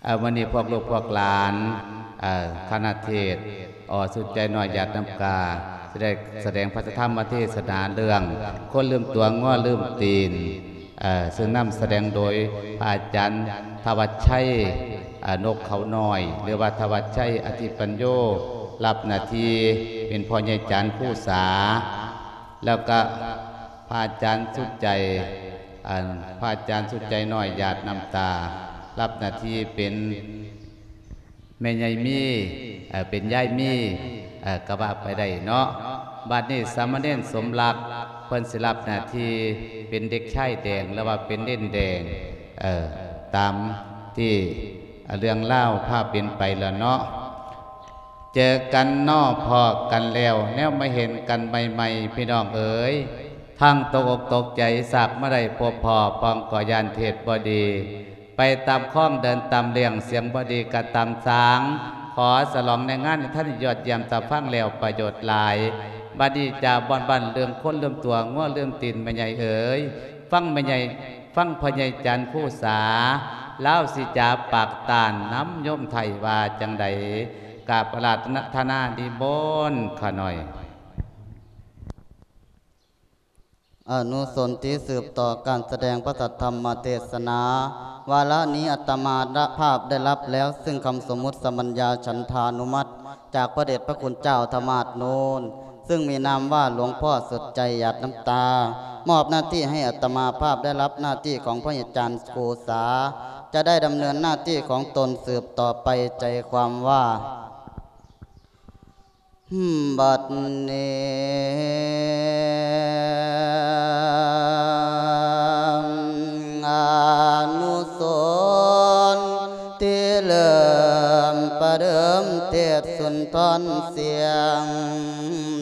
ເອີ ມື້ນີ້ພວກລູກພວກຫຼານ ເອີ ຄະນະເທດ ອ ສຸດໃຈນ້ອຍ ຢາດນ້ຳກາ ຊິໄດ້ສະແດງພະທຳມະເທດສະໜາເລື່ອງ ຄົນລືມຕົວ ງົວລືມຕີນ ເອີ ເຊິ່ງນຳສະແດງໂດຍພະອາຈານທະວັດໄຊ ເອີ ນົກເຂົານ້ອຍ ຫຼືວ່າທະວັດໄຊ ອະທິປັນໂຍ ຮັບໜ້າທີ່ເປັນພໍ່ໃຫຍ່ຈານຄູສາ ແລ້ວກະພະອາຈານສຸດໃຈ ອັນ ພະອາຈານສຸດໃຈນ້ອຍ ຢາດນ້ຳຕາ ຮັບໜ້າທີ່ເປັນແມ່ໃຫຍ່ມີ ເອີ ເປັນຍາຍມີ ເອີ ກະວ່າໄປໄດ້ເນາະ. ບັດນີ້ສາມະເນນສົມລັກ ເພິ່ນຊິຮັບໜ້າທີ່ເປັນເດັກຊາຍແດງ ຫຼືວ່າເປັນເນນແດງ ເອີ ຕາມທີ່ເລື່ອງລາວພາເປັນໄປລະເນາະ. ເຈີກັນເນາະ ພໍ້ກັນແລ້ວ ແນວມາເຫັນກັນໃໝ່ໆ ພີ່ນ້ອງເອີຍ ທັງຕົກອົກຕົກໃຈ ສາກມາໄດ້ພົບພໍ້ ພ້ອມກໍຢ້ານເທດບໍ່ດີ ໄປຕາມຄອງເດີນຕາມເລ່ຽງ ສຽງບໍ່ດີກະຕາມສາງ ຂໍສະຫຼອງໃນງານທີ່ທ່ານຍອດຢ້ຽມ ຕາຟັງແລ້ວປະໂຫຍດຫຼາຍ. ບັດນີ້ຈາບ່ອນບ້ານເລື່ອງຄົນລືມຕົວ ງົວລືມຕີນ ແມ່ໃຫຍ່ເອີຍ ຟັງແມ່ໃຫຍ່ ຟັງພໍ່ໃຫຍ່ຈັນຄູສາ ລາວຊິຈາປາກຕ້ານນຳໂຍມໄທວ່າຈັ່ງໃດ ກາບອາລາທະນານິມົນຂ້ານ້ອຍ. ອະນຸສົນທີ່ສືບຕໍ່ການສະແດງພະສັດທຳມະເທດສະໜາ ວາລະນີ້ອາດຕະມາພາບໄດ້ຮັບແລ້ວ ຊຶ່ງຄຳສົມມຸດສຳບັນຍາ ສັນທານຸມັດ ຈາກພະເດດພະຄຸນເຈົ້າທະມາດໂນນ ຊຶ່ງມີນາມວ່າ ຫຼວງພໍ່ສຸດໃຈ ຫຍາດນ້ຳຕາ ມອບໜ້າທີ່ໃຫ້ອາດຕະມາພາບໄດ້ຮັບໜ້າທີ່ຂອງພະອາຈານຄູສາ ຈະໄດ້ດຳເນີນໜ້າທີ່ຂອງຕົນສືບຕໍ່ໄປ. ໃຈຄວາມວ່າ ບັດນີ້ ອະນຸສົນທີ່ເລີ່ມປະເດີມເທດສຸນທອນສຽງ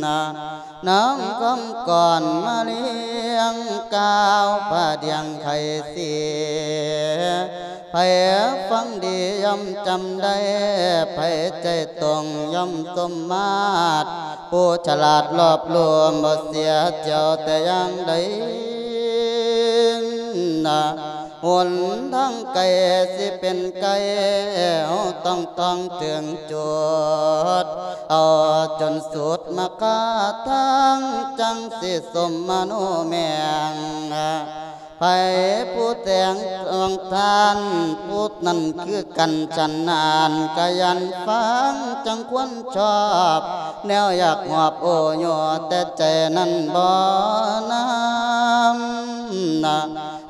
ນະ ນຳຄຳກ່ອນມາລ້ຽງກ່າວພະດຽງໄຂສີ ໃຜຟັງດີຍ່ອມຈຳໄດ້ ໃຜໃຈຕົງຍ່ອມສົມມາດ ຜູ້ສະຫຼາດລອບລວມບໍ່ເສຍແຈວແຕ່ຢ່າງໃດນະ ຫົນທາງໄກຊິເປັນໄກ ເຮົາຕ້ອງທ່ອງເຖິງຈຸດ ເອົາຈົນສຸດມາຄາທາງ ຈັ່ງຊິສົມມະໂນແມງ ໃຜຜູ້ແຕ່ງດວງທ່ານ ຜູ້ນັ້ນຄືກັນ ສະນັ້ນກະຢ່ານຟັງ ຈັ່ງຄວນຊອບ ແນວຢາກຮອບໂອ້ໂຍ ແຕ່ໃຈນັ້ນບໍ່ນຳນະ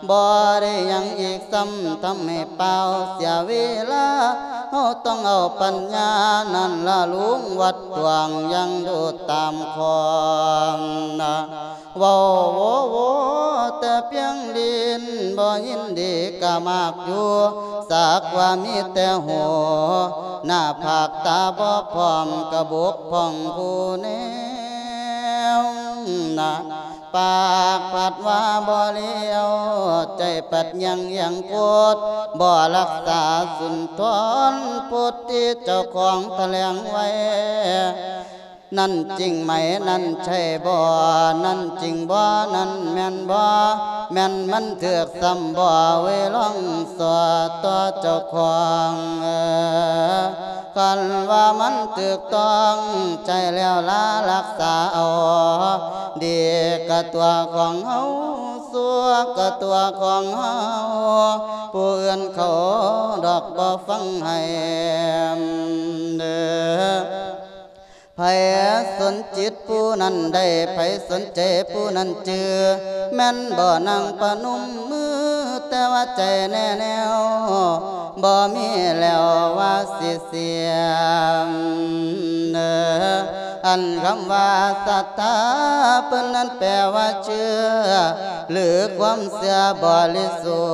ບໍ່ໄດ້ຫຍັງອີກຊ້ຳ ທຳໃຫ້ເປົ່າເສຍເວລາ ເຮົາຕ້ອງເອົາປັນຍານັ້ນລະລຸງວັດຕວງ ຢ່າງດູຕາມຄອງນະ ເວົ້າໂວໂວແຕ່ພຽງລີ້ນ ບໍ່ຍິນດີກະມາກຢູ່ ສັກວ່າມີແຕ່ຫູ ໜ້າຜາກຕາບໍ່ພ້ອມ ກະບົກຜ່ອງຜູ້ແນວນະ ປາກພັດວ່າບໍ່ລ້ຽວ ໃຈພັດຍັງຍັງໂພດ ບໍ່ຮັກສາສຸນທອນໂພດ ທີ່ເຈົ້າຂອງຖະແຫຼງໄວ້ ນັ້ນຈິງໄໝ ນັ້ນໃຊ່ບໍ່ ນັ້ນຈິງບໍ່ ນັ້ນແມ່ນບໍ່ ແມ່ນມັນຖືກຊ້ຳບໍ່ ເວີຍລອງສອດຕໍ່ເຈົ້າຂອງ ຄັນວ່າມັນຖືກຕ້ອງໃຊ້ແລ້ວລາ ຮັກສາເອົາ ດີກະຕົວຂອງເຮົາ ຊົ່ວກະຕົວຂອງເຮົາ ຜູ້ອື່ນເຂົາດອກບໍ່ຟັງໃຫ້ເດີ. ໃຜສົນຈິດຜູ້ນັ້ນໄດ້ ໃຜສົນໃຈຜູ້ນັ້ນຈື່ ແມ່ນບໍ່ນັ່ງປະນົມມື ແຕ່ວ່າໃຈແນ່ແນວ ບໍ່ມີແລ້ວວ່າຊິສຽມເດີ. ອັນຄຳວ່າສັດທາ ເພິ່ນນັ້ນແປວ່າເຊື່ອ ຫຼືຄວາມເຊື່ອບໍລິສຸ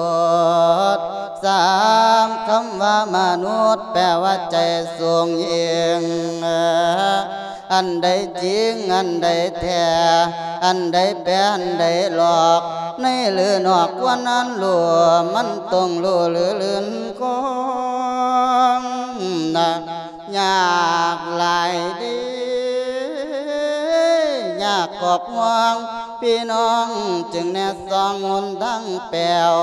ດ. ສາມຄຳວ່າມະນຸດ ແປວ່າໃຈສູງຍິ່ງ. ອັນໃດຈິງ ອັນໃດແທ້ ອັນໃດແປ ອັນໃດຫຼອກ ໃນຫຼືນອກຄວນອັນຮູ້ ມັນຕ້ອງຮູ້ຫຼືລື່ນຄອງນະ. ຍາກຫຼາຍເດ້ ຍາກຂອບຫ່ວງ ພີ່ນ້ອງຈຶ່ງແນະສ່ອງຫົນທາງແປວ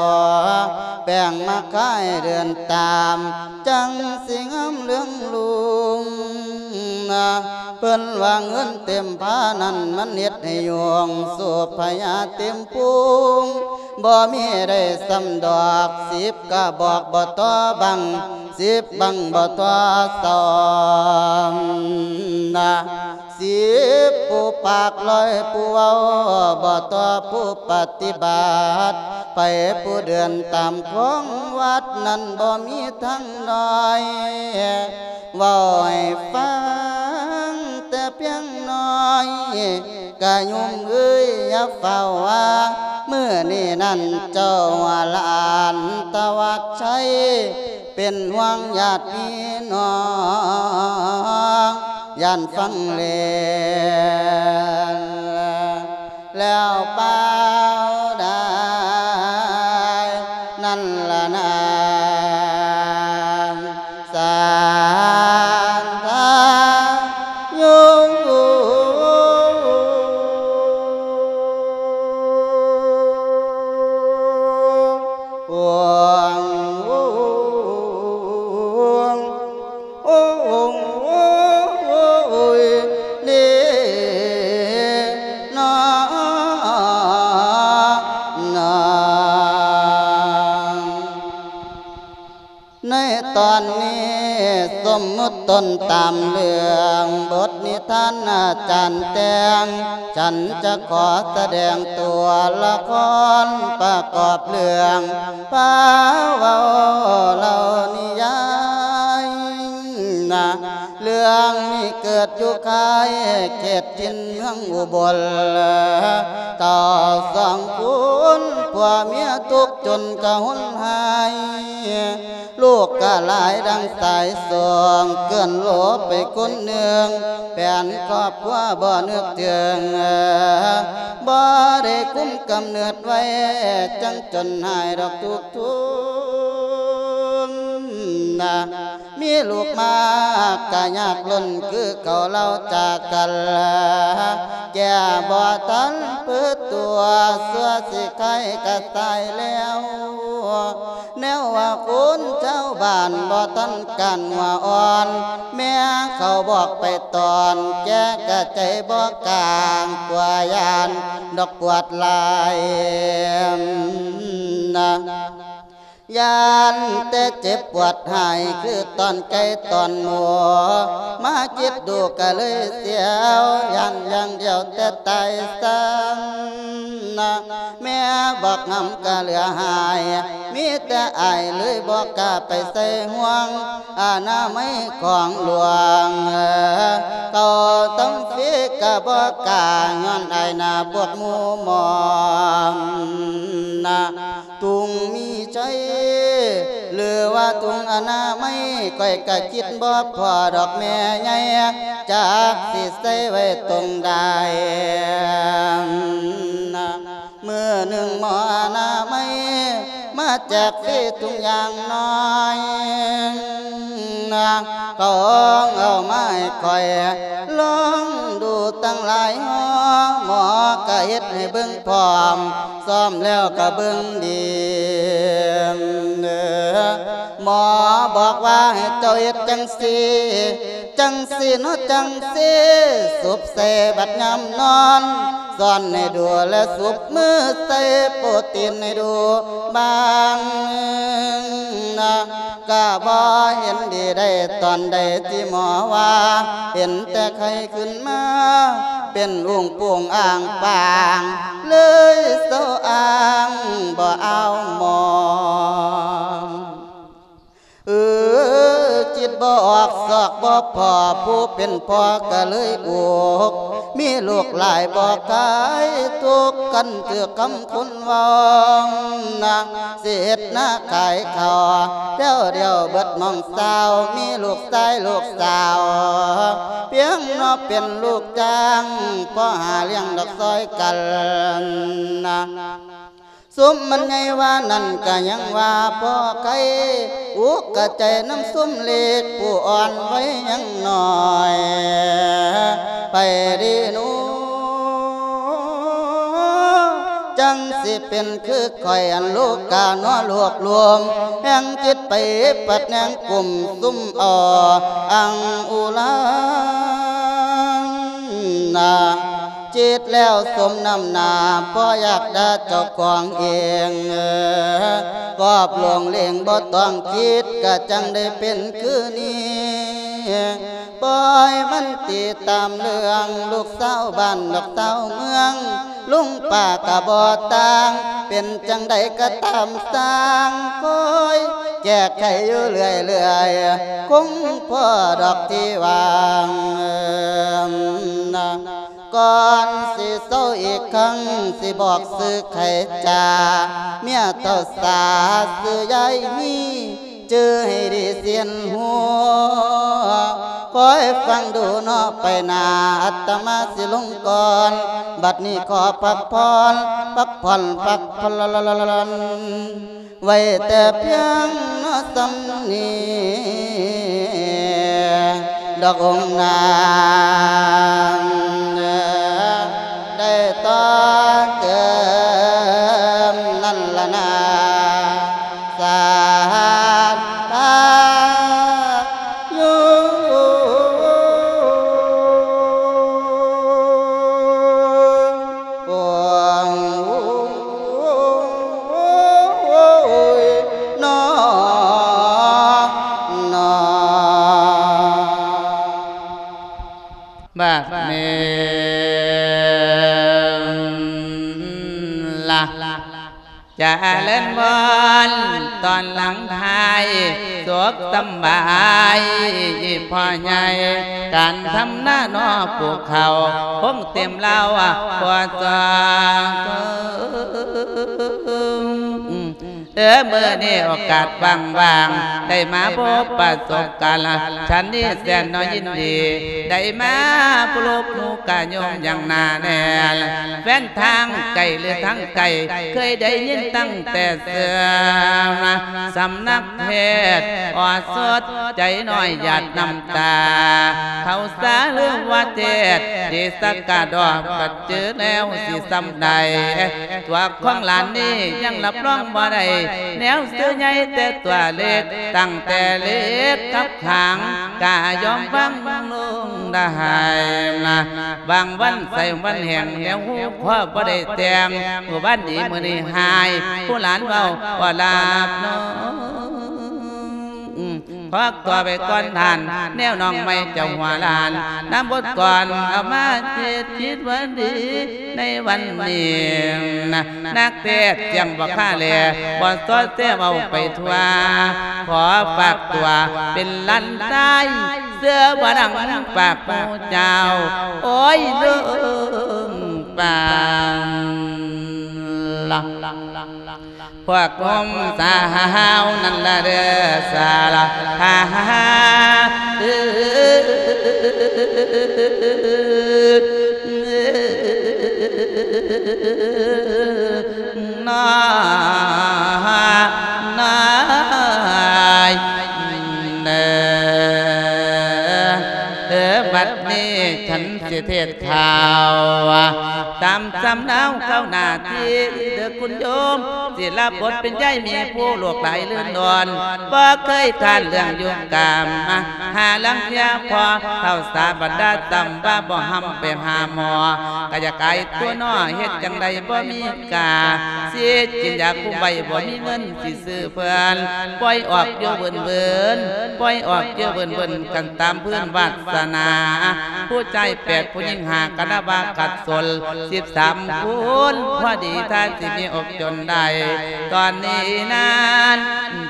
ແປ້ງມາຂາຍເດີນຕາມ ຈັ່ງຊິງາມເລື່ອງລຸງ. ເພິ່ນວ່າເງິນເຕັມພານັ້ນ ມັນເຮັດໃຫ້ໂຍງ ສູບພະຍາເຕັມພຸງ ບໍ່ມີໄດ້ຊ້ຳດອກ ສິບກະບອກບໍ່ຕໍ່ບັງ ສິບບັງບໍ່ຕໍ່ສອງ. ສິບຜູ້ປາກລອຍຜູ້ເວົ້າ ບໍ່ຕໍ່ຜູ້ປະຕິບັດ ໃຜຜູ້ເດີນຕາມຂອງວັດນັ້ນ ບໍ່ມີທາງໜ້ອຍ ເວົ້າໃຫ້ຟັງແຕ່ພຽງໜ້ອຍ ກະໂຍມເອີຍ ຢ່າຟ້າວວ່າ ມື້ນີ້ນັ້ນເຈົ້າຫຼານທະວັດໄຊ ເປັນຫ່ວງຍາດພີ່ນ້ອງ ຢ້ານຟັງແລ້ວ ແລ້ວປາວດາຍນັ້ນລະນາ ສານທາຍຸງ ໃນຕອນນີ້ສົມມຸດຕົ້ນຕາມເລື່ອງບົດນິທານອາຈານແຕ່ງ ສັນຈະຂໍສະແດງຕົວລະຄອນປະກອບເລື່ອງ ພາເວົ້າເລົ່ານິຍາຍນະ ເລື່ອງນີ້ເກີດຢູ່ຄ້າຍເຂດຖິ່ນເມືອງອຸບົນ ເຖົ້າສອງຄົນຜົວເມຍທຸກຈົນກະຫົນຫາຍ ລູກກະຫຼາຍດັ່ງສາຍສອງ ເກືອນໂລໄປຄົນໜຶ່ງ ແຜນຄອບຄົວບໍ່ນຶກເຖິງ ບໍ່ໄດ້ຄຸມກຳເນີດໄວ້ ຈັ່ງຈົນຫາຍດອກທຸກ ທຸນນະ ມີລູກມາກະຍາກລົ້ນ ຄືເຂົາເລົ່າຈາກັນ ແກ້ບໍ່ທັນເປີດຕົວ ຊົ່ວຊິໄຄກະຕາຍແລ້ວ ແນວວ່າຄົນຊາວບ້ານບໍ່ທັນການຫົວອ່ອນ ແມ່ເຂົາບອກໄປຕອນ ແກ່ກະໃຈບໍ່ກາງ ກົວຢ້ານດອກປວດຫຼາຍນະ ຢ້ານແຕ່ເຈັບປວດຫາຍ ຄືຕອນໄກ່ຕອນໝູ ມາຄິດດູກະເລີຍສຽວ ຢ້ານຢ່າງດຽວແຕ່ຕາຍຊັ້ນນະ ແມ່ບອກຫຳກະເຫຼືອຫາຍ ມີແຕ່ອາຍເລີຍບໍ່ກ້າໄປໃສ່ຫ່ວງ ອະນາໄມຂອງຫຼວງ ເຂົາທຳຟຣີກະບໍ່ກ້າ ຍ້ອນອາຍໜ້າພວກໝູ່ໝອມນະ ທຸງມີໄຊ ຫຼືວ່າທຸງອະນາໄມ ຂ້ອຍກະຄິດບໍ່ພໍດອກແມ່ໃຫຍ່ ຈັກຊິໃສ່ໄວ້ຕົງໃດນະ ມື້ໜຶ່ງໝໍອະນາໄມ ມາແຈກຟຣີທຸງຢ່າງໜ້ອຍນະ ເຂົາເອົາມາໃຫ້ຂ້ອຍລອງດູຕັ້ງຫຼາຍຫໍ່ ໝໍກະເຮັດໃຫ້ເບິ່ງພ້ອມ ຊ້ອມແລ້ວກະເບິ່ງດີ ໝໍບອກວ່າໃຫ້ເຈົ້າເຮັດຈັ່ງຊີ້ ຈັ່ງຊີ້ເນາະຈັ່ງຊີ້ ສຸບໃສ່ບັດຍາມນອນ ຊ້ອນໃຫ້ດູ ແລະສຸບມືໃສ່ໂປຣຕີນໃຫ້ດູບາງໜຶ່ງນະ ກະບໍ່ເຫັນດີໄດ້ຕອນໃດ ທີ່ໝໍວ່າ ເຫັນແຕ່ໄຂ່ຂຶ້ນມາ ເປັນອຸ້ງປຸ້ງອ່າງປາງ ເລີຍເຊົາອ່າງບໍ່ເອົາໝໍ ເອີ ຄິດບໍ່ອອກຊອກບໍ່ພໍ ຜູ້ເປັນພໍ່ກະເລີຍອຸກ ມີລູກຫຼາຍບໍ່ຄາຍທຸກ ຄັນຖືກຄຳຄົນເວົ້ານະ ຊິເຮັດນາຂາຍເຂົ້າ ແຖວດຽວເບິດໝ່ອງຊາວ ມີລູກຊາຍລູກສາວ ພຽງເນາະເປັນລູກຈ້າງ ພໍຫາລ້ຽງດອກຊ່ອຍກັນນະ ຊຸມມັນໃຫຍ່ວ່ານັ້ນກະຍັງວ່າພໍໄຄ ອຸກກະໃຈນຳຊຸມເລັກ ຜູ້ອ່ອນໄວຍັງນ້ອຍ ໄປດີໜູ ຈັ່ງຊິເປັນຄືຂ້ອຍ ອັນລູກການໍຫຼວກລວມ ແຫ່ງຈິດໄປປັດແນງກຸມຊຸມເອົາອັງອຸລານາ ຈິດແລ້ວສົມນ້ຳໜ້າ ບໍ່ຢາກດ່າເຈົ້າຂອງເອງ ກອບຫຼວງເລງບໍ່ຕ້ອງຄິດ ກະຈັ່ງໄດ້ເປັນຄືນີ້ ປ່ອຍມັນຕິດຕາມເລື່ອງ ລູກຊາວບ້ານ ລູກຊາວເມືອງ ລຸງປ້າກະບໍ່ຕ່າງ ເປັນຈັ່ງໃດກະຕາມຊ່າງ ຄອຍແກ້ໄຂຢູ່ເລື້ອຍໆ ຄົງພໍດອກທີ່ວ່າງ ກ່ອນຊິເຊົາອີກຄັ້ງ ຊິບອກຊື່ໃຄຈາ ເມຍເຕົ້າສາຊື່ຍາຍມີ ຈື່ໃຫ້ດີສຽນຮູ້ ຄອຍຟັງດູເນາະໄປໜ້າ ອາດຕະມາຊິລົງກ່ອນ ບັດນີ້ຂໍພັກຜ່ອນ ພັກຜ່ອນ ພັກຜ່ອນ ໄວ້ແຕ່ພຽງເນາະສ່ຳນີ້ ດອກອົງນາງ ໄດ້ຕໍ່ເຕີມນັ້ນລະນາ ສາທາຍຸ ໂອ້ຍ ນອ ນອ ບັດນີ້ລະ ຈະເລີນພອນຕອນຫຼັງທ້າຍ ສຸກສຳບາຍພໍ່ໃຫຍ່ ການທຳນານໍປູກເຂົ້າ ຄົງເຕັມລາວພໍຈອງ ເອີ ມື້ນີ້ໂອກາດຫວ່າງໆ ໄດ້ມາພົບປະສົບກັນ ລະ ສັນນີ້ແສນໜ້ອຍຍິນດີ ໄດ້ມາພົບໝູ່ກະໂຍມຢ່າງໜາແໜ້ນ ແຟນທາງໃກ້ ຫຼື ທາງໃກ້ ເຄີຍໄດ້ຍິນຕັ້ງແຕ່ເຊື່ອ ສຳນັກເທດ ອອດສົດໃຈນ້ອຍຫຍາດນ້ຳຕາ ເຂົາສາເລື່ອງວ່າເທດ ດີສັກກະດອກ ບັດເຈີແນວຊິສ່ຳໃດ ຕົວຂອງຫຼານນີ້ຍັງຮັບຮອງບໍ່ໄດ້ ແນວຊື່ໃຫຍ່ແຕ່ຕົວເລັກ ຕັ້ງແຕ່ເລັກກັບຂາງ ກະຍອມຟັງລຸງໄດ້ນະ ບາງວັນໃສ່ວັນແຫ້ງ ແນວຫູຄໍບໍ່ໄດ້ແຕ່ງ ມື້ວານດີມື້ນີ້ຫາຍ ຜູ້ຫຼານເວົ້າບໍ່ລາບນອນ ຂໍຕົວໄປກ່ອນທ່ານ ແນວນ້ອງໃໝ່ເຈົ້າຫົວຫຼານ ນຳບົດກ່ອນເອົາມາເຮັດຄິດວ່າດີ ໃນວັນນີ້ນະ ນັກເທດສຽງບໍ່ຄາແລ ບໍ່ຊອດແຊເວົ້າໄປທົ່ວ ຂໍຝາກຕົວເປັນຫຼານຊາຍ ເຊື່ອວ່າດັງປາກໝູ່ເຈົ້າ ໂອ້ຍ ເລື່ອງປານລະ ພວກໜຸ່ມສາວນັ້ນລະເດີສາລະ ນ້ອຍ ນ້ອຍ ເອີ ບັດນີ້ ສັນ ຊິເທດຂ່າວ ຕາມສຳເນົາເຂົ້າໜ້າທີ່ ເດີຄຸນໂຍມ ຊິລັບບົດເປັນຍາຍມີຜູ້ລູກຫຼາຍລື່ນດອນ ບໍ່ເຄີຍຄ້ານເລື່ອງຢູ່ກາມ ຫາລາງເທື່ອພໍເຖົ້າສາບັນດາ ຊ້ຳວ່າບໍ່ຫ້ຳໄປຫາໝໍ ກະຢາກອາຍຕົວນໍ ເຮັດຈັ່ງໃດບໍ່ມີກາ ຊິກິນຢາຄຸມໄວ້ ບໍ່ມີເງິນຊິ ຊື້ເພື່ອນ ປ່ອຍອອກຢູ່ເວີນໆ ປ່ອຍອອກຢູ່ເວີນໆ ກັນຕາມພື້ນວາດສະໜາ ຜູ້ຊາຍແປດ ຜູ້ຍິງຫ້າ ກະນັບວ່າຂັດສົນສິບສາມຄົນ ພໍດີຖ້າຊິມີອົກຈົນໄດ້ ຕອນນີ້ນັ້ນ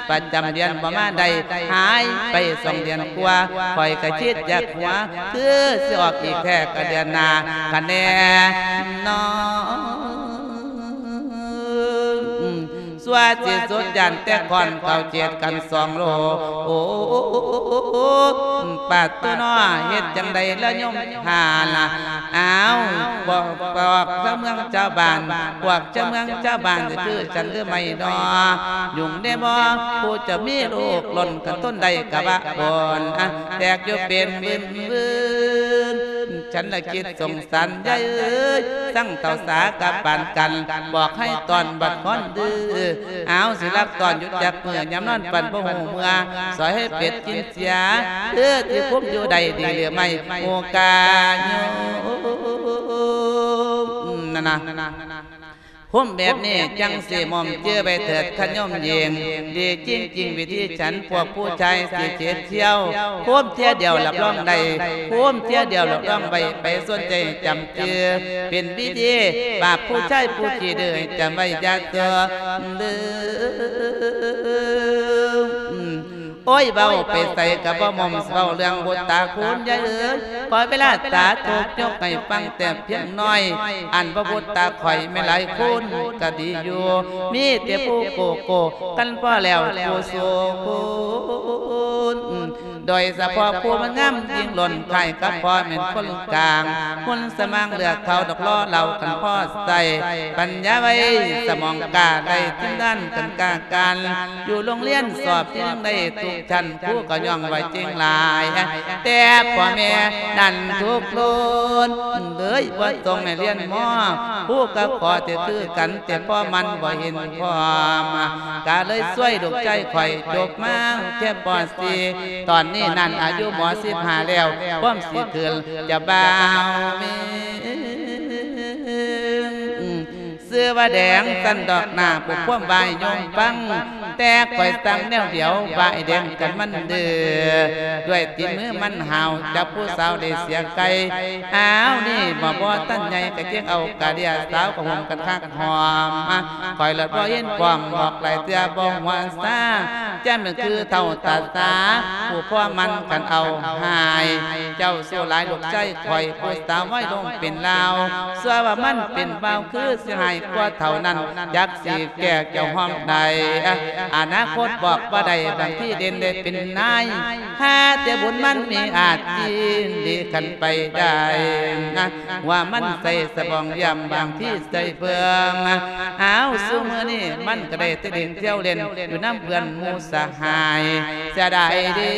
ປະຈຳເດືອນບໍ່ມາໄດ້ ຫາຍໄປສອງເດືອນກວ່າ ຂ້ອຍກະຄິດຢາກຫົວ ຄືຊິອອກອີກແທ້ກະເດືອນໜ້າ ກະແນ່ນອນ ຊົ່ວທີ່ສຸດຢ້ານແຕ່ຄ້ອນເກົ້າເຈັດກັນສອງໂລ ໂອ້ ປາດໂຕນໍ ເຮັດຈັ່ງໃດລະໂຍມທ່ານລະ ອ້າວ ບອກ ບອກຊາວເມືອງຊາວບ້ານ ພວກຊາວເມືອງຊາວບ້ານ ຊິຄືສັນຫຼືໄໝ່ນໍ ຍຸ່ງແດ່ບໍ່ ຜູ້ຈະມີລູກລົ້ນ ຄັນທົນໄດ້ກະວ່າໂອນ ແຕກຢູ່ເປັນວືນໆ ນ ສັນລະຄິດສົງສານຍາຍເອີຍ ສັງເຖົ້າສາກັບປານກັນ ບອກໃຫ້ຕ້ອນບັດຄອນດື້ ອາວ ຊິລັກຕ້ອນຢູ່ຈັກມື້ ຍາມນອນປັນບໍ່ຮູ້ເມື່ອ ສອຍໃຫ້ເປັດກິນເສຍ ເອີ ທີ່ຄຸມຢູ່ໄດ້ດີຫຼືໄມ່ ໂອກາໂຍມ ນັ້ນນະ. ໂຮມແບບນີ້ຈັ່ງຊິໝ້ອມຈື່ໄວ້ເທີດຄະໂຍມຍິງ ດີຈິງໆ ວິທີສັນພວກຜູ້ຊາຍຊິເສດສ່ຽວ ໂຮມເທື່ອດຽວຮັບຮອງໄດ້ ໂຮມເທື່ອດຽວຮັບຮອງໄວ້ ໃຜສົນໃຈຈຳຈື່ ເປັນວິທີບາບຜູ້ຊາຍຜູ້ຂີ້ດື້ ໃຫ້ຈຳໄວ້ຢ່າເຊື່ອລືມ. ໂອ້ຍ ເວົ້າໄປໃສກະບໍ່ໝ້ອມ ເວົ້າເລື່ອງບຸດຕາຄູນຍາຍເອີຍ ຂໍເວລາສາທຸກຍົກໃຫ້ຟັງແຕ່ພຽງໜ້ອຍ ອັນວ່າບຸດຕາຂ້ອຍແມ່ນຫຼາຍຄູນກະດີຢູ່ ມີແຕ່ຜູ້ໂກໂກ້ກັນພໍແລ້ວຄູ່ສູ່ຄົນ ໂດຍສະເພາະຜູ້ມັນງາມຍິ່ງລົ້ນຄ້າຍກັບພໍ່ແມ່ນຄົນກາງ ຮຸ່ນສະໝາງເລືອກເຂົາດອກລໍເລົ່າກັນພໍໃຊ້ ປັນຍາໄວສະໝອງກ້າໄດ້ທີມງານກັນກ້າ ການຢູ່ໂຮງຮຽນສອບຈັ່ງໄດ້ທຸກຊັ້ນ ຄູກໍຍ້ອງວ່າເກັ່ງຫຼາຍ ແຕ່ພໍ່ແມ່ນັ້ນທຸກໂລນເລີຍ ບໍ່ສົ່ງໃຫ້ຮຽນມໍ ຄູກໍຂໍແຕ່ຄືກັນ ແຕ່ພໍ່ມັນບໍ່ເຫັນພ້ອມ ກໍເລີຍຊ່ວຍລູກຊາຍຂ້ອຍຈົບມາແຄ່ປໍສີ່ ຕອນນີ້ນັ້ນອາຍຸມໍສິບຫ້າແລ້ວ ຄວາມຊິຂຶ້ນຈະບ່າວເມງ ຊື່ວ່າແດງ ຊັ້ນດອກໜ້າ ຜູ້ຄວາມວ່າໃຫ້ໂຍມຟັງ ແຕ່ຂ້ອຍສັ່ງແນວດຽວ ວ່າໄອ້ແດງກັນມັນດື້ ດ້ວຍຕີນມືມັນຫ້າວ ຈັບຜູ້ສາວໄດ້ເສຍໄກ່ ອ້າວ ນີ້ບໍ່ ບໍ່ທັນໃຫຍ່ ກະຈຶ່ງເອົາກະເດຍ ສາວກະຫົ່ມກັນຄັກຫອມ ຂ້ອຍລະບໍ່ເຫັນພ້ອມ ບອກຫຼາຍເທື່ອບໍ່ຫົວຊາ ຈະແມ່ນຄືເຖົ້າຕາສາ ຜູ້ພໍ່ມັນຄັນເອົາຫາຍ ເຈົ້າ ຊົ່ວຫຼາຍ ລູກຊາຍຂ້ອຍ ຜູ້ສາວໄວ້ລົງເປັນລາວ ຊົ່ວວ່າມັນເປັນບ່າວ ຄືຊິຮ້າຍກວ່າເຖົ້ານັ້ນ ຈັກຊິແກ້ແກ້ວຮ່ອມໃດ ອະນາຄົດບອກບໍ່ໄດ້ ບາງທີເດັ່ນໄດ້ເປັນນາຍ ຫາແຕ່ບຸນມັນມີອາດຈິນດີຄັນໄປໄດ້ ວ່າມັນໃສ່ສະບອງຢ້ຽມ ບາງທີໃສ່ເພີ່ມ ອ້າວ ຊຸມື້ນີ້ມັນກະໄດ້ແຕ່ຫຼິ້ນທ່ຽວຫຼິ້ນ ຢູ່ນຳເພື່ອນໝູ່ສະຫາຍ ເສຍດາຍເດ້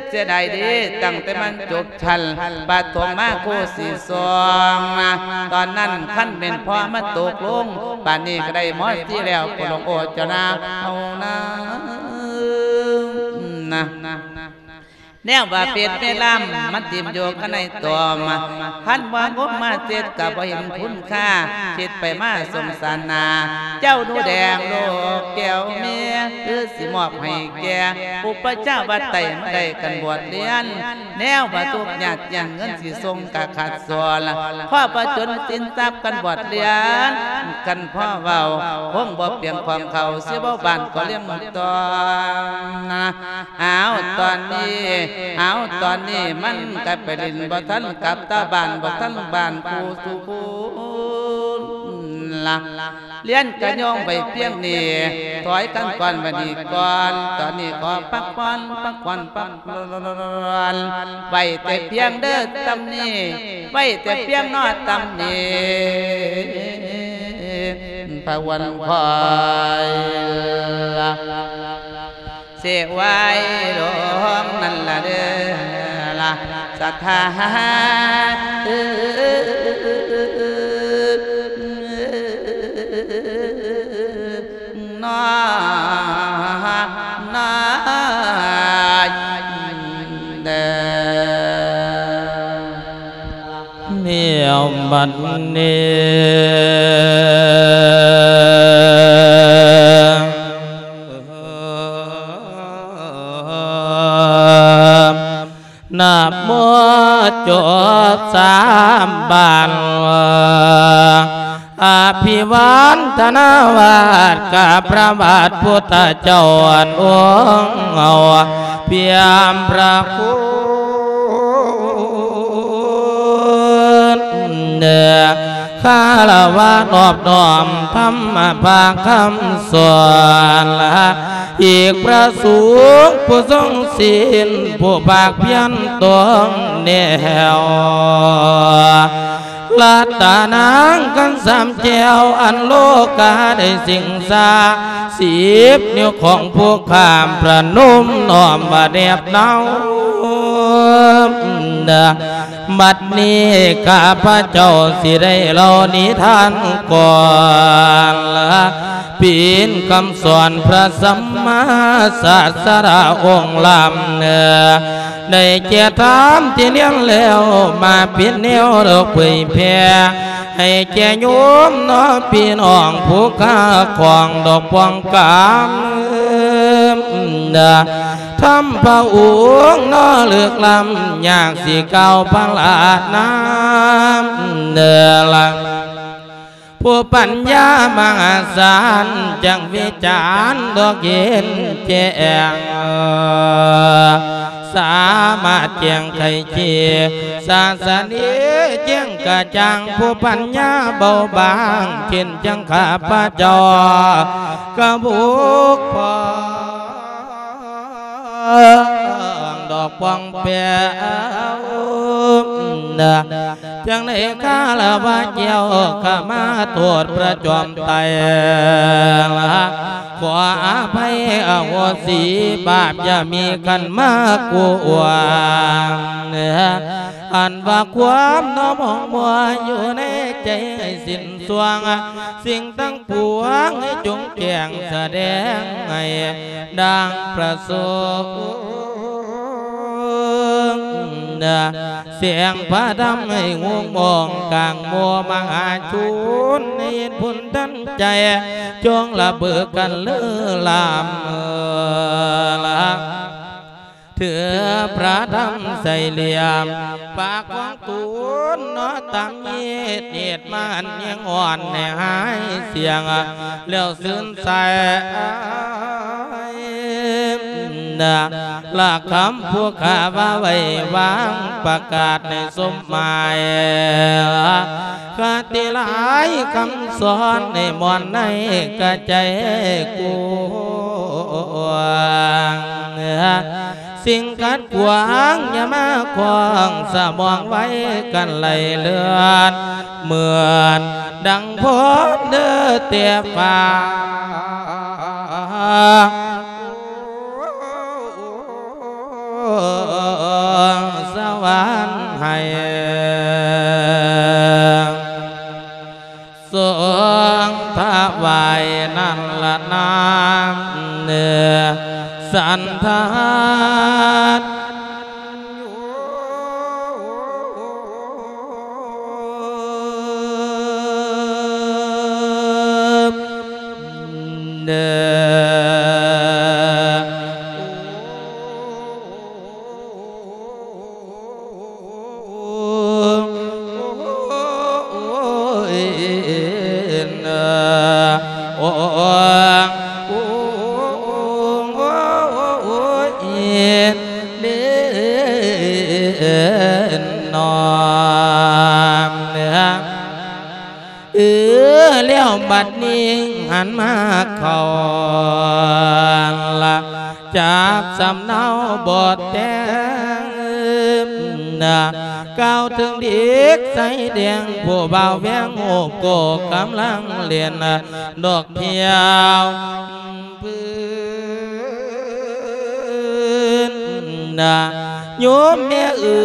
ເສຍດາຍເດ້ ຕັ້ງແຕ່ມັນຈົບຊັ້ນປະຖົມມາຄູ່ສີ່ສອງ ຕອນນັ້ນຄັນແມ່ນພໍ່ມາຕົກລົງ ປານນີ້ກະໄດ້ມໍສີ່ແລ້ວ ຜູ້ຫຼວງໂອດເຈົ້ານາເຮົານາ ນະ ແນວວ່າເປັດແມ່ລຳ ມັນຖິ້ມຢູ່ກັນໃນຕອມ ຄັນວ່າງົມມາເຈັດກະບໍ່ເຫັນຄຸນຄ່າ ຄິດໄປມາສົງສານໜ້າ ເຈົ້າໜູແດງລູກແກ້ວເມຍ ຄືຊິມອບໃຫ້ແກ່ອຸປະຊາວາດໃຕ້ ມາໄດ້ກັນບວດລຽນ ແນວວ່າທຸກຍາກ ຢ່າງເງິນຊິສົ່ງກະຂາດສອນ ພໍປະຈົນສິນຊັບກັນບວດລຽນ ຄັນພໍເວົ້າຄົງບໍ່ປຽງຂອງເຂົາ ຊິເວົ້າບ້ານກໍລຽງຕ້ອນ ອ້າວ ຕອນນີ້ ອ້າວ ຕອນນີ້ມັນກະໄປຫຼິ້ນບໍ່ທັນກັບຕາບ້ານ ບໍ່ທັນບ້ານຄູ່ສູ່ຄົນລະ ລຽນກະຍ້ອງໄວ້ພຽງນີ້ ຖອຍຄຳກ່ອນໄວ້ນີ້ກ່ອນ ຕອນນີ້ຂໍພັກຜ່ອນ ພັກຜ່ອນ ພັກຜ່ອນ ໄວ້ແຕ່ພຽງເດີ ສ່ຳນີ້ ໄວ້ແຕ່ພຽງເນາະ ສ່ຳນີ້ ພະວັນຄອຍລະ ເສໄວ້ລົງນັ້ນລະເດີລະ ສະຖານ ນ້ອຍ ນ້ອຍເດີ ແນວບັດນີ້ ນະໂມຈົບສາມບານ ອະພິວານທະນາວາດກັບພະບາດພຸດທະເຈົ້າອັນອົງເອົາ ພຽມພະຄຸນ ຄາລະວະນອບນ້ອມທຳມະພາຄຳສອນ ອີກພະສົງຜູ້ຊົງສິນ ຜູ້ພາກພຽນຕ້ອງແນວ ລັດຕະນາງຄັນສາມແກ້ວ ອັນໂລກາໄດ້ສິງສາ ສິບນິ້ວຂອງຜູ້ຂ້າມປະນົມນ້ອມວ່າແນບໜາວ. ບັດນີ້ຂ້າພະເຈົ້າຊິໄດ້ເລົ່ານິທານກ່ອນ ເປັນຄຳສອນພະສຳມາສາສະດາອົງລ້ຳ ໄດ້ແກ່ທຳທີ່ລຽນແລ້ວ ມາເປັນແນວດອກເຜີຍແຜ່ ໃຫ້ແກ່ໂຍມເນາະ ພີ່ນ້ອງຜູ້ຄ້າຂອງດອກປອງກາມ ທຳພະອົງເນາະ ເລິກລ້ຳ ຢາກຊິກ່າວພະລານາມເດີລະ ຜູ້ປັນຍາມະຫາສານ ຈັ່ງວິຈານດອກເຫັນແຈ້ງ ສາມາດແຈ້ງໄຂເຄ ສາສະເນແຈ້ງກະຈ່າງ ຜູ້ປັນຍາເບົາບາງ ເຊັ່ນຈັ່ງຂ້າພະເຈົ້າ ກະບຸກພໍງ ດອກປອງແປວ ຈັ່ງໄດ້ຄາລະວະແກ້ວ ຂະມາໂທດພະຈອມໄຕ ຂໍອະໄພອະໂຫສິບາບ ຢ່າມີຂັນມາກວນ ອັນວ່າຄວາມເນາະ ໝອງມົວຢູ່ໃນໃຈ ໃຫ້ສິ້ນຊ່ວງ ສິ່ງທັງປວງໃຫ້ຈົ່ງແຈ້ງສະແດງໃຫ້ດັ່ງປະສົງ ແສງພະທຳໃຫ້ຫຸ່ງມອງກາງໝູ່ມະຫາຊົນ ໃຫ້ເຫັນບຸນທັນໃຈ ຈົ່ງລະເບີກັນເລີລາມ ເອີລະ ຖືພະທຳໃສ່ຫຼ່ຽມ ປາກຂອງຕົນເນາະ ຕຳເຫດ ເຫດມານຍັງອ່ອນໃຫ້ຫາຍສຽງ ແລ້ວຊື່ນໃສ ນະ ລະຄຳຜູ້ຂ້າວ່າໄວ້ວາງ ປະກາດໃຫ້ສົມໝາຍ ຄະຕິຫຼາຍຄຳສອນໃຫ້ມ່ວນໃນກະໃຈກວ້າງ ສິ່ງຂັດຂວາງຢ່າມາຂວາງສະໝອງໄວ້ກັນໄຫຼເລືອດ ເໝືອນດັ່ງພອນເດີແຕ່ຟ້າ ສະຫວັນໃຫ້ ຊົງຖວາຍນັ້ນລະນາ ສັນທານ ເດີ. ເອີ ແລ້ວບັດນີ້ຫັນມາເຂົ້າລະ ຈັບສຳເນົາບົດແຕ່ງ ກ່າວເຖິງເດັກຊາຍແດງ ຜູ້ບ່າວແວງໂຮບໂກ້ ກຳລັງຫຼິ້ນດອກ ທ່ຽວພື້ນນະ ໂຍມແມ່ເອີ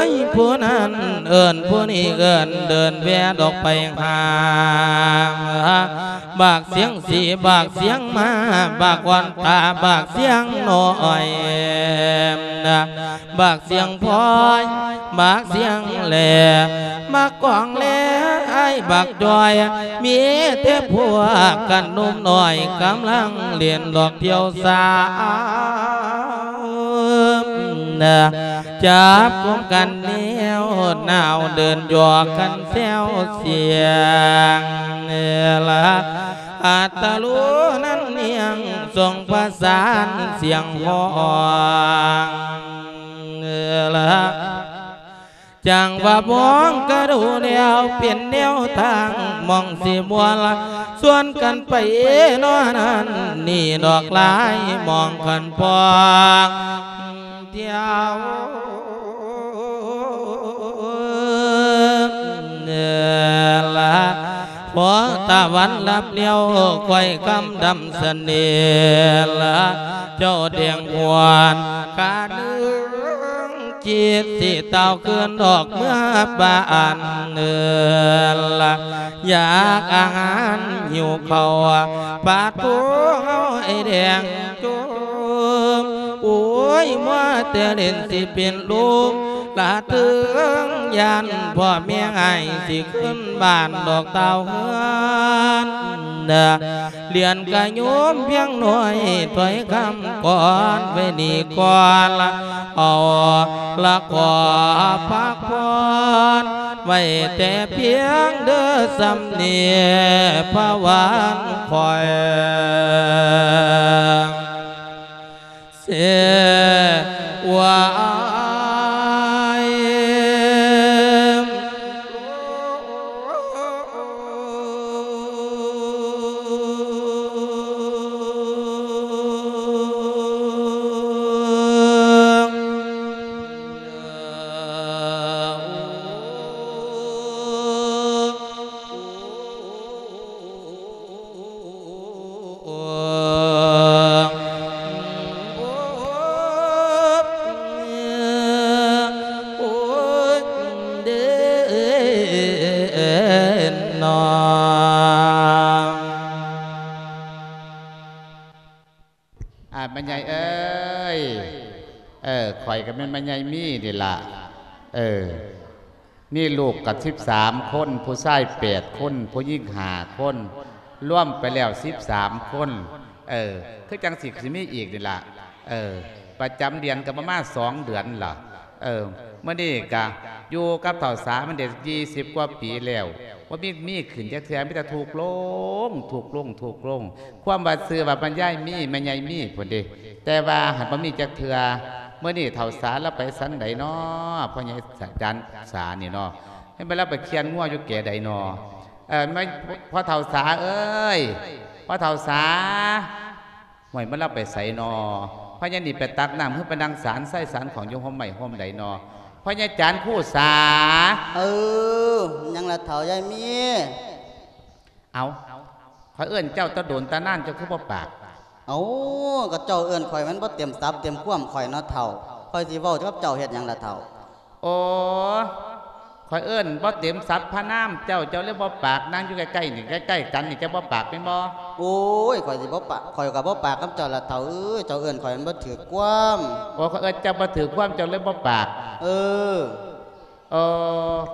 ຍ ຜູ້ນັ້ນເອີ້ນ ຜູ້ນີ້ເອີ້ນ ເດີນແວ່ດອກໄປຫາ ບັກສຽງສີ ບັກສຽງມ້າ ບັກອ່ອນຕາ ບັກສຽງນ້ອຍນະ ບັກສຽງພອຍ ບັກສຽງແຫຼ ມາກອງແລອ້າຍບັກຈ້ອຍ ມີແຕ່ພວກກັນໜຸ່ມນ້ອຍ ກຳລັງຫຼິ້ນດອກທ່ຽວສາວ ຈັບກຸມກັນແນວໜາວ ເດີນຢອກກັນແຊວສຽງ ລະ ອັດຕະໂລນັ້ນນຽງ ສົ່ງປະສານສຽງຮ້ອງ ລະ ຈັ່ງວ່າມອງກະດູແລ້ວ ເປັນແນວທາງໝ່ອງຊິມ່ວນ ຊວນກັນໄປນອນນັ້ນນີ້ດອກຫຼາຍ ມອງຄັນພອງທ່ຽວ ລະ ພໍຕາວັນລັບແລ້ວ ຂ້ອຍຄຳດຳສະເໜ່ລະ ເຈົ້າແດງຫວນກະນຶງ ຈິດຊິຕ່າວຄືນອອກເມືອບ້ານເນີລະ ຢາກອາຫານຫິວເຂົ້າ ປາໂທເຮົາໄອ້ແດງ ໂອ້ຍ ມົວແຕ່ຫຼິ້ນຊິເປັນລົມລະເທີງ ຢ້ານພໍ່ແມ່ອ້າຍຊິຂຶ້ນບ້ານດອກຕ່າວເຮືອນ ລຽນກະໂຍມພຽງໜ້ອຍ ຖ້ອຍຄຳກ່ອນໄວ້ນີ້ກ່ອນ ເອົາລະຂໍພັກຜ່ອນ ໄວ້ແຕ່ພຽງເດີສ່ຳນີ້ ພະວານຂ້ອຍ ເສວາຍ. ອາ ແມ່ໃຫຍ່ເອີຍ ເອີ ຂ້ອຍກໍແມ່ນແມ່ໃຫຍ່ມີນີ້ລະ ເອີ ມີລູກກໍສິບສາມຄົນ ຜູ້ຊາຍແປດຄົນ ຜູ້ຍິງຫ້າຄົນ ລວມໄປແລ້ວສິບສາມຄົນ ເອີ ຄືຈັ່ງຊິ ຊິມີອີກນີ້ລະ ເອີ ປະຈຳເດືອນກໍປະມານສອງເດືອນລະ ເອີ ມື້ນີ້ກະຢູ່ກັບເຖົ້າສາມາໄດ້ຊາວກວ່າປີແລ້ວ ບໍ່ມີ ມີຂຶ້ນຈັກເທື່ອ ມີແຕ່ທຸກລົງ ທຸກລົງ ທຸກລົງ ຄວາມວ່າຊື່ວ່າແມ່ຍາຍມີ ແມ່ໃຫຍ່ມີພຸ້ນເດ ແຕ່ວ່າຫັນບໍ່ມີຈັກເທື່ອ. ມື້ນີ້ເຖົ້າສາລາວໄປສັນໃດນໍ ພໍ່ໃຫຍ່ ອາຈານສານີ້ນໍ ໃຫ້ແມ່ນລາວໄປຄ້ຽນງົວຢູ່ແກໃດນໍ ເອີ ມາ ພໍ່ເຖົ້າສາເອີຍ ພໍ່ເຖົ້າສາ. ຫ້ວຍ ມັນລາວໄປໃສນໍ ພະຍານີ້ໄປຕັກນ້ຳ ຫຼືໄປນັ່ງສານໄຊສານຂອງຢູ່ຮົ່ມໄມ້ຮົ່ມໃດນໍ ພະຍາຈານຄູສາ. ເອີ ຫຍັງລະເຖົ້າຍາຍມີ? ເອົາ ຂ້ອຍເອີ້ນເຈົ້າຕະດົນຕະນານ ເຈົ້າຄືບໍ່ປາກ? ເອົາ ກໍເຈົ້າເອີ້ນຂ້ອຍມັນບໍ່ເຕັມສັບເຕັມຄວາມຂ້ອຍເນາະເຖົ້າ ຂ້ອຍຊິເວົ້າກັບເຈົ້າເຮັດຫຍັງລະເຖົ້າ? ໂອ້ ຂ້ອຍເອີ້ນບໍ່ເຕັມສັບພະນາມເຈົ້າ ເຈົ້າເລີຍບໍ່ປາກ ນັ່ງຢູ່ໃກ້ໆນີ້ ໃກ້ໆກັນນີ້ ເຈົ້າບໍ່ປາກແມ່ນບໍ່? ໂອ້ຍ ຂ້ອຍຊິບໍ່ປາກ ຂ້ອຍກໍບໍ່ປາກກັບເຈົ້າລະເຖົ້າເອີຍ ເຈົ້າເອີ້ນຂ້ອຍມັນບໍ່ຖືກຄວາມ. ໂອ້ ຂ້ອຍເອີ້ນເຈົ້າບໍ່ຖືກຄວາມ ເຈົ້າເລີຍບໍ່ປາກ. ເອີ ເອີ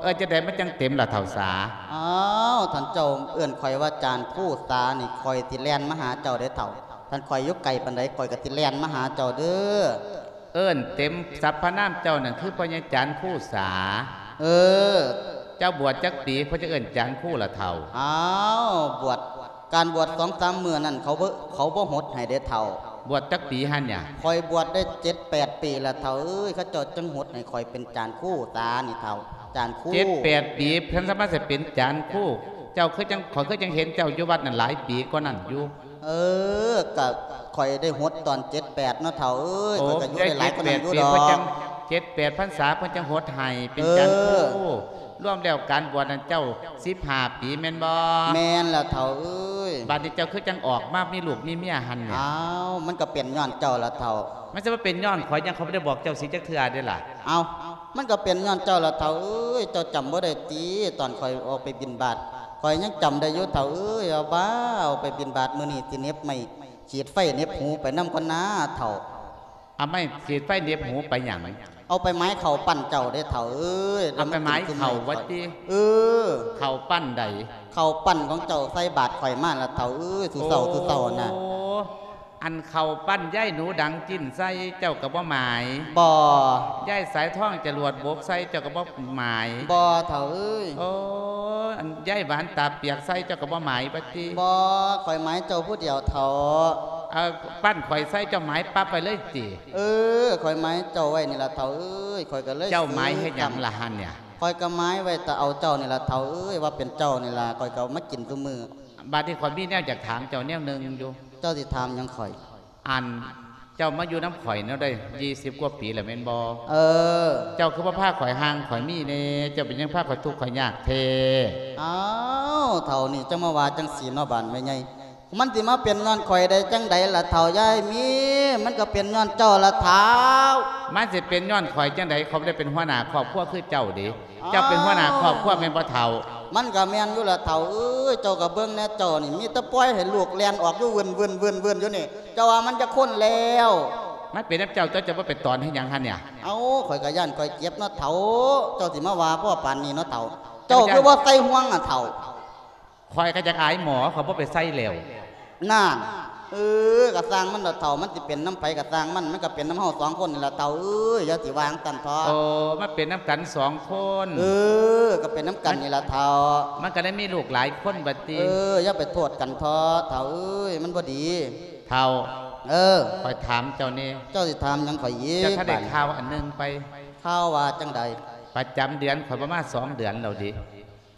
ເອີ້ນຈັ່ງໃດມັນຈັ່ງເຕັມລະເຖົ້າສາ? ອ້າວ ທ່ານເຈົ້າເອີ້ນຂ້ອຍວ່າຈານຄູສານີ້ ຂ້ອຍຊິແລ່ນມາຫາເຈົ້າເດ້ເຖົ້າ ທ່ານຂ້ອຍຢູ່ໄກປານໃດ ຂ້ອຍກໍຊິແລ່ນມາຫາເຈົ້າເດີ້. ເອີ້ນເຕັມສັບພະນາມເຈົ້ານັ້ນຄືພໍ່ໃຫຍ່ຈານຄູສາ. ເອີ ເຈົ້າບວດຈັກປີ ເພິ່ນຈັ່ງເອີ້ນຈານຄູລະເຖົ້າ? ອ້າວ ບວດ ການບວດສອງສາມມື້ນັ້ນ ເຂົາບໍ່ ເຂົາບໍ່ຫົດໃຫ້ເດ້ເຖົ້າ. ບວດຈັກປີຫັ້ນຫຍາ? ຂ້ອຍບວດໄດ້ເຈັດແປດປີລະເຖົ້າເອີຍ ເຂົາເຈົ້າຈຶ່ງຫົດໃຫ້ຂ້ອຍເປັນຈານຄູສານີ້ເຖົ້າ ຈານຄູ. ເຈັດແປດປີ ເພິ່ນສາມາດຊິເປັນຈານຄູ ເຈົ້າຄືຈັ່ງ ຂ້ອຍຄືຈັ່ງເຫັນເຈົ້າຢູ່ວັດນັ້ນຫຼາຍປີກວ່ານັ້ນຢູ່. ເອີ ກະຂ້ອຍໄດ້ຫົດຕອນເຈັດແປດເນາະເຖົ້າເອີຍ. ໂອ້ ຂ້ອຍກະຢູ່ໄດ້ຫຼາຍກວ່ານັ້ນຢູ່ດອກ ເຈັດແປດພັນສາເພິ່ນຈັ່ງຫົດໃຫ້ເປັນຈານຄູ. ເອີ ລວມແລ້ວການບວດນັ້ນເຈົ້າສິບຫ້າປີແມ່ນບໍ່? ແມ່ນແລ້ວເຖົ້າເອີຍ. ບາດນີ້ເຈົ້າຄືຈັ່ງອອກມາມີລູກມີເມຍຫັ້ນນີ້? ອ້າວ ມັນກະເປັນຍ້ອນເຈົ້າລະເຖົ້າ. ມັນຊິມາເປັນຍ້ອນຂ້ອຍຫຍັງ ຂ້ອຍບໍ່ໄດ້ບອກເຈົ້າສິຈັກເທື່ອເດ້ລະ. ເອົ້າ ມັນກະເປັນຍ້ອນເຈົ້າລະເຖົ້າເອີຍ. ເຈົ້າຈຳບໍ່ໄດ້ຕິ ຕອນຂ້ອຍອອກໄປບິນບາດ ຂ້ອຍຍັງຈຳໄດ້ຢູ່ເຖົ້າເອີຍ. ເອົາບ້າ ອອກໄປບິນບາດ ມື້ນີ້ຊິເໜັບໄມ້ ຂີດໄຟເໜັບຫູໄປນຳກ່ອນນາເຖົ້າ. ເອົາໄມ້ຂີດໄຟເໜັບຫູໄປຫຍັງ? ເອົາໄປໝາຍເຂົ້າປັ້ນເຈົ້າເດ້ເຖົ້າເອີຍ. ເອົາໄປໝາຍເຂົ້າວ່າຕິ? ເອີ ເຂົ້າປັ້ນໃດ? ເຂົ້າປັ້ນຂອງເຈົ້າໃສ່ບາດຂ້ອຍມາລະເຖົ້າເອີຍ ສູ່ເຊົ້າ ໂອ້ ສູ່ເຊົ້ານະ. ອັນເຂົ້າປັ້ນຍາຍໜູດັງຈິ້ນໃສ່ເຈົ້າກໍບໍ່ໝາຍ? ບໍ່. ຍາຍສາຍທອງຈະຫຼວດບົກໃສ່ເຈົ້າກໍບໍ່ໝາຍ? ບໍ່ເຖົ້າເອີຍ. ໂອ້ ອັນຍາຍຫວານຕາປຽກໃສ່ເຈົ້າກໍບໍ່ໝາຍວ່າຕິ? ບໍ່ ຂ້ອຍໝາຍເຈົ້າຜູ້ດຽວເຖົ້າ. ເອົາປັ້ນຂ້ອຍໃສ່ເຈົ້າໝາຍປັບໄວ້ເລີຍຕິ? ເອີ ຂ້ອຍໝາຍເຈົ້າໄວ້ນີ້ລະເຖົ້າເອີຍ. ຂ້ອຍກໍເລີຍ ເຈົ້າໝາຍເຮັດຫຍັງລະຫັ້ນເນຍ? ຂ້ອຍກໍໝາຍໄວ້ແຕ່ເອົາເຈົ້ານີ້ລະເຖົ້າເອີຍ ວ່າເປັນເຈົ້ານີ້ລະ ຂ້ອຍກໍເອົາມາກິນຊຸມື້. ບາດນີ້ຂ້ອຍມີແນວຢາກຖາມເຈົ້າແນວໜຶ່ງຢູ່. ເຈົ້າຊິຖາມຫຍັງຂ້ອຍ? ອັນ ເຈົ້າມາຢູ່ນຳຂ້ອຍແນວໄດ້ ຊາວກວ່າປີແລ້ວແມ່ນບໍ່? ເອີ ເຈົ້າຄືບໍ່ພາຂ້ອຍຮັ່ງຂ້ອຍມີແດ່? ເຈົ້າເປັນຫຍັງພາຂ້ອຍທຸກຂ້ອຍຍາກແທ້? ອ້າວ ເຖົ້ານີ້ ຈັ່ງມາວ່າຈັ່ງຊີ້ເນາະ ບາດແມ່ໃຫຍ່ ມັນຊິມາເປັນຍ້ອນຂ້ອຍໄດ້ຈັ່ງໃດລະເຖົ້າ ຢ່າໃຫ້ມີ ມັນກໍເປັນຍ້ອນເຈົ້າລະເຖົ້າ. ມັນຊິເປັນຍ້ອນຂ້ອຍຈັ່ງໃດ? ຂ້ອຍບໍ່ໄດ້ເປັນຫົວໜ້າຄອບຄົວຄືເຈົ້າເດ. ອ້າວ ເຈົ້າເປັນຫົວໜ້າຄອບຄົວແມ່ນບໍ່ເຖົ້າ? ມັນກໍແມ່ນຢູ່ລະເຖົ້າເອີຍ ເຈົ້າກໍເບິ່ງແດ່ ເຈົ້ານີ້ມີແຕ່ປ່ອຍໃຫ້ລູກແລ່ນອອກຢູ່ວືນໆໆໆຢູ່ນີ້ ເຈົ້າວ່າມັນຈັກຄົນແລ້ວ? ມັນເປັນນຳເຈົ້າຕົວະ ເຈົ້າບໍ່ໄປຕອນເຮັດຫຍັງຫັ້ນເນຍ? ເອົ້າ ຂ້ອຍກໍຢ້ານຂ້ອຍເຈັບເນາະເຖົ້າ ເຈົ້າຊິມາວ່າພໍປານນີ້ເນາະເຖົ້າ ເຈົ້າຄືບໍ່ໃສ່ຫ່ວງອະເຖົ້າ? ຂ້ອຍກໍຢາກອາຍໝໍ ຂ້ອຍບໍ່ໄປໃສ່ແລ້ວ. ນັ້ນ ເອີ ກໍຊ່າງມັນເຖາະເຖົ້າ ມັນຊິເປັນນຳໃຜກໍຊ່າງມັນ ມັນກໍເປັນນຳເຮົາສອງຄົນນີ້ລະເຖົ້າເອີຍ ຢ່າຊິວ່າຈັ່ງຊັ້ນເຖາະ. ໂອ້ ມັນເປັນນຳກັນສອງຄົນ. ເອີ ກໍເປັນນຳກັນນີ້ລະເຖົ້າ. ມັນກໍໄດ້ມີລູກຫຼາຍຄົນບັດຕິ. ເອີ ຢ່າໄປໂທດກັນເຖາະເຖົ້າເອີຍ ມັນບໍ່ດີ. ເຖົ້າ ເອີ ຂ້ອຍຖາມເຈົ້າແດ່. ເຈົ້າຊິຖາມຫຍັງຂ້ອຍອີກ? ເຈົ້າຖ້າໄດ້ຂ່າວອັນໜຶ່ງໄປ. ຂ່າວວ່າຈັ່ງໃດ? ປະຈຳເດືອນຂ້ອຍບໍ່ມາສອງເດືອນແລ້ວເດ.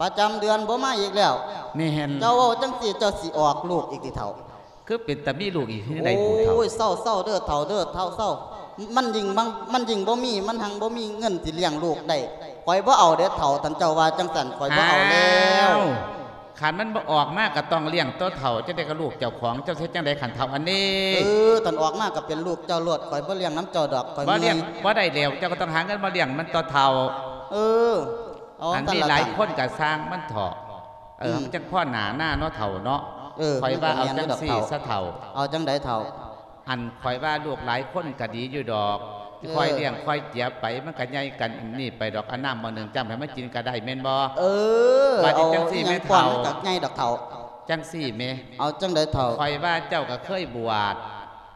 ປະຈຳເດືອນບໍ່ມາອີກແລ້ວ. ແມ່ນ. ເຈົ້າເວົ້າຈັ່ງຊີ້ ເຈົ້າຊິອອກລູກອີກຕິເຖົ້າ? ຄືເປັນຕາມີລູກອີກຄືໃດບຸເຖົ້າ? ໂອ້ຍ ເຊົາໆເດີເຖົ້າເດີ ເຖົ້າເຊົາ. ມັນຍິ່ງ ມັນ ມັນຍິ່ງບໍ່ມີ ມັນຮັ່ງບໍ່ມີເງິນຊິລ້ຽງລູກໄດ້. ຂ້ອຍບໍ່ເອົາເດ້ເຖົ້າ ຄັນເຈົ້າວ່າຈັ່ງຊັ້ນ ຂ້ອຍບໍ່ເອົາແລ້ວ. ອ້າວ ຄັນມັນບໍ່ອອກມາກໍຕ້ອງລ້ຽງຕົວເຖົ້າ ຈັ່ງໃດກໍລູກເຈົ້າຂອງ. ເຈົ້າຊິເຮັດຈັ່ງໃດຄັນເຖົ້າອັນນີ້? ເອີ ຄັນອອກມາກໍເປັນລູກເຈົ້າໂລດ ຂ້ອຍບໍ່ລ້ຽງນຳເຈົ້າດອກ ຂ້ອຍເມື່ອຍ. ບໍ່ລ້ຽງບໍ່ໄດ້ແລ້ວ ເຈົ້າກໍຕ້ອງຫາເງິນມາລ້ຽງມັນຕົວະເຖົ້າ. ເອີ ເອົາ ອັນນີ້ຫຼາຍຄົນກໍຊ່າງມັນເຖາະ. ເອີ ມັນຈັ່ງພໍໜ້ານາເນາະເຖົ້າເນາະ. ເອີ ຂ້ອຍວ່າເອົາຈັ່ງຊີ້ຊະເຖົ້າ. ເອົາຈັ່ງໃດເຖົ້າ? ອັນຂ້ອຍວ່າລູກຫຼາຍຄົນກໍດີຢູ່ດອກ. ເອີ ຂ້ອຍລ້ຽງຂ້ອຍເຈຍໄປ ມັນກໍໃຫຍ່ກັນອັນນີ້ໄປດອກ. ເອົານ້ຳໝໍ້ໜຶ່ງຈ້ຳໃຫ້ມັນກິນກໍໄດ້ແມ່ນບໍ່? ເອີ ບາດນີ້ຈັ່ງຊີ້ແມ່ເຖົ້າ. ມັນກໍໃຫຍ່ດອກເຖົ້າ. ຈັ່ງຊີ້ແມ່. ເອົາຈັ່ງໃດເຖົ້າ? ຂ້ອຍວ່າເຈົ້າກໍເຄີຍບວດ.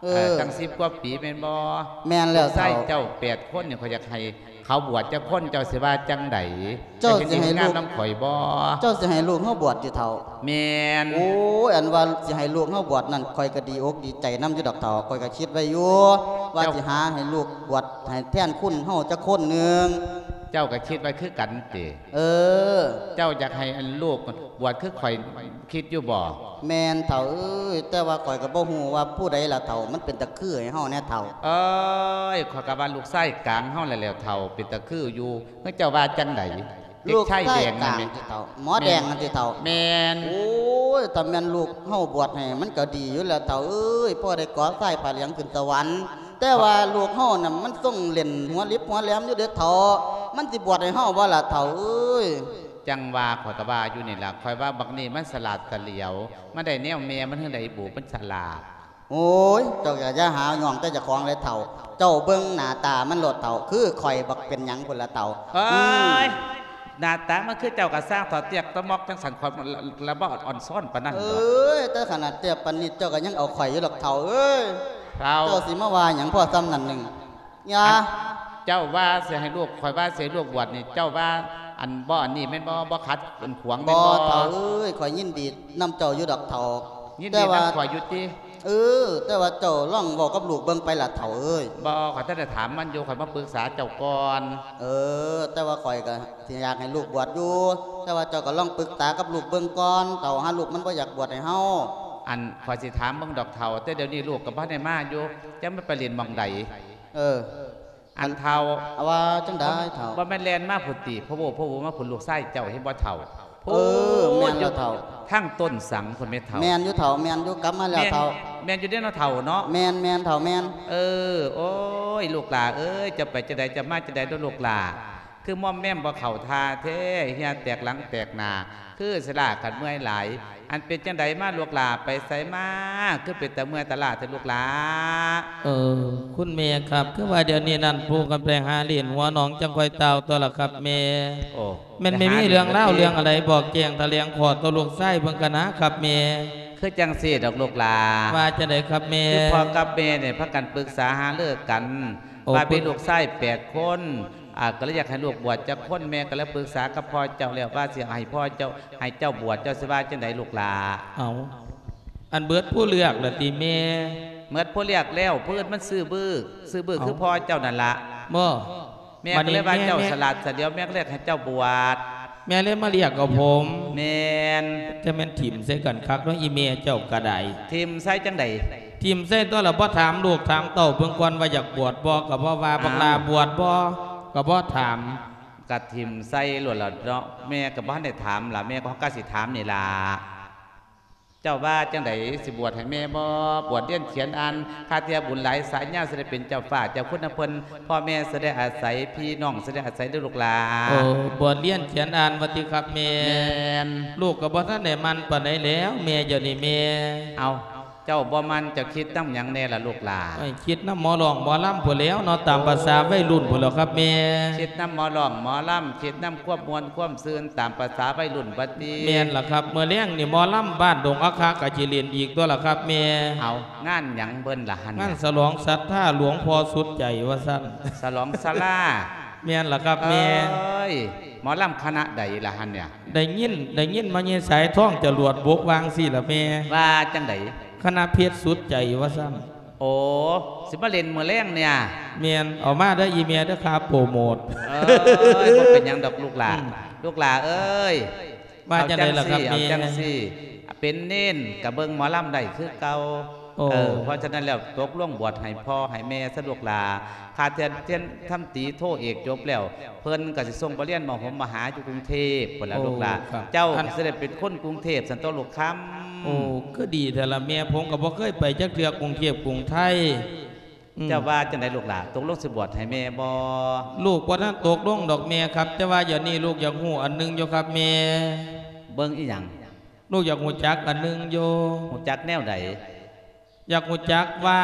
ເອີ ເອີ ຕັ້ງສິບກວ່າປີແມ່ນບໍ່? ແມ່ນແລ້ວເຖົ້າ. ລູກຊາຍເຈົ້າແປດຄົນນີ້ ຂ້ອຍຢາກໃຫ້ເຂົາບວດຈັກຄົນ ເຈົ້າຊິວ່າຈັ່ງໃດ? ເຈົ້າຊິໃຫ້ລູກ ເຈົ້າຊິເຮັດງານນຳຂ້ອຍບໍ່? ເຈົ້າຊິໃຫ້ລູກເຮົາບວດຕິເຖົ້າ? ແມ່ນ. ໂອ້ຍ ອັນວ່າຊິໃຫ້ລູກເຮົາບວດນັ້ນ ຂ້ອຍກໍດີອົກດີໃຈນຳຢູ່ດອກເຖົ້າ. ຂ້ອຍກໍຄິດໄວ້ຢູ່ວ່າ ເຈົ້າ ຊິຫາໃຫ້ລູກບວດໃຫ້ແທນຄຸນເຮົາຈັກຄົນໜຶ່ງ. ເຈົ້າກໍຄິດໄວ້ຄືກັນຕິ? ເອີ ເຈົ້າຢາກໃຫ້ອັນລູກບວດຄືຂ້ອຍຄິດຢູ່ບໍ່? ແມ່ນເຖົ້າເອີຍ ແຕ່ວ່າຂ້ອຍກໍບໍ່ຮູ້ວ່າຜູ້ໃດລະເຖົ້າ ມັນເປັນຕາຄືໃຫ້ເຮົາແດ່ເຖົ້າ. ເອີຍ ຂ້ອຍກໍວ່າລູກຊາຍກາງເຮົາແຫຼະແລ້ວເຖົ້າ ເປັນຕາຄືຢູ່. ເອີ ເຈົ້າວ່າຈັ່ງໃດ? ລູກຊາຍກາງຕິເຖົ້າ? ໝໍແດງນັ້ນຕິເຖົ້າ? ແມ່ນ. ໂອ້ຍ ຖ້າແມ່ນລູກເຮົາບວດໃຫ້ ມັນກໍດີຢູ່ແລ້ວເຖົ້າເອີຍ ພໍໄດ້ເກາະຊາຍຜ້າເຫຼືອງຂຶ້ນສະຫວັນ. ແຕ່ວ່າລູກເຮົານະ ມັນຊົງເຫຼັ້ນຫົວລິບຫົວແຫຼມຢູ່ເດ້ເຖົ້າ. ມັນຊິບວດໃຫ້ເຮົາບໍ່ລະເຖົ້າເອີຍ? ຈັ່ງວ່າ ຂ້ອຍກໍວ່າຢູ່ນີ້ລະ ຂ້ອຍວ່າບັກນີ້ມັນສະຫຼາດສະຫຼຽວ ມັນໄດ້ແນວແມ່ມັນເຖິງໄດ້ບຸ ມັນສະຫຼາດ. ໂອ້ຍ ເຈົ້າກໍຢ່າຫາຍ້ອງແຕ່ເຈົ້າຂອງເລີຍເຖົ້າ. ເຈົ້າເບິ່ງໜ້າຕາມັນໂລດເຖົ້າ ຄືຂ້ອຍບັກເປັນຫຍັງພຸ້ນລະເຖົ້າ. ເອີຍ ອືມ ໜ້າຕາມັນຄືເຈົ້າກໍຊ່າງເຖົ້າ ຕຽກຕະໝອກຈັ່ງຊັ້ນ ຂ້ອຍລະບໍ່ອ່ອນຊ້ອນປານນັ້ນດອກ. ເອີຍ ແຕ່ຂະໜາດເຕ້ຍປານນີ້ເຈົ້າກໍຍັງເອົາຂ້ອຍຢູ່ດອກເຖົ້າເອີຍ. ເຖົ້າ ເຈົ້າຊິມາວ່າຫຍັງພໍສ່ຳນັ້ນໜຶ່ງ? ຢ່າ ອັນ ເຈົ້າວ່າຊິໃຫ້ລູກ ຂ້ອຍວ່າຊິໃຫ້ລູກບວດນີ້ ເຈົ້າວ່າອັນບໍ່ອັນນີ້ແມ່ນບໍ່? ບໍ່ຂັດ ອັນຂວາງແມ່ນບໍ່? ບໍ່ເຖົ້າເອີຍ ຂ້ອຍຍິນດີນຳເຈົ້າຢູ່ດອກເຖົ້າ. ຍິນດີນຳຂ້ອຍຢູ່ຕິ? ເອີ ແຕ່ວ່າເຈົ້າລອງເວົ້າກັບລູກເບິ່ງໄປລະເຖົ້າເອີຍ. ບໍ່ ຂ້ອຍທັນໄດ້ຖາມມັນຢູ່ ຂ້ອຍມາປຶກສາເຈົ້າກ່ອນ. ເອີ ແຕ່ວ່າຂ້ອຍກໍ ຊິຢາກໃຫ້ລູກບວດຢູ່ ແຕ່ວ່າເຈົ້າກໍລອງປຶກສາກັບລູກເບິ່ງກ່ອນເຖົ້າ ຫາລູກມັນບໍ່ຢາກບວດໃຫ້ເຮົາ. ອັນ ຂ້ອຍຊິຖາມເບິ່ງດອກເຖົ້າ ແຕ່ດຽວນີ້ລູກກໍບໍ່ໄດ້ມາຢູ່ ຈັກມັນໄປຫຼິ້ນໝ່ອງໃດ. ເອີ ອັນເຖົ້າ ວ່າຈັ່ງໃດເຖົ້າ? ບໍ່ແມ່ນແລ່ນມາພຸ້ນຕິ ພະໂວພະໂວມາພຸ້ນ ລູກຊາຍເຈົ້າ ເຫັນບໍ່ເຖົ້າ? ເອີ ແມ່ນແລ້ວເຖົ້າ ທາງຕົ້ນສັງພຸ້ນແມ່ເຖົ້າ. ແມ່ນຢູ່ເຖົ້າ ແມ່ນຢູ່ ກັບມາແລ້ວເຖົ້າ. ແມ່ນ ແມ່ນຢູ່ເດ້ເນາະເຖົ້າເນາະ. ແມ່ນ ແມ່ນເຖົ້າ ແມ່ນ. ເອີ ໂອ້ຍ ລູກຫຼ້າເອີຍ ເຈົ້າໄປຈັ່ງໃດ ເຈົ້າມາຈັ່ງໃດເນາະລູກຫຼ້າ? ຄືມອມແມມບໍ່ເຂົ້າທ່າແທ້ ເຫື່ອແຕກຫຼັງແຕກໜ້າ ຄືສະຫຼ້າຄັນເມື່ອຍຫຼາຍ. ອັນເປັນຈັ່ງໃດມາລູກຫຼ້າ ໄປໃສມາ ຄືເປັນຕາເມື່ອຍຕາລ້າແທ້ລູກຫຼ້າ? ເອີ ຄຸນແມ່ຄັບ ຄືວ່າດຽວນີ້ນັ້ນ ປູກັນໄປຫາຫຼິ້ນຫົວໜອງ ຈັ່ງຄ່ອຍຕ່າວຕົວລະຄັບແມ່. ໂອ້ ແມ່ນ ແມ່ນມີເລື່ອງລາວເລື່ອງອັນໃດ ບອກແຈ້ງຖະແຫຼງຂໍ້ຕໍ່ລູກຊາຍເບິ່ງກະນາຄັບແມ່. ຄືຈັ່ງຊີ້ດອກລູກຫຼ້າ. ວ່າຈັ່ງໃດຄັບແມ່? ຄືພໍ່ກັບແມ່ນີ້ພາກັນປຶກສາຫາລືກັນ ໂອ້ ວ່າມີລູກຊາຍແປດຄົນ ອາ ກໍເລີຍຢາກໃຫ້ລູກບວດຈັກຄົນ ແມ່ກໍເລີຍປຶກສາກັບພໍ່ເຈົ້າແລ້ວວ່າຊິໃຫ້ພໍ່ເຈົ້າ ໃຫ້ເຈົ້າບວດ ເຈົ້າຊິວ່າຈັ່ງໃດລູກຫຼ້າ? ເອົາ ອັນເບີດຜູ້ເລືອກລະຕິແມ່? ເບີດຜູ້ເລືອກແລ້ວ ຜູ້ອື່ນມັນຊື່ບຶກ ຊື່ບຶກ ເອົ້າ ຄືພໍ່ເຈົ້ານັ້ນລະ. ບໍ່ ແມ່ກໍເລີຍວ່າ ບາດນີ້ແມ່ ເຈົ້າສະຫຼາດສະຫຼຽວ ແມ່ກໍເລີຍໃຫ້ເຈົ້າບວດ. ແມ່ເລີຍມາລຽກເອົາຜົມ. ແມ່ນ. ແຕ່ແມ່ນຖິ້ມໃສ່ກັນຄັກເນາະ ອີ່ແມ່ເຈົ້າກໍໄດ້. ຖິ້ມໃສ່ຈັ່ງໃດ? ຖິ້ມໃສ່ຕົວລະ ບໍ່ຖາມລູກຖາມເຕົ້າເບິ່ງກ່ອນວ່າຢາກບວດບໍ່ ກໍບໍ່ວ່າ. ອ້າວ ບັກຫຼ້າບວດບໍ່ ກໍບໍ່ຖາມ. ກະຖິ້ມໃສ່ໂລດລະເນາະ. ແມ່ກໍບໍ່ທັນໄດ້ຖາມລະ ແມ່ກໍ ກໍຊິຖາມນີ້ລະ. ເຈົ້າວ່າຈັ່ງໃດ ຊິບວດໃຫ້ແມ່ບໍ່? ບວດຮຽນຂຽນອ່ານ ຄາເທື່ອບຸນຫຼາຍສາຍຍາ ຊິໄດ້ເປັນເຈົ້າຟ້າເຈົ້າຄຸນນຳເພິ່ນ ພໍ່ແມ່ຊິໄດ້ອາໄສ ພີ່ນ້ອງຊິໄດ້ອາໄສເດີລູກຫຼາ. ໂອ້ ບວດຮຽນຂຽນອ່ານວ່າຕິຄັບແມ່? ແມ່ນ. ລູກກໍບໍ່ທັນໄດ້ໝັ້ນປານໃດແລ້ວແມ່ ດຽວນີ້ແມ່. ເອົ້າ ເຈົ້າບໍ່ໝັ້ນ ເຈົ້າຄິດນຳຫຍັງແດ່ລະລູກຫຼາ? ໂອ້ຍ ຄິດນຳໝໍຮ້ອງໝໍລຳພຸ້ນແຫຼ້ວເນາະ ຕາມປະສາໄວລຸ້ນພຸ້ນແຫຼ້ວຄັບແມ່. ໂອ້ ຄິດນຳໝໍຮ້ອງໝໍລຳ ຄິດນຳຄວາມມ່ວນຄວາມຊື່ນ ຕາມປະສາໄວລຸ້ນບັດນີ້. ແມ່ນລະຄັບ ມື້ແລງນີ້ໝໍລຳບ້ານດົງອາຄາກະຊິຫຼິ້ນອີກຕົວລະຄັບແມ່. ເອົ້າ ງານຫຍັງເພິ່ນລະຫັ້ນ? ງານສະຫຼອງສັດທາຫຼວງພໍ່ສຸດໃຈວ່າຊັ້ນ. ສະຫຼອງສາລາ? ແມ່ນລະຄັບແມ່. ເອີຍ ໝໍລຳຄະນະໃດລະຫັ້ນເນຍ? ໄດ້ຍິນ ໄດ້ຍິນມາຍາຍສາຍທອງຈະຫຼວດບົກວ່າຈັ່ງຊີ້ລະແມ່. ວ່າຈັ່ງໃດ? ຄະນະເພັດສຸດໃຈວ່າຊັ້ນ. ໂອ້ ຊິມາຫຼິ້ນມື້ແລງເນຍ? ແມ່ນ. ເອົາມາເດີອີ່ແມ່ເດີ ຄ່າໂປຣໂມດ. ເອີຍ ບໍ່ເປັນຫຍັງດອກລູກຫຼາ. ອືມ ລູກຫຼາເອີຍ ວ່າຈັ່ງໃດລະຄັບແມ່? ເອົາຈັ່ງຊີ້ ເປັນເນນກໍເບິ່ງໝໍລຳໄດ້ຄືເກົ່າ. ໂອ້ ເອີ ເພາະສະນັ້ນແລ້ວ ຕົກລົງບວດໃຫ້ພໍ່ໃຫ້ແມ່ຊະລູກຫຼາ. ຂ້າທ່ານ ທ່ານທຳຕີໂທເອກຈົບແລ້ວ ເພິ່ນກໍຊິສົ່ງໄປຮຽນມະຫົມມະຫາຢູ່ກຸງເທບພຸ້ນລະລູກຫຼາ. ໂອ້ ຄັບ. ເຈົ້າ ອັນ ກໍຊິໄດ້ເປັນຄົນກຸງເທບຊັ້ນຕົວະລູກຄຳ. ໂອ້ ຄືດີແທ້ລະແມ່ ຜົມກໍບໍ່ເຄີຍໄປຈັກເທື່ອກຸງເທບກຸງໄທ. ອືມ ເຈົ້າວ່າຈັ່ງໃດລູກຫຼາ ຕົກລົງຊິບວດໃຫ້ແມ່ບໍ່? ລູກບໍ່ທັນຕົກລົງດອກແມ່ຄັບ ແຕ່ວ່າດຽວນີ້ລູກຢາກຮູ້ອັນໜຶ່ງຢູ່ຄັບແມ່. ເບິ່ງອີ່ຫຍັງ? ລູກຢາກຮູ້ຈັກອັນໜຶ່ງຢູ່. ຮູ້ຈັກແນວໃດ? ຢາກຮູ້ຈັກວ່າ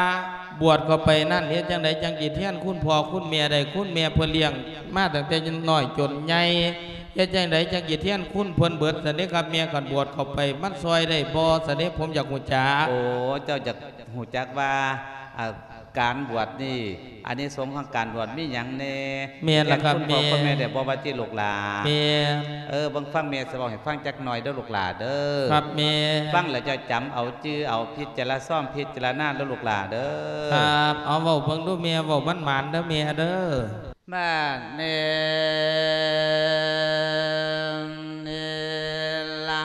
ບວດເຂົ້າໄປນັ້ນ ເຮັດຈັ່ງໃດຈັ່ງຊິແທນຄຸນພໍ່ຄຸນແມ່ໄດ້? ຄຸນແມ່ເພິ່ນລ້ຽງມາຕັ້ງແຕ່ນ້ອຍຈົນໃຫຍ່ ເຮັດຈັ່ງໃດຈັ່ງຊິແທນຄຸນເພິ່ນເບິດຊັ້ນເດຄັບແມ່? ຄັນບວດເຂົ້າໄປມັນຊ່ອຍໄດ້ບໍ່ຊັ້ນເດ? ຜົມຢາກຮູ້ຈັກ. ໂອ້ ເຈົ້າຢາກຮູ້ຈັກວ່າ ອາ ການບວດນີ້ ອານິສົງຂອງການບວດມີຫຍັງແດ່? ແມ່ນລະຄັບແມ່. ແທນຄຸນພໍ່ຄຸນແມ່ໄດ້ບໍ່ວ່າຕິລູກຫຼາ? ແມ່ນ. ເອີ ເບິ່ງຟັງແມ່ຊິເວົ້າໃຫ້ຟັງຈັກໜ່ອຍເດີລູກຫຼາເດີ. ຄັບແມ່. ຟັງແລ້ວເຈົ້າຈຳເອົາ ຈື່ເອົາ ພິຈາລະຊອມ ພິຈາລະນາເດີລູກຫຼາເດີ. ຄັບ. ເອົາເວົ້າເບິ່ງດູແມ່ ເວົ້າໝານໆເດີແມ່ເດີ. ບາດນີ້ນີ້ລະ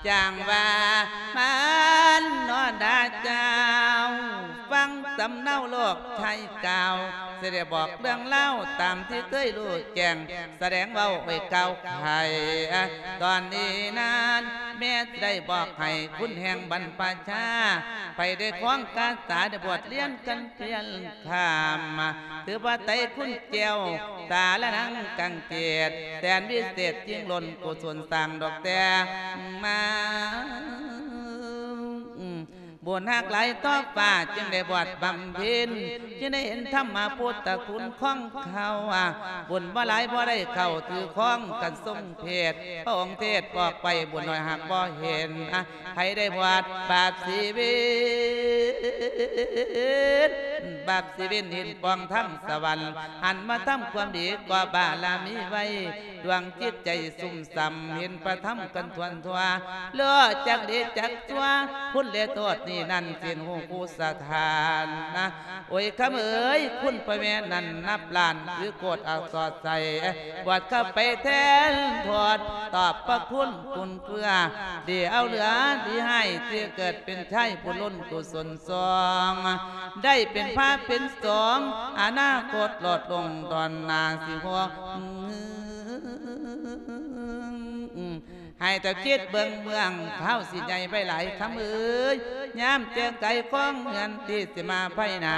ຈັ່ງວ່າມານອນດາເຈົ້າ ຟັງສຳເນົາໂລກໄທກ່າວ ຊິໄດ້ບອກເລື່ອງລາວຕາມທີ່ເຄີຍຮູ້ແຈ້ງ ສະແດງເວົ້າໄວ້ກ່າວໄຂ. ຕອນນີ້ນັ້ນແມ່ຊິໄດ້ບອກໃຫ້ຄຸນແຫ່ງບັນພະຊາ ໃຜໄດ້ຄອງກາສາ ໄດ້ບວດຮຽນກັນພຽງ ຂ້າມ ຖືວ່າໄຕຄຸນແກ້ວ ສາລະນັງກັງເກດ ແສນວິເສດຍິ່ງລົ້ນ ກຸສົນສ້າງດອກແຕ່ມາ ບຸນຮັກຫຼາຍຕໍ່ຟ້າ ຈຶ່ງໄດ້ບວດບຳເພັນ ຈຶ່ງໄດ້ເຫັນທຳມະພຸດທະຄຸນຂອງເຂົາ ບຸນບໍ່ຫຼາຍບໍ່ໄດ້ເຂົ້າຖືຄອງກັນຊົງເພດ ພະອົງເທດບອກໄວ້ ບຸນໜ້ອຍຫາກບໍ່ເຫັນ ໃຜໄດ້ບວດບາບຊີວິດ ບາບຊີວິດເຫັນປ່ອງທາງສະຫວັນ ຫັນມາທຳຄວາມດີກໍ່ບາລະມີໄວ້ ດວງຈິດໃຈຊຸ່ມຊ່ຳ ເຫັນພະທຳກັນທົ່ວນທົ່ວ ເລີຈັກດີຈັກຊົ່ວ ຄຸນແລະໂທດນີ້ນັ້ນ ສິນຮູ້ຄູສະຖານນະ. ໂອ້ຍ ຄຳເອີຍ ຄຸນພໍ່ແມ່ນັ້ນນັບລ້ານ ຄືໂຄດອັກສອດໃສ ບວດເຂົ້າໄປແທນໂທດ ຕອບພະຄຸນຄຸນເຄືອ ດີເອົາເຫຼືອດີຮ້າຍ ທີ່ເກີດເປັນຊາຍຜູ້ລົ້ນກຸສົນຊອງ ໄດ້ເປັນພະເປັນສອງ ອະນາຄົດໂລດລົງດອນໜ້າຊິຫົວ ໃຫ້ເຈົ້າຄິດເບິ່ງເມືອງ ເຮົາຊິໃຫຍ່ໄວຫຼາຍຄຳເອີຍ ຍາມແຈ້ງໄກຂອງເຮືອນທີ່ຊິມາພາຍໜ້າ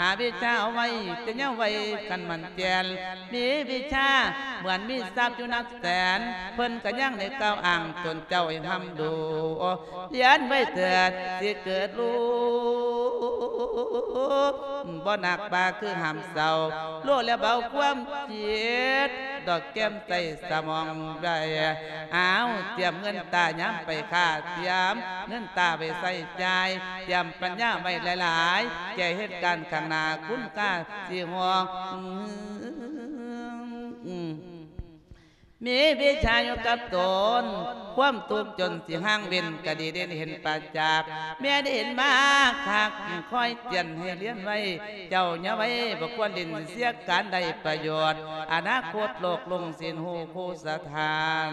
ຫາວິຊາເອົາໄວ້ແຕ່ເຍົາໄວກັນໝັ້ນແກ່ນ ມີວິຊາເໝືອນມີຊັບຢູ່ນັບແສນ ເພິ່ນກໍຍັງໄດ້ກ່າວອ້າງຕົນເຈົ້າໃຫ້ຮ່ຳຮູ້ ຮຽນໄວ້ເຖີດ ຊິເກີດຮູ້ ບໍ່ໜັກບາຄືຫ້າມເຊົາ ໂລດແລະເບົາຄວາມຄິດ ດອກແກ້ມໃສ່ສະໝອງໄວ້ ອ້າວ ຕຽມເງິນຕາຍາມໄປຄ້າ ຕຽມເງິນຕາໄວ້ໃຊ້ຈ່າຍ ຕຽມປັນຍາໄວ້ຫຼາຍໆ ແກ່ເຫດການຂ້າງໜ້າ ຄຸນຄ່າຊິຮອງ ມີວິຊາຢູ່ກັບຕົນ ຄວາມທຸກຈົນຊິຫ່າງເວັ້ນ ກະດີເດັ່ນເຫັນປະຈັກ ແມ່ໄດ້ເຫັນມາຄັກ ຄອຍເຕືອນໃຫ້ຮຽນໄວ້ ເຈົ້າຢ່າໄວບໍ່ຄວນຫຼິ້ນ ເສຍການໄດ້ປະໂຫຍດ ອະນາຄົດໂລກລຸງສິນຮູ້ຄູສະຖານ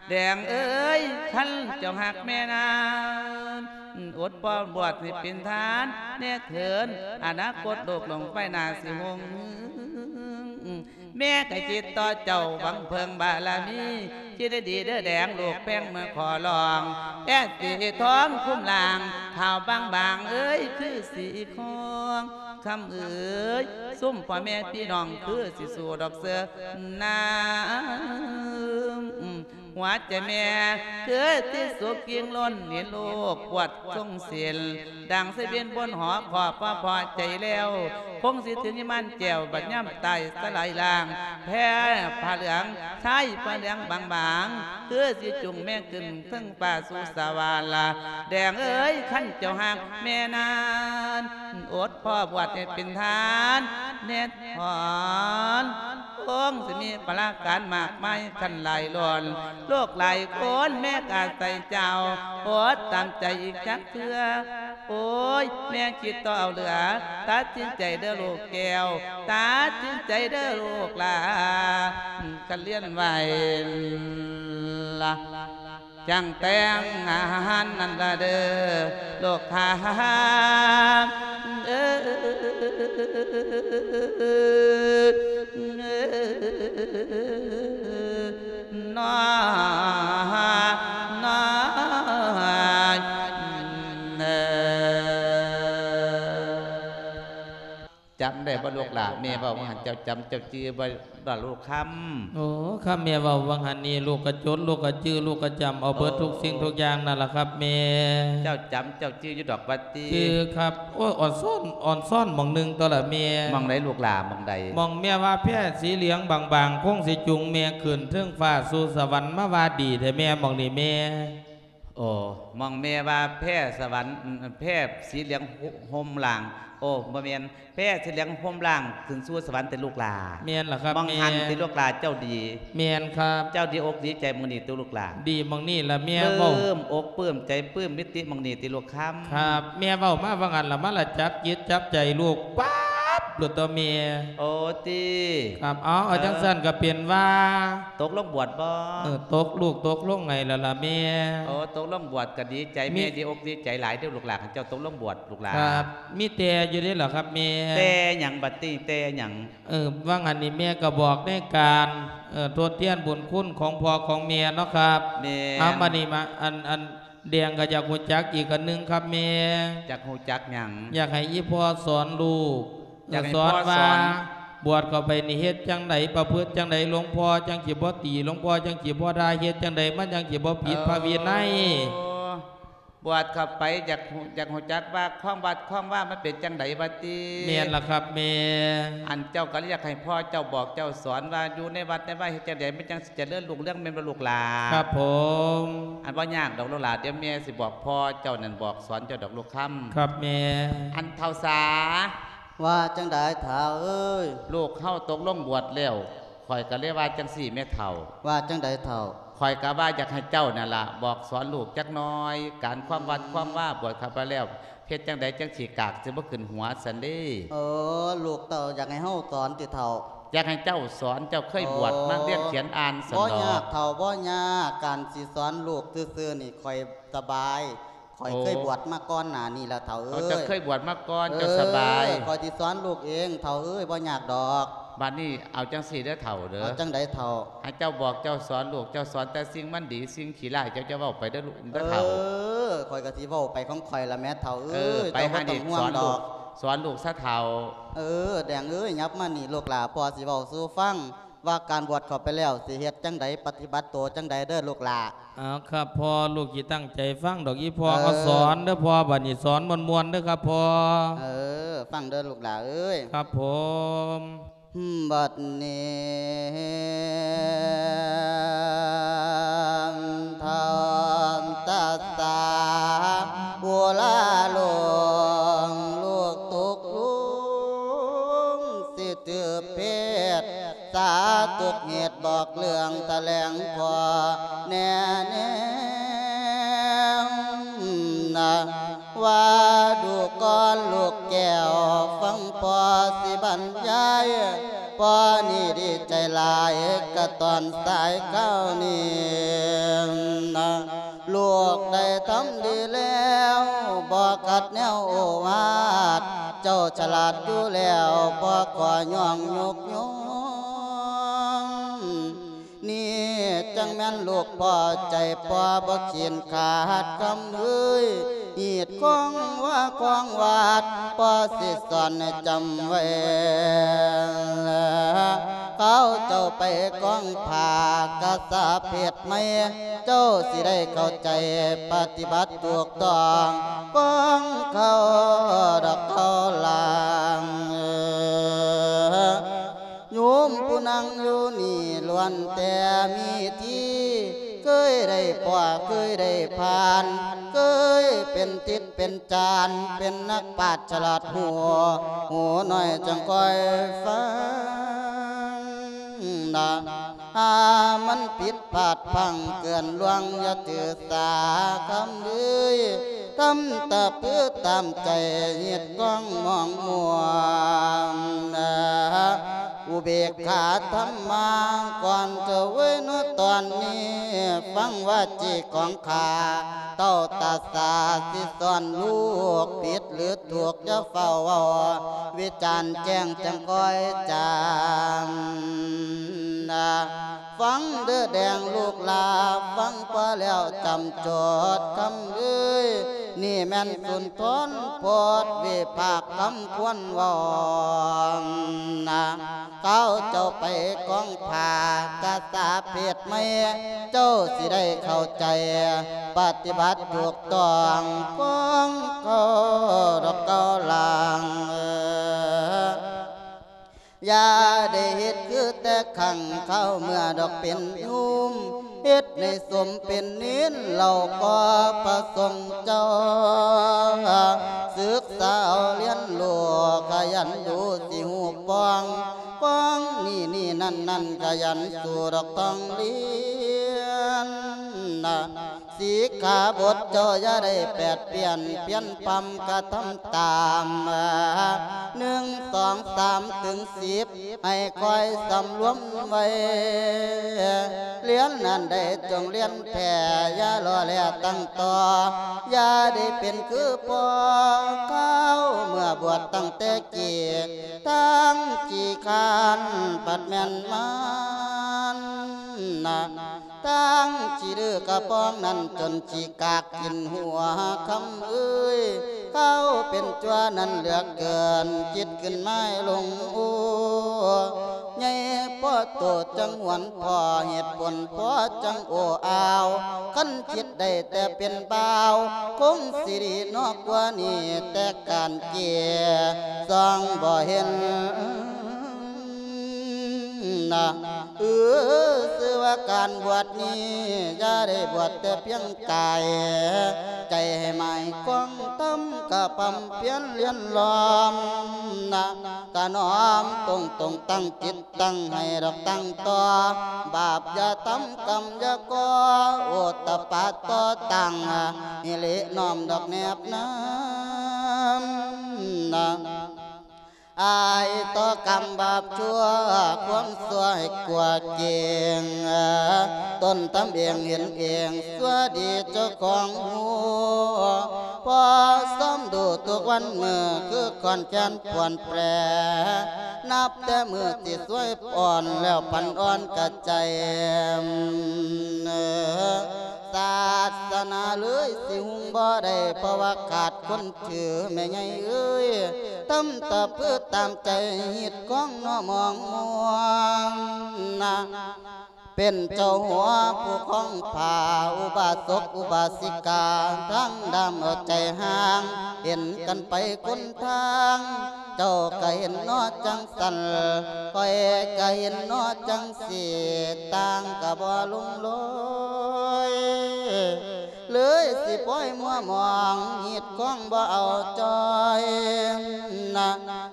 ແດງເອີຍ ຄັນເຈົ້າຮັກແມ່ນານ ອົດປ້ອນບວດໃຫ້ເປັນທານແນ່ເທີນ ອະນາຄົດໂລກລຸງໄປໜ້າຊິຮຸ່ງ ແມ່ກະຄິດຕໍ່ເຈົ້າຫວັງເພິ່ງບາລະມີ ຄິດໃຫ້ດີເດີແດງລູກແພງມາຂໍຮ້ອງ ແອດສີທອງຄຸ້ມລ່າງ ຂາວບາງໆເອີຍ ຄືສີຄອງ ຄຳເອີຍ ຊຸມພໍ່ແມ່ພີ່ນ້ອງ ຄືຊິສູ້ດອກເສືອນາ ຫົວໃຈແມ່ຄືທີ່ສຸກກິ່ງລົ້ນ ເຫັນລູກປວດຊົງເສັ້ນ ດັ່ງໄຊບິນບົນຫໍ ຂໍພໍ່ພໍໃຈແລ້ວ ຄົງຊິເຖິງຍາມມານແກ້ວ ບັດຍາມຕາຍສະຫຼາຍລ່າງ ແພຜ້າເຫຼືອງ ຊາຍຜ້າເຫຼືອງບາງໆ ຄືຊິຈູງແມ່ຂຶ້ນເທິງຟ້າສູ່ສະຫວັນລະ ແດງເອີຍ ຄັນເຈົ້າຮັກແມ່ນານ ອົດພໍ່ບວດໃຫ້ເປັນທານແນ່ຖອນ ຄົງຊິມີພາລະການມາກມາຍຄັນຫຼາຍລ້ອນ ໂລກຫຼາຍຄົນແມ່ກະໃສ່ເຈົ້າ ອົດຕາມໃຈອີກຈັກເທື່ອ ໂອ້ຍ ແມ່ຄິດຕໍ່ເອົາເຫຼືອ ຕັດສິນໃຈເດີລູກແກ້ວ ຕັດສິນໃຈເດີລູກຫຼ້າ ຄັນລຽນໄວລະ ຈັ່ງແຕ່ງງານນັ້ນລະເດີ ລູກຂ້າເອີຍ ນອ ນອ ເອີຍ. ຈຳໄດ້ບໍ່ລູກຫຼ້າ ແມ່ເວົ້າວ່າຫັ້ນ ເຈົ້າຈຳເຈົ້າຈື່ບໍ່ລະລູກຄຳ? ໂອ້ ຄຳແມ່ເວົ້າວ່າຫັ້ນນີ້ ລູກກະຈົດ ລູກກະຈື່ ລູກກະຈຳເອົາເບິດທຸກສິ່ງທຸກຢ່າງນັ້ນລະຄັບແມ່. ເຈົ້າຈຳເຈົ້າຈື່ຢູ່ດອກວ່າຕິ? ຈື່ຄັບ. ໂອ້ຍ ອ່ອນຊ້ອນ ອ່ອນຊ້ອນໝ່ອງໜຶ່ງຕົວລະແມ່. ໝ່ອງໃດລູກຫຼ້າ ໝ່ອງໃດ? ໝ່ອງແມ່ວ່າແພສີເຫຼືອງບາງໆ ຄົງຊິຈູງແມ່ຂຶ້ນເທິງຟ້າສູ່ສະຫວັນ ມາວ່າດີແທ້ແມ່ ໝ່ອງນີ້ແມ່. ໂອ້ ໝ່ອງແມ່ວ່າແພສະຫວັນ ແພສີເຫຼືອງຫົ່ມລ່າງ ໂອ້ ບໍ່ແມ່ນ ແພສີເຫຼືອງຫົ່ມລ່າງຂຶ້ນສູ່ສະຫວັນຕິລູກຫຼ້າ? ແມ່ນລະຄັບ ໝ່ອງຫັ້ນ ແມ່ ຕິລູກຫຼ້າ ເຈົ້າດີ? ແມ່ນຄັບ. ເຈົ້າດີອົກດີໃຈໝ່ອງນີ້ຕິລູກຫຼ້າ? ດີໝ່ອງນີ້ລະແມ່ ເວົ້າ ປຶ້ມອົກປຶ້ມໃຈ ປຶ້ມປິຕິໝ່ອງນີ້ຕິລູກຄຳ? ຄັບ ແມ່ເວົ້າມາວ່າຫັ້ນລະ ມາລະຈັບຈິດຈັບໃຈລູກປັບໂລດຕົວະແມ່. ໂອ້ ຕິ? ຄັບ ເອົາ ເອົາ ເອີ ຈັ່ງຊັ້ນກະເປັນວ່າ ຕົກລົງບວດບໍ່? ເອີ ຕົກ ລູກຕົກລົງໃຫ້ລະລະແມ່. ໂອ້ ຕົກລົງບວດກະດີໃຈ ມີ ແມ່ດີອົກດີໃຈຫຼາຍເດີລູກຫຼ້າ ຄັນເຈົ້າຕົກລົງບວດລູກຫຼ້າ. ຄັບ ມີແຕ່ຢູ່ເດ້ລະຄັບແມ່. ແຕ່ຫຍັງບັດນີ້ ແຕ່ຫຍັງ? ເອີ ວ່າງອັນນີ້ແມ່ກະບອກໃນການ ເອີ ທົດແທນບຸນຄຸນຂອງພໍ່ຂອງແມ່ເນາະຄັບ. ແມ່ນ. ເອົາ ບັດນີ້ມາ ອັນ ອັນ ແດງກະຢາກຮູ້ຈັກອີກອັນໜຶ່ງຄັບແມ່. ຢາກຮູ້ຈັກຫຍັງ? ຢາກໃຫ້ອີ່ພໍ່ສອນລູກ ຢາກໃຫ້ ເອີ ສອນວ່າ ພໍ່ສອນ ບວດເຂົ້າໄປນີ້ເຮັດຈັ່ງໃດ ປະພຶດຈັ່ງໃດ ຫຼວງພໍ່ຈັ່ງຊິບໍ່ຕີ ຫຼວງພໍ່ຈັ່ງຊິບໍ່ດ່າ ເຮັດຈັ່ງໃດມັນຈັ່ງຊິບໍ່ຜິດພະວິໄນ? ໂອ້ ບວດເຂົ້າໄປ ຢາກຮູ້ ຢາກຮູ້ຈັກວ່າຄອງວັດຄອງວາມັນເປັນຈັ່ງໃດວ່າຕິ? ແມ່ນລະຄັບແມ່. ອັນເຈົ້າກະເລີຍຢາກໃຫ້ພໍ່ເຈົ້າບອກເຈົ້າສອນວ່າ ຢູ່ໃນວັດໃນວາເຮັດຈັ່ງໃດມັນຈັ່ງຊິຈະເລີນຮຸ່ງເຮືອງ ແມ່ນບໍ່ລູກຫຼ້າ? ຄັບຜົມ. ອັນບໍ່ຍາກດອກລູກຫຼ້າ ດຽວແມ່ຊິບອກພໍ່ເຈົ້ານັ້ນ ບອກສອນເຈົ້າດອກລູກຄຳ. ຄັບແມ່. ອັນເຖົ້າສາ ວ່າຈັ່ງໃດທ້າວເອີຍ? ລູກເຮົາຕົກລົງບວດແລ້ວ ຂ້ອຍກະເລີຍວ່າຈັ່ງຊີ້ແມ່ເຖົ້າ. ວ່າຈັ່ງໃດເຖົ້າ? ຂ້ອຍກະວ່າຢາກໃຫ້ເຈົ້ານັ້ນລະ ບອກສອນລູກຈັກໜ່ອຍ ການຄວາມວັດຄວາມວາ ບວດເຂົ້າໄປແລ້ວ ເຮັດຈັ່ງໃດຈັ່ງຊິກາກຊິບໍ່ຂຶ້ນຫົວຊັ້ນເດ້. ເອີ ລູກເຕົ້າຢາກໃຫ້ເຮົາສອນຕິເຖົ້າ? ຢາກໃຫ້ເຈົ້າສອນ ເຈົ້າເຄີຍບວດ ໂອ້ ມາຮຽນຂຽນອ່ານຊັ້ນດອກ. ບໍ່ຍາກເຖົ້າ ບໍ່ຍາກ ການຊິສອນລູກຊື່ໆນີ້ຂ້ອຍສະບາຍ. ຂ້ອຍ ໂອ້ ເຄີຍບວດມາກ່ອນໜ້ານີ້ແລ້ວເຖົ້າເອີຍ. ເຈົ້າເຄີຍບວດມາກ່ອນ ເຈົ້າສະບາຍ. ເອີ ຂ້ອຍຊິສອນລູກເອງເຖົ້າເອີຍ ບໍ່ຍາກດອກ. ບາດນີ້ເອົາຈັ່ງຊີ້ເດີເຖົ້າເດີ. ເອົາຈັ່ງໃດເຖົ້າ? ໃຫ້ເຈົ້າບອກເຈົ້າສອນລູກ ເຈົ້າສອນແຕ່ສິ່ງມັນດີ ສິ່ງຂີ້ຮ້າຍເຈົ້າຈະເວົ້າໄປເດີລູກ ເດີເຖົ້າ. ເອີ ຂ້ອຍກະຊິເວົ້າໄປຂອງຂ້ອຍລະແມ່ເຖົ້າເອີຍ. ເອີ ໄປຫານີ້ສອນລູກ ສອນລູກຊະເຖົ້າ. ເອີ ແດງເອີຍ ຫຍັບມານີ້ລູກຫຼ້າ ພໍ່ຊິເວົ້າສູ່ຟັງ ວ່າການບວດເຂົ້າໄປແລ້ວ ຊິເຮັດຈັ່ງໃດ ປະຕິບັດໂຕຈັ່ງໃດເດີລູກຫຼ້າ. ເອົາຄັບພໍ່ ລູກຊິຕັ້ງໃຈຟັງດອກ ອີ່ພໍ່ ເອີ ເອົາສອນເດີພໍ່ ບາດນີ້ສອນມ່ວນໆເດີຄັບພໍ່. ເອີ ຟັງເດີລູກຫຼ້າເອີຍ. ຄັບຜົມ. ບັດນີ້ ທ່ານຕັດສາ ອຸລາລົງ ລູກຕົກລຸງ ຊິຖືກເພດ ສາທຸກເຫດບອກເລື່ອງຖະແຫຼງພໍ່ແນ່ແນວນະ ວ່າດູກ່ອນລູກແກ້ວ ຟັງພໍ່ຊິບັນຍາຍ ພໍ່ນີ້ດີໃຈຫຼາຍກະຕອນສາຍຄາວນີ້ນະ ລູກໄດ້ທຳດີແລ້ວ ບໍ່ຂັດແນວໂອວາດ ເຈົ້າສະຫຼາດຢູ່ແລ້ວ ພໍ່ຂໍຍ້ອງຍົກຍົກ ນີ້ຈັ່ງແມ່ນລູກພໍ່ໃຈພໍ່ບໍ່ຂຽນຂາດຄຳເອີຍ ຮີດຄອງວ່າຄອງວາດ ພໍ່ຊິສອນໃຫ້ຈຳໄວ້ ເຂົາເຈົ້າໄປກອງຜ້າກະສາເພດໃໝ່ ເຈົ້າຊິໄດ້ເຂົ້າໃຈປະຕິບັດຖືກຕ້ອງ ຂອງເຂົາດອກເຂົາລາງ. ໂຍມຜູ້ນັ່ງຢູ່ນີ້ລ້ວນແຕ່ມີທີ່ ເຄີຍໄດ້ພໍ້ເຄີຍໄດ້ຜ່ານ ເຄີຍເປັນທິດເປັນຈານ ເປັນນັກປາດສະຫຼາດຮູ້ ຫູໜ້ອຍຈັ່ງຄ່ອຍຟັງນະ ຖ້າມັນຜິດພາດພັງເກີນລ່ວງ ຢ່າຖືສາຄຳເອີຍ ທຳຕາປືຕາມໃຈ ເຮັດກອງມອງມ່ວງນະ ອຸເບກຂາທຳມາ ກ່ອນຈະເວີຍເນາະຕອນນີ້ ຟັງວາຈີຂອງຂ້າ ເຕົ້າຕາສາຊິສອນລູກ ຜິດຫຼືຖືກຢ່າຟ້າວເວົ້າ ວິຈານແຈ້ງຈັ່ງຄ່ອຍຈາມນະ. ຟັງເດີແດງລູກຫຼານ ຟັງພໍແລ້ວຈຳໂຈດຄຳເອີຍ ນີ້ແມ່ນສຸນທອນໂພດວິພາກຄຳຄວນເວົ້ານະ ເຂົາເຈົ້າໄປກອງຜ້າກະສາເພດໃໝ່ ເຈົ້າຊິໄດ້ເຂົ້າໃຈ ປະຕິບັດຖືກຕ້ອງຂອງເຂົາດອກເຂົາລາງ. ຢ່າໄດ້ເຮັດຄືແຕ່ຄັ້ງຄາວເມື່ອດອກເປັນໂຍມ ເຮັດໃຫ້ສົມເປັນເນນ ເຫຼົ່າກໍພະສົງເຈົ້າ ສຶກສາເອົາຮຽນຮູ້ ຂະຫຍັນດູຊິຮູ້ປ້ອງ ປ້ອງນີ້ໆນັ້ນໆ ຂະຫຍັນສູ້ດອກຕ້ອງຮຽນນະ. ສິກຂາບົດເຈົ້າຢ່າໄດ້ແປດປ່ຽນ ປ່ຽນພຳກະທຳຕາມ ໜຶ່ງ ສອງ ສາມ ເຖິງ ສິບ ໃຫ້ຄອຍສຳລວມໄວ້ ຮຽນອັນໃດຈົ່ງຮຽນແທ້ ຢ່າລໍແລຕັ້ງຕໍ່ ຢ່າໄດ້ເປັນຄືພໍ່ຄາວເມື່ອບວດຕັ້ງແຕ່ກີ້ ທັງຂີ້ຄ້ານພັດແມ່ນມານນະ ທັງຂີ້ດື້ກະປອງນັ້ນ ຈົນຂີ້ກາກກິນຫົວຄຳເອີຍ ເຂົາເປັນຈົວນັ້ນເຫຼືອເກີນ ຄິດຂຶ້ນມາໃຫ້ຫຼົງໂອ ໃຫຍ່ພໍໂຕຈັ່ງຫວນພໍ ເຫດຜົນພໍຈັ່ງໂອ້ອາວ ຄັນຄິດໄດ້ແຕ່ເປັນບ່າວ ຄົງຊິດີເນາະກວ່ານີ້ ແຕ່ການເກ ສ່ອງບໍ່ເຫັນນະ ເອີ ຊື່ວ່າການບວດນີ້ ຢ່າໄດ້ບວດແຕ່ພຽງກາຍ ໃຈໃຫ້ໝາຍຄວາມທຳກະບຳພຽນລຽນລ້ອມນະ ກະນ້ອມຕົງໆຕັ້ງຈິດຕັ້ງໃຫ້ດອກຕັ້ງຕໍ່ ບາບຢ່າທຳກຳຢ່າກໍ່ ໂອດຕະປາຕໍ່ຕັ້ງ ອີຫຼີນ້ອມດອກແນບນຳນະ ອາຍຕໍ່ກຳບາບຊົ່ວ ຄວາມຊົ່ວໃຫ້ກວ່າເກັ່ງ ຕົນທຳເອງເຫັນເອງ ຊົ່ວດີເຈົ້າຂອງຮູ້ ພໍຊອມດູທຸກວັນມື້ ຄືຂ້ອນແຄ້ນປວນແປ ນັບແຕ່ມື້ທີ່ຊ່ວຍອ່ອນ ແລ້ວປັນອ່ອນກະໃຈ ສາສະໜາເລີຍຊິຮຸ່ງບໍ່ໄດ້ ເພາະວ່າຂາດຄົນ ຖືແມ່ໃຫຍ່ເອີຍ ຕຳຕະປືຕາມໃຈ ຮີດຄອງເນາະມອງມ່ວງນະ ເປັນເຈົ້າຫົວຜູ້ຄອງຜ້າ ອຸບາສົກອຸບາສິກາ ທັງດຳເອົາໃຈຫ່າງ ເຫັນກັນໄປຄົນທາງ ເຈົ້າກະເຫັນເນາະຈັ່ງຊັ້ນ ຂ້ອຍກະເຫັນເນາະຈັ່ງຊີ້ ຕ່າງກະບໍ່ລົງລອຍ ເລີຍຊິປ່ອຍມົວໝອງ ຮີດຄອງບໍ່ເອົາຈ່ອຍນະ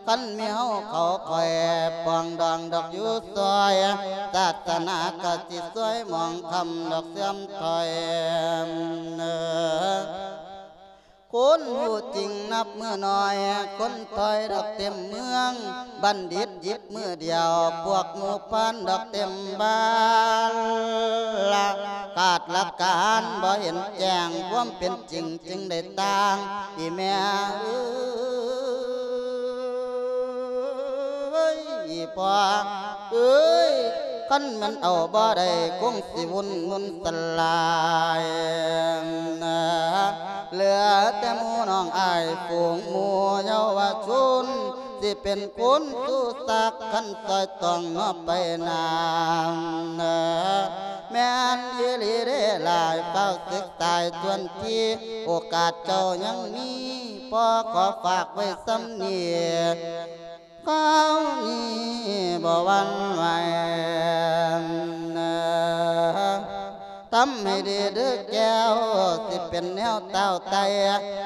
ຄັນມີເຮົາເຂົາຂ້ອຍ ປອງດອງດອກຢູ່ຊອຍ ສາສະໜາກະຊິຊ່ວຍໝອງຄຳດອກເສື່ອມຖອຍ ຄົນຮູ້ຈິງນັບມື້ໜ້ອຍ ຄົນຖອຍດອກເຕັມເມືອງ ບັນດິດຫຍິບ ມື້ດຽວ ພວກໝູ່ພານດອກເຕັມບ້ານ ຂາດຫຼັກການບໍ່ເຫັນແຈ້ງ ຄວາມເປັນຈິງຈຶ່ງໄດ້ຕ່າງ ອີແມ່ເອີຍ ອີພໍ່ເອີຍ ຄັນແມ່ນເອົາບໍ່ໄດ້ ຄົງຊິວຸ່ນມຸນສະຫຼາຍ. ເຫຼືອແຕ່ໝູ່ນ້ອງອ້າຍຝູງໝູ່ເຍົາວະຊົນ ຊິເປັນຄຸນສູ່ສັກຄັນຊ່ອຍຕ້ອງເນາະໄປນາ. ແມ່ນອີ່ຫຼີເດ້ຫຼາຍ ຟ້າວສຶກສາຍຈວນທີ ໂອກາດເຈົ້າຍັງມີ ພໍ່ຂໍຝາກໄວ້ສ່ຳນີ້ ຄາວນີ້ບໍ່ຫວັ່ນໄຫວ. ທຳໃຫ້ດີເດີ້ແກ້ວ ຊິເປັນແນວຕ້າວໄຕ່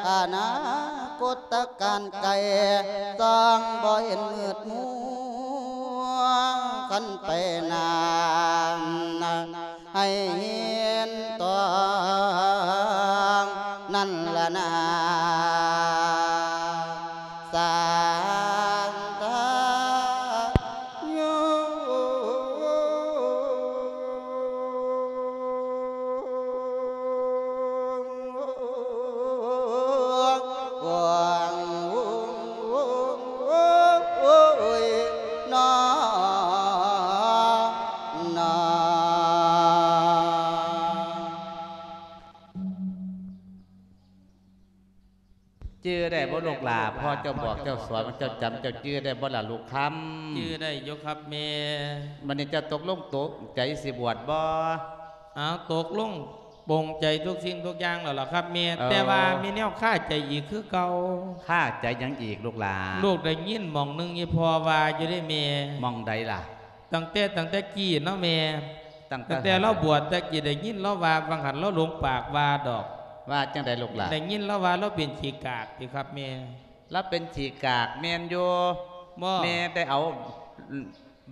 ອະນາຄົດຕະການໄກ ສ່ອງບໍ່ເຫັນມືດມົວ ຄັນໄປນາ ໃຫ້ເຫັນຕ້ອງນັ້ນລະນາ ສານທາໂຍ. ຈື່ໄດ້ບໍ່ລູກຫຼ້າ? ພໍ່ເຈົ້າບອກເຈົ້າສອນ ເຈົ້າຈຳ ເຈົ້າຈື່ໄດ້ບໍ່ລະລູກຄຳ? ຈື່ໄດ້ຢູ່ຄັບແມ່. ບັດນີ້ເຈົ້າຕົກລົງຕົກໃຈຊິບວດບໍ່? ອ້າວ ຕົກລົງປົງໃຈທຸກສິ່ງທຸກຢ່າງແລ້ວລະຄັບແມ່. ເອີ ແຕ່ວ່າມີແນວຄາໃຈອີກຄືເກົ່າ. ຄາໃຈຫຍັງອີກລູກຫຼ້າ? ລູກໄດ້ຍິນໝ່ອງໜຶ່ງອີ່ພໍ່ວ່າຢູ່ເດ້ແມ່. ໝ່ອງໃດລະ? ຕັ້ງແຕ່ ຕັ້ງແຕ່ກີ້ເນາະແມ່ ຕັ້ງແຕ່ ຕັ້ງແຕ່ລາວບວດແຕ່ກີ້ ໄດ້ຍິນລາວວ່າ ວ່າງຫັ້ນລາວຫຼົງປາກວ່າດອກ. ວ່າຈັ່ງໃດລູກຫຼ້າ? ໄດ້ຍິນລາວວ່າລາວເປັນຂີ້ກາກຕິຄັບແມ່. ລາວເປັນຂີ້ກາກແມ່ນຢູ່. ບໍ່ ແມ່ໄດ້ເອົາ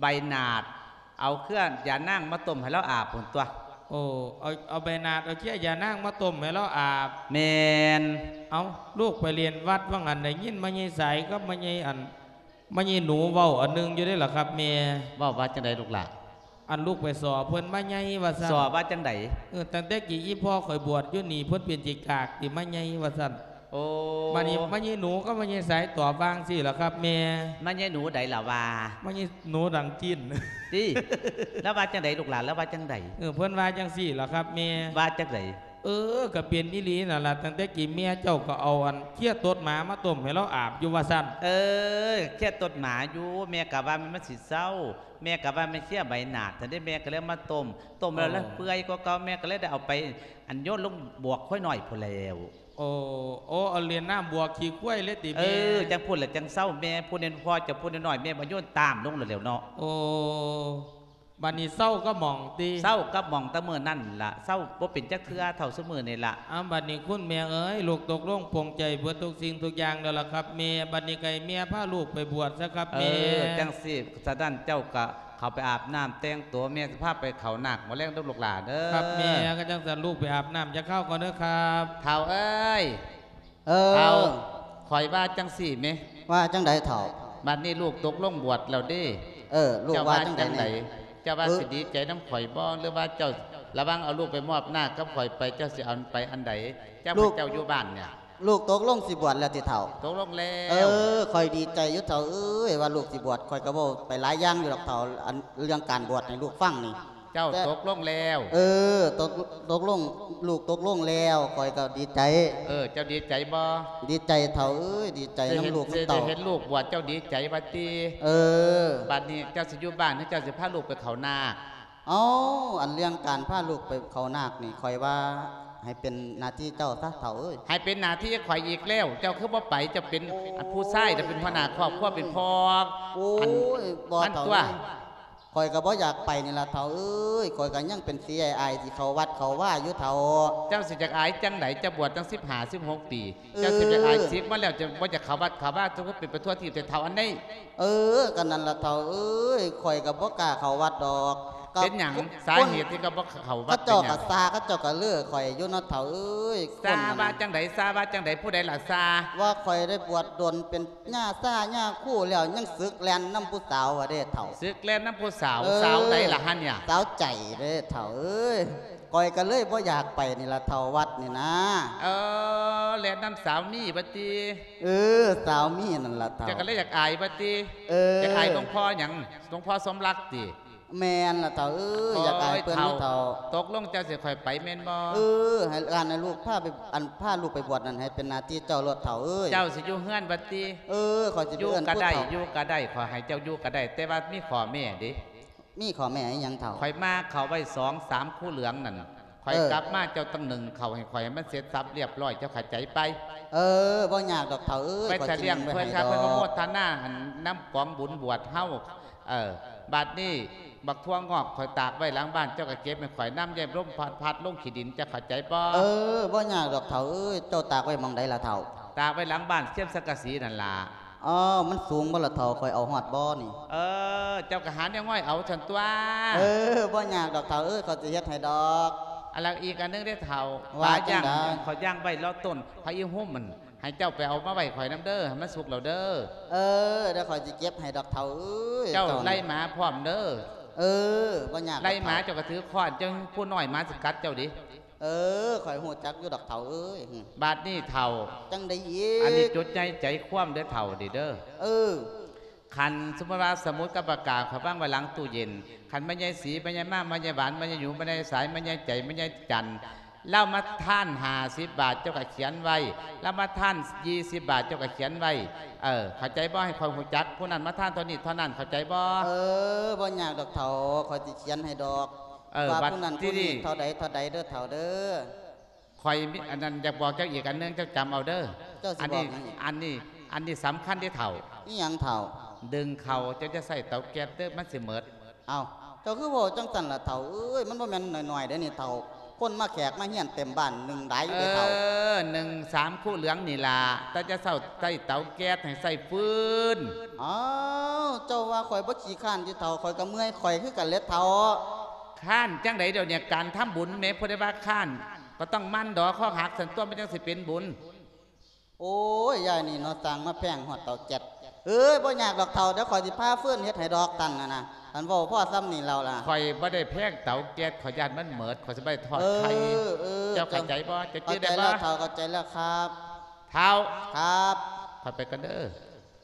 ໃບໜາດ ເອົາເຄືອຢານາງມາຕົ້ມໃຫ້ລາວອາບພຸ້ນຕົວະ. ໂອ້ ເອົາ ເອົາໃບໜາດ ເອົາເຄືອຢານາງມາຕົ້ມໃຫ້ລາວອາບ. ແມ່ນ. ເອົ້າ ລູກໄປລຽນວັດວ່າງຫັ້ນ ໄດ້ຍິນແມ່ໃຫຍ່ສາຍກັບແມ່ໃຫຍ່ ອັນ ມາຍາຍໜູເວົ້າອັນໜຶ່ງຢູ່ເດ້ລະຄັບແມ່. ເວົ້າວ່າຈັ່ງໃດລູກຫຼ້າ? ອັນລູກໄປສໍ່ເພິ່ນມາໃຫຍ່ວ່າຊັ້ນ. ສໍ່ວ່າຈັ່ງໃດ? ເອີ ຕັ້ງແຕ່ກີ້ອີ່ພໍ່ຂ້ອຍບວດຢູ່ນີ້ ເພິ່ນເປັນຂີ້ກາກຕິມາໃຫຍ່ວ່າຊັ້ນ. ໂອ້ ບາດນີ້ມາຍາຍໜູກັບມາຍາຍສາຍຕອບວ່າຈັ່ງຊີ້ລະຄັບແມ່. ມາຍາຍໜູໃດລະວ່າ? ມາຍາຍໜູດັງຈີນ. ຕິ? ລາວວ່າຈັ່ງໃດລູກຫຼ້າ? ລາວວ່າຈັ່ງໃດ? ເອີ ເພິ່ນວ່າຈັ່ງຊີ້ລະຄັບແມ່. ວ່າຈັ່ງໃດ? ເອີ ກະເປັນອີ່ຫຼີນັ້ນລະ ຕັ້ງແຕ່ກີ້ແມ່ເຈົ້າກະເອົາອັນເຄຍຕົດໝາມາຕົ້ມໃຫ້ລາວອາບຢູ່ວ່າຊັ້ນ. ເອີ ເຄຍຕົດໝາຢູ່ ແມ່ກະວ່າມັນ ມັນຊິເຊົາ ແມ່ກະວ່າແມ່ນເຄຍໃບໜາດຊັ້ນເດ້ ແມ່ກະເລີຍມາຕົ້ມ ຕົ້ມແລ້ວ ໂອ້ ລະເປື່ອຍກວ່າເກົ່າ ແມ່ກະເລີຍໄດ້ເອົາໄປອັນໂຍນລົງບວກຄວາຍນ້ອຍພຸ້ນແລ້ວ. ໂອ້ ໂອ້ ເອົາຫຼຽນນ້ຳບວກຂີ້ຄວາຍເລີຍຕິແມ່? ເອີ ຈັ່ງພຸ້ນລະຈັ່ງເຊົາ ແມ່ຜູ້ນ້ອຍ ພໍ່ເຈົ້າຜູ້ນ້ອຍໆ ແມ່ບໍ່ໂຍນຕາມລົງແລ້ວແຫຼ້ວເນາະ. ໂອ້ ບາດນີ້ເຊົາກັບໝ່ອງຕິ? ເຊົາກັບໝ່ອງແຕ່ມື້ນັ້ນລະ ເຊົາບໍ່ເປັນຈັກເທື່ອເທົ່າຊຸມື້ນີ້ລະ. ອ້າວ ບາດນີ້ຄຸນແມ່ເອີຍ ລູກຕົກລົງປົງໃຈເບິດທຸກສິ່ງທຸກຢ່າງແລ້ວລະຄັບແມ່. ບາດນີ້ກະໃຫ້ແມ່ພາລູກໄປບວດຊະຄັບແມ່. ເອີ ຈັ່ງຊີ້ ສະນັ້ນເຈົ້າກະເຂົ້າໄປອາບນ້ຳແຕ່ງໂຕ ແມ່ຊິພາໄປເຂົ້ານາກມື້ແລງເດີ້ລູກຫຼ້າເດີ້. ຄັບແມ່. ກະຈັ່ງຊັ້ນລູກໄປອາບນ້ຳຈັກຄາວກ່ອນເດີ້ຄັບ. ທ້າວເອີຍ ເອີ ທ້າວ ຂ້ອຍວ່າຈັ່ງຊີ້ແມະ. ວ່າຈັ່ງໃດທ້າວ? ບາດນີ້ລູກຕົກລົງບວດແລ້ວເດ້. ເອີ ລູກວ່າຈັ່ງໃດ? ເຈົ້າວ່າຊິດີໃຈນຳຂ້ອຍບໍ່ ຫຼືວ່າເຈົ້າ ລະຫວ່າງເອົາລູກໄປມອບໜ້າກັບຂ້ອຍໄປ ເຈົ້າຊິເອົາໄປອັນໃດ? ເຈົ້າ ລູກ ເຈົ້າຢູ່ບ້ານນີ້ ລູກຕົກລົງຊິບວດແລ້ວຕິທ້າວ? ຕົກລົງແລ້ວ. ເອີ ຂ້ອຍດີໃຈຢູ່ທ້າວເອີຍ ວ່າລູກຊິບວດ ຂ້ອຍກະເວົ້າໄປຫຼາຍຢ່າງຢູ່ດອກທ້າວ ອັນເລື່ອງການບວດໃຫ້ລູກຟັງນີ້. ເຈົ້າ ແຕ່ ຕົກລົງແລ້ວ. ເອີ ຕົກ ຕົກລົງ ລູກຕົກລົງແລ້ວ ຂ້ອຍກະດີໃຈ. ເອີ ເຈົ້າດີໃຈບໍ່? ດີໃຈທ້າວເອີຍ ດີໃຈນຳລູກນຳເຕົ້າ. ຊິເຫັນລູກບວດ ເຈົ້າດີໃຈວ່າຕິ? ເອີ ບາດນີ້ເຈົ້າຊິຢູ່ບ້ານ ຫຼືເຈົ້າຊິພາລູກໄປເຂົ້ານາກ? ເອົ້າ ອັນເລື່ອງການພາລູກໄປເຂົ້ານາກນີ້ ຂ້ອຍວ່າໃຫ້ເປັນໜ້າທີ່ເຈົ້າຊະທ້າວເອີຍ. ໃຫ້ເປັນໜ້າທີ່ຂ້ອຍອີກແລ້ວ ເຈົ້າຄືບໍ່ໄປ? ເຈົ້າເປັນ ໂອ້ຍ ອັນຜູ້ຊາຍ ເຈົ້າເປັນຫົວໜ້າຄອບຄົວ ເປັນພໍ່ ໂອ້ຍ ອັນ ບໍ່ ມັນ ທ້າວ ຕົວະ ຂ້ອຍກະບໍ່ຢາກໄປນີ້ລະທ້າວເອີຍ ຂ້ອຍກະຍັງເປັນສີອາຍໆ ຊິເຂົ້າວັດເຂົ້າວາຢູ່ທ້າວ. ເຈົ້າຊິຢາກອາຍຈັ່ງໃດ? ເຈົ້າບວດຕັ້ງສິບຫ້າ ສິບຫົກປີ ເອີ ເຈົ້າຊິຢາກອາຍ ສິກມາແລ້ວ ເຈົ້າບໍ່ຢາກເຂົ້າວັດເຂົ້າວາ ເຈົ້າກະເປັນໄປທົ່ວທີບແຕ່ທ້າວອັນນີ້. ເອີ ກະນັ້ນລະທ້າວເອີຍ ຂ້ອຍກະບໍ່ກ້າເຂົ້າວັດດອກ. ເປັນຫຍັງ? ສາເຫດທີ່ເຈົ້າບໍ່ເຂົ້າວັດ ເຂົາເຈົ້າກະ ເປັນຫຍັງ? ຊາ ເຂົາເຈົ້າກະເລີກຂ້ອຍຢູ່ເນາະທ້າວເອີຍ. ຊາວ່າຈັ່ງໃດ? ຊາວ່າຈັ່ງໃດ? ຜູ້ໃດລະຊາ? ວ່າຂ້ອຍໄດ້ບວດດົນເປັນ ຍາຊາຍາຄູແລ້ວ ຍັງສຶກແລ່ນນຳຜູ້ສາວວ່າເດ້ທ້າວ. ສຶກແລ່ນນຳຜູ້ສາວ? ເອີ ສາວໃດລະຫັ້ນເນຍ? ສາວໃຈເດ້ທ້າວເອີຍ ຂ້ອຍກະເລີຍບໍ່ຢາກໄປນີ້ລະທ້າວ ວັດນີ້ນາ. ເອີ ແລ່ນນຳສາວມີວ່າຕິ? ເອີ ສາວມີນັ້ນລະທ້າວ. ເຈົ້າກະເລີຍຢາກອາຍວ່າຕິ? ເອີ ຢາກອາຍຫຼວງພໍ່ຫຍັງ? ຫຼວງພໍ່ສົມລັກຕິ? ແມ່ນລະເຖົ້າເອີຍ ໂອ້ຍ ຢາກອາຍເພິ່ນຢູ່ເຖົ້າ. ຕົກລົງເຈົ້າຊິໃຫ້ຂ້ອຍໄປແມ່ນບໍ່? ເອີ ໃຫ້ ອັນ ໃຫ້ລູກພາໄປ ອັນ ພາລູກໄປບວດນັ້ນ ໃຫ້ເປັນໜ້າທີ່ເຈົ້າໂລດເຖົ້າເອີຍ. ເຈົ້າຊິຢູ່ເຮືອນບັດຕິ? ເອີ ຂ້ອຍຊິໄປເອີ້ນຜູ້ເຖົ້າ. ຢູ່ກໍໄດ້ ຢູ່ກໍໄດ້ ຂ້ອຍໃຫ້ເຈົ້າຢູ່ກໍໄດ້ ແຕ່ວ່າມີຂໍ້ແມ້ເດ້. ມີຂໍ້ແມ້ອີ່ຫຍັງເຖົ້າ? ຂ້ອຍມາເຂົ້າໄວ້ສອງສາມຄູເຫຼືອງນັ້ນ ຂ້ອຍ ເອີ ກັບມາເຈົ້າຕ້ອງໜຶ້ງເຂົ້າໃຫ້ຂ້ອຍໃຫ້ມັນເສັດສັບລຽບຮ້ອຍ ເຈົ້າເຂົ້າໃຈໄປ? ເອີ ບໍ່ຍາກດອກເຖົ້າເອີຍ ໄປຖະຫຼຽງເພິ່ນ ຂ້ອຍຊິໜຶ້ງໄວ້ໃຫ້ດອກ. ເພິ່ນອະນຸໂມທະນາ ອັນ ນຳກອງບຸນບວດເຮົາ. ເອີ ບາດນີ້ບັກຖົ່ວງອກຂ້ອຍຕາກໄວ້ຫຼັງບ້ານ ເຈົ້າກໍເກັບໃຫ້ຂ້ອຍນຳ ຢ່າລົມພັດ ພັດລົງຂີ້ດິນ ເຈົ້າເຂົ້າໃຈບໍ່? ເອີ ບໍ່ຍາກດອກເຖົ້າເອີຍ ເຈົ້າຕາກໄວ້ໝ່ອງໃດລະເຖົ້າ? ຕາກໄວ້ຫຼັງບ້ານ ຊຽມສັງກະສີນັ້ນລະ. ອໍ ມັນສູງບໍ່ລະເຖົ້າ ຂ້ອຍເອົາຮອດບໍ່ນີ້? ເອີ ເຈົ້າກໍຫາແນວງ່ອຍເອົາຊັ້ນຕົວະ. ເອີ ບໍ່ຍາກດອກເຖົ້າເອີຍ ຂ້ອຍຊິເຮັດໃຫ້ດອກ. ອັນລະ ອີກອັນໜຶ່ງເດ້ເຖົ້າ ວ່າຈັ່ງໃດ? ປາຍ່າງ ຂ້ອຍຍ່າງໄວ້ເລາະຕົ້ນ ພະອີຮຸ່ມມັນ ໃຫ້ເຈົ້າໄປເອົາມາໄວ້ຂ້ອຍນຳເດີ ໃຫ້ມັນສຸກແລ້ວເດີ. ເອີ ດຽວຂ້ອຍຊິເກັບໃຫ້ດອກເຖົ້າເອີຍ. ເຈົ້າໄລ່ໝາພ້ອມເດີ. ເອີ ບໍ່ຍາກດອກເຖົ້າ. ໄລ່ໝາເຈົ້າກໍຖືຄ້ອນ ຈັ່ງຜູ້ນ້ອຍໝາຊິກັດເຈົ້າເດ້. ເອີ ຂ້ອຍຮູ້ຈັກຢູ່ດອກເຖົ້າເອີຍ. ບາດນີ້ເຖົ້າ ຈັ່ງໃດອີກ? ອັນນີ້ຈົດໃຈໃຈຄວາມເດີເຖົ້ານີ້ເດີ. ເອີ ຄັນສົມມຸດວ່າສະໝຸດກັບປາກກາ ຂ້ອຍວາງໄວ້ຫຼັງຕູ້ເຢັນ ຄັນແມ່ໃຫຍ່ສີ ແມ່ໃຫຍ່ມາ ແມ່ໃຫຍ່ຫວານ ແມ່ໃຫຍ່ຫຢູ ແມ່ໃຫຍ່ສາຍ ແມ່ໃຫຍ່ໃຈ ແມ່ໃຫຍ່ຈັນ ລາວມາທານຫ້າສິບບາດ ເຈົ້າກໍຂຽນໄວ້ ລາວມາທານຊາວບາດ ເຈົ້າກໍຂຽນໄວ້. ເອີ ເຂົ້າໃຈບໍ່? ໃຫ້ຂ້ອຍຮູ້ຈັກ ຜູ້ນັ້ນມາທານເທົ່ານີ້ເທົ່ານັ້ນ ເຂົ້າໃຈບໍ່? ເອີ ບໍ່ຍາກດອກເຖົ້າ ຂ້ອຍຊິຂຽນໃຫ້ດອກ. ເອີ ວ່າຜູ້ນັ້ນຜູ້ນີ້ເທົ່າໃດເທົ່າໃດເດີເຖົ້າເດີ. ຂ້ອຍມີອັນນັ້ນຢາກບອກເຈົ້າອີກອັນໜຶ່ງ ເຈົ້າຈຳເອົາເດີ. ເຈົ້າຊິບອກຫຍັງອີກ? ອັນນີ້ ອັນນີ້ ອັນນີ້ສຳຄັນເດ້ເຖົ້າ. ອີຫຍັງເຖົ້າ? ໜຶ້ງເຂົ້າ ເຈົ້າຢ່າໃຊ້ເຕົາແກັດເດີ ມັນຊິໝົດ. ເອົ້າ ເຈົ້າຄືເວົ້າຈັ່ງຊັ້ນລະເຖົ້າເອີຍ ມັນບໍ່ແມ່ນໜ້ອຍໆເດ້ນີ້ເຖົ້າ ຄົນມາແຂກມາຮຽນເຕັມບ້ານ ໜຶ້ງໄດ້ເດ້ເຖົ້າ. ເອີ ໜຶ້ງສາມຄູເຫຼືອງນີ້ລະ ແຕ່ຢ່າໃຊ້ເຕົາແກັດ ໃຫ້ໃຊ້ຟືນ. ອ້າວ ເຈົ້າວ່າຂ້ອຍບໍ່ຂີ້ຄ້ານຕິເຖົ້າ ຂ້ອຍກໍເມື່ອຍຂ້ອຍຄືກັນແຫຼະເຖົ້າ. ຄ້ານຈັ່ງໃດດຽວນີ້ ການທຳບຸນແມ້ ຜູ້ໃດວ່າຄ້ານ ກໍຕ້ອງໝັ່ນດອກຄອກຫັກຊັ້ນຕົວະ ມັນຈັ່ງຊິເປັນບຸນ. ໂອ້ຍ ຍາຍນີ້ເນາະ ສ້າງມາແພງຮອດເຕົາແກັດ. ເອີຍ ບໍ່ຍາກດອກເຖົ້າ ດຽວຂ້ອຍຊິພາຟືນເຮັດໃຫ້ດອກ ທ່ານນະນະ ທ່ານເວົ້າພໍສ່ຳນີ້ແລ້ວລະ. ຂ້ອຍບໍ່ໄດ້ແພງເຕົາແກັດ ຂ້ອຍຢ້ານມັນໝົດ ຂ້ອຍຊິໄປທອດໄຂ່. ເອີ ເອີ ເຈົ້າເຂົ້າໃຈບໍ່? ເຈົ້າຈື່ໄດ້ບໍ່? ເຂົ້າໃຈແລ້ວເຖົ້າ ເຂົ້າໃຈແລ້ວຄັບ. ເຖົ້າ ຄັບ ຂ້ອຍໄປກ່ອນເດີ.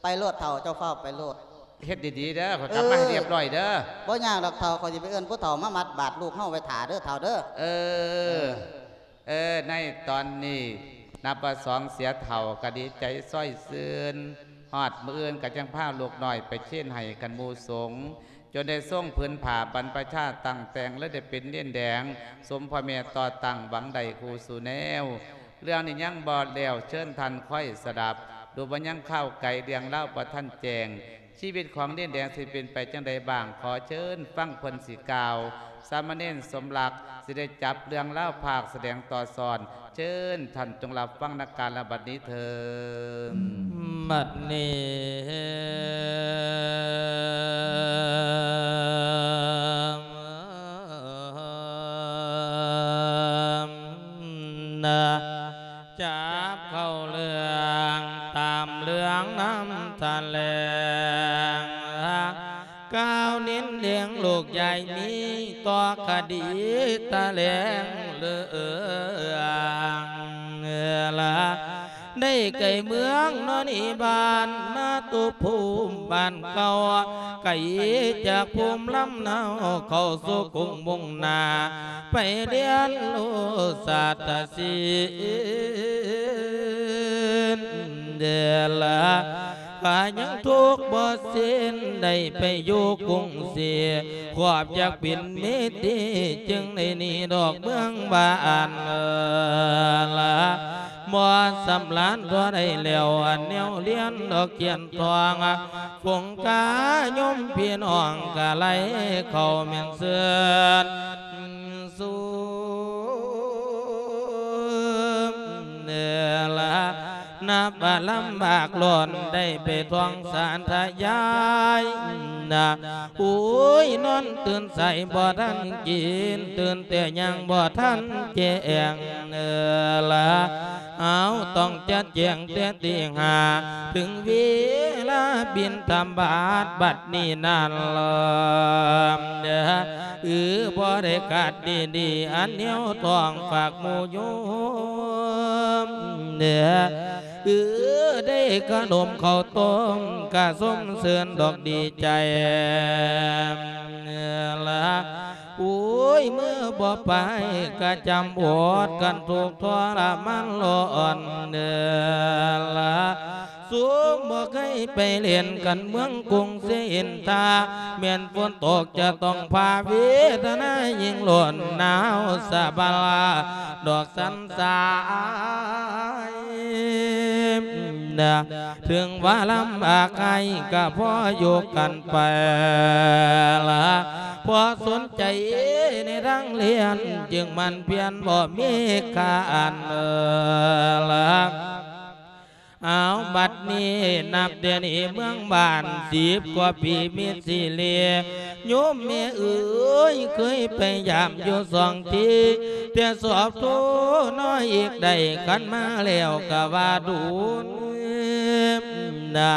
ໄປໂລດເຖົ້າ ເຈົ້າຟ້າວໄປໂລດ. ເຮັດດີໆເດີ ຂ້ອຍກັບມາໃຫ້ ເອີ ຮຽບຮ້ອຍເດີ. ບໍ່ຍາກດອກເຖົ້າ ຂ້ອຍຊິໄປເອີ້ນຜູ້ເຖົ້າມາມັດບາດລູກເຮົາໄວ້ຖ້າເດີເຖົ້າເດີ. ເອີ ເອີ ເອີ ໃນຕອນນີ້ນັບວ່າສອງເສຍເຖົ້າກໍດີໃຈຊ່ອຍຊື່ນ ຮອດມື້ອື່ນກໍຈັ່ງພາລູກນ້ອຍໄປເຄນໃຫ້ກັນໝູ່ສົງ ຈົນໄດ້ຊົງຜືນຜ້າບັນພະຊາຕັ້ງແຕ່ງ ແລະ ໄດ້ເປັນເນນແດງ ສົມພໍ່ແມ່ຕໍ່ຕັ້ງຫວັງໄດ້ຄູ່ສູ່ແນວ. ເລື່ອງນີ້ຍັງບໍ່ແລ້ວ ເຊີນທ່ານຄອຍສະດັບ ດູວ່າຍັງຄາວໄກ ເລື່ອງລາວບໍ່ທັນແຈ້ງ ຊີວິດຂອງເນນແດງຊິເປັນໄປຈັ່ງໃດບ້າງ ຂໍເຊີນຟັງເພິ່ນຊິກ່າວ. ສາມະເນນສົມລັກຊິໄດ້ຈັບເລື່ອງລາວພາກສະແດງຕໍ່ສອນ ເຊີນທ່ານຈົ່ງຮັບຟັງນຳກັນລະບັດນີ້ເທີ້ນ. ບັດນີ້ ນະ ຈັບເຂົ້າເລື່ອງຕາມເລື່ອງນຳຖະແຫຼງ ກ່າວເນັ້ນເລື່ອງລູກໃຫຍ່ມີຕໍ່ຄະດີຖະແຫຼງເລື່ອງລາ ໄດ້ໄກເມືອງນອນອີບ້ານນາຕຸພູມບ້ານເກົ່າ ໄກຈາກພູມລຳເນົາເຂົ້າສູ່ກຸງມຸ່ງໜ້າ ໄປຮຽນຮູ້ສາດຕະສິນ ເດລະ ຂ້າຍັງທຸກບໍ່ສິ້ນ ໄດ້ໄປຢູ່ກຸງສີ ຄວາມຢາກເປັນເມດຕີ ຈຶ່ງໄດ້ໜີດອກເມືອງບ້ານລະ ບໍ່ສຳລານຕົວໄດ້ແລ້ວ ອັນແນວຮຽນດອກຂຽນທ່ອງ ຝູງກາຍົມພີ່ນ້ອງກະໄລ່ເຂົ້າແມ່ນເຊີນ ສູ່ເນລະ ນັບວ່າລຳບາກລ້ນ ໄດ້ໄປທ່ອງສາທະຍາຍນະ ໂອ້ຍ ນອນຕື່ນສາຍບໍ່ທັນກິນ ຕື່ນແຕ່ຍັງບໍ່ທັນແຈ້ງເນລະ ເຮົາຕ້ອງຈັດແຈງແຕ່ຕີຫ້າ ເຖິງເວລາບິນທະບາດບັດນີ້ນັ້ນລະ ເອີ ບໍ່ໄດ້ຂາດດີໆ ອັນແນວທ້ອງຝາກໝູ່ໂຍມ ເອີ ເອີ ໄດ້ຂະໜົມເຂົ້າຕົ້ມ ກະຊົມເຊີນດອກດີໃຈລະ. ໂອ້ຍ ເມື່ອບໍ່ໄປກະຈຳອົດກັນທຸກທໍລະມານຮ້ອນເດີລະ. ຊຸມບໍ່ເຄີຍໄປຫຼິ້ນກັນເມືອງກຸງເຊອິນທາ ແມ່ນຝົນຕົກຈະຕ້ອງພາເວທະນາຍິ່ງລ້ນໜາວສະບາລາດອກສັນສາຍນະ. ເຖິງວ່າລຳບາກໃຫ້ກະພໍຢູ່ກັນໄປລະ ເພາະສົນໃຈໃນທາງຮຽນ ຈຶ່ງໝັ່ນພຽນບໍ່ມີຂາດລະ. ເອົາ ບັດນີ້ນັບແຕ່ນີ້ເມືອງບ້ານສິບກວ່າປີມີສິເລ ໂຍມແມ່ເອີຍ ເຄີຍໄປຢາມຢູ່ສອງທີ ແຕ່ສອບໂທນ້ອຍອີກໄດ້ ຄັນມາແລ້ວກະວ່າດູນນະ.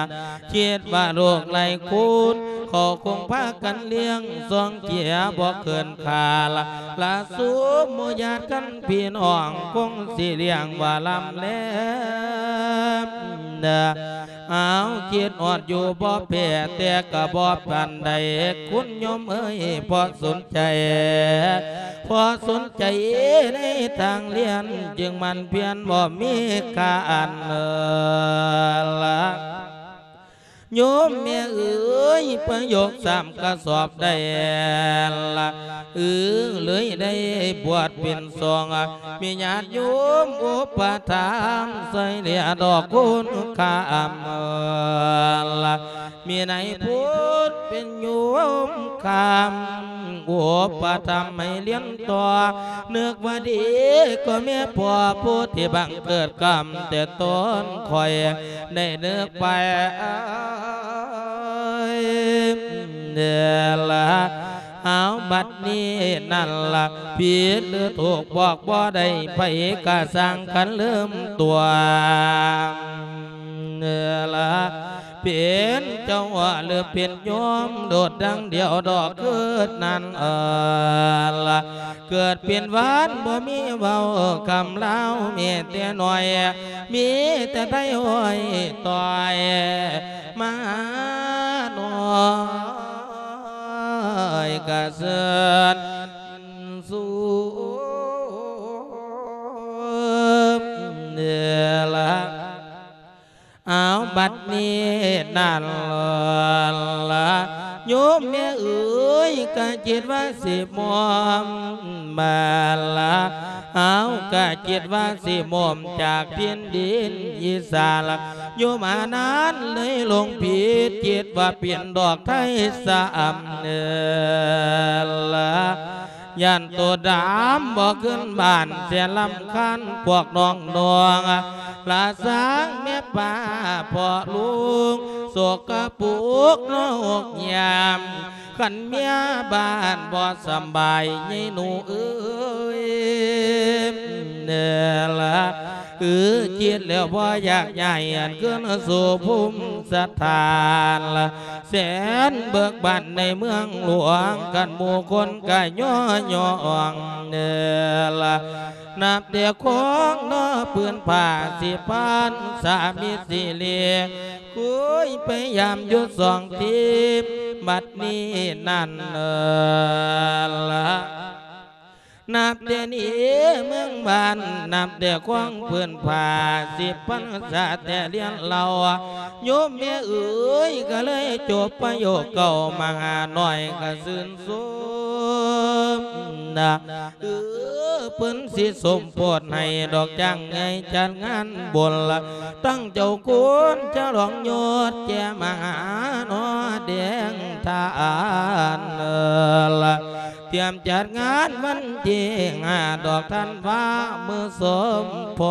ຄິດວ່າລູກຫຼາຍຄົນ ເຂົາຄົງພາກັນລ້ຽງ ສອງເທື່ອບໍ່ເກີນຄາລະ ລະຊຸມໝູ່ຍາດກັນພີ່ນ້ອງ ຄົງຊິລ້ຽງວ່າລຳແລມນະ. ເອົາ ຄິດຮອດຢູ່ບໍ່ແພ້ ແຕ່ກະບໍ່ປານໃດ ຄຸນໂຍມເອີຍ ເພາະສົນໃຈ ເພາະສົນໃຈໃນທາງຮຽນ ຈຶ່ງໝັ່ນພຽນບໍ່ມີຂາດລະ. ໂຍມແມ່ເອີຍ ປະໂຫຍກສາມກະສອບໄດ້ລະ ເອີ ເລີຍໄດ້ບວດເປັນສອງ ມີຍາດໂຍມອຸປະຖຳ ຊ່ອຍເຫຼືອດອກຄຸນຄຳລະ ມີນາຍພຸດເປັນໂຍມຄຳ ອຸປະຖຳໃຫ້ຮຽນຕໍ່ ນຶກວ່າດີກໍແມ່ພໍ່ຜູ້ທີ່ບັງເກີດກຳແຕ່ຕົ້ນ ຂ້ອຍໄດ້ນຶກໄປເດີລະ. ເອົາ ບັດນີ້ນັ້ນລະ ຜິດຫຼືຖືກບອກບໍ່ໄດ້ ໃຜກະຊ່າງຄັນລືມຕົວເດີລະ ເປັນເຈົ້າຫຼືເປັນໂຍມ ໂດດດັ່ງດຽວດອກຄືນນັ້ນເອີລະ. ເກີດເປັນຫວານບໍ່ມີເວົ້າຄຳລາວ ມີແຕ່ນ້ອຍ ມີແຕ່ໄທຫ້ອຍຕ່ອຍ ມານ້ອຍກະເຊີນສູງເດີລະ. ເອົາ ບັດນີ້ນັ້ນລະ ໂຍມແມ່ເອີຍ ກະຄິດວ່າຊິໝອມມາລະ ເອົາ ກະຄິດວ່າຊິໝອມຈາກແຜ່ນດິນອີສານລະ ໂຍມອານານເລີຍຫຼົງຜິດ ຄິດວ່າເປັນດອກໄທສະອຳເດີລະ. ຢ້ານໂຕດຳບໍ່ຂຶ້ນບ້ານ ແສນລຳຄານພວກນ້ອງໆ ລະສ້າງແມ່ປ້າພໍ່ລຸງ ສົກກະປົກເນາະຫົກຍາມ ຄັນເມຍບ້ານບໍ່ສຳບາຍ ຍາຍໜູເອີຍ ເດີລະ ເອີ ຄິດແລ້ວບໍ່ຢາກຍ້າຍ ອັນຄືນສູ່ພູມສະຖານລະ ແສນເບີກບານໃນເມືອງຫຼວງ ຄັນໝູ່ຄົນກະຍໍຍ້ອງເດີລະ. ນັບແຕ່ຄອງເນາະ ຜືນຜ້າສີພັນສາມິດສີເລ ເຄີຍໄປຢາມຢູ່ສອງທີ ບັດນີ້ນັ້ນເດີລະ. ນັບແຕ່ນີ້ເມືອງບ້ານ ນັບແຕ່ຄວາມພື້ນຜາ ສິບພັນສາແຕ່ລຽນເລົ່າ ໂຍມແມ່ເອີຍ ກະເລີຍຈົບປະໂຫຍກເກົ້າ ມະຫານ້ອຍກະຊື່ນຊົມນະ ເອີ ເພິ່ນຊິສົມໂພດໃຫ້ດອກ ຈ້າງໃຫຍ່ຈັດງານບຸນລະ ຕັ້ງເຈົ້າຄຸນຈະລອງຍົດ ແກ່ມະຫານ້ອຍແດງທານລະ ຕຽມຈັດງານວັນທີຫ້າດອກທັນວາ ມື້ສົມໂພ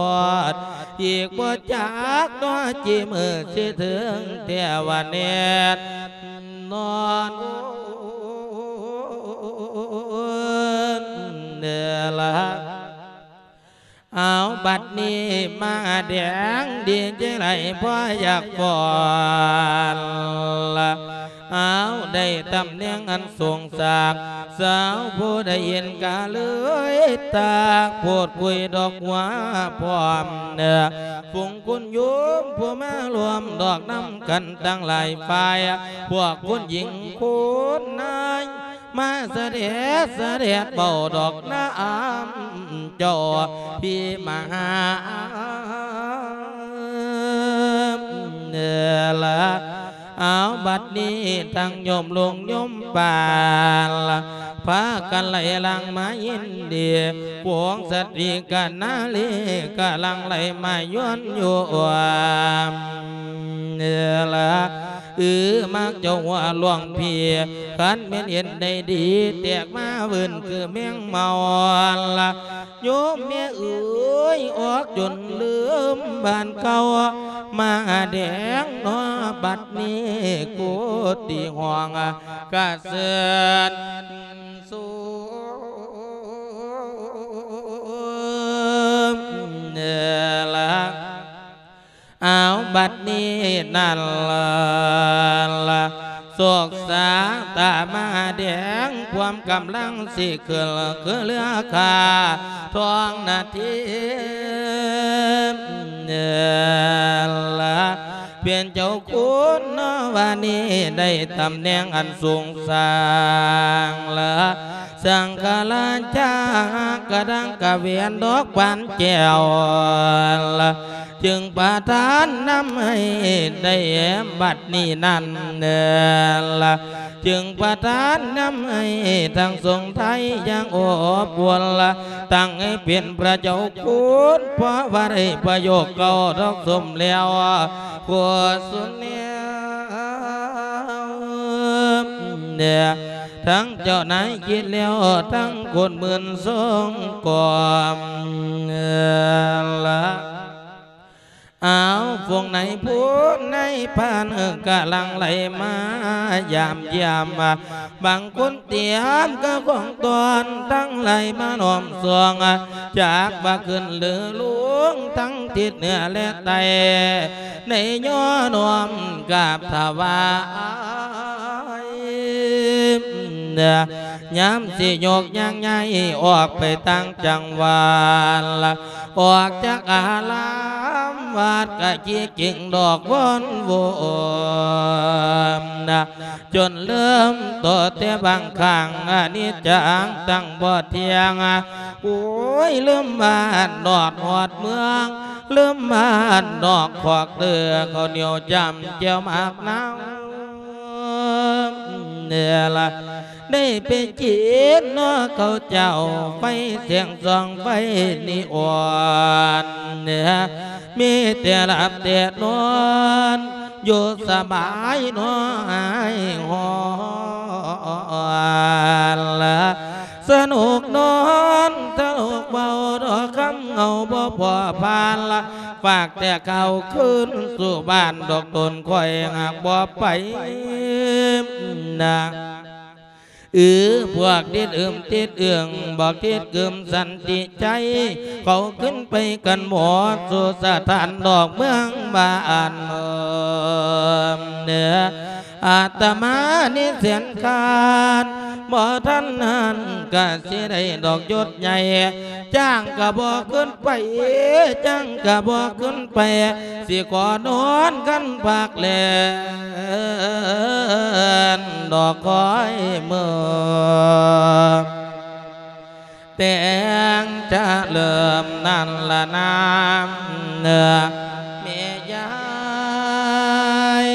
ດ ອີກບໍ່ຈັກເນາະ ຈີມື້ຊິເຖິງແຕ່ວ່າແນ່ນອນເດີລະ. ເອົາ ບັດນີ້ມາແດງ ດີໃຈຫຼາຍພໍຢາກຟ້ອນລະ ເອົາ ໄດ້ ຕຳແໜ່ງອັນສູງສັກ ສາວຜູ້ໄດ້ເຫັນກະເລີຍຕາກ ໂພດຄຸຍດອກຫົວພ້ອມເນ ຝູງຄຸນໂຍມຜູ້ມາຮ່ວມດອກນຳກັນຕັ້ງຫຼາຍຝ່າຍ ພວກຄຸນຍິງຄຸນນາຍ ມາສະແດດສະແດດເວົ້າດອກນຳເຈົ້າພີ່ມະຫາ ເອີ ລະ ເອົາ ບັດນີ້ທັງໂຍມລຸງໂຍມປ້າ ພາກັນໄຫຼຫຼັງມາຍິນດີ ພວກສະຕຣີກັບນາລີກຳລັງໄຫຼມາຍວນຢວນ ເອີ ລະ ອື ມັກເຈົ້າຫົວຫຼວງພີ່ ຄັນແມ່ນເຫັນໄດ້ດີ ແຕກມາວື່ນຄືແມງເມົາ ລະ ໂຍມແມ່ເອີຍ ອອກຈົນລືມບ້ານເກົ່າ ມາແດງເນາະ ບັດນີ້ໂກຕິຮ້ອງກະເຊີນສູງ ເອີ ລະ ເອົາ ບັດນີ້ນັ້ນລະ ໂຊກຊາຕາມາແດງ ຄວາມກຳລັງຊິຂຶ້ນຄືເຮືອຂ້າທອງນາທີ ລະ ເປັນເຈົ້າຄຸນເນາະ ວ່ານີ້ໄດ້ຕຳແໜ່ງອັນສູງສ່າງ ລະ ສັງຄະລາຊາກະດັງກະແຫວນດອກບານແກ້ວ ລະ ຈຶ່ງປະທານນຳໃຫ້ໄດ້ບັດນີ້ນັ້ນເນີ ລະ ຈຶ່ງປະທານນຳໃຫ້ທັງສົງໄທຢ່າງອົບອຸ່ນ ລະ ຕັ້ງໃຫ້ເປັນພະເຈົ້າຄຸນ ເພາະວ່າໄດ້ປະໂຍກເກົ້າດອກສົມແລ້ວ ໂຄສຸນແນວ ເອີ ທັງເຈົ້ານາຍຄິດແລ້ວ ທັງຄົນໝື່ນຊົງກອມ ເອີ ລະ ເອົາ ພວກນາຍພົນນາຍພານກຳລັງໄຫຼມາຢາມຢ້ຽມ ບາງຄົນຕຽມກະຂອງຕ້ອນ ທັງໄຫຼມາລ້ອມຊ່ວງ ຈັກວ່າຂຶ້ນຫຼືລົງ ທັງທິດເໜືອແລະໃຕ້ ໄດ້ຍໍນ້ອມກາບຖວາຍ ຍາມຊິຍົກຍ່າງຍ້າຍອອກໄປຕ່າງຈັງຫວັດ ອອກຈາກອາລາມວັດກະຂີ້ກິ່ງດອກວອນໂວນ ຈົນເລີ່ມຕໍ່ແຕ່ບາງຄັ້ງ ອະນິດຈັງຕັ້ງບໍ່ທ່ຽງ ໂອ້ຍ ລືມບ້ານນອກຮອດເມືອງ ລືມບ້ານນອກຄອກເດີ ເຂົ້າໜຽວຈ້ຳແຈ່ວໝາກນາວ ເນລະ ໄດ້ໄປກິນເນາະເຂົ້າເຈົ້າ ໄຟແສງສ່ອງໄຟນີອອນ ເນ ມີແຕ່ຫຼັບແຕ່ນອນ ຢູ່ສະບາຍເນາະ ຫາຍຮອນລະ ສະໜຸກນອນ ສະໜຸກເວົ້າດອກຄຳເຫງົາບໍ່ພໍຜ່ານລະ ຝາກແຕ່ເຂົ້າຄືນສູ່ບ້ານດອກຕົນຂ້ອຍຫາກບໍ່ໄປນະ ອື ພວກຕິດອຶມຕິດເອືອງ ບອກຕິດກຶມສັນຕິໃຈ ເຂົາຂຶ້ນໄປກັນໝົດສູ່ສະຖານດອກເມືອງບ້ານເດີ ອາດຕະມານີ້ແສນຄານ ບໍ່ທັນຫັ້ນກະຊິໄດ້ດອກຍົດໃຫຍ່ ຈ້າງກະບໍ່ຂຶ້ນໄປ ຈ້າງກະບໍ່ຂຶ້ນໄປ ຊິຂໍນອນກັນພັກແລນ ດອກຄອຍມື້ ແຕ່ງຈະເລີ່ມນັ້ນລະນາ ເອີ ແມ່ຍາຍ.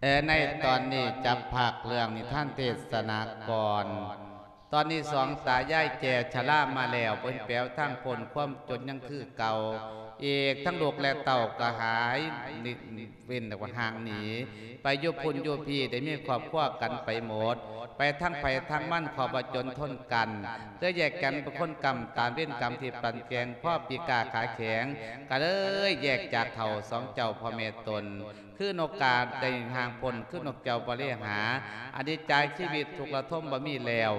ເອີ ໃນຕອນນີ້ຈັບພາກເລື່ອງນິທານເທດສະນາກ່ອນ. ຕອນນີ້ສອງຕາຍາຍແກ່ຊະລາມາແລ້ວ ເພິ່ນແປວທາງພົ້ນຄວາມຈົນຍັງຄືເກົ່າ. ອີກທັງລູກແລະເຕົ້າກໍຫາຍເວັ້ນຫ່າງໜີ ໄປຢູ່ພຸ້ນຢູ່ພີ້ ໄດ້ມີຄອບຄົວກັນໄປໝົດ ໄປທາງໃຜທາງມັນ ເພາະວ່າຈົນທົນກັນ ເລີຍແຍກກັນເປັນຄົນກຳ ຕາມເວນກຳທີ່ປັນແກ່ງ ພໍປີກາຂາແຂງ ກໍເລີຍແຍກຈາກເຖົ້າສອງເຈົ້າພໍ່ແມ່ຕົນ ຄືນົກກາໄດ້ຫ່າງພົ້ນ ຄືນົກເຈົ້າບໍ່ເລຫາ ອະນິດຈາຊີວິດທຸກລະທົມບໍ່ມີແລ້ວ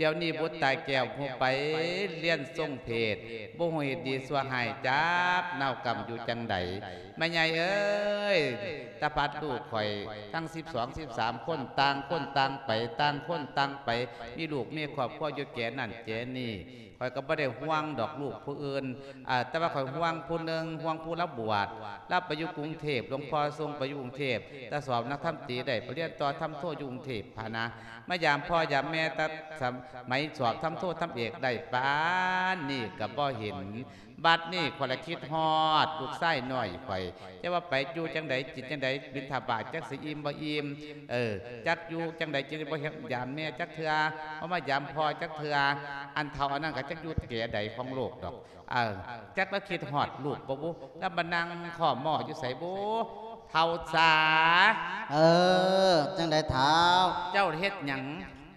ດຽວນີ້ບຸດຕາຍແກ້ວ ຮູ້ໄປລຽນຊົງເພດ ບໍ່ຮູ້ເຮັດດີຊົ່ວຮ້າຍ ຈັກນາວກຳຢູ່ຈັ່ງໃດ ແມ່ໃຫຍ່ເອີຍ ຕາພັດລູກຂ້ອຍ ທັງສິບສອງ ສິບສາມຄົນ ຕ່າງຄົນຕ່າງໄປ ຕ່າງຄົນຕ່າງໄປ ມີລູກມີຄອບຄົວຢູ່ແກ່ນັ້ນແກ່ນີ້ ຂ້ອຍກໍບໍ່ໄດ້ຫ່ວງດອກລູກຜູ້ອື່ນ ອາ ແຕ່ວ່າຂ້ອຍຫ່ວງຜູ້ໜຶ່ງ ຫ່ວງຜູ້ລາວບວດ ລາວໄປຢູ່ກຸງເທບ ຫຼວງພໍ່ສົ່ງໄປຢູ່ກຸງເທບ ແຕ່ສອບນັກທຳຕີໄດ້ ໄປຮຽນຕໍ່ທຳໂທຢູ່ກຸງເທບພະນະ ມາຢາມພໍ່ຢາມແມ່ ແຕ່ສະໄໝສອບທຳໂທທຳເອກໄດ້ ປານນີ້ກໍບໍ່ເຫັນ ບັດນີ້ຂ້ອຍລະຄິດຮອດລູກຊາຍນ້ອຍຂ້ອຍ ຈະວ່າໄປຢູ່ຈັ່ງໃດ ກິນຈັ່ງໃດ ບິນທະບາດຈັກຊິອີ່ມບໍ່ອີ່ມ ເອີ ຈັກຢູ່ຈັ່ງໃດ ຈຶ່ງບໍ່ເຫັນຢາມແມ່ຈັກເທື່ອ ບໍ່ມາຢາມພໍ່ຈັກເທື່ອ ອັນເຖົ້າອັນນັ້ນກໍຈັກຢູ່ແກ່ໃດຂອງໂລກດອກ ເອີ ຈັກລະຄິດຮອດລູກບໍ່ບຸ ລະມານັ່ງຄໍ້ມໍຢູ່ໃສບຸ ເຖົ້າສາ. ເອີ ຈັ່ງໃດເຖົ້າ? ເຈົ້າເຮັດຫຍັງ?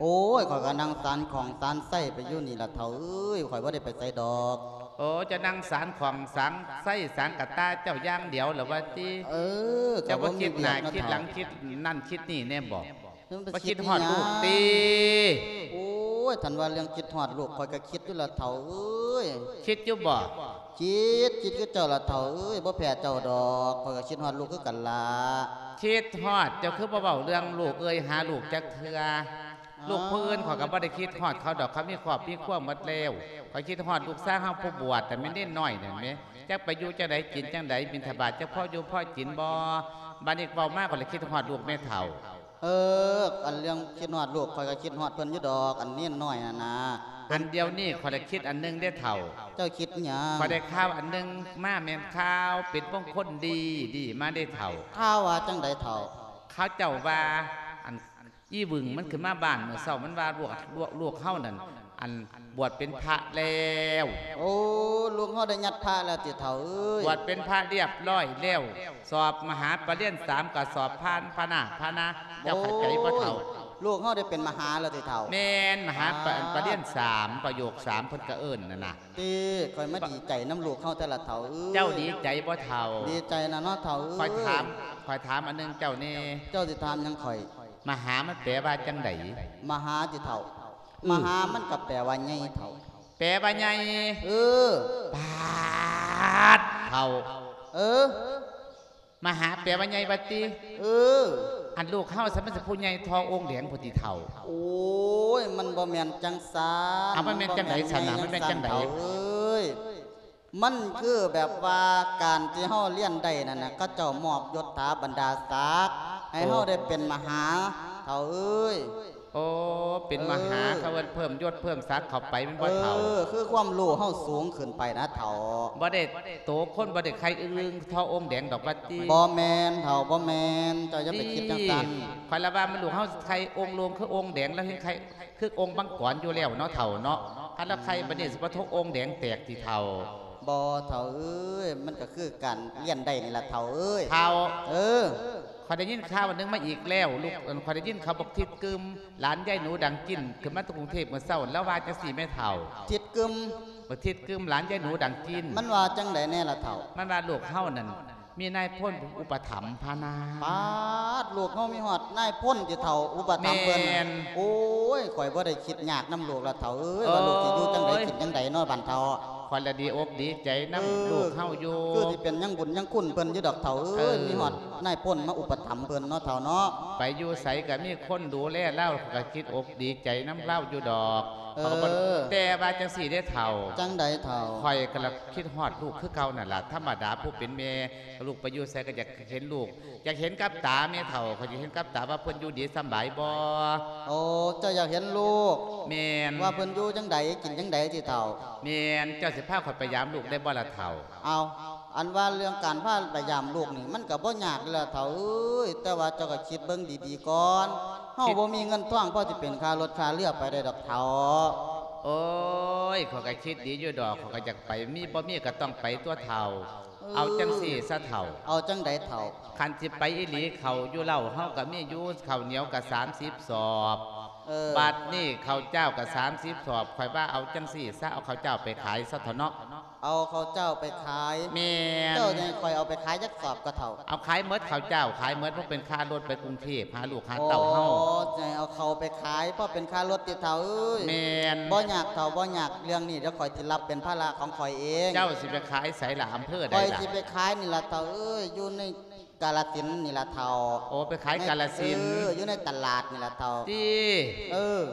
ໂອ້ຍ ຂ້ອຍກໍນັ່ງສານຂອງສານໄຊໄປຢູ່ນີ້ລະເຖົ້າເອີຍ ຂ້ອຍບໍ່ໄດ້ໄປໃສດອກ. ໂອ້ ເຈົ້ານັ່ງສານຂອງສານໄຊສານກະຕ່າເຈົ້າຢ່າງດຽວລະວ່າຕິ? ເອີ ເຈົ້າບໍ່ຄິດໜ້າຄິດຫຼັງ ຄິດນັ້ນຄິດນີ້ແນ່ບໍ? ບໍ່ຄິດຮອດລູກຕິ? ໂອ້ຍ ຄັນວ່າເລື່ອງຄິດຮອດລູກ ຂ້ອຍກໍຄິດຢູ່ລະເຖົ້າເອີຍ. ຄິດຢູ່ບໍ? ຄິດ ຄິດຄືເຈົ້າລະເຖົ້າເອີຍ ບໍ່ແພ້ເຈົ້າດອກ ຂ້ອຍກໍຄິດຮອດລູກຄືກັນລະ. ຄິດຮອດ ເຈົ້າຄືບໍ່ເວົ້າເລື່ອງລູກເອີຍ ຫາລູກຈັກເທື່ອ? ລູກຜູ້ອື່ນຂ້ອຍກໍບໍ່ໄດ້ຄິດຮອດເຂົາດອກ ເຂົາມີຄອບມີຄົວໝົດແລ້ວ. ຂ້ອຍຄິດຮອດລູກຊາຍເຮົາຜູ້ບວດ ແຕ່ແມ່ນເນນນ້ອຍນັ້ນແມ ຈັກໄປຢູ່ຈັ່ງໃດ ກິນຈັ່ງໃດ ບິນທະບາດຈັກພໍຢູ່ພໍກິນບໍ່? ບາດນີ້ເວົ້າມາ ຂ້ອຍລະຄິດຮອດລູກແມ່ເຖົ້າ. ເອີ ອັນເລື່ອງຄິດຮອດລູກ ຂ້ອຍກໍຄິດຮອດເພິ່ນຢູ່ດອກ ອັນເນນນ້ອຍຫັ້ນນາ. ອັນດຽວນີ້ຂ້ອຍລະຄິດອັນໜຶ່ງເດ້ເຖົ້າ. ເຈົ້າຄິດຫຍັງ? ຂ້ອຍໄດ້ຂ່າວອັນໜຶ່ງມາ ແມ່ນຂ່າວເປັນມົງຄົນດີ ດີມາເດ້ເຖົ້າ. ຂ່າວວ່າຈັ່ງໃດເຖົ້າ? ເຂົາເຈົ້າວ່າ ອັນ ອີຫວຶງມັນຂຶ້ນມາບ້ານມື້ເຊົ້າ ມັນວ່າລູກ ລູກ ລູກເຮົານັ້ນ ອັນ ບວດເປັນພະແລ້ວ. ໂອ້ ລູກເຮົາໄດ້ຍັດພະແລ້ວຕິເຖົ້າເອີຍ? ບວດເປັນພະລຽບຮ້ອຍແລ້ວ ສອບມະຫາປະລຽນສາມກໍສອບຜ່ານພະນາ ພະນາ. ເຈົ້າເຂົ້າໃຈບໍ່ເຖົ້າ? ໂອ້ຍ ລູກເຮົາໄດ້ເປັນມະຫາແລ້ວຕິເຖົ້າ? ແມ່ນ ມະຫາປະ ອ່າ ປະລຽນສາມ ປະໂຫຍກສາມ ເພິ່ນກໍເອີ້ນນັ້ນນະ. ຕິ ຂ້ອຍມາດີໃຈນຳລູກເຮົາແທ້ລະເຖົ້າເອີຍ. ເຈົ້າດີໃຈບໍ່ເຖົ້າ? ດີໃຈນະເນາະເຖົ້າເອີຍ. ຂ້ອຍຖາມ ຂ້ອຍຖາມອັນໜຶ່ງເຈົ້າແນ່. ເຈົ້າຊິຖາມຫຍັງຂ້ອຍ? ມະຫາມັນແປວ່າຈັ່ງໃດ? ມະຫາຕິເຖົ້າ? ອືມ ມະຫາມັນກໍແປວ່າໃຫຍ່ເຖົ້າ. ແປວ່າໃຫຍ່? ເອີ. ປາດເຖົ້າ. ເອີ. ມະຫາແປວ່າໃຫຍ່ວ່າຕິ? ເອີ. ອັນລູກເຮົາຊັ້ນມັນຊິຜູ້ໃຫຍ່ທໍ່ອົງແດງພຸ້ນຕິເຖົ້າ? ໂອ້ຍ ມັນບໍ່ແມ່ນຈັ່ງຊັ້ນ. ເອົາ ມັນແມ່ນຈັ່ງໃດຊັ້ນນະ? ມັນແມ່ນຈັ່ງໃດ? ມັນບໍ່ແມ່ນຈັ່ງຊັ້ນເຖົ້າເອີຍ. ມັນຄືແບບວ່າການທີ່ເຮົາລຽນໄດ້ນັ້ນນະ ເຂົາເຈົ້າມອບຍົດຖາບັນດາສັກໃຫ້ເຮົາ ໂອ້ ໄດ້ເປັນມະຫາເຖົ້າເອີຍ. ໂອ້ ເປັນມະຫາ ເອີ ເຂົາເອີ້ນເພີ່ມຍົດເພີ່ມສັກເຂົ້າໄປແມ່ນບໍ່ເຖົ້າ? ເອີ ຄືຄວາມຮູ້ເຮົາສູງຂຶ້ນໄປນະເຖົ້າ. ບໍ່ໄດ້ໂຕຄົນ ບໍ່ໄດ້ໄຂ່ອຶ່ງໆ ທໍ່ອົງແດງດອກວ່າຕິ? ບໍ່ແມ່ນເຖົ້າ ບໍ່ແມ່ນ. ເຈົ້າຢ່າໄປຄິດຈັ່ງຊັ້ນ. ຂ້ອຍລະວ່າມັນລູກເຮົາໄຂ່ອົງໂລງຄືອົງແດງ ລະເຮັດໄຂ່ຄືອົງມັງກອນຢູ່ແລ້ວເນາະເຖົ້າເນາະ. ຄັນລະໄຂ່ບາດນີ້ຊິບໍ່ທົກອົງແດງແຕກຕິເຖົ້າ? ບໍ່ເຖົ້າເອີຍ ມັນກໍຄືການລຽນໄດ້ນີ້ລະເຖົ້າເອີຍ. ເຖົ້າ ເອີ ຂ້ອຍໄດ້ຍິນຂ່າວອັນໜຶ່ງມາອີກແລ້ວ ລູກ ຂ້ອຍໄດ້ຍິນຂ່າວບັກທິດກຶມ ຫຼານຍາຍໜູດັງຈິ້ນ ຂຶ້ນມາແຕ່ກຸງເທບມື້ເຊົ້າ ລາວວ່າຈັ່ງຊີ້ແມ່ເຖົ້າ. ທິດກຶມ? ບັກທິດກຶມ ຫຼານຍາຍໜູດັງຈິ້ນ. ມັນວ່າຈັ່ງໃດແດ່ລະເຖົ້າ? ມັນວ່າລູກເຮົານັ້ນ ມີນາຍພົນເປັນຜູ້ອຸປະຖຳພານາ. ປາດ ລູກເຮົາມີຮອດນາຍພົນຕິເຖົ້າ ອຸປະຖຳເພິ່ນ? ແມ່ນ. ໂອ້ຍ ຂ້ອຍບໍ່ໄດ້ຄິດຍາກນຳລູກລະເຖົ້າເອີຍ ວ່າລູກຊິຢູ່ຈັ່ງໃດ ໂອ້ຍ ກິນຈັ່ງໃດເນາະບາດເຖົ້າ. ຂ້ອຍລະດີອົກດີໃຈນຳ ເອີ ລູກເຮົາຢູ່ ຄືຊິເປັນຫຍັງບຸນຫຍັງຄຸນເພິ່ນຢູ່ດອກເຖົ້າເອີຍ. ເອີ ມີຮອດນາຍພົນມາອຸປະຖຳເພິ່ນເນາະເຖົ້າເນາະ. ໄປຢູ່ໃສກໍມີຄົນດູແລລາວ ຂ້ອຍກໍຄິດອົກດີໃຈນຳລາວຢູ່ດອກ. ເອີ ແຕ່ວ່າຈັ່ງຊີ້ເດ້ເຖົ້າ. ຈັ່ງໃດເຖົ້າ? ຂ້ອຍກໍລະຄິດຮອດລູກຄືເກົ່ານັ້ນລະ ທຳມະດາຜູ້ເປັນແມ່ ລູກໄປຢູ່ໃສກໍຢາກເຫັນລູກ ຢາກເຫັນກັບຕາແມ່ເຖົ້າ ຂ້ອຍຢາກເຫັນກັບຕາວ່າເພິ່ນຢູ່ດີສຳບາຍບໍ່. ໂອ້ ເຈົ້າຢາກເຫັນລູກ? ແມ່ນ. ວ່າເພິ່ນຢູ່ຈັ່ງໃດ ກິນຈັ່ງໃດຕິເຖົ້າ? ແມ່ນ. ເຈົ້າຊິພາຂ້ອຍໄປຢາມລູກໄດ້ບໍ່ລະເຖົ້າ? ເອົາ ອັນວ່າເລື່ອງການພາໄປຢາມລູກນີ້ ມັນກໍບໍ່ຍາກເລີຍລະເຖົ້າເອີຍ ແຕ່ວ່າເຈົ້າກໍຄິດເບິ່ງດີໆກ່ອນ ເຮົາບໍ່ມີເງິນທອງພໍຊິເປັນຄ່າລົດຄ່າເຮືອໄປໄດ້ດອກເຖົ້າ. ໂອ້ຍ ຂ້ອຍກໍຄິດດີຢູ່ດອກ ຂ້ອຍກໍຢາກໄປ ມີບໍ່ມີກໍຕ້ອງໄປຕົວະເຖົ້າ. ເອີ ເອົາຈັ່ງຊີ້ຊະເຖົ້າ ເອົາຈັ່ງໃດເຖົ້າ? ຄັນຊິໄປອີ່ຫຼີ ເຂົ້າຢູ່ເລົ້າເຮົາກໍມີຢູ່ ເຂົ້າໜຽວກໍສາມສິບສອບ ເອີ ບັດນີ້ເຂົ້າຈ້າວກໍສາມສິບສອບ ຂ້ອຍວ່າເອົາຈັ່ງຊີ້ຊະ ເອົາເຂົ້າຈ້າວໄປຂາຍຊະເຖົ້າເນາະ. ເອົາເຂົ້າຈ້າວໄປຂາຍ. ແມ່ນ. ເຈົ້າຈະໃຫ້ຂ້ອຍເອົາໄປຂາຍຈັກສອບກໍເຖົ້າ? ເອົາຂາຍໝົດເຂົ້າຈ້າວ ຂາຍໝົດ ເພາະເປັນຄ່າລົດໄປກຸງເທບຫາລູກຫາເຕົ້າເຮົາ. ອໍ ຈະໃຫ້ເອົາເຂົ້າໄປຂາຍ ເພາະເປັນຄ່າລົດຕິເຖົ້າເອີຍ. ແມ່ນ. ບໍ່ຍາກເຖົ້າ ບໍ່ຍາກ ເລື່ອງນີ້ດຽວຂ້ອຍຊິຮັບເປັນພາລະຂອງຂ້ອຍເອງ. ເຈົ້າຊິໄປຂາຍໃສລະ? ອຳເພີໃດລະ? ຂ້ອຍຊິໄປຂາຍນີ້ລະເຖົ້າເອີຍ ຢູ່ໃນ ກາລະສິນນີ້ລະເຖົ້າ. ໂອ້ ໄປຂາຍກາລະສິນ. ເອີ ຢູ່ໃນຕະຫຼາດນີ້ລະເຖົ້າ. ຕິ? ເອີ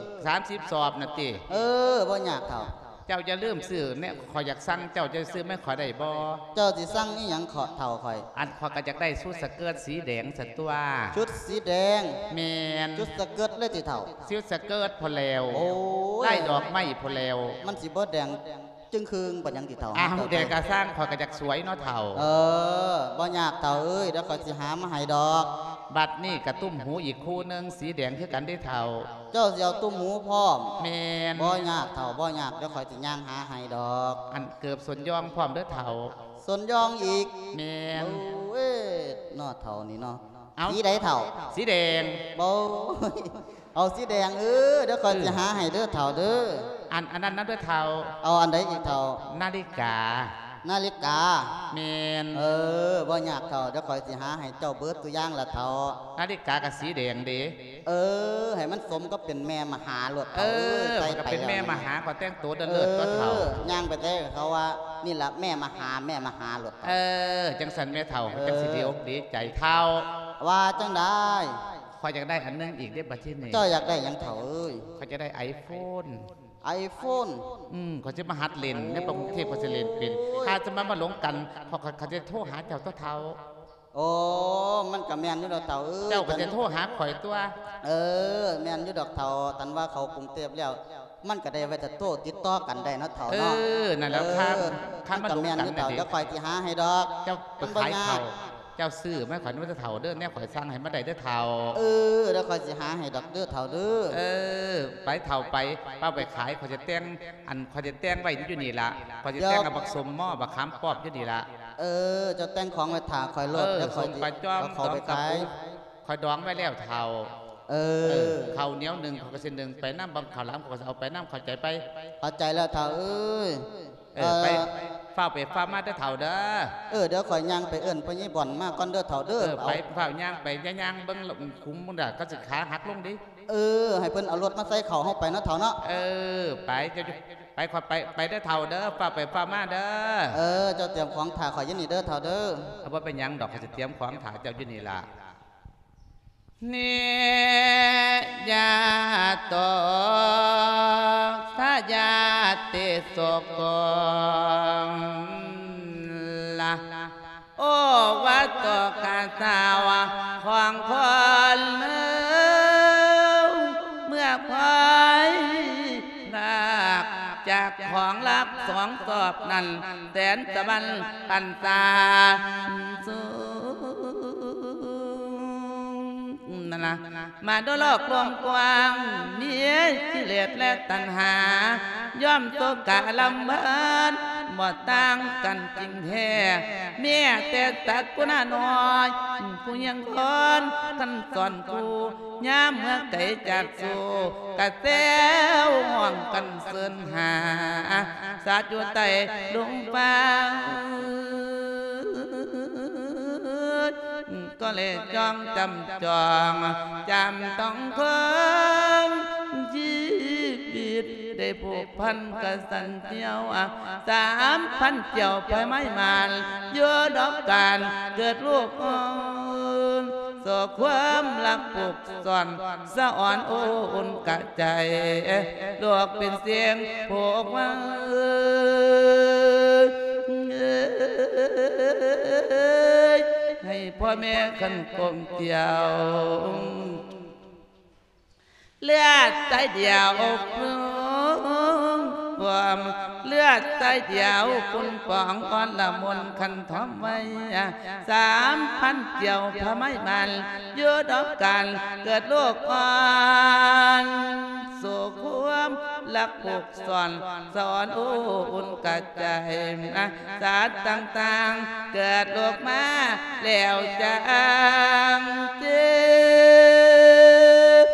ສາມສິບສອບນະຕິ? ເອີ ບໍ່ຍາກເຖົ້າ. ເຈົ້າຢ່າລືມຊື້ແນວ ຂ້ອຍຢາກສັ່ງເຈົ້າ ເຈົ້າຊື້ມາໃຫ້ຂ້ອຍໄດ້ບໍ່? ເຈົ້າຊິສັ່ງອີ່ຫຍັງເຖົ້າຂ້ອຍ? ອັນ ຂ້ອຍກໍຢາກໄດ້ຊຸດສະເກີດສີແດງຊັ້ນຕົວະ. ຊຸດສີແດງ? ແມ່ນ. ຊຸດສະເກີດເລີຍຕິເຖົ້າ? ຊຸດສະເກີດພຸ້ນແລ້ວ. ໂອ້ຍ ລາຍດອກໄມ້ພຸ້ນແລ້ວ. ມັນຊິບໍ່ແດງ ຈຶ່ງຄຶ່ງປານຫຍັງຕິເຖົ້າ? ອ້າວ ແດງກະຊ່າງ ຂ້ອຍກໍຢາກສວຍເນາະເຖົ້າ. ເອີ ບໍ່ຍາກເຖົ້າເອີຍ ດຽວຂ້ອຍຊິຫາມາໃຫ້ດອກ. ບັດນີ້ກະຕຸ້ມຫູອີກຄູ່ໜຶ່ງ ສີແດງຄືກັນເດ້ເຖົ້າ. ເຈົ້າຊິເອົາຕຸ້ມຫູພ້ອມ? ແມ່ນ. ບໍ່ຍາກເຖົ້າ ບໍ່ຍາກ ດຽວຂ້ອຍຊິຍ່າງຫາໃຫ້ດອກ. ອັນເກີບສົ້ນຢອງພ້ອມເດີເຖົ້າ. ສົ້ນຢອງອີກ? ແມ່ນ. ໂອ້ຍ ເນາະເຖົ້ານີ້ເນາະ. ເອົາ ສີໃດເຖົ້າ? ສີແດງ. ບໍ່ ເອົາສີແດງ ເອີ ດຽວຂ້ອຍ ເອີ ຊິຫາໃຫ້ເດີເຖົ້າເດີ. ອັນ ອັນນັ້ນນຳເດີເຖົ້າ. ເອົາອັນໃດອີກເຖົ້າ? ນາລິກາ. ນາລິກາ? ແມ່ນ. ເອີ ບໍ່ຍາກເຖົ້າ ດຽວຂ້ອຍຊິຫາໃຫ້ເຈົ້າເບິດທຸກຢ່າງລະເຖົ້າ. ນາລິກາກໍສີແດງເດ. ເອີ ໃຫ້ມັນສົມກັບເປັນແມ່ມະຫາໂລດເຖົ້າ. ເອີ ເອີຍ ໃສ່ໄປແລ້ວ ຂ້ອຍກໍເປັນແມ່ມະຫາ ຂ້ອຍແຕ່ງໂຕເລີດໆ ເອີ ຕົວະເຖົ້າ. ຍ່າງໄປໃສເຂົາວ່າ ນີ້ລະແມ່ມະຫາ ແມ່ມະຫາໂລດເຖົ້າ. ເອີ ຈັ່ງຊັ້ນແມ່ເຖົ້າ ເອີ ຈັ່ງຊິດີອົກດີໃຈເຖົ້າ. ວ່າຈັ່ງໃດ? ຂ້ອຍຢາກໄດ້ອັນໜຶ່ງອີກເດ້ບັດທີນີ້. ເຈົ້າຢາກໄດ້ຫຍັງເຖົ້າເອີຍ? ຂ້ອຍຢາກໄດ້ໄອໂຟນ. ໄອໂຟນ? ອືມ ຂ້ອຍຊິມາຫັດຫຼິ້ນໃນປະເທດ ຂ້ອຍຊິຫຼິ້ນເປັນ. ໂອ້ຍ ຖ້າຈະມາ ມາຫຼົງກັນ ຂ້ອຍ ຂ້ອຍ ຂ້ອຍຈະໂທຫາເຈົ້າຕົວະເຖົ້າ. ໂອ້ ມັນກະແມ່ນຢູ່ດອກເຖົ້າເອີຍ. ເຈົ້າກໍຈະໂທຫາຂ້ອຍຕົວະ. ເອີ ແມ່ນຢູ່ດອກເຖົ້າ ຄັນວ່າເຂົ້າກຸງເທບແລ້ວ ມັນກະໄດ້ໄວ້ແຕ່ໂທຕິດຕໍ່ກັນໄດ້ເນາະເຖົ້າເນາະ. ເອີ ນັ້ນແຫຼະ ເອີ ຄັນ ຄັນມາ ມັນກະແມ່ນຢູ່ເຖົ້າ ແລ້ວຂ້ອຍຊິຫາໃຫ້ດອກ. ເຈົ້າໄປຂາຍເຂົ້າ ເຈົ້າຊື້ມາໃຫ້ຂ້ອຍນຳເດີເຖົ້າເດີ ແນວຂ້ອຍສັ່ງໃຫ້ມາໄດ້ເດີເຖົ້າ. ເອີ ດຽວຂ້ອຍຊິຫາໃຫ້ດອກເດີເຖົ້າເດີ. ເອີ ໄປເຖົ້າໄປ ເອົາໄປຂາຍ ຂ້ອຍຈະແຕ່ງ ອັນ ຂ້ອຍຈະແຕ່ງໄວ້ຢູ່ນີ້ລະ ຂ້ອຍຈະແຕ່ງເອົາບັກສົ້ມມໍ ບັກຂາມປ້ອມຢູ່ນີ້ລະ. ເອີ ເຈົ້າແຕ່ງຂອງໄວ້ຖ້າຂ້ອຍໂລດ. ເອີ ດຽວຂ້ອຍ ສົ້ມປາຈອມ ເອົາເຂົ້າໄປຂາຍ. ຂ້ອຍດອງໄວ້ແລ້ວເຖົ້າ. ເອີ ເອີ ເຂົ້າໜຽວໜຶ້ງ ຂ້ອຍກໍຊິໜຶ້ງໄປນຳ ບັກເຂົ້າຫຼາມ ຂ້ອຍກໍຊິເອົາໄປນຳ ເຂົ້າໃຈໄປ? ເຂົ້າໃຈແລ້ວເຖົ້າເອີຍ. ເອີ ເອີ ໄປ ຟ້າວໄປຟ້າວມາເດີເຖົ້າເດີ. ເອີ ດຽວຂ້ອຍຍ່າງໄປເອີ້ນພໍ່ໃຫຍ່ບ່ອນມາກ່ອນເດີເຖົ້າເດີ. ເອີ ໄປ ເອົາ ຟ້າວຍ່າງໄປ ຢ່າຍ່າງເບິ່ງຂຸມພຸ້ນດາ ເຂົາຊິຂາຫັກລົງເດ. ເອີ ໃຫ້ເພິ່ນເອົາລົດມາໃສ່ເຂົ້າເຮົາໄປເນາະເຖົ້າເນາະ. ເອີ ໄປ ເຈົ້າໄປ ຂ້ອຍໄປ ໄປເດີເຖົ້າເດີ ຟ້າວໄປຟ້າວມາເດີ. ເອີ ເຈົ້າຕຽມຂອງຖ້າຂ້ອຍຢູ່ນີ້ເດີເຖົ້າເດີ. ເອົາ ບໍ່ເປັນຫຍັງດອກ ຂ້ອຍຊິຕຽມຂອງຖ້າເຈົ້າຢູ່ນີ້ລະ. ນິຍາໂຕ ສະຍາຕິສຸໂກ ລະ ໂອວາໂຕ ກະສາວະ ຂອງຄົນເມືອງ ເມື່ອພອຍພາກຈາກຂອງລັບສອງຊອບນັ້ນ ແສນສະຫວັນພັນສາສູງ ນັ້ນນະ ມະໂນໂລກກວ້າງ ມີກິເລດແລະຕັນຫາ ຍ່ອມໂສກະລຳເພິນ ບໍ່ຕ່າງກັນຈິງແທ້ ແມ້ແຕ່ສັດຜູ້ນ້ອຍ ຜູ້ຍັງຄົນຄັນສອນຄູ່ ຍາມເມື່ອໄກຈາກສູ່ ກະແຊວຮ້ອງກັນເຊີນຫາ ສາດຢູ່ໃຕ້ດົງຟາ ກໍແລຈ້ອງຈຳຈອງ ຈຳຕ້ອງເຄີງ ຊີວິດໄດ້ຜູກພັນກະສັນຈຽວ ສາມພັນຈຽວພະໄມມານ ຢູ່ດອກການເກີດລູກອ່ອນ ໂສຄວາມລັກຜູກ ສອນສະອອນໂອອຸ່ນກະໃຈ ລູກເປັນສຽງຜູກວ່າ ໃຫ້ພໍ່ແມ່ຄັນກົມກຽວ ເລືອດໃສດຽວປຸ້ງປອມ ເລືອດໃສດຽວປຸ້ງປອງ ອ່ອນລະມຸນຄັນທອມໄວ້ ສາມພັນກຽວພະໄມມານ ຢູ່ດອກການເກີດລູກອ່ອນ ໂສຄວາມ ລັກຜູກສອນ ສອນໂອ້ອຸ່ນກະໃຈ ອາ ສັດຕ່າງໆເກີດໂລກມາແລ້ວຈາງເຈັບ.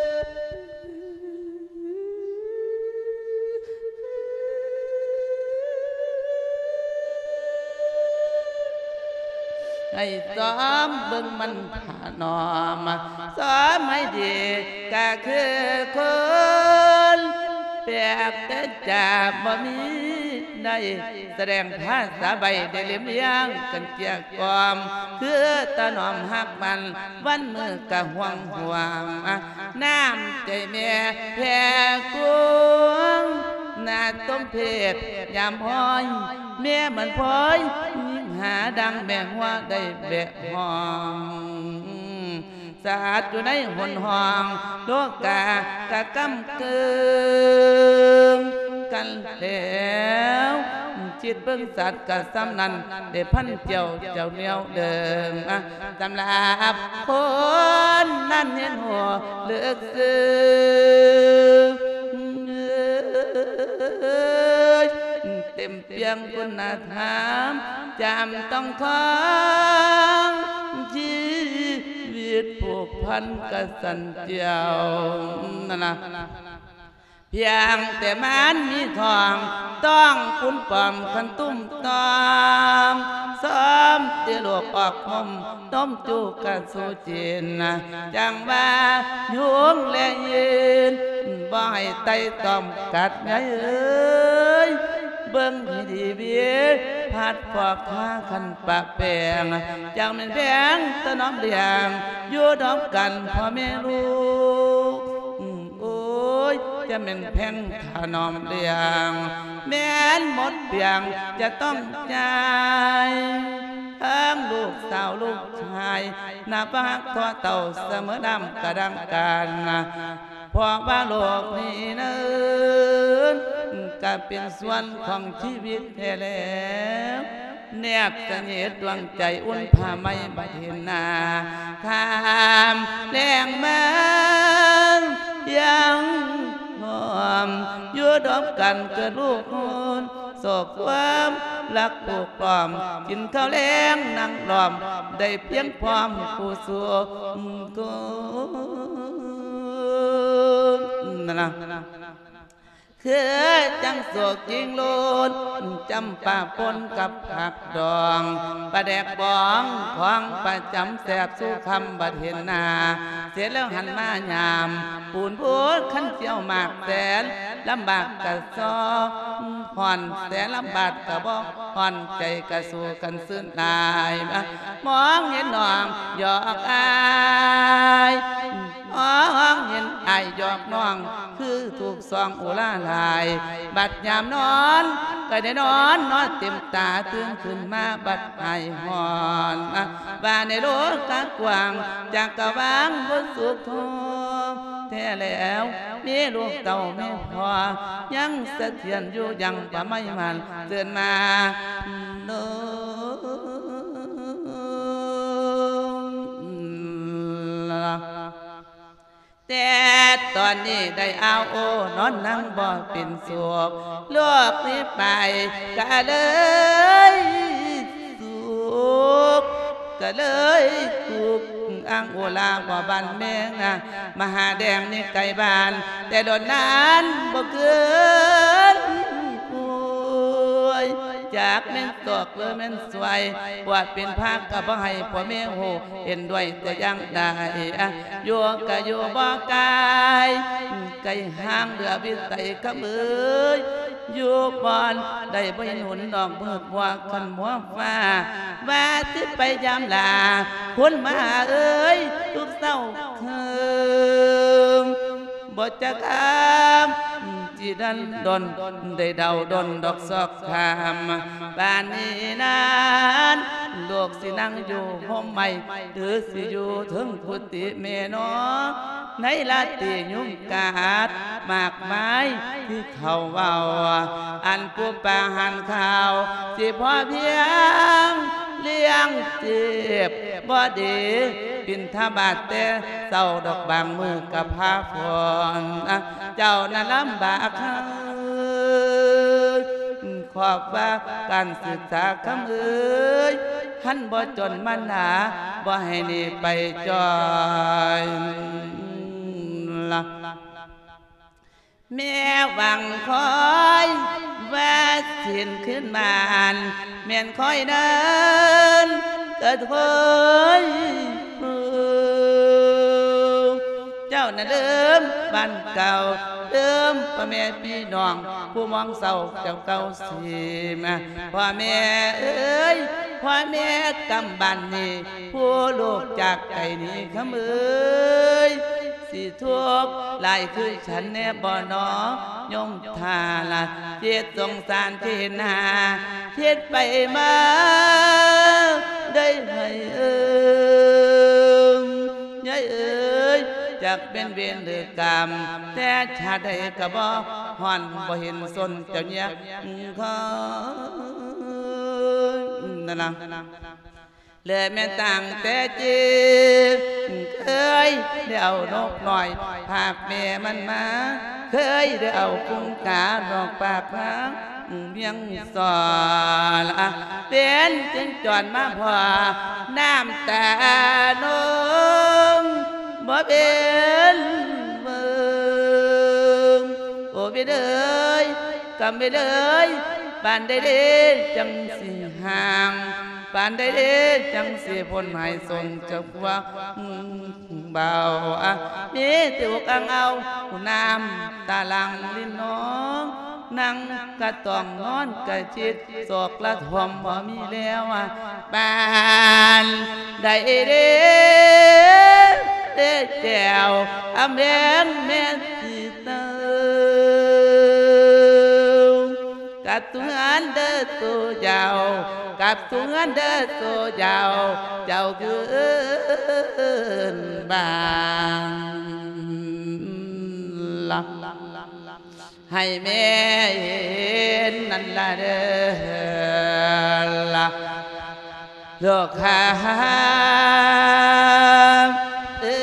ໃຫ້ຊອມເບິ່ງມັນຖະໜອມ ຊອມໃຫ້ດີກະຄືຄົນ ແປກແຕ່ຈາບໍ່ມີໃດ ສະແດງພາສາໃບໄດ້ເລັມລຽງກັນເກັ່ຽກ່ອມ ຄືຖະໜອມຮັກມັນ ວັນມື້ກະຫ່ວງຫ່ວງ ນ້ຳໃຈແມ່ແຜ່ກວ້າງ ໜ້າສົມເພດຍາມຮ້ອຍ ແມ່ມັນພ້ອຍຍິງຫາດັ່ງແມ່ຫົວໄດ້ແບະຫ້ອງ ສະອາດຢູ່ໃນຫົນຫ້ອງ ໂລກາກະກຳເກີງກັນແລ້ວ ຄິດເບິ່ງສັດກະສ່ຳນັ້ນ ໄດ້ພັນເຈົ້າ ເຈົ້າແນວເດີມ ສຳລັບຄົນນັ້ນເຫັນຫົວເລິກເຊິ່ງ ເຕັມປ່ຽງຄຸນນະທຳ ຈຳຕ້ອງຂອງ ຊີວິດຜູກພັນກະສັນເຈົ້າ ນັ້ນນະ. ພຽງແຕ່ມານມີທ້ອງ ຕ້ອງປຸ້ນປ້ອມຄັນຕຸ້ມຕ້ອມ ຊອມແຕ່ລູກອອກນົມ ນົມຈູກະສູ່ຈິນ ຈັ່ງວ່າຍຸງແລະເຢັນ ບໍ່ໃຫ້ໄຕ່ຕ້ອມກັດໃຫຍ່ເອີຍ ເບິ່ງໃຫ້ດີເວ ພັດຟອກຫາຄັນປະແປງ ຈັ່ງແມ່ນແພງຖະໜອມລ້ຽງ ຢູ່ນຳກັນພໍ່ແມ່ລູກ ໂອ້ຍ ຈະແມ່ນແພງຖະໜອມລ້ຽງ ແມ່ນໝົດປ່ຽງຈະຕ້ອງຈ່າຍ ທັງລູກສາວລູກຊາຍ ນັບວ່າຮັກພໍ່ເຖົ້າສະເໝີນ້ຳກະດັງກັນ ເພາະວ່າໂລກນີ້ນັ້ນ ກະເປັນສ່ວນຂອງຊີວິດແທ້ແລ້ວ ແນບສະໜິດດວງໃຈອຸ່ນຜ້າໄໝ້ບັດເຫັນໜ້າ ຂ້າມແລງມາຍັງຫອມ ຢູ່ດອບກັນເກີດລູກໂຮນ ຊອກຄວາມລັກຜູກລ້ອມ ກິນເຂົ້າແລງນັ່ງລ້ອມ ໄດ້ພຽງພ້ອມຄູ່ສູ່ຄົນ ນັ້ນນະ. ຄືຈັ່ງໂສກຈິງໂລດ ຈຳປາປົນກັບຜັກດອງ ປາແດກບອງຂອງປະຈຳແຊບສູ່ຄຳ ບັດເຫັນໜ້າເສດແລ້ວຫັນມາຍາມ ປູນໂພດຄັນສ່ຽວໝາກແສນ ລຳບາກກະຊອກຮ້ອນ ແສນລຳບາກກະບໍ່ຮ້ອນ ໃຈກະສູ້ກັນຊື່ນຫຼາຍ ມອງເຫັນນ້ອງຢອກອ້າຍ ມອງເຫັນອ້າຍຢອກນ້ອງ ຄືຖືກສອງອຸລາຫຼາຍ ບັດຍາມນອນກະໄດ້ນອນ ນອນເຕັມຕາ ຕື່ນຂຶ້ນມາບັດຫາຍຮ້ອນ ວ່າໃນໂລກະກວ້າງ ຈັກກະວາງບໍ່ສຸກທຸກ ແທ້ແລ້ວ ມີລູກເຕົ້າມີພໍ່ ຍັງສະຖຽນຢູ່ ຍັງປະໄໝມັນເຊີນມາໂນ ແຕ່ຕອນນີ້ໄດ້ອາວໂອ ນອນນັ່ງບໍ່ເປັນສຸກ ໂລກນີ້ໄປກະເລີຍສຸກ ກະເລີຍທຸກ ອ່າງໂອລາບໍ່ບານແມງ ມະຫາແດງນີ້ໄກບ້ານ ແຕ່ດົນນານບໍ່ເກີນ ໂອ້ຍ ຈັກແມ່ນຕອກ ຫຼືແມ່ນສວຍ ບວດເປັນພະກະບໍ່ໃຫ້ພໍ່ແມ່ຮູ້ ເຫັນດ້ວຍແຕ່ຢ່າງໃດ ຢູ່ກະຢູ່ບໍ່ກາຍ ໄກຫ່າງເຫຼືອວິໄສ ຄຳເອີຍ ຢູ່ບ່ອນໃດບໍ່ເຫັນຫຸນ ນອກມືດມົວຄັນມົວຟ້າ ວ່າຊິໄປຢາມລາ ຄົນມາເອີຍ ທຸກເຊົ້າຄືນ ບໍ່ຈັກຄຳ ຊິດັນດົນ ໄດ້ເດົາດົນດອກຊອກຄຳ ບາດນີ້ນັ້ນ ລູກຊິນັ່ງຢູ່ຮົ່ມໄມ້ ຫຼືຊິຢູ່ເທິງກຸຕິແມ່ນອ ໃນລາຕີຍຸງກາດ ມາກມາຍທີ່ເຂົາເວົ້າ ອັນປູປາຫານຂ້າວ ຊິພໍພຽງລ້ຽງເຈັບ ບໍ່ໄດ້ບິນທະບາດແຕ່ເຊົ້າດອກ ບາງມື້ກໍພາຟອນ ເຈົ້ານັ້ນລຳບາກເອີຍ ຂອບວ່າການສຶກສາຄຳເອີຍ ຄັນບໍ່ຈົນມານາ ບໍ່ໃຫ້ໜີໄປຈ້ອຍລະ. ແມ່ຫວັງຄອຍວ່າສິນຄືນບ້ານ ແມ່ນຄອຍເດີນກະໂທຍ ເຈົ້ານະເດີມບ້ານເກົ່າ ເດີມພໍ່ແມ່ພີ່ນ້ອງ ຜູ້ມອງເສົ້າເຈົ້າເກົ່າສິມ ພໍ່ແມ່ເອີຍ ພໍ່ແມ່ກຳບ້ານນີ້ ຜູ້ລູກຈາກໄກໜີຄຳເອີຍ ຊິທຸກຫຼາຍຄື ສັນແນ່ບໍ່ນໍໂຍມທ່ານລະ ເຈັດສົງສານເຈນາ ເຮັດໄປມາໄດ້ໃຫ້ເອີງ ຍາຍເອີຍ ຈັກເປັນເວນຫຼືກຳ ແຕ່ຊາດໃດກໍບໍ່ຮ້ອນ ບໍ່ເຫັນສົນເຈົ້າເຍຍເຄີຍ ນັ້ນນະ. ແລະແມ່ນຕັ້ງແຕ່ຈິດ ເຄີຍໄດ້ເອົານົກນ້ອຍພາກແມ່ມັນມາ ເຄີຍໄດ້ເອົາກຸງການອກປາກທາງວຽງສອນ ເປັນຈຶ່ງຈອນມາພໍ້ ນ້ຳຕານົງບໍ່ເປັນເບິ່ງ ໂອເວນເອີຍ ກຳເວນເອີຍ ປານໃດເດຈັ່ງຊິຫ່າງ ປານໃດເດຈັ່ງຊິພົ້ນຫາຍສົນຈາກພວກເບົາ ມີແຕ່ອົກອັ່ງເອົາ ນ້ຳຕາຫຼັ່ງລິນນອງ ນັ່ງກະຕ້ອງນອນກະຈິດ ສອກລະຖ້ວມບໍ່ມີແລ້ວ ປານໃດເດ ເດແກ້ວ ອຳແພງແມ່ນຊິເຕີ ກັບສູ່ເຮືອນເດີໂຕເຈົ້າ ກັບສູ່ເຮືອນເດີໂຕເຈົ້າ ເຈົ້າຄືນບ້ານລະ ໃຫ້ແມ່ເຫັນນັ້ນລະເດີລະ ໂລກຄາ ເອີ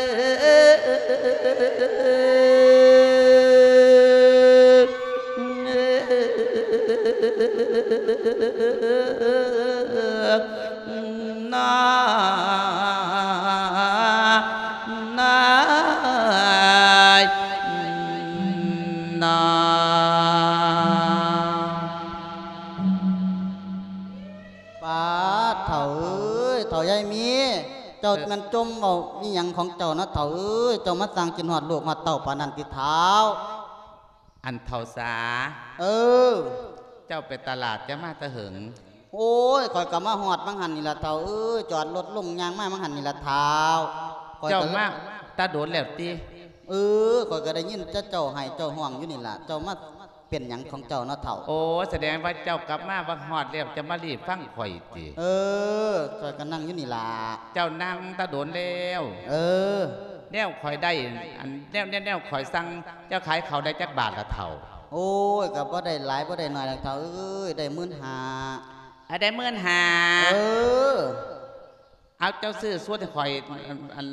ນາ ນາ ນາ. ປາດ ເຖົ້າເອີຍ ເຖົ້າຍາຍມີ ເຈົ້າແມ່ນຈົ່ມເວົ້າອີ່ຫຍັງຂອງເຈົ້າເນາະເຖົ້າເອີຍ ເຈົ້າມາສ້າງກິນຮອດລູກຮອດເຕົ້າປານນັ້ນຕິເຖົ້າ? ອັນເຖົ້າສາ ເອີ ເຈົ້າໄປຕະຫຼາດ ເຈົ້າມາແຕ່ເຫິງ? ໂອ້ຍ ຂ້ອຍກໍມາຮອດຫວ່າງຫັ້ນນີ້ລະເຖົ້າເອີຍ ຈອດລົດລົງຍ່າງມາຫວ່າງຫັ້ນນີ້ລະເຖົ້າ ຂ້ອຍກໍ ເຈົ້າມາແຕ່ດົນແລ້ວຕິ? ເອີ ຂ້ອຍກໍໄດ້ຍິນແຕ່ເຈົ້າໄຫ້ເຈົ້າຮ້ອງຢູ່ນີ້ລະ ເຈົ້າມາ ເປັນຫຍັງຂອງເຈົ້າເນາະເຖົ້າ? ໂອ້ ສະແດງວ່າເຈົ້າກັບມາບັກຮອດແລ້ວ ຈະມາລີບຟັງຂ້ອຍຕິ? ເອີ ຂ້ອຍກໍນັ່ງຢູ່ນີ້ລະ. ເຈົ້ານັ່ງຕາດົນແລ້ວ. ເອີ ແນວຂ້ອຍໄດ້ ອັນ ແນວ ແນວ ແນວຂ້ອຍສັ່ງ ເຈົ້າຂາຍເຂົ້າໄດ້ຈັກບາດລະເຖົ້າ? ໂອ້ຍ ກໍບໍ່ໄດ້ຫຼາຍບໍ່ໄດ້ໜ້ອຍດອກເຖົ້າເອີຍ ໄດ້ໝື່ນຫ້າ. ອາ ໄດ້ໝື່ນຫ້າ. ເອີ. ເອົາ ເຈົ້າຊື້ຊຸດໃຫ້ຂ້ອຍ ອັນ ອັນ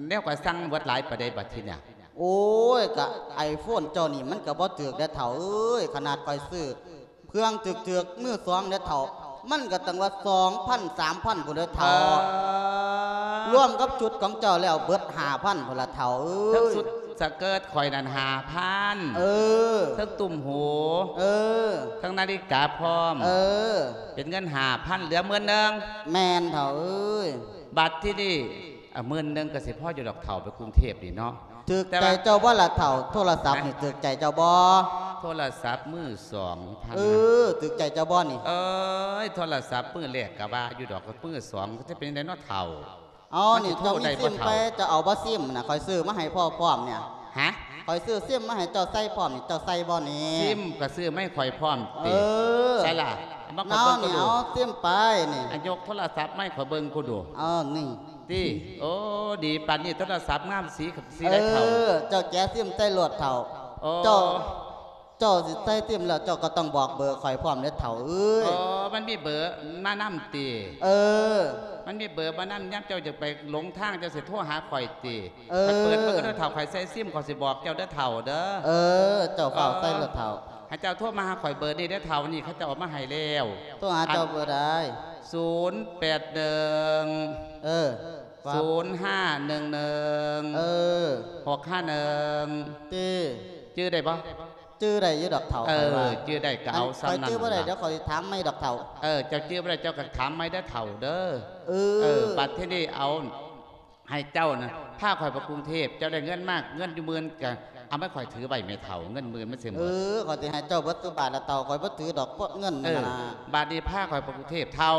ແນວຂ້ອຍສັ່ງເບິດຫຼາຍປານໃດບັດທີນີ້? ໂອ້ຍ ກະໄອໂຟນເຈົ້ານີ້ມັນກະບໍ່ຖືກເດ້ເຖົ້າເອີຍ ຂະໜາດຂ້ອຍຊື້ເຄື່ອງຖືກໆມືສອງເດ້ເຖົ້າ ມັນກະຕັ້ງວ່າສອງພັນ ສາມພັນພຸ້ນເດ້ເຖົ້າ. ເອີ ລວມກັບຊຸດຂອງເຈົ້າແລ້ວເບິດຫ້າພັນພຸ້ນລະເຖົ້າເອີຍ. ເທິງຊຸດສະເກີດຂ້ອຍນັ້ນຫ້າພັນ. ເອີ ເທິງຕຸ້ມຫູ. ເອີ ເທິງນາລິກາພ້ອມ. ເອີ ເປັນເງິນຫ້າພັນ ເຫຼືອໝື່ນໜຶ່ງ. ແມ່ນເຖົ້າເອີຍ. ບັດທີນີ້ ອາ ໝື່ນໜຶ່ງກໍຊິພໍຢູ່ດອກເຖົ້າ ໄປກຸງເທບນີ້ເນາະ. ຖືກໃຈເຈົ້າບໍ່ລະເຖົ້າ? ໂທລະສັບນີ້ຖືກໃຈເຈົ້າບໍ່? ໂທລະສັບມືສອງ. ເອີ ຖືກໃຈເຈົ້າບໍ່ນີ້? ເອີຍ ໂທລະສັບມືແລກກໍວ່າຢູ່ດອກ ມືສອງກໍຈະເປັນຈັ່ງໃດເນາະເຖົ້າ? ເອົານີ້ ເຈົ້າມີຊິມໄປ ເຈົ້າເອົາບໍ່ຊິມນະ? ຂ້ອຍຊື້ມາໃຫ້ພໍ່ພ້ອມນີ້. ຮະ? ຂ້ອຍຊື້ຊິມມາໃຫ້ເຈົ້າໃສ່ພ້ອມນີ້ ເຈົ້າໃສ່ບໍ່ນີ້? ຊິມກໍຊື້ມາໃຫ້ຂ້ອຍພ້ອມຕິ? ເອີ ໃສ່ລະ? ເອົາມາຂ້ອຍເບິ່ງ ເອົາ ດູ ເອົາຊິມໄປນີ້. ອາ ຍົກໂທລະສັບມາໃຫ້ຂ້ອຍເບິ່ງກູດູ. ເອີ ນີ້ ຕິ ໂອ້ ດີປານນີ້ ໂທລະສັບງາມ ສີ ສີໃດເຖົ້າ? ເອີ ເຈົ້າແກະຊິມໃສ່ໂລດເຖົ້າ. ໂອ້ ເຈົ້າ ເຈົ້າຊິໃສ່ຊິມແລ້ວ ເຈົ້າກໍຕ້ອງບອກເບີຂ້ອຍພ້ອມເດ້ເຖົ້າເອີຍ. ອໍ ມັນມີເບີມານຳຕິ? ເອີ ມັນມີເບີມານຳ ຍາມເຈົ້າຈະໄປຫຼົງທາງ ເຈົ້າຊິໂທຫາຂ້ອຍຕິ? ເອີ ຂ້ອຍເປີດເບິ່ງເດີເຖົ້າ ຂ້ອຍໃສ່ຊິມ ຂ້ອຍຊິບອກເຈົ້າເດີເຖົ້າເດີ. ເອີ ເຈົ້າຟ້າວໃສ່ໂລດເຖົ້າ. ເອີ ໃຫ້ເຈົ້າໂທມາຫາຂ້ອຍເບີນີ້ເດີເຖົ້າ ນີ້ເຂົາເຈົ້າເອົາມາໃຫ້ແລ້ວ. ໂທຫາເຈົ້າເບີໃດ? ສູນແປດໜຶ່ງ ເອີ ສູນຫ້າໜຶ່ງໜຶ່ງ ເອີ ຫົກຫ້າໜຶ່ງ ຕິ? ຈື່ໄດ້ບໍ່? ຈື່ໄດ້ຢູ່ດອກເຖົ້າ. ເອີ ຂ້ອຍວ່າຈື່ໄດ້ກໍເອົາສ່ຳນັ້ນ. ຂ້ອຍຈື່ບໍ່ໄດ້ ດຽວຂ້ອຍຊິຖາມໃໝ່ດອກເຖົ້າ. ເອີ ເຈົ້າຈື່ບໍ່ໄດ້ ເຈົ້າກໍຖາມໃໝ່ເດີເຖົ້າເດີ. ເອີ ເອີ ບັດທີນີ້ເອົາ ໃຫ້ເຈົ້ານະ ພາຂ້ອຍໄປກຸງເທບ ເຈົ້າໄດ້ເງິນມາ ເງິນຢູ່ໝື່ນ ກະເອົາມາໃຫ້ຂ້ອຍຖືໄວ້ແມ່ເຖົ້າ ເງິນໝື່ນມັນຊິໝົດ. ເອີ ຂ້ອຍຊິໃຫ້ເງິນເຈົ້າເບິດສູ່ບາດລະເຖົ້າ ຂ້ອຍບໍ່ຖືດອກ ເງິນນັ້ນນະ. ເອີ ບາດນີ້ພາຂ້ອຍໄປກຸງເທບເຖົ້າ.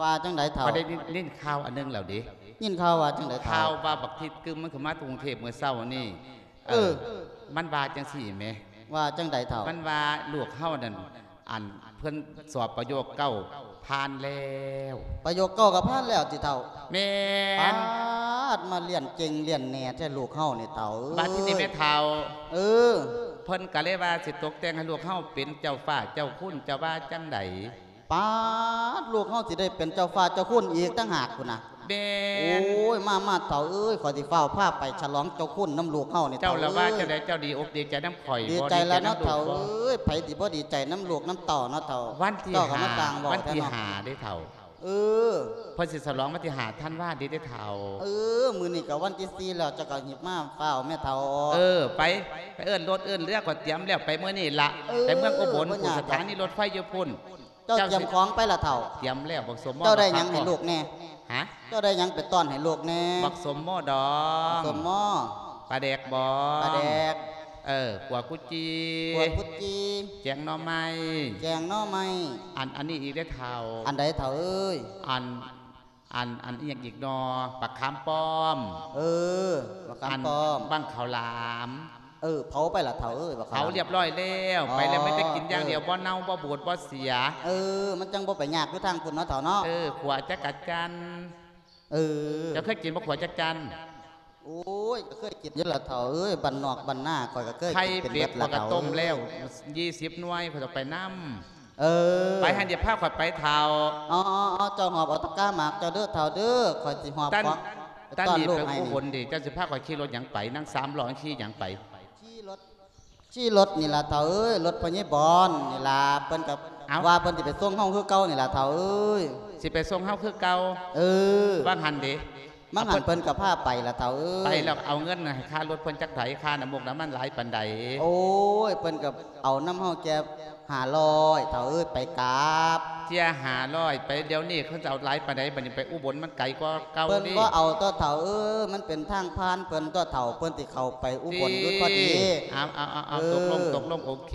ວ່າຈັ່ງໃດເຖົ້າ? ຂ້ອຍໄດ້ຍິນ ຍິນຂ່າວອັນໜຶ່ງແລ້ວເດ. ຍິນຂ່າວວ່າຈັ່ງໃດເຖົ້າ? ຂ່າວວ່າບັກທິດກຶມມັນຂຶ້ນມາກຸງເທບມື້ເຊົ້ານີ້. ເອີ ເອີ ມັນວ່າຈັ່ງຊີ້ແໝ. ວ່າຈັ່ງໃດເຖົ້າ? ມັນວ່າລູກເຮົານັ້ນ ອັນ ເພິ່ນສອບປະໂຫຍກເກົ້າຜ່ານແລ້ວ. ປະໂຫຍກເກົ້າກໍຜ່ານແລ້ວຕິເຖົ້າ? ແມ່ນ. ປາດ ມາລຽນເກັ່ງລຽນແນ່ແທ້ລູກເຮົານີ້ເຖົ້າເອີຍ. ບາດທີນີ້ແມ່ເຖົ້າ ເອີ ເພິ່ນກໍເລີຍວ່າຊິຕົກແຕ່ງໃຫ້ລູກເຮົາເປັນເຈົ້າຟ້າເຈົ້າຄຸນ ເຈົ້າວ່າຈັ່ງໃດ? ປາດ ລູກເຮົາຊິໄດ້ເປັນເຈົ້າຟ້າເຈົ້າຄຸນອີກຕ່າງຫາກພຸ້ນນະ. ແມ່ນ. ໂອ້ຍ ມາ ມາເຖົ້າເອີຍ ຂ້ອຍຊິຟ້າວພາໄປສະຫຼອງເຈົ້າຄຸນນຳລູກເຮົານີ້. ເຈົ້າລະວ່າຈັ່ງໃດ? ເຈົ້າດີອົກດີໃຈນຳຂ້ອຍ ດີໃຈລະເນາະເຖົ້າເອີຍ ໃຜຊິບໍ່ດີໃຈນຳລູກນຳເຕົ້າເນາະເຖົ້າ. ວັນທີຫ້າ ວັນທີຫ້າເດ້ເຖົ້າ. ເອີ ເພິ່ນຊິສະຫຼອງວັນທີຫ້າທັນວານີ້ເດ້ເຖົ້າ. ເອີ ມື້ນີ້ກໍວັນທີສີ່ແລ້ວ ເຈົ້າກໍຮີບມາຟ້າວແມ່ເຖົ້າ. ເອີ ໄປ ໄປເອີ້ນລົດເອີ້ນເຮືອ ຂ້ອຍຕຽມແລ້ວ ໄປມື້ນີ້ລະ. ເອີ ໄປເມືອງອຸບົນ ບໍ່ຍາກດອກ ສະຖານີລົດໄຟຢູ່ພຸ້ນ. ເຈົ້າຕຽມຂອງໄປລະເຖົ້າ? ຕຽມແລ້ວ ບັກສົມມໍ. ເຈົ້າໄດ້ຫຍັງໃຫ້ລູກແດ່? ຮະ? ເຈົ້າໄດ້ຫຍັງໄປຕ້ອນໃຫ້ລູກແດ່? ບັກສົມມໍດອງ. ບັກສົມມໍ. ປາແດກບອງ. ປາແດກ. ເອີ ຂົ້ວກຸຈີ່. ຂົ້ວກຸຈີ່. ແກງໜໍ່ໄມ້. ແກງໜໍ່ໄມ້. ອັນ ອັນນີ້ອີກເດ້ເຖົ້າ. ອັນໃດເຖົ້າເອີຍ? ອັນ ອັນ ອັນອີ່ຫຍັງອີກນໍ? ບັກຂາມປ້ອມ. ເອີ ບັກຂາມປ້ອມ. ອັນບັ້ງເຂົ້າຫຼາມ. ເອີ ເຜົາໄປລະເຖົ້າເອີຍ ບັກຂາມ. ເຜົາລຽບຮ້ອຍແລ້ວ. ອໍ ໄປແລ້ວ ມີແຕ່ກິນຢ່າງດຽວ ບໍ່ເນົ່າ ບໍ່ບູດ ບໍ່ເສຍ. ເອີ ມັນຈັ່ງບໍ່ໄປຍາກຢູ່ທາງພຸ້ນເນາະເຖົ້າເນາະ. ເອີ ຂົ້ວຈັກກະຈັ່ນ. ເອີ ເຈົ້າເຄີຍກິນບໍ່ ຂົ້ວຈັກຈັ່ນ? ໂອ້ຍ ກໍເຄີຍກິນຢູ່ລະເຖົ້າເອີຍ ບ້ານນອກບ້ານນາຂ້ອຍກໍເຄີຍກິນເປັນເບິດລະເຖົ້າເອີຍ. ໄຂ່ເປັດຂ້ອຍກໍຕົ້ມແລ້ວ ຊາວໜ່ວຍ ຂ້ອຍເອົາໄປນຳ. ເອີ ໄປຫັ້ນ ດຽວພາຂ້ອຍໄປເຖົ້າ. ອໍໆໆ ເຈົ້າຫອບເອົາຕະກ້າໝາກເຈົ້າເດີເຖົ້າເດີ ຂ້ອຍຊິຫອບຂອງໄປຕ້ອນລູກໃຫ້ນີ້. ຕານນີ້ໄປອຸບົນເດ ເຈົ້າຊິພາຂ້ອຍຂີ່ລົດຫຍັງໄປ? ນັ່ງສາມລໍ້ຂີ່ຫຍັງໄປ? ຂີ່ລົດ ຂີ່ລົດນີ້ລະເຖົ້າເອີຍ ລົດພໍ່ໃຫຍ່ບອນນີ້ລະ ເພິ່ນກໍ ເອົ້າ ວ່າເພິ່ນຊິໄປສົ່ງເຮົາຄືເກົ່ານີ້ລະເຖົ້າເອີຍ. ຊິໄປສົ່ງເຮົາຄືເກົ່າ? ເອີ ວ່າງຫັ້ນເດ. ວ່າງຫັ້ນເພິ່ນກໍພາໄປລະເຖົ້າເອີຍ. ໄປແລ້ວເອົາເງິນໃຫ້ຄ່າລົດເພິ່ນຈັກໃດ? ຄ່ານ້ຳມົກນ້ຳມັນຫຼາຍປານໃດ? ໂອ້ຍ ເພິ່ນກໍເອົານຳເຮົາແຄ່ຫ້າຮ້ອຍເຖົ້າເອີຍ ໄປກັບ. ເສຍຫ້າຮ້ອຍ ໄປດຽວນີ້ເຂົາຈະເອົາຫຼາຍປານໃດ? ບັດນີ້ໄປອຸບົນມັນໄກກວ່າເກົ່າເດ້. ເພິ່ນບໍ່ເອົາຕົວະເຖົ້າເອີຍ ມັນເປັນທາງຜ່ານເພິ່ນຕົວະເຖົ້າ ເພິ່ນຊິເຂົ້າໄປອຸບົນຢູ່ພໍດີ. ເອີ ເອົາໆໆໆ ເອີ ຕົກລົງ ຕົກລົງ ໂອເຄ.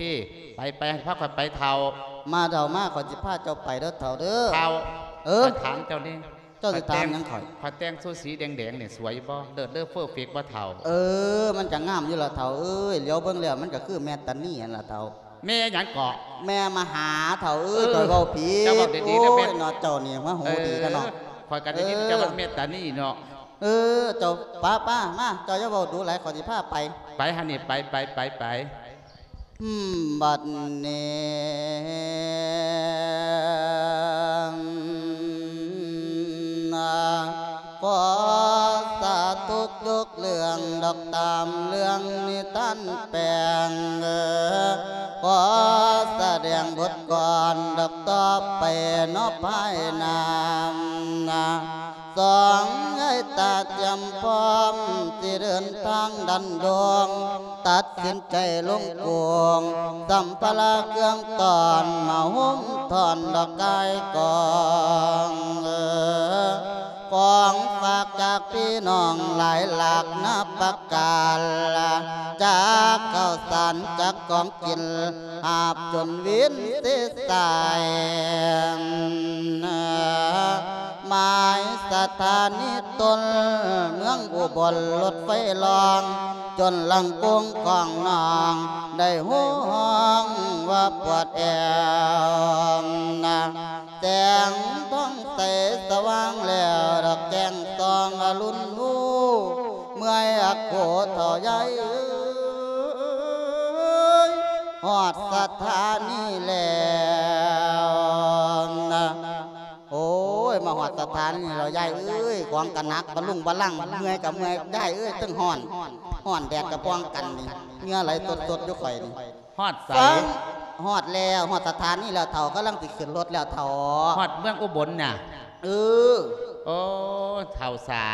ໄປໆ ພາຂ້ອຍໄປເຖົ້າ. ມາເຖົ້າມາ ຂ້ອຍຊິພາເຈົ້າໄປເດີເຖົ້າເດີ. ເຖົ້າ ເອີ ຂ້ອຍຖາມເຈົ້າແດ່. ເຈົ້າຊິຖາມຫຍັງຂ້ອຍ? ຂ້ອຍແຕ່ງຊຸດສີແດງໆນີ້ສວຍບໍ່? ເລີດເລີເຟີເຟັກບໍ່ເຖົ້າ? ເອີ ມັນກະງາມຢູ່ລະເຖົ້າເອີຍ ຫຼຽວເບິ່ງແລ້ວມັນກະຄືແມ່ຕານີຫັ້ນລະເຖົ້າ. ແມ່ຫຍັງເກາະ? ແມ່ມະຫາເຖົ້າເອີຍ. ເອີ ຂ້ອຍເວົ້າຜິດ. ເຈົ້າເວົ້າດີໆ ໂອ້ຍເນາະ ເຈົ້ານີ້ຫົວຫູດີແທ້ເນາະ. ເອີ ຂ້ອຍກະໄດ້ຍິນເຈົ້າວ່າແມ່ຕານີເນາະ. ເອີ ເຈົ້າ ປະ ປະ ມາ ເຈົ້າຢ່າເວົ້າດູຫຼາຍ ຂ້ອຍຊິພາໄປ. ໄປຫັ້ນນີ້ ໄປ ໄປ ໄປ ໄປ. ບັດນີ້ ຂໍສາທຸກທຸກເລື່ອງດອກ ຕາມເລື່ອງນິທານແປງ ຂໍສະແດງບົດກ່ອນດອກ ຕໍ່ໄປເນາະພາຍໜ້າ. ສອງເອີຍ ຕາຕຽມພ້ອມ ຊິເດີນທາງດັນດົງ ຕັດສິນໃຈລົງກົງ ສຳພາລະເຄື່ອງຕ້ອນ ມາໂຮມທ້ອນດອກກາຍກອງ ຂອງຝາກຈາກພີ່ນ້ອງຫຼາຍຫຼາກນາປະການ ຈາກເຂົ້າສານ ຈາກຂອງກິນ ຫາບຈົນວິນເສສາຍ ໝາຍສະຖານີຕົ້ນ ເມືອງອຸບົນ ລົດໄຟລ່ອງ ຈົນລັງກົງຂອງນ້ອງ ໄດ້ຮູ້ຮ້ອງວ່າປວດແອວນະ. ແສງທອງໃສສະຫວ່າງແລ້ວ ດອກແຈ້ງສ່ອງອະລຸນຮູ້ ເມື່ອຍອາໂກເຖົ້າໃຫຍ່ເອີຍ. ຮອດສະຖານີແລ້ວນະ. ໂອ້ຍ ມາຮອດສະຖານີແລ້ວ ຍາຍເອີຍ, ຂອງກະໜັກ ບະລຸງບະລັງ, ເມື່ອຍກະເມື່ອຍ ຍາຍເອີຍ, ເທິງຮ້ອນ ຮ້ອນແດດກະປ່ອງກັນນີ້ ເຫື່ອໄຫຼສົດໆຢູ່ຂ້ອຍນີ້. ຮອດໃສ? ຟັງ ຮອດແລ້ວ, ຮອດສະຖານີແລ້ວເຖົ້າ, ກຳລັງຊິຂຶ້ນລົດແລ້ວເຖົ້າ. ຮອດເມືອງອຸບົນນະ? ເອີ. ໂອ້ ເຖົ້າສາ.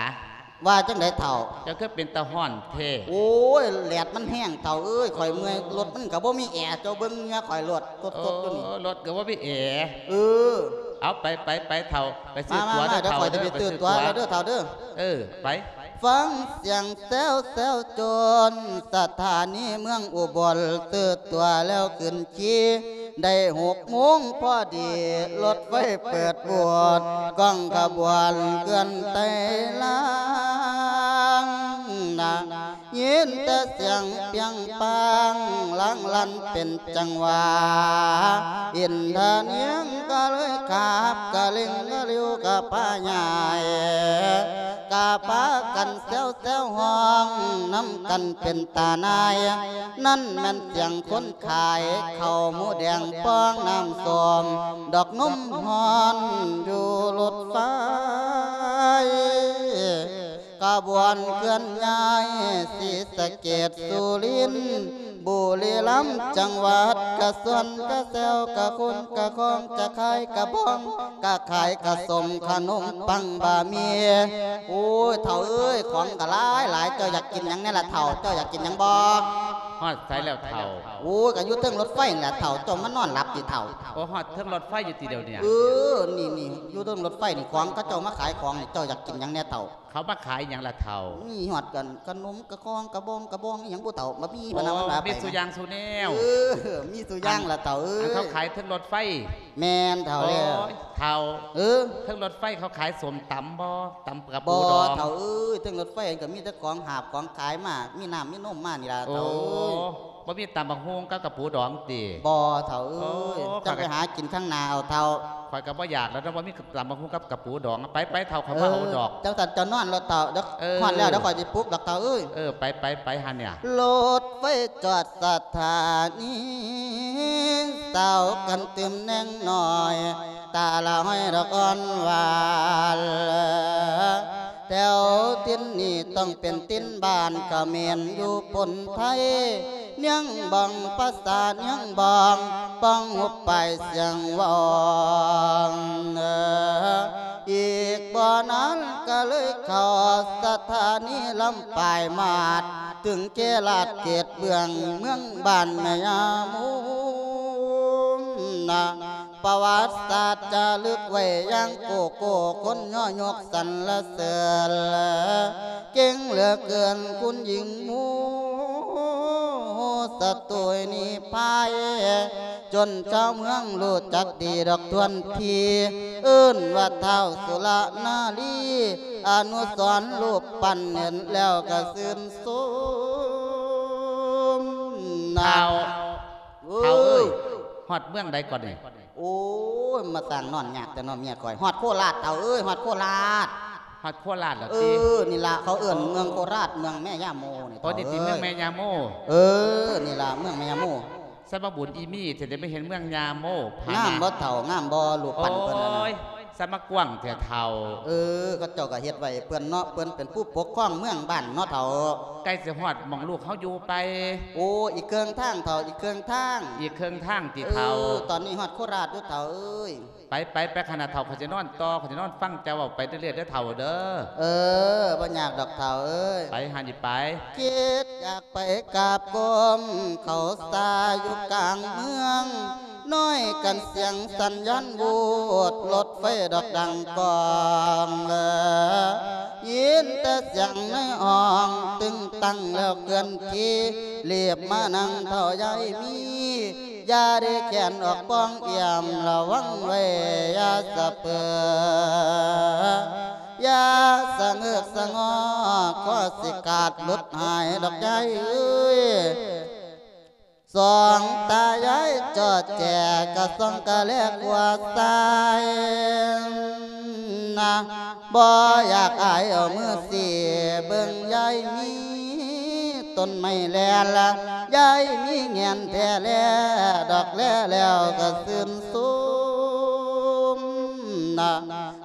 ວ່າຈັ່ງໃດເຖົ້າ? ເຈົ້າຄືເປັນຕາຮ້ອນແທ້? ໂອ້ຍ ແດດມັນແຮງເຖົ້າເອີຍ, ຂ້ອຍເມື່ອຍ, ລົດມັນກະບໍ່ມີແອ, ເຈົ້າເບິ່ງເຫື່ອຂ້ອຍໂລດ ສົດໆຢູ່ນີ້. ໂອ້ ລົດກະບໍ່ມີແອ. ເອີ. ເອົາ ໄປ ໄປ ໄປເຖົ້າ, ໄປຊື້ຕົ໋ວເດີເຖົ້າເດີ, ໄປຊື້ຕົ໋ວແລ້ວເດີເຖົ້າເດີ. ເອີ ໄປ. ຟັງສຽງແຊວແຊວຈົນ ສະຖານີເມືອງອຸບົນ, ຊື້ຕົ໋ວແລ້ວຂຶ້ນຂີ່. ໄດ້ຫົກໂມງພໍດີ ລົດໄຟເປີດໂຫວດ, ກ້ອງຂະບວນເຄື່ອນໄຕ່ລາງນະ. ຍິນແຕ່ສຽງປຽງປາງ ລາງລັນເປັນຈັງຫວະ, ອິນທະນຽງກະເລີຍຂາບ ກະເລັ່ງກະລິ້ວກະພາຍາຍ, ກະພາກັນແຊວແຊວຮ້ອງນຳກັນເປັນຕາໜ່າຍ. ນັ້ນແມ່ນສຽງຄົນຂາຍເຂົ້າໝູແດງ ປອງນ້ຳສົ້ມ ດອກນົມຮ້ອນຢູ່ລົດໄຟ. ຂະບວນເຄື່ອນຍ້າຍ ສີສະເກດ ສຸລິນ ບຸລີລຳ ຈັງຫວັດກະຊວນ ກະແຊວ ກະຄຸນ ກະຄອງ ກະຂາຍ ກະບອງ ກະຂາຍ ກະສົ້ມ ຂະໜົມປັງ ບະໝີ່. ໂອ້ຍ ເຖົ້າເອີຍ ຂອງກະຫຼາຍຫຼາຍ, ເຈົ້າຢາກກິນຫຍັງແດ່ລະເຖົ້າ? ເຈົ້າຢາກກິນຫຍັງບໍ່? ຮອດໃສແລ້ວເຖົ້າ? ໂອ້ຍ ກະຢູ່ເທິງລົດໄຟນີ້ລະເຖົ້າ, ເຈົ້າມານອນຫຼັບຕິເຖົ້າ? ໂອ້ ຮອດເທິງລົດໄຟຢູ່ຕິດຽວນີ້? ເອີ ນີ້ໆ ຢູ່ເທິງລົດໄຟນີ້, ຂອງເຂົາເຈົ້າມາຂາຍຂອງນີ້, ເຈົ້າຢາກກິນຫຍັງແດ່ເຖົ້າ? ເຂົາມາຂາຍຫຍັງລະເຖົ້າ? ມີຮອດກັນ ຂະໜົມ ກະຄອງ ກະບອງ ກະບອງ ອີ່ຫຍັງບໍ່ເຖົ້າ? ບໍ່ມີ ໂອ້ ພະນະ ມັນວ່າໄປ ມີສູ່ຢ່າງສູ່ແນວ. ເອີ ມີສູ່ຢ່າງລະເຖົ້າເອີຍ. ອັນເຂົາຂາຍເທິງລົດໄຟ? ແມ່ນເຖົ້າແລ້ວ. ໂອ້ຍ ເຖົ້າ ເອີ ເທິງລົດໄຟເຂົາຂາຍສົ້ມຕຳບໍ່? ຕຳກະປູດອງ? ບໍ່ເຖົ້າເອີຍ, ເທິງລົດໄຟກະມີແຕ່ຂອງຫາບຂອງຂາຍມາ, ມີນ້ຳມີນົມມານີ້ລະເຖົ້າເອີຍ. ໂອ້ ບໍ່ມີຕຳບັກຫຸ່ງກັບກະປູດອງຕິ? ບໍ່ເຖົ້າເອີຍ. ໂອ້ ຈັ່ງໄປຫາກິນຂ້າງໜ້າເອົາເຖົ້າ. ຂ້ອຍກະບໍ່ຢາກແລ້ວເນາະ, ບໍ່ມີຕຳບັກຫຸ່ງກັບກະປູດອງ. ໄປໆ ເຖົ້າ ຂ້ອຍມາເອົາດອກ. ເອີ ຈັ່ງຊັ້ນເຈົ້ານອນໂລດເຖົ້າ, ດຽວ ເອີ ຮອດແລ້ວ ດຽວຂ້ອຍຊິປຸກດອກເຖົ້າເອີຍ. ເອີ ໄປໆ ໄປຫັ້ນເນຍ. ລົດໄຟຈອດສະຖານີ ສາວກັນຕື່ມແນງນ້ອຍ ຕາລະຫ້ອຍດອກອ່ອນຫວານ. ແຖວຖິ່ນນີ້ຕ້ອງເປັນຖິ່ນບ້ານຂະເໝນຢູ່ປົນໄທ, ນຽງບອງພາສານຽງບອງ ປ້ອງຫຸບປາຍສຽງວອງ. ອີກບໍ່ນານກະເລີຍເຂົ້າສະຖານີລຳປາຍມາດ ເຖິງເຂດລາດເຂດເບື້ອງ ເມືອງບ້ານແມ່ຍາໂມນະ. ປະຫວັດສາດຈາລຶກໄວ້ຢ່າງໂກໂກ້ ຄົນຍໍຍົກສັນລະເສີນ ເກັ່ງເຫຼືອເກີນຄຸນຍິງໝູ່ ສະຕູຍໜີພາຍ ຈົນຊາວເມືອງຮູ້ຈັກດີດອກທວນທີ ເອີ້ນວ່າທ້າວສຸລະນາລີ ອະນຸສອນຮູບປັ້ນເຫັນແລ້ວກະຊື່ນຊົມນະ. ທ້າວ ເອີ ທ້າວເອີຍ ຮອດເມືອງໃດກ່ອນນີ້? ໂອ້ຍ ມາສ້າງນອນຍາກແຕ່ເນາະເມຍຂ້ອຍ. ຮອດໂຄລາດເຖົ້າເອີຍ, ຮອດໂຄລາດ. ຮອດໂຄລາດແລ້ວຕິ? ເອີ ນີ້ລະ ເຂົາເອີ້ນເມືອງໂຄລາດ ເມືອງແມ່ຍາໂມນີ້. ໂອ້ ນີ້ຕິ ເອີຍ ເມືອງແມ່ຍາໂມ? ເອີ ນີ້ລະ ເມືອງແມ່ຍາໂມ. ສະມາບຸນອີ່ມີ້ ຊິໄດ້ມາເຫັນເມືອງຍາໂມ. ງາມບໍ່ເຖົ້າ? ງາມບໍ່ ຮູບປັ້ນເພິ່ນຫັ້ນນະ? ໂອ້ຍ ສະມາກວ້າງແທ້ເຖົ້າ. ເອີ ເຂົາເຈົ້າກະເຮັດໄວ້ເພິ່ນເນາະ, ເພິ່ນເປັນຜູ້ປົກຄອງເມືອງບ້ານເນາະເຖົ້າ. ໃກ້ຊິຮອດໝ່ອງລູກເຮົາຢູ່ໄປ? ໂອ້ ອີກເຄິ່ງທາງເຖົ້າ, ອີກເຄິ່ງທາງ. ອີກເຄິ່ງທາງຕິເຖົ້າ? ເອີ ຕອນນີ້ຮອດໂຄລາດຢູ່ເຖົ້າເອີຍ. ໄປ ໄປ ໄປ ຄະນະເຖົ້າ, ຂ້ອຍຊິນອນຕໍ່, ຂ້ອຍຊິນອນຟັງເຈົ້າເວົ້າໄປເລື້ອຍໆເດີເຖົ້າເດີ. ເອີ ບໍ່ຍາກດອກເຖົ້າເອີຍ. ໄປຫັ້ນນີ້ໄປ. ຄິດຢາກໄປກາບກົ້ມເຂົ້າສາຢູ່ກາງເມືອງ, ນ້ອຍກັນສຽງສັນຍານວູດ, ລົດໄຟດອກດັງກ້ອງເອີ. ຍິນແຕ່ສຽງໃນຫ້ອງຕຶງຕັ້ງແລ້ວເຄື່ອນທີ່, ລີບມານັ່ງເຖົ້າຍາຍມີ. ຢ່າໄດ້ແຂນອອກປ້ອງອ້ຽມ, ລະວັງໄວ້ຢ່າສະເປີ, ຢ່າສະເງີກສະງອ, ກໍຊິຂາດຫຼຸດຫາຍດອກຍາຍເອີຍ. ສອງຕາຍາຍຈອດແຈ ກະສ່ອງກະແລກວ່າຊາຍນະ, ບໍ່ຢາກອາຍເອົາມືຊີ້ເບິ່ງຍາຍມີ. ຕົ້ນໄມ້ແລລະ ຍາຍມີແງ່ນແທ້ແລ ດອກແລແລ້ວກໍຊື່ນຊົມນະ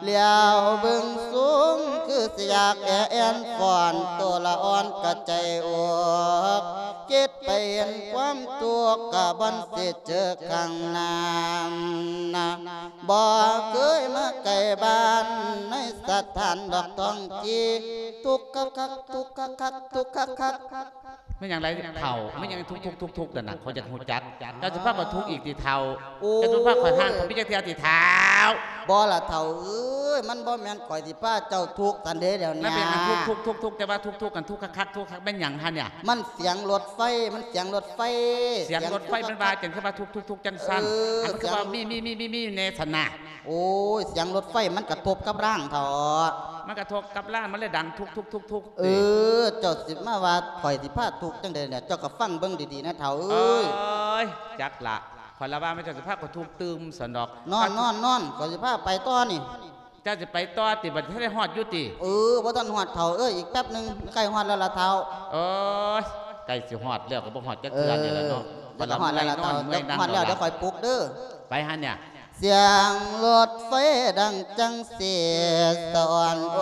ຫຼຽວເບິ່ງສູງຄືຊິຢາກແອແອນຟ້ອນ ໂຕລະອ່ອນກະໃຈອອກ ຄິດໄປເຫັນຄວາມທຸກກະບ່ອນຊິເຈີຂ້າງໜ້ານະ ບໍ່ເຄີຍມາໃກ້ບ້ານໃນສະຖານດອກທ້ອງທີ່ ທຸກຄັກໆ ທຸກຄັກໆ ທຸກຄັກໆ. ແມ່ນຫຍັງໄລເຖົ້າ? ແມ່ນຫຍັງທຸກໆໆໆນັ້ນນະ? ຂ້ອຍຢາກຮູ້ຈັກ. ເຈົ້າຊິພາຂ້ອຍທຸກອີກຕິເຖົ້າ? ໂອ້ຍ ເຈົ້າຊິພາຂ້ອຍຮ້າງຂ້ອຍມີຈັກເທື່ອຕິເຖົ້າ? ບໍ່ລະເຖົ້າເອີຍ ມັນບໍ່ແມ່ນຂ້ອຍຊິພາເຈົ້າທຸກຊັ້ນເດ້ດຽວນີ້. ແລ້ວເປັນຫຍັງທຸກໆໆ ແຕ່ວ່າທຸກໆກັນ ທຸກຄັກໆ ທຸກຄັກ ແມ່ນຫຍັງຫັ້ນເນຍ? ມັນສຽງລົດໄຟ ມັນສຽງລົດໄຟ. ສຽງລົດໄຟ ມັນວ່າຈັ່ງຄືວ່າທຸກໆໆ ຈັ່ງຊັ້ນ? ເອີ ອັນມັນຄືວ່າມີ ມີ ມີ ມີ ມີແດ່ຊັ້ນນະ? ໂອ້ຍ ສຽງລົດໄຟມັນກະທົບກັບລາງເຖາະ. ມັນກະທົບກັບລາງ ມັນເລີຍດັງທຸກໆໆໆ ເອີ ເຈົ້າຊິມາວ່າຂ້ອຍຊິພາທຸກຈັ່ງໃດເນຍ? ເຈົ້າກະຟັງເບິ່ງດີໆນະເຖົ້າເອີຍ. ໂອ້ຍ ຈັກລະ ຂ້ອຍລະວ່າແມ່ນເຈົ້າຊິພາຂ້ອຍທຸກຕື່ມຊັ້ນດອກ. ນອນ ນອນ ນອນ ຂ້ອຍຊິພາໄປຕໍ່ນີ້. ເຈົ້າຊິໄປຕໍ່ຕິ? ບັດນີ້ໄດ້ຮອດຢູ່ຕິ? ເອີ ບໍ່ທັນຮອດເຖົ້າເອີຍ ອີກແປັບໜຶ່ງ ໃກ້ຮອດແລ້ວລະເຖົ້າ. ໂອ້ຍ ໃກ້ຊິຮອດແລ້ວ ກໍບໍ່ຮອດຈັກເທື່ອນີ້ລະເນາະ. ເອີ ເຈົ້າກະຮອດແລ້ວລະເຖົ້າ ເຈົ້າຮອດແລ້ວ ດຽວຂ້ອຍປຸກເດີ. ໄປຫັ້ນນະ. ສຽງລົດໄຟດັງຈັ່ງຊີ້ສະອອນໂອ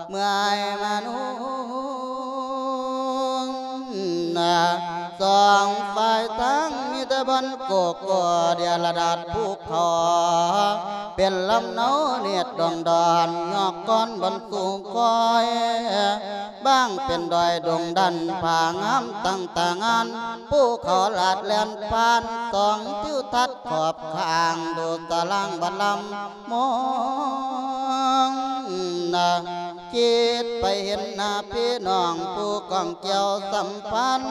ເມື່ອຍມະນຸງນະ ສອງຝ່າຍທາງມີແຕ່ບ່ອນໂກໂກ້ ດຽລະດາດພູເຂົາ ເປັນລຳເນົາເນດດອງດອນ ຍອກກ້ອນບ່ອນສູງຄ່ອຍ ບາງເປັນດອຍດົງດັນ ຜາງາມຕັ້ງຕາງານ ພູເຂົາລາດແລ່ນຜ່ານ ສອງທິວທັດຂອບຂ້າງ ດູຕາລາງບັດລຳມອງນະ ຄິດໄປເຫັນໜ້າພີ່ນ້ອງ ຜູ້ກອງກ່ຽວສຳພັນ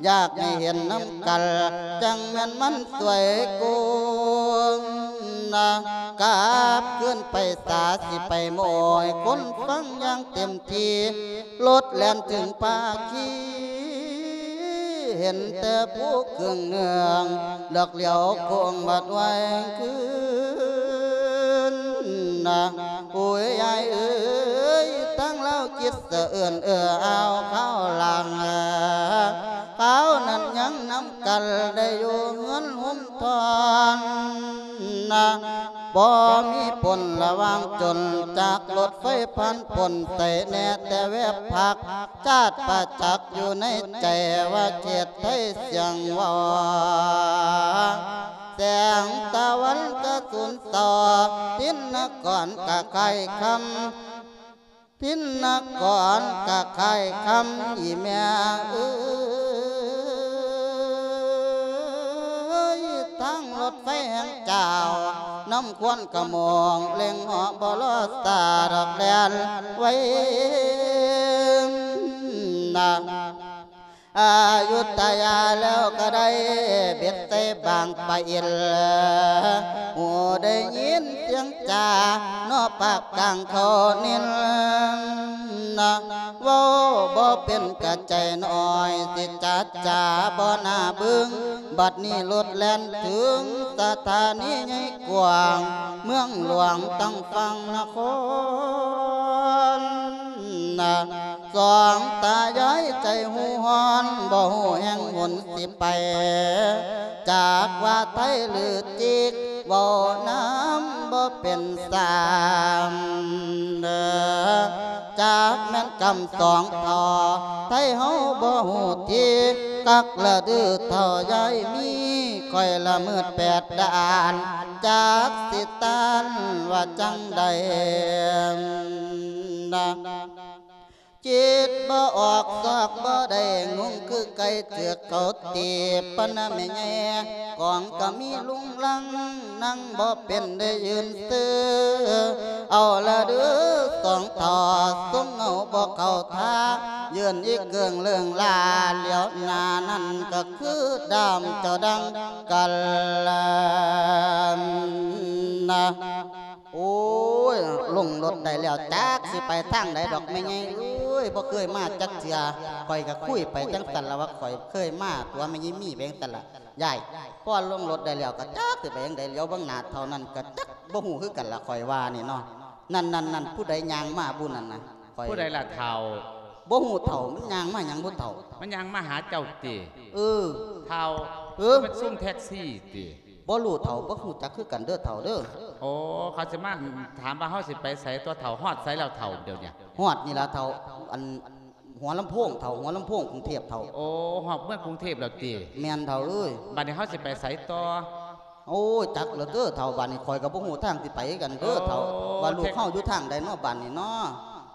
ຢາກໃຫ້ເຫັນນຳກັນ ຈັ່ງແມ່ນມັນສວຍກຸນນະ ກັບຄືນໄປສາ ຊິໄປໂມຍຄົນຟັງຢ່າງເຕັມທີ່ ລົດແລ່ນເຖິງພາຄີ ເຫັນແຕ່ຜູ້ເຄື່ອງເໜືອງ ດອກຫຼຽວໂຄ້ງບາດໄວຄືນນະ ໂອ້ຍ ຍາຍເອີຍ ທາງລາວຄິດສະເອື້ອນເອື້ອອາວຄາວຫຼັງ ຄາວນັ້ນຍັງນຳກັນໄດ້ຢູ່ເຮືອນຮົ່ມທອນນະ ບໍ່ມີປົນລະຫວ່າງຈົນ ຈາກລົດໄຟຜ່ານປົນໃສ່ແດ່ແຕ່ແວບພັກ ຈາດປະຈັກຢູ່ໃນໃຈວ່າເຂດໄທສຽງເວົ້າ ແສງຕາວັນກະສູນເຊົາ ທິນນະກອນກະຄ້າຍຄຳ ທິນນະກອນກະຄ້າຍຄຳ ອີ່ແມ່ເອີຍ ທາງລົດໄຟແຫ່ງເຈົ້າ ນຳຄວັນຂະໂມງ ເລັ່ງເຫາະບໍ່ລໍຊ້າດອກແລ່ນໄວນະ ອາຍຸທະຍາແລ້ວກະໄດ້ ເບັດໃສ່ບາງປະອິນ ຫູໄດ້ຍິນສຽງຈາ ເນາະປາກກາງເຂົານິນນະ ເວົ້າບໍ່ເປັນກະໃຈນ້ອຍ ຊິຈັດຈາບໍ່ໜ້າບຶງ ບັດນີ້ລົດແລ່ນເຖິງສະຖານີໃຫຍ່ກວ້າງ ເມືອງຫຼວງຕັ້ງຝັ່ງນະຄອນນະ ສອງຕາຍາຍໃຈຫູຮ້ອນ ບໍ່ຮູ້ແຫ່ງຫົນຊິໄປ ຈາກວ່າໄທຫຼືຈີກ ເວົ້ານຳບໍ່ເປັນສາມເດີ ຈາກແມ່ນກຳສອງທໍ່ ໄທເຮົາບໍ່ຮູ້ທີ ກັກລະດືເຖົ້າຍາຍມີ ຂ້ອຍລະມືດແປດດ້ານ ຈັກຊິຕ້ານວ່າຈັ່ງໃດນະ ຄິດບໍ່ອອກຊອກບໍ່ໄດ້ ງົງຄືໄກ່ຖືກເຂົາຕີ ປານນະແມ່ໃຫຍ່ ກອງກະມີລຸງລັງ ນັ່ງບໍ່ເປັນໄດ້ຢືນຊື່ ເອົາລະເດີສອງທໍ່ ຊົງເອົາບໍ່ເຂົ້າທ່າ ຢືນອີກເກີງເລື່ອງລາ ຫຼຽວໜ້ານັ້ນກະຄືດາມເຈົ້າດັ່ງການນະ. ໂອ້ຍ ລົງລົດໄດ້ແລ້ວ ຈັກຊິໄປທາງໃດດອກແມ່ໃຫຍ່ເອີຍ ບໍ່ເຄີຍມາຈັກເທື່ອ ຂ້ອຍກະຄຸຍໄປຈັ່ງຊັ້ນລະວ່າ ຂ້ອຍເຄີຍມາຕົວະແມ່ໃຫຍ່ມີໄປຈັ່ງຊັ້ນລະຍາຍ. ພໍລົງລົດໄດ້ແລ້ວກະຈັກຊິໄປຈັ່ງໃດ ຫຼຽວເບິ່ງໜ້າເທົ່ານັ້ນກະຈັກບໍ່ຮູ້ຄືກັນລະ ຂ້ອຍວ່ານີ້ເນາະ. ນັ້ນໆໆ ຜູ້ໃດຍ່າງມາບຸນັ້ນນະ ຂ້ອຍ ຜູ້ໃດລະເຖົ້າ? ບໍ່ຮູ້ເຖົ້າ ມັນຍ່າງມາຫຍັງບໍ່ເຖົ້າ? ມັນຍ່າງມາຫາເຈົ້າຕິ? ເອີ ເຖົ້າ ເອີ ມັນຊຸມແທັກຊີຕິ? ບໍ່ຮູ້ເຖົ້າ ບໍ່ຮູ້ຈັກຄືກັນເດີເຖົ້າເດີ. ໂອ້ ເຂົາຊິມາຖາມວ່າເຮົາຊິໄປໃສຕົວະເຖົ້າ? ຮອດໃສແລ້ວເຖົ້າດຽວນີ້? ຮອດນີ້ລະເຖົ້າ ອັນ ຫົວລຳໂພງເຖົ້າ ຫົວລຳໂພງກຸງເທບເຖົ້າ. ໂອ້ ຮອດເມືອງກຸງເທບແລ້ວຕິ? ແມ່ນເຖົ້າເອີຍ. ບັດນີ້ເຮົາຊິໄປໃສຕໍ່? ໂອ້ຍ ຈັກແລ້ວເດີເຖົ້າ ບາດນີ້ຂ້ອຍກໍບໍ່ຮູ້ທາງຊິໄປຄືກັນເດີເຖົ້າ. ໂອ້ ວ່າລູກເຮົາຢູ່ທາງໃດເນາະບາດນີ້ເນາະ?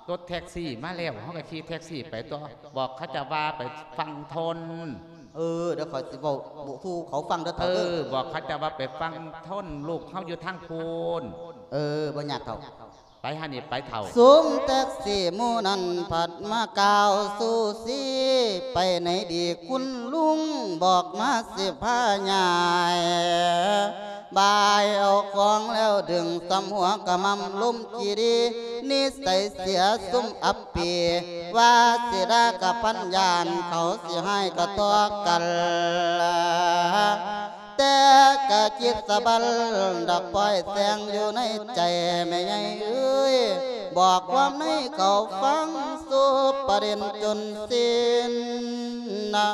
ລົດແທັກຊີມາແລ້ວ ເຮົາກໍຂີ່ແທັກຊີໄປຕໍ່. ບອກເຂົາເຈົ້າວ່າໄປຝັ່ງທົນ. ເອີ ດຽວຂ້ອຍຊິເວົ້າສູ່ເຂົາຟັງເດີເຖົ້າເດີ. ເອີ ບອກເຂົາເຈົ້າວ່າໄປຝັ່ງທົນ ລູກເຮົາຢູ່ທາງພຸ້ນ. ເອີ ບໍ່ຍາກເຖົ້າ. ໄປຫັ້ນນີ້ໄປເຖົ້າ. ຊຸມແທັກຊີໝູ່ນັ້ນພັດມາກ່າວຊູຊີ ໄປໃນດີຄຸນລຸງ ບອກມາຊິພາຍ້າຍ ບາຍເອົາຂອງແລ້ວດຶງ ສ່ຳຫົວກະໝ່ຳລົມຈີ່ດີ ນິໄສເສຍຊຸມອັບປີ ວ່າຊິດ່າກະພັນຢ້ານ ເຂົາຊິຮ້າຍກະຕໍ່ກັນ. ແຕ່ກະຄິດສະບັນດອກ ປ່ອຍແສງຢູ່ໃນໃຈແມ່ໃຫຍ່ເອີຍ ບອກຄວາມໃນເຂົາຟັງ ສຸບປະເດັນຈົນສິ້ນນະ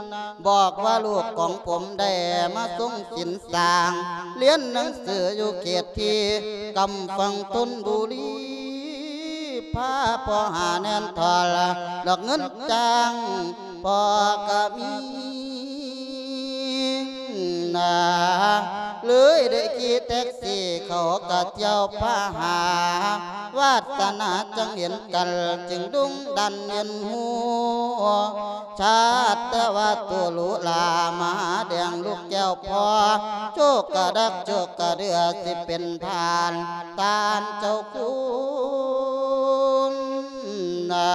ບອກວ່າລູກຂອງຜົມໄດ້ມາຊົງສິນສ້າງ ຮຽນໜັງສືຢູ່ເຂດທີ່ກຳຝັ່ງຊົນບຸລີ ພາພໍ່ຫາແໜ້ນຖອນ ດອກເງິນຈ້າງພໍ່ກະມີ ນາ ເລີຍໄດ້ຂີ່ແທັກຊີເຂົ້າກະທ່ຽວພາຫາ ວາດສະໜາຈັ່ງເຫັນກັນ ຈຶ່ງດຸງດັນເຫັນຮູ້ ຊາດແຕ່ວ່າໂຕຫຼູຫຼາ ມະຫາແດງລູກແກ້ວພໍ່ ໂຊກກະດັກໂຊກກະເດືອ ຊິເປັນທ່ານ ທ່ານເຈົ້າຄຸນນາ.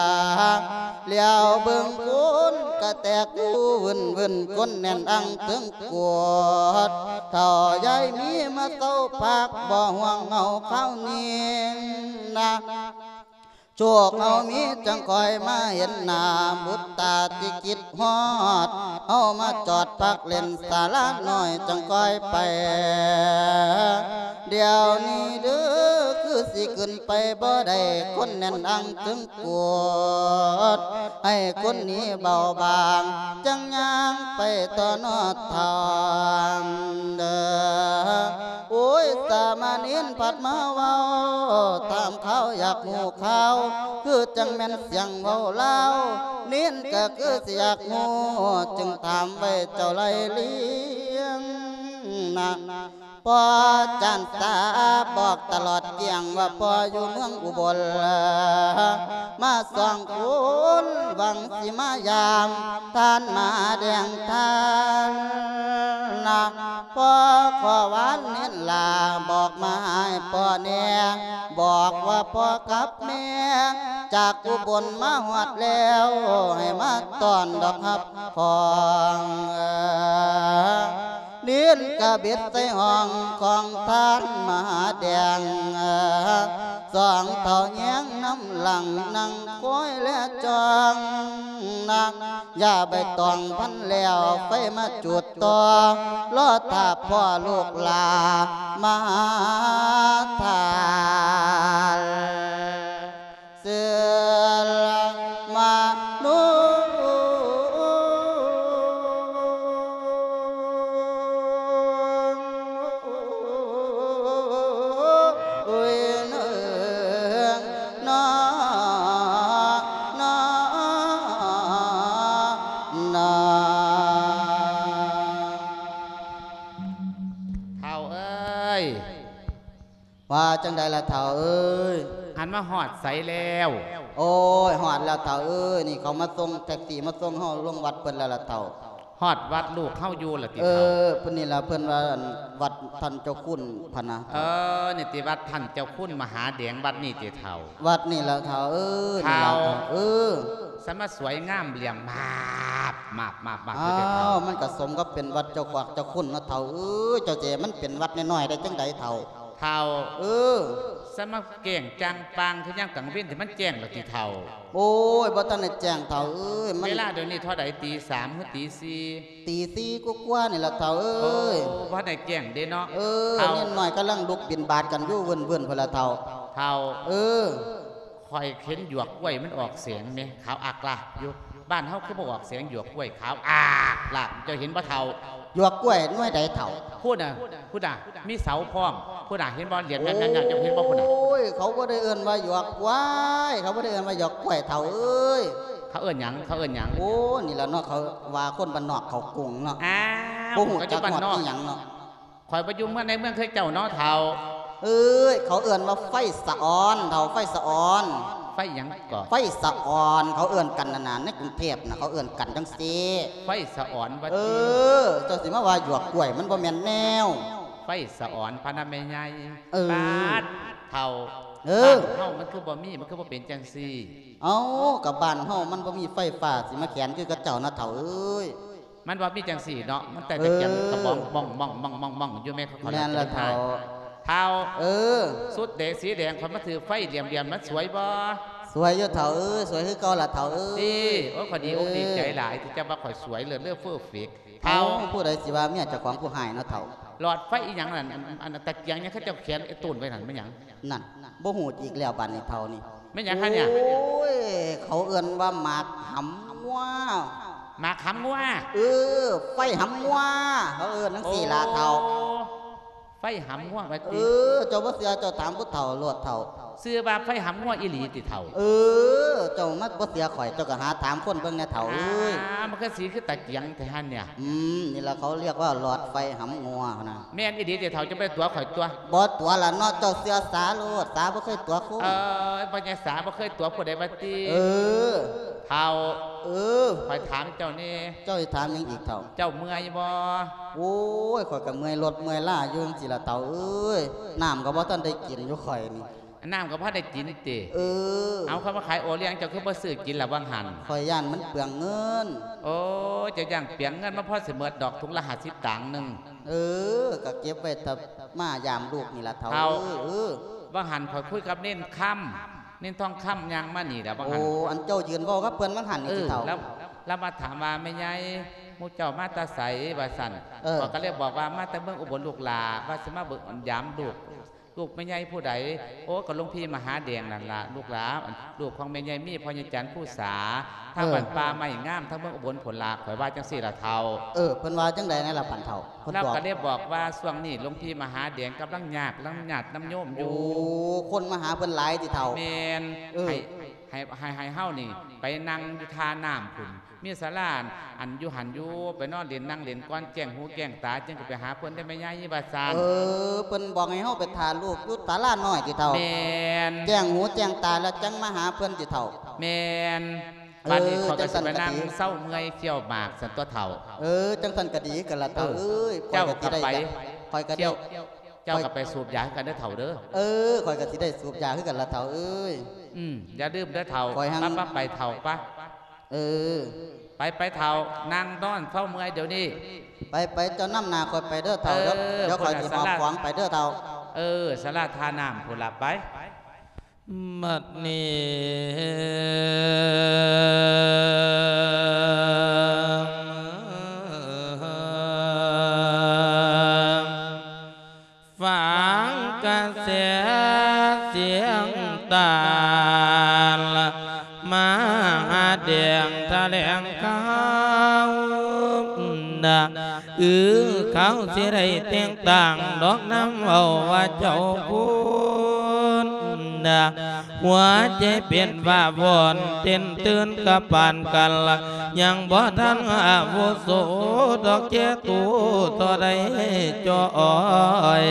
ຫຼຽວເບິ່ງຄົນກະແຕກຢູ່ວຶ່ນໆ ຄົນແໜ້ນອັ່ງເຖິງກວດ ເຖົ້າຍາຍມີມາເຊົາພັກ ບໍ່ຫ່ວງເຫງົາຄາວນີ້ນາ ໂຊກເຮົາມີຈັ່ງຄ່ອຍມາເຫັນໜ້າ ບຸດຕາທີ່ຄິດຮອດ ເຮົາມາຈອດພັກຫຼິ້ນສາລານ້ອຍຈັ່ງຄ່ອຍໄປ ດຽວນີ້ເດີ ຄືຊິຂຶ້ນໄປບໍ່ໄດ້ ຄົນແໜ້ນອັ່ງເຖິງ ກວດໃຫ້ຄົນໜີເບົາບາງ ຈັ່ງຍ່າງໄປຕໍ່ນອດທາງເດີ. ໂອ້ຍ ສາມະເນນພັດມາເວົ້າ ຖາມຂ່າວຢາກຮູ້ຂ່າວ ຄືຈັ່ງແມ່ນສຽງເວົ້າລາວ ເນນກໍຄືຊິຢາກຮູ້ ຈຶ່ງຖາມໄວ້ເຈົ້າໄລ່ລຽງນະ. ພໍ່ຈານຕາບອກຕະຫຼອດກ້ຽງວ່າພໍ່ຢູ່ເມືອງອຸບົນ ມາສອງຄົນຫວັງຊິມາຢາມທ່ານມະຫາແດງທ່ານນະ. ພໍ່ຂໍວານເນນຫຼ້າບອກມາໃຫ້ພໍ່ແດ່ ບອກວ່າພໍ່ກັບແມ່ຈາກອຸບົນມາຮອດແລ້ວ ໃຫ້ມາຕ້ອນດອກຮັບຂອງ ເນນກະເບັດໃສ່ຫ້ອງຂອງທ່ານມະຫາແດງ ສອງເຖົ້າແຍງນຳຫຼັງນັ່ງຄອຍແລຈ້ອງນະ. ຢ່າໃບຕອງພັນແລ້ວໄຟມາຈູດຕໍ່ ລໍຖ້າພໍ່ລູກຫຼ້າມາຫາທ່ານ. ເສືອມະນຸ ໂອ້ຍເນີງ ນອ ນອ ນອ ເຖົ້າເອີຍ. ວ່າຈັ່ງໃດລະເຖົ້າເອີຍ? ອັນມາຮອດໃສແລ້ວ? ໂອ້ຍ ຮອດແລ້ວເຖົ້າເອີຍ ນີ້ເຂົາມາສົ່ງ ແທັກຊີມາສົ່ງເຮົາລົງວັດເພິ່ນແລ້ວລະເຖົ້າ. ຮອດວັດລູກເຮົາຢູ່ລະຕິ ເອີ ເຖົ້າ? ເພິ່ນນີ້ລະ ເພິ່ນວ່າ ອັນ ວັດທ່ານເຈົ້າຄຸນພະນະ. ເອີ ນີ້ຕິ ວັດທ່ານເຈົ້າຄຸນມະຫາແດງ ວັດນີ້ຕິເຖົ້າ? ວັດນີ້ລະເຖົ້າເອີຍ ເຖົ້າ ນີ້ລະເຖົ້າເອີຍ. ສະມາສວຍງາມຫຼ້ຽມມາບ ມາບ ມາບ ມາບ ອ້າວ ຢູ່ເດີເຖົ້າ. ມັນກະສົມກັບເປັນວັດເຈົ້າຄວາກເຈົ້າຄຸນເນາະເຖົ້າເອີຍ. ເຈົ້າເຈ ມັນເປັນວັດນ້ອຍໆໄດ້ຈັ່ງໃດເຖົ້າ? ເຖົ້າ ເອີ ສະມາແຈ້ງຈ່າງປ່າງຄືຍາມກາງເວັນທີ່ມັນແຈ້ງແລ້ວຕິເຖົ້າ? ໂອ້ຍ ບໍ່ທັນໄດ້ແຈ້ງເຖົ້າເອີຍ ມັນ ເວລາດຽວນີ້ເທົ່າໃດ? ຕີສາມ ຫຼື ຕີສີ່? ຕີສີ່ກວ່າໆນີ້ລະເຖົ້າເອີຍ. ໂອ້ ບໍ່ທັນໄດ້ແຈ້ງເດ້ເນາະ ເອີ ເຖົ້າ. ເນນນ້ອຍກຳລັງລຸກບິນບາດກັນຢູ່ວຶ່ນໆພຸ້ນລະເຖົ້າ. ເຖົ້າ ເອີ. ໂຄ ຂ້ອຍເຫັນຫຍວກກ້ວຍມັນອອກແສງແມ ຂາວອາກລາກຢູ່. ບ້ານເຮົາຄືບໍ່ອອກແສງ ຫຍວກກ້ວຍຂາວອາກລາກ ເຈົ້າເຫັນບໍ່ເຖົ້າ? ຫຍວກກ້ວຍໜ່ວຍໃດເຖົ້າ? ພຸ້ນນະ ພຸ້ນນະ ມີເສົາພ້ອມ ພຸ້ນນະ ເຫັນບໍ່? ຫຼຽນງາມໆ ເຈົ້າເຫັນບໍ່? ພຸ້ນນະ. ໂອ້ຍ ເຂົາບໍ່ໄດ້ເອີ້ນວ່າຫຍວກກ້ວຍ ເຂົາບໍ່ໄດ້ເອີ້ນວ່າຫຍວກກ້ວຍເຖົ້າເອີຍ. ເຂົາເອີ້ນຫຍັງ? ເຂົາເອີ້ນຫຍັງ? ໂອ້ ນີ້ລະເນາະ ເຂົາວ່າຄົນບ້ານນອກເຂົ້າກຸງເນາະ. ອ້າວ ບໍ່ຮູ້ຈັກຮອດອີ່ຫຍັງເນາະ. ຂ້ອຍບໍ່ຢູ່ເມືອງໃນເມືອງຄືເຈົ້າເນາະເຖົ້າ. ເອີຍ ເຂົາເອີ້ນວ່າໄຟສະອອນເຖົ້າ ໄຟສະອອນ. ໄຟຫຍັງເກາະ? ໄຟສະອອນ ເຂົາເອີ້ນກັນຫັ້ນນະ ໃນກຸງເທບນະ ເຂົາເອີ້ນກັນຈັ່ງຊີ້. ໄຟສະອອນວ່າຕິ? ເອີ ເຈົ້າຊິມາວ່າຫຍວກກ້ວຍ ມັນບໍ່ແມ່ນແນວ. ໄຟສະອອນພະນະແມ່ໃຫຍ່. ເອີ ປາດເຖົ້າ. ເອີ ບ້ານເຮົາມັນຄືບໍ່ມີ ມັນຄືບໍ່ເປັນຈັ່ງຊີ້? ເອົ້າ ກະບ້ານເຮົາມັນບໍ່ມີໄຟຟ້າ ຊິມາແຂນຄືກັບເຈົ້ານະເຖົ້າເອີຍ. ມັນບໍ່ມີຈັ່ງຊີ້ເນາະ ມັນແຕ່ຕະກຽງກະບອງ ເອີ ມອງໆໆໆຢູ່ແມ່ ເຂົາ ແມ່ນລະເຖົ້າ. ເຖົ້າ ເອີ ສຸດແດງສີແດງ ຂ້ອຍມາຖືກໄຟຫຼຽມໆ ມັນສວຍບໍ່? ສວຍຢູ່ເຖົ້າເອີຍ ສວຍຄືເກົ່າລະເຖົ້າເອີຍ. ຕິ ໂອ້ຍ ຂ້ອຍດີອົກດີໃຈຫຼາຍ ເອີ ທີ່ເຈົ້າວ່າຂ້ອຍສວຍເລີດເລີເຟີເຟັກເຖົ້າ. ເອົ້າ ຜູ້ໃດຊິວ່າເມຍເຈົ້າຂອງຜູ້ຮ້າຍເນາະເຖົ້າ. ຫຼອດໄຟອີຫຍັງນັ້ນ ອັນ ອັນຕະກຽງຫຍັງ ເຂົາເຈົ້າແຂນໄອ້ໂຕນໄວ້ນັ້ນ ແມ່ນຫຍັງ? ນັ້ນ ບໍ່ຮູ້ອີກແລ້ວບາດນີ້ເຖົ້ານີ້. ແມ່ນຫຍັງຫັ້ນເນຍ? ໂອ້ຍ ເຂົາເອີ້ນວ່າໝາກຫຳງົວ. ໝາກຫຳງົວ? ເອີ ໄຟຫຳງົວ ເຂົາເອີ້ນຈັ່ງຊີ້ລະເຖົ້າ. ໂອ້ ໄຟຫຳງົວວ່າຕິ? ເອີ ເຈົ້າບໍ່ເຊື່ອເຈົ້າຖາມຜູ້ເຖົ້າໂລດເຖົ້າ. ຊື່ວ່າໄຟຫຳງົວອີ່ຫຼີຕິເຖົ້າ? ເອີ ເຈົ້າມາບໍ່ເຊື່ອຂ້ອຍ ເຈົ້າກະຫາຖາມຄົນເບິ່ງແດ່ເຖົ້າເອີຍ. ອ້າ ມັນຄືສີຄືຕະກຽງແທ້ຫັ້ນເນຍ. ອືມ ນີ້ລະເຂົາຮຽກວ່າຫຼອດໄຟຫຳງົວຫັ້ນນະ. ແມ່ນອີ່ຫຼີຕິເຖົ້າ ເຈົ້າບໍ່ໄດ້ຕົວະຂ້ອຍຕົວະ? ບໍ່ຕົວະລະເນາະ ເຈົ້າເຊື່ອສາໂລດ ສາບໍ່ເຄີຍຕົວະຄົນ. ເອີຍ ພໍ່ໃຫຍ່ສາບໍ່ເຄີຍຕົວະຜູ້ໃດວ່າຕິ? ເອີ ເຖົ້າ ເອີ ຂ້ອຍຖາມເຈົ້າແດ່. ເຈົ້າຊິຖາມຫຍັງອີກເຖົ້າ? ເຈົ້າເມື່ອຍບໍ່? ໂອ້ຍ ຂ້ອຍກະເມື່ອຍລົດເມື່ອຍລາຢູ່ຈັ່ງຊີ້ລະເຖົ້າເອີຍ. ນ້ຳກະບໍ່ທັນໄດ້ກິນຢູ່ຂ້ອຍນີ້. ນ້ຳກະບໍ່ໄດ້ກິນຕິ? ເອີ ເອົາ ເຂົາມາຂາຍໂອລ້ຽງ ເຈົ້າຄືບໍ່ຊື້ກິນລະຫວ່າງຫັ້ນ? ຂ້ອຍຢ້ານມັນເປືອງເງິນ. ໂອ້ຍ ເຈົ້າຢ້ານເປືອງເງິນ ມັນພໍຊິໝົດດອກ ຖົງລະຫ້າສິບຕາງໜຶ່ງ. ເອີ ກະເກັບໄວ້ຖ້າມາຢາມລູກນີ້ລະເຖົ້າ ເຖົ້າ ເອີ ເອີ ຫວ່າງຫັ້ນຂ້ອຍຄຸຍກັບເນນຄຳ ເນນທອງຄຳຍ່າງມານີ້ລະຫວ່າງຫັ້ນ. ໂອ້ ອັນເຈົ້າຢືນເວົ້າກັບເພິ່ນຫວ່າງຫັ້ນນີ້ຕິເຖົ້າ? ລາວ ລາວມາຖາມວ່າ ແມ່ໃຫຍ່ ໝູ່ເຈົ້າມາແຕ່ໃສ ວ່າຊັ້ນ. ເອີ ຂ້ອຍກະເລີຍບອກວ່າ ມາແຕ່ເມືອງອຸບົນລູກຫຼ້າ ວ່າຊິມາເບິ່ງຢາມລູກ ລູກແມ່ໃຫຍ່ຜູ້ໃດ? ໂອ້ ກະຫຼວງພີ່ມະຫາແດງນັ້ນລະລູກຫຼ້າ ອັນ ລູກຂອງແມ່ໃຫຍ່ມີ ພໍ່ໃຫຍ່ຈັນພູສາ ທາງ ເອີ ບ້ານປ່າໄມ້ງາມ ທາງເມືອງອຸບົນພຸ້ນລະ ຂ້ອຍວ່າຈັ່ງຊີ້ລະເຖົ້າ. ເອີ ເພິ່ນວ່າຈັ່ງໃດແດ່ລະບັດເຖົ້າ? ເພິ່ນບອກ ລາວກະເລີຍບອກວ່າ ຊ່ວງນີ້ຫຼວງພີ່ມະຫາແດງກຳລັງຍາກ ກຳລັງຍາດນຳໂຍມຢູ່. ໂອ້ ຄົນມາຫາເພິ່ນຫຼາຍຕິເຖົ້າ? ແມ່ນ. ເອີ ໃຫ້ ໃຫ້ ໃຫ້ ໃຫ້ເຮົານີ້ໄປນັ່ງຢູ່ທ່ານ້ຳພຸ້ນ ມີສາລາ ອັນ ຢູ່ຫັ້ນຢູ່ ໄປນອນຫຼິ້ນນັ່ງຫຼິ້ນກ່ອນ ແຈ້ງຫູແຈ້ງຕາ ຈຶ່ງກະໄປຫາເພິ່ນໄດ້ແມ່ໃຫຍ່ ວ່າຊັ້ນ. ເອີ ເພິ່ນບອກໃຫ້ເຮົາໄປຖ້າລູກຢູ່ສາລານ້ອຍຕິເຖົ້າ? ແມ່ນ. ແຈ້ງຫູແຈ້ງຕາແລ້ວຈັ່ງມາຫາເພິ່ນຕິເຖົ້າ? ແມ່ນ. ເອີ ບາດນີ້ຂ້ອຍກະຊິໄປນັ່ງເຊົາເມື່ອຍຄ້ຽວໝາກຊັ້ນຕົວະເຖົ້າ. ເອີ ຈັ່ງຊັ້ນກະດີກັນລະເຖົ້າເອີຍ. ເອີ ເຈົ້າກະໄປ ຂ້ອຍກະຊິໄດ້ ຂ້ອຍກະຊິໄດ້ ເຈົ້າກະໄປສູບຢາຄືກັນເດີເຖົ້າເດີ. ເອີ ຂ້ອຍກະຊິໄດ້ສູບຢາຄືກັນລະເຖົ້າເອີຍ. ອືມ ຢ່າລືມເດີເຖົ້າ. ຂ້ອຍຫັ້ນ ໄປ ໄປ ໄປເຖົ້າ ໄປ. ເອີ ໄປ ໄປເຖົ້າ ນັ່ງນອນເຊົາເມື່ອຍດຽວນີ້. ໄປ ໄປ ເຈົ້ານຳໜ້າຂ້ອຍໄປເດີເຖົ້າ. ເອີ ດຽວ ດຽວຂ້ອຍຊິຫອບຂອງໄປເດີເຖົ້າ. ເອີ ສາລາທ່ານ້ຳພຸ້ນລະ ໄປ. ບັດນີ້ ຟັງກະແສສຽງຕານ ມະຫາແດງຖະແຫຼງຂ່າວນະ ອື ເຂົາຊິໄດ້ແຕ່ງຕັ້ງດອກນຳເວົ້າວ່າເຈົ້າຄຸນນະ ຫົວໃຈເປັນວາວອນເຕັ້ນຕື່ນກະປານກັນ ຍັງບໍ່ທັນອາວຸໂສດອກແຈໂຕ ທໍ່ໃດຈ່ອຍ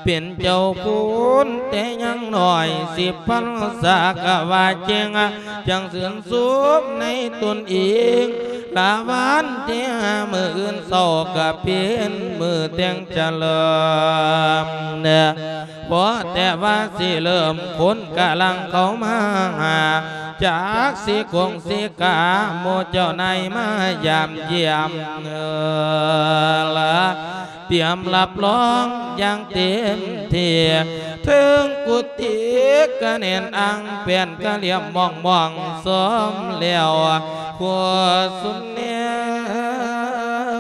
ເປັນເຈົ້າຄູນແຕ່ຍັງນ້ອຍ ສິບພັນສາກະວ່າເກັ່ງ ຈັ່ງຊື່ນຊົມໃນຕົນເອງ ລະວັນທີຫ້າມື້ອື່ນເຊົ້າກະເປັນມື້ແຕ່ງຈະເລີມ ພໍແຕ່ວ່າຊິເລີ່ມຄົນກະລັງເຂົ້າມາຫາ ຈັກຊິກົງຊິກາ ໝູ່ເຈົ້ານາຍມາຢາມຢ້ຽມ ເອີ ລະ ຕຽມຮັບຮອງຢ່າງເຕັມທີ່ ເທິງກຸຕິກະແໜ້ນອັງ ແປ້ນກະລຽມມ່ອງໆ ຊ້ອມແລ້ວ ຄົວສຸນແນ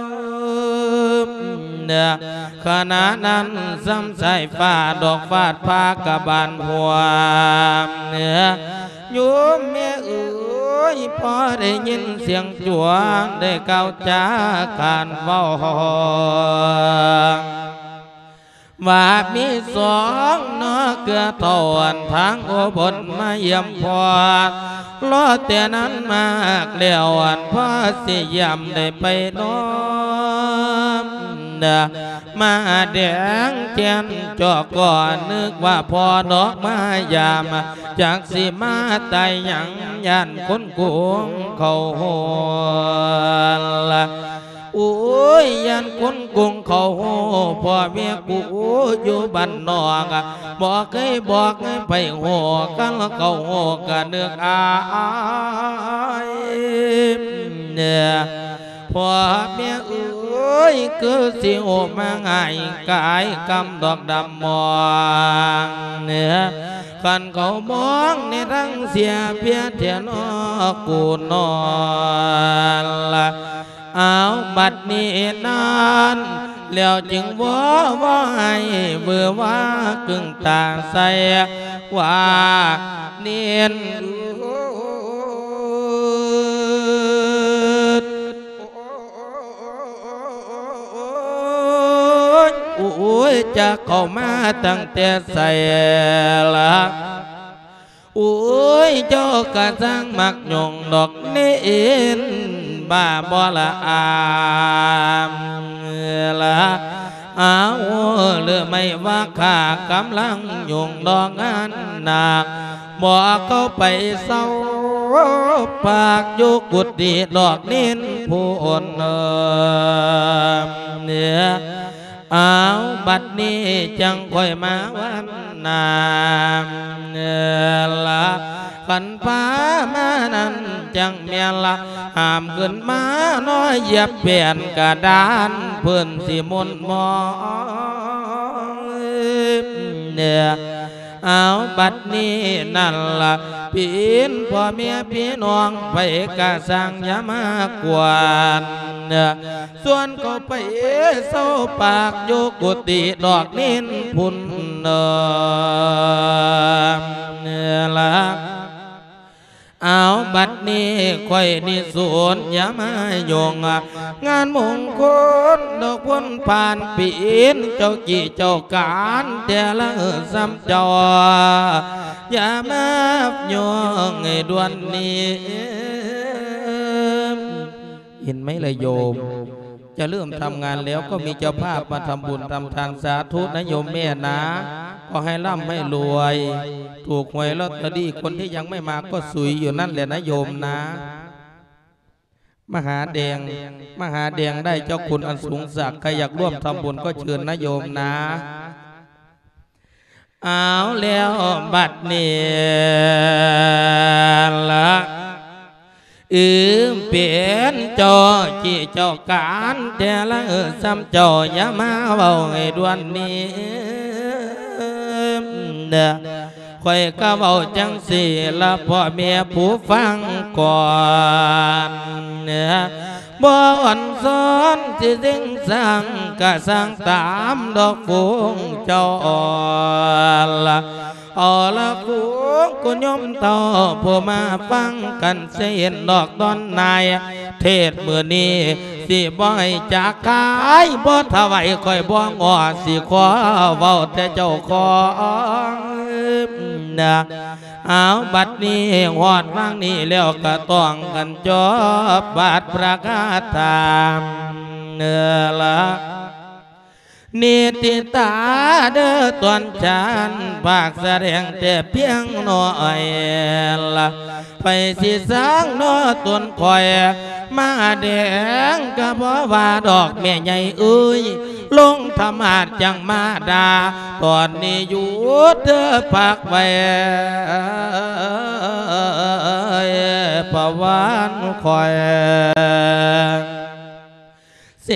ວ ຂະນະນັ້ນສ່ຳສາຍຟ້າດອກຟາດຟ້າກະບານຫົວ ໂຍມແມ່ເອີຍ ພໍໄດ້ຍິນສຽງຈວງ ໄດ້ກ່າວຈາການເວົ້າ ວ່າມີສອງເນາະເກືອເທົ່າ ອັນທາງອຸບົນມາຢ້ຽມພໍ່ ລໍແຕ່ນັ້ນມາແລ້ວ ອັນພໍ່ຊິຢ້ຽມໄດ້ໄປນອນ ມາແດງແກ່ນຈອກກໍນຶກວ່າພໍ່ດອກມາຢາມ ຈັກຊິມາຕາຍຫຍັງ ຢ້ານຄົນກຸງເຂົາໂຫດ ໂອ້ຍ ຢ້ານຄົນກຸງເຂົາໂຫດ ພໍ່ແມ່ກູຢູ່ບ້ານນອກ ບໍ່ເຄີຍບອກໃຫ້ໃຜໂຫດ ຄັນເຂົາໂຫດກະນຶກອາຍ ພໍ່ແມ່ເອີຍ ຄືຊິໂຫດມາງ່າຍກາຍກຳດອກດຳມອງ ຄັນເຂົາມອງໃນທາງເສຍເພຍແທ້ນອ ກູນອນລະ ອ້າວ ບັດນີ້ນັ້ນ ແລ້ວຈຶ່ງວໍວາຍວືອວາກຶ່ງຕາໃສ່ ວ່າເນນ ໂອ້ຍ ຈັກເຂົ້າມາຕັ້ງແຕ່ໃສລະ ໂອ້ຍ ເຈົ້າກະຊ່າງມັກຫຍຸ້ງດອກເນນ ບ້າບໍ່ລະອາມລະ ອ້າວ ຫຼືໄມ່ວ່າຂ້າກຳລັງຫຍຸ້ງດອກງານໜັກ ບໍ່ເຂົ້າໄປເຊົາປາກຢູ່ກຸຕິດອກເນນພຸ້ນ ອ້າວ ບັດນີ້ຈັ່ງຄ່ອຍມາວັນນາ ລະ ຄັນພາມານັ້ນຈັ່ງແມ່ນລະ ຫ້າມຂຶ້ນມາເນາະ ຢຽບແປ້ນກະດານ ເພິ່ນຊິມົນມອງ ເອີ ອ້າວ ບັດນີ້ນັ້ນລະ ເປັນພໍ່ແມ່ພີ່ນ້ອງ ໃຜກະຊ່າງຢ່າມາກວນ ຊວນເຂົ້າໄປເຊົາປາກຢູ່ກຸຕິດອກເນນພຸ້ນເດີລະ ອ້າວ ບັດນີ້ຂ້ອຍນິສົນຢ່າມາຫຍຸ້ງ ງານມົງຄົນດອກພຸ້ນຜ່ານປີນ ເຈົ້າກີ້ເຈົ້າການແຕ່ລະສ່ຳເຈົ້າ ຢ່າມາຫຍຸ້ງໃຫ້ດ່ວນນີ້ ເຫັນໄໝລະໂຍມ? ຈະເລີ່ມທຳງານແລ້ວ ກໍມີເຈົ້າພາບມາທຳບຸນທຳທານ ສາທຸນະໂຍມແມ່ນາ ຂໍໃຫ້ລ່ຳໃຫ້ລວຍ ຖືກຫວຍລອດເຕີຣີ ຄົນທີ່ຍັງໄມ່ມາກໍສຸຍຢູ່ນັ້ນແຫຼະນະໂຍມນາ. ມະຫາແດງ ມະຫາແດງໄດ້ເຈົ້າຄຸນອັນສູງສັກ ໃຜຢາກຮ່ວມທຳບຸນກໍເຊີນນະໂຍມນາ. ເອົາແລ້ວບັດນີ້ລະ ອືມ ເປັນເຈົ້າຈີ້ເຈົ້າການແທ້ລະ ສ່ຳເຈົ້າຢ່າມາເວົ້າໃຫ້ດ່ວນນີ້ເດີ ຂ້ອຍກະເວົ້າຈັ່ງຊີ້ລະ ພໍ່ແມ່ຜູ້ຟັງກ່ອນ ບໍ່ອ່ອນຊ້ອນຊິເສັງສ້າງ ກະສ້າງຕາມດອກຝູງເຈົ້າລະ ເອົາລະ ຝູງຄຸນໂຍມເຖົ້າຜູ້ມາຟັງກັນ ຊິເຫັນດອກຕອນນາຍເທດມື້ນີ້ ຊິບໍ່ໃຫ້ຈາກກາຍ ບໍ່ຖວາຍຂ້ອຍບໍ່ງໍ ຊິຂໍເວົ້າແຕ່ເຈົ້າຂອງນະ ເອົາ ບັດນີ້ຮອດວາງນີ້ແລ້ວ ກະຕ້ອງກັນຈົບບາດພະຄາຖາເດີລະ ນິຕິຕາເດີ ຕອນຈານພາກສະແດງແຕ່ພຽງໜ້ອຍລະ ໃຜຊິສ້າງເນາະຕົນຂ້ອຍ ມະຫາແດງກະບໍ່ວ່າດອກແມ່ໃຫຍ່ເອີຍ ລົງທຳມາດຈັ່ງມາດ່າ ຕອນນີ້ຢຸດເດີ ພັກໄວ້ ພະວານຂ້ອຍ ເສ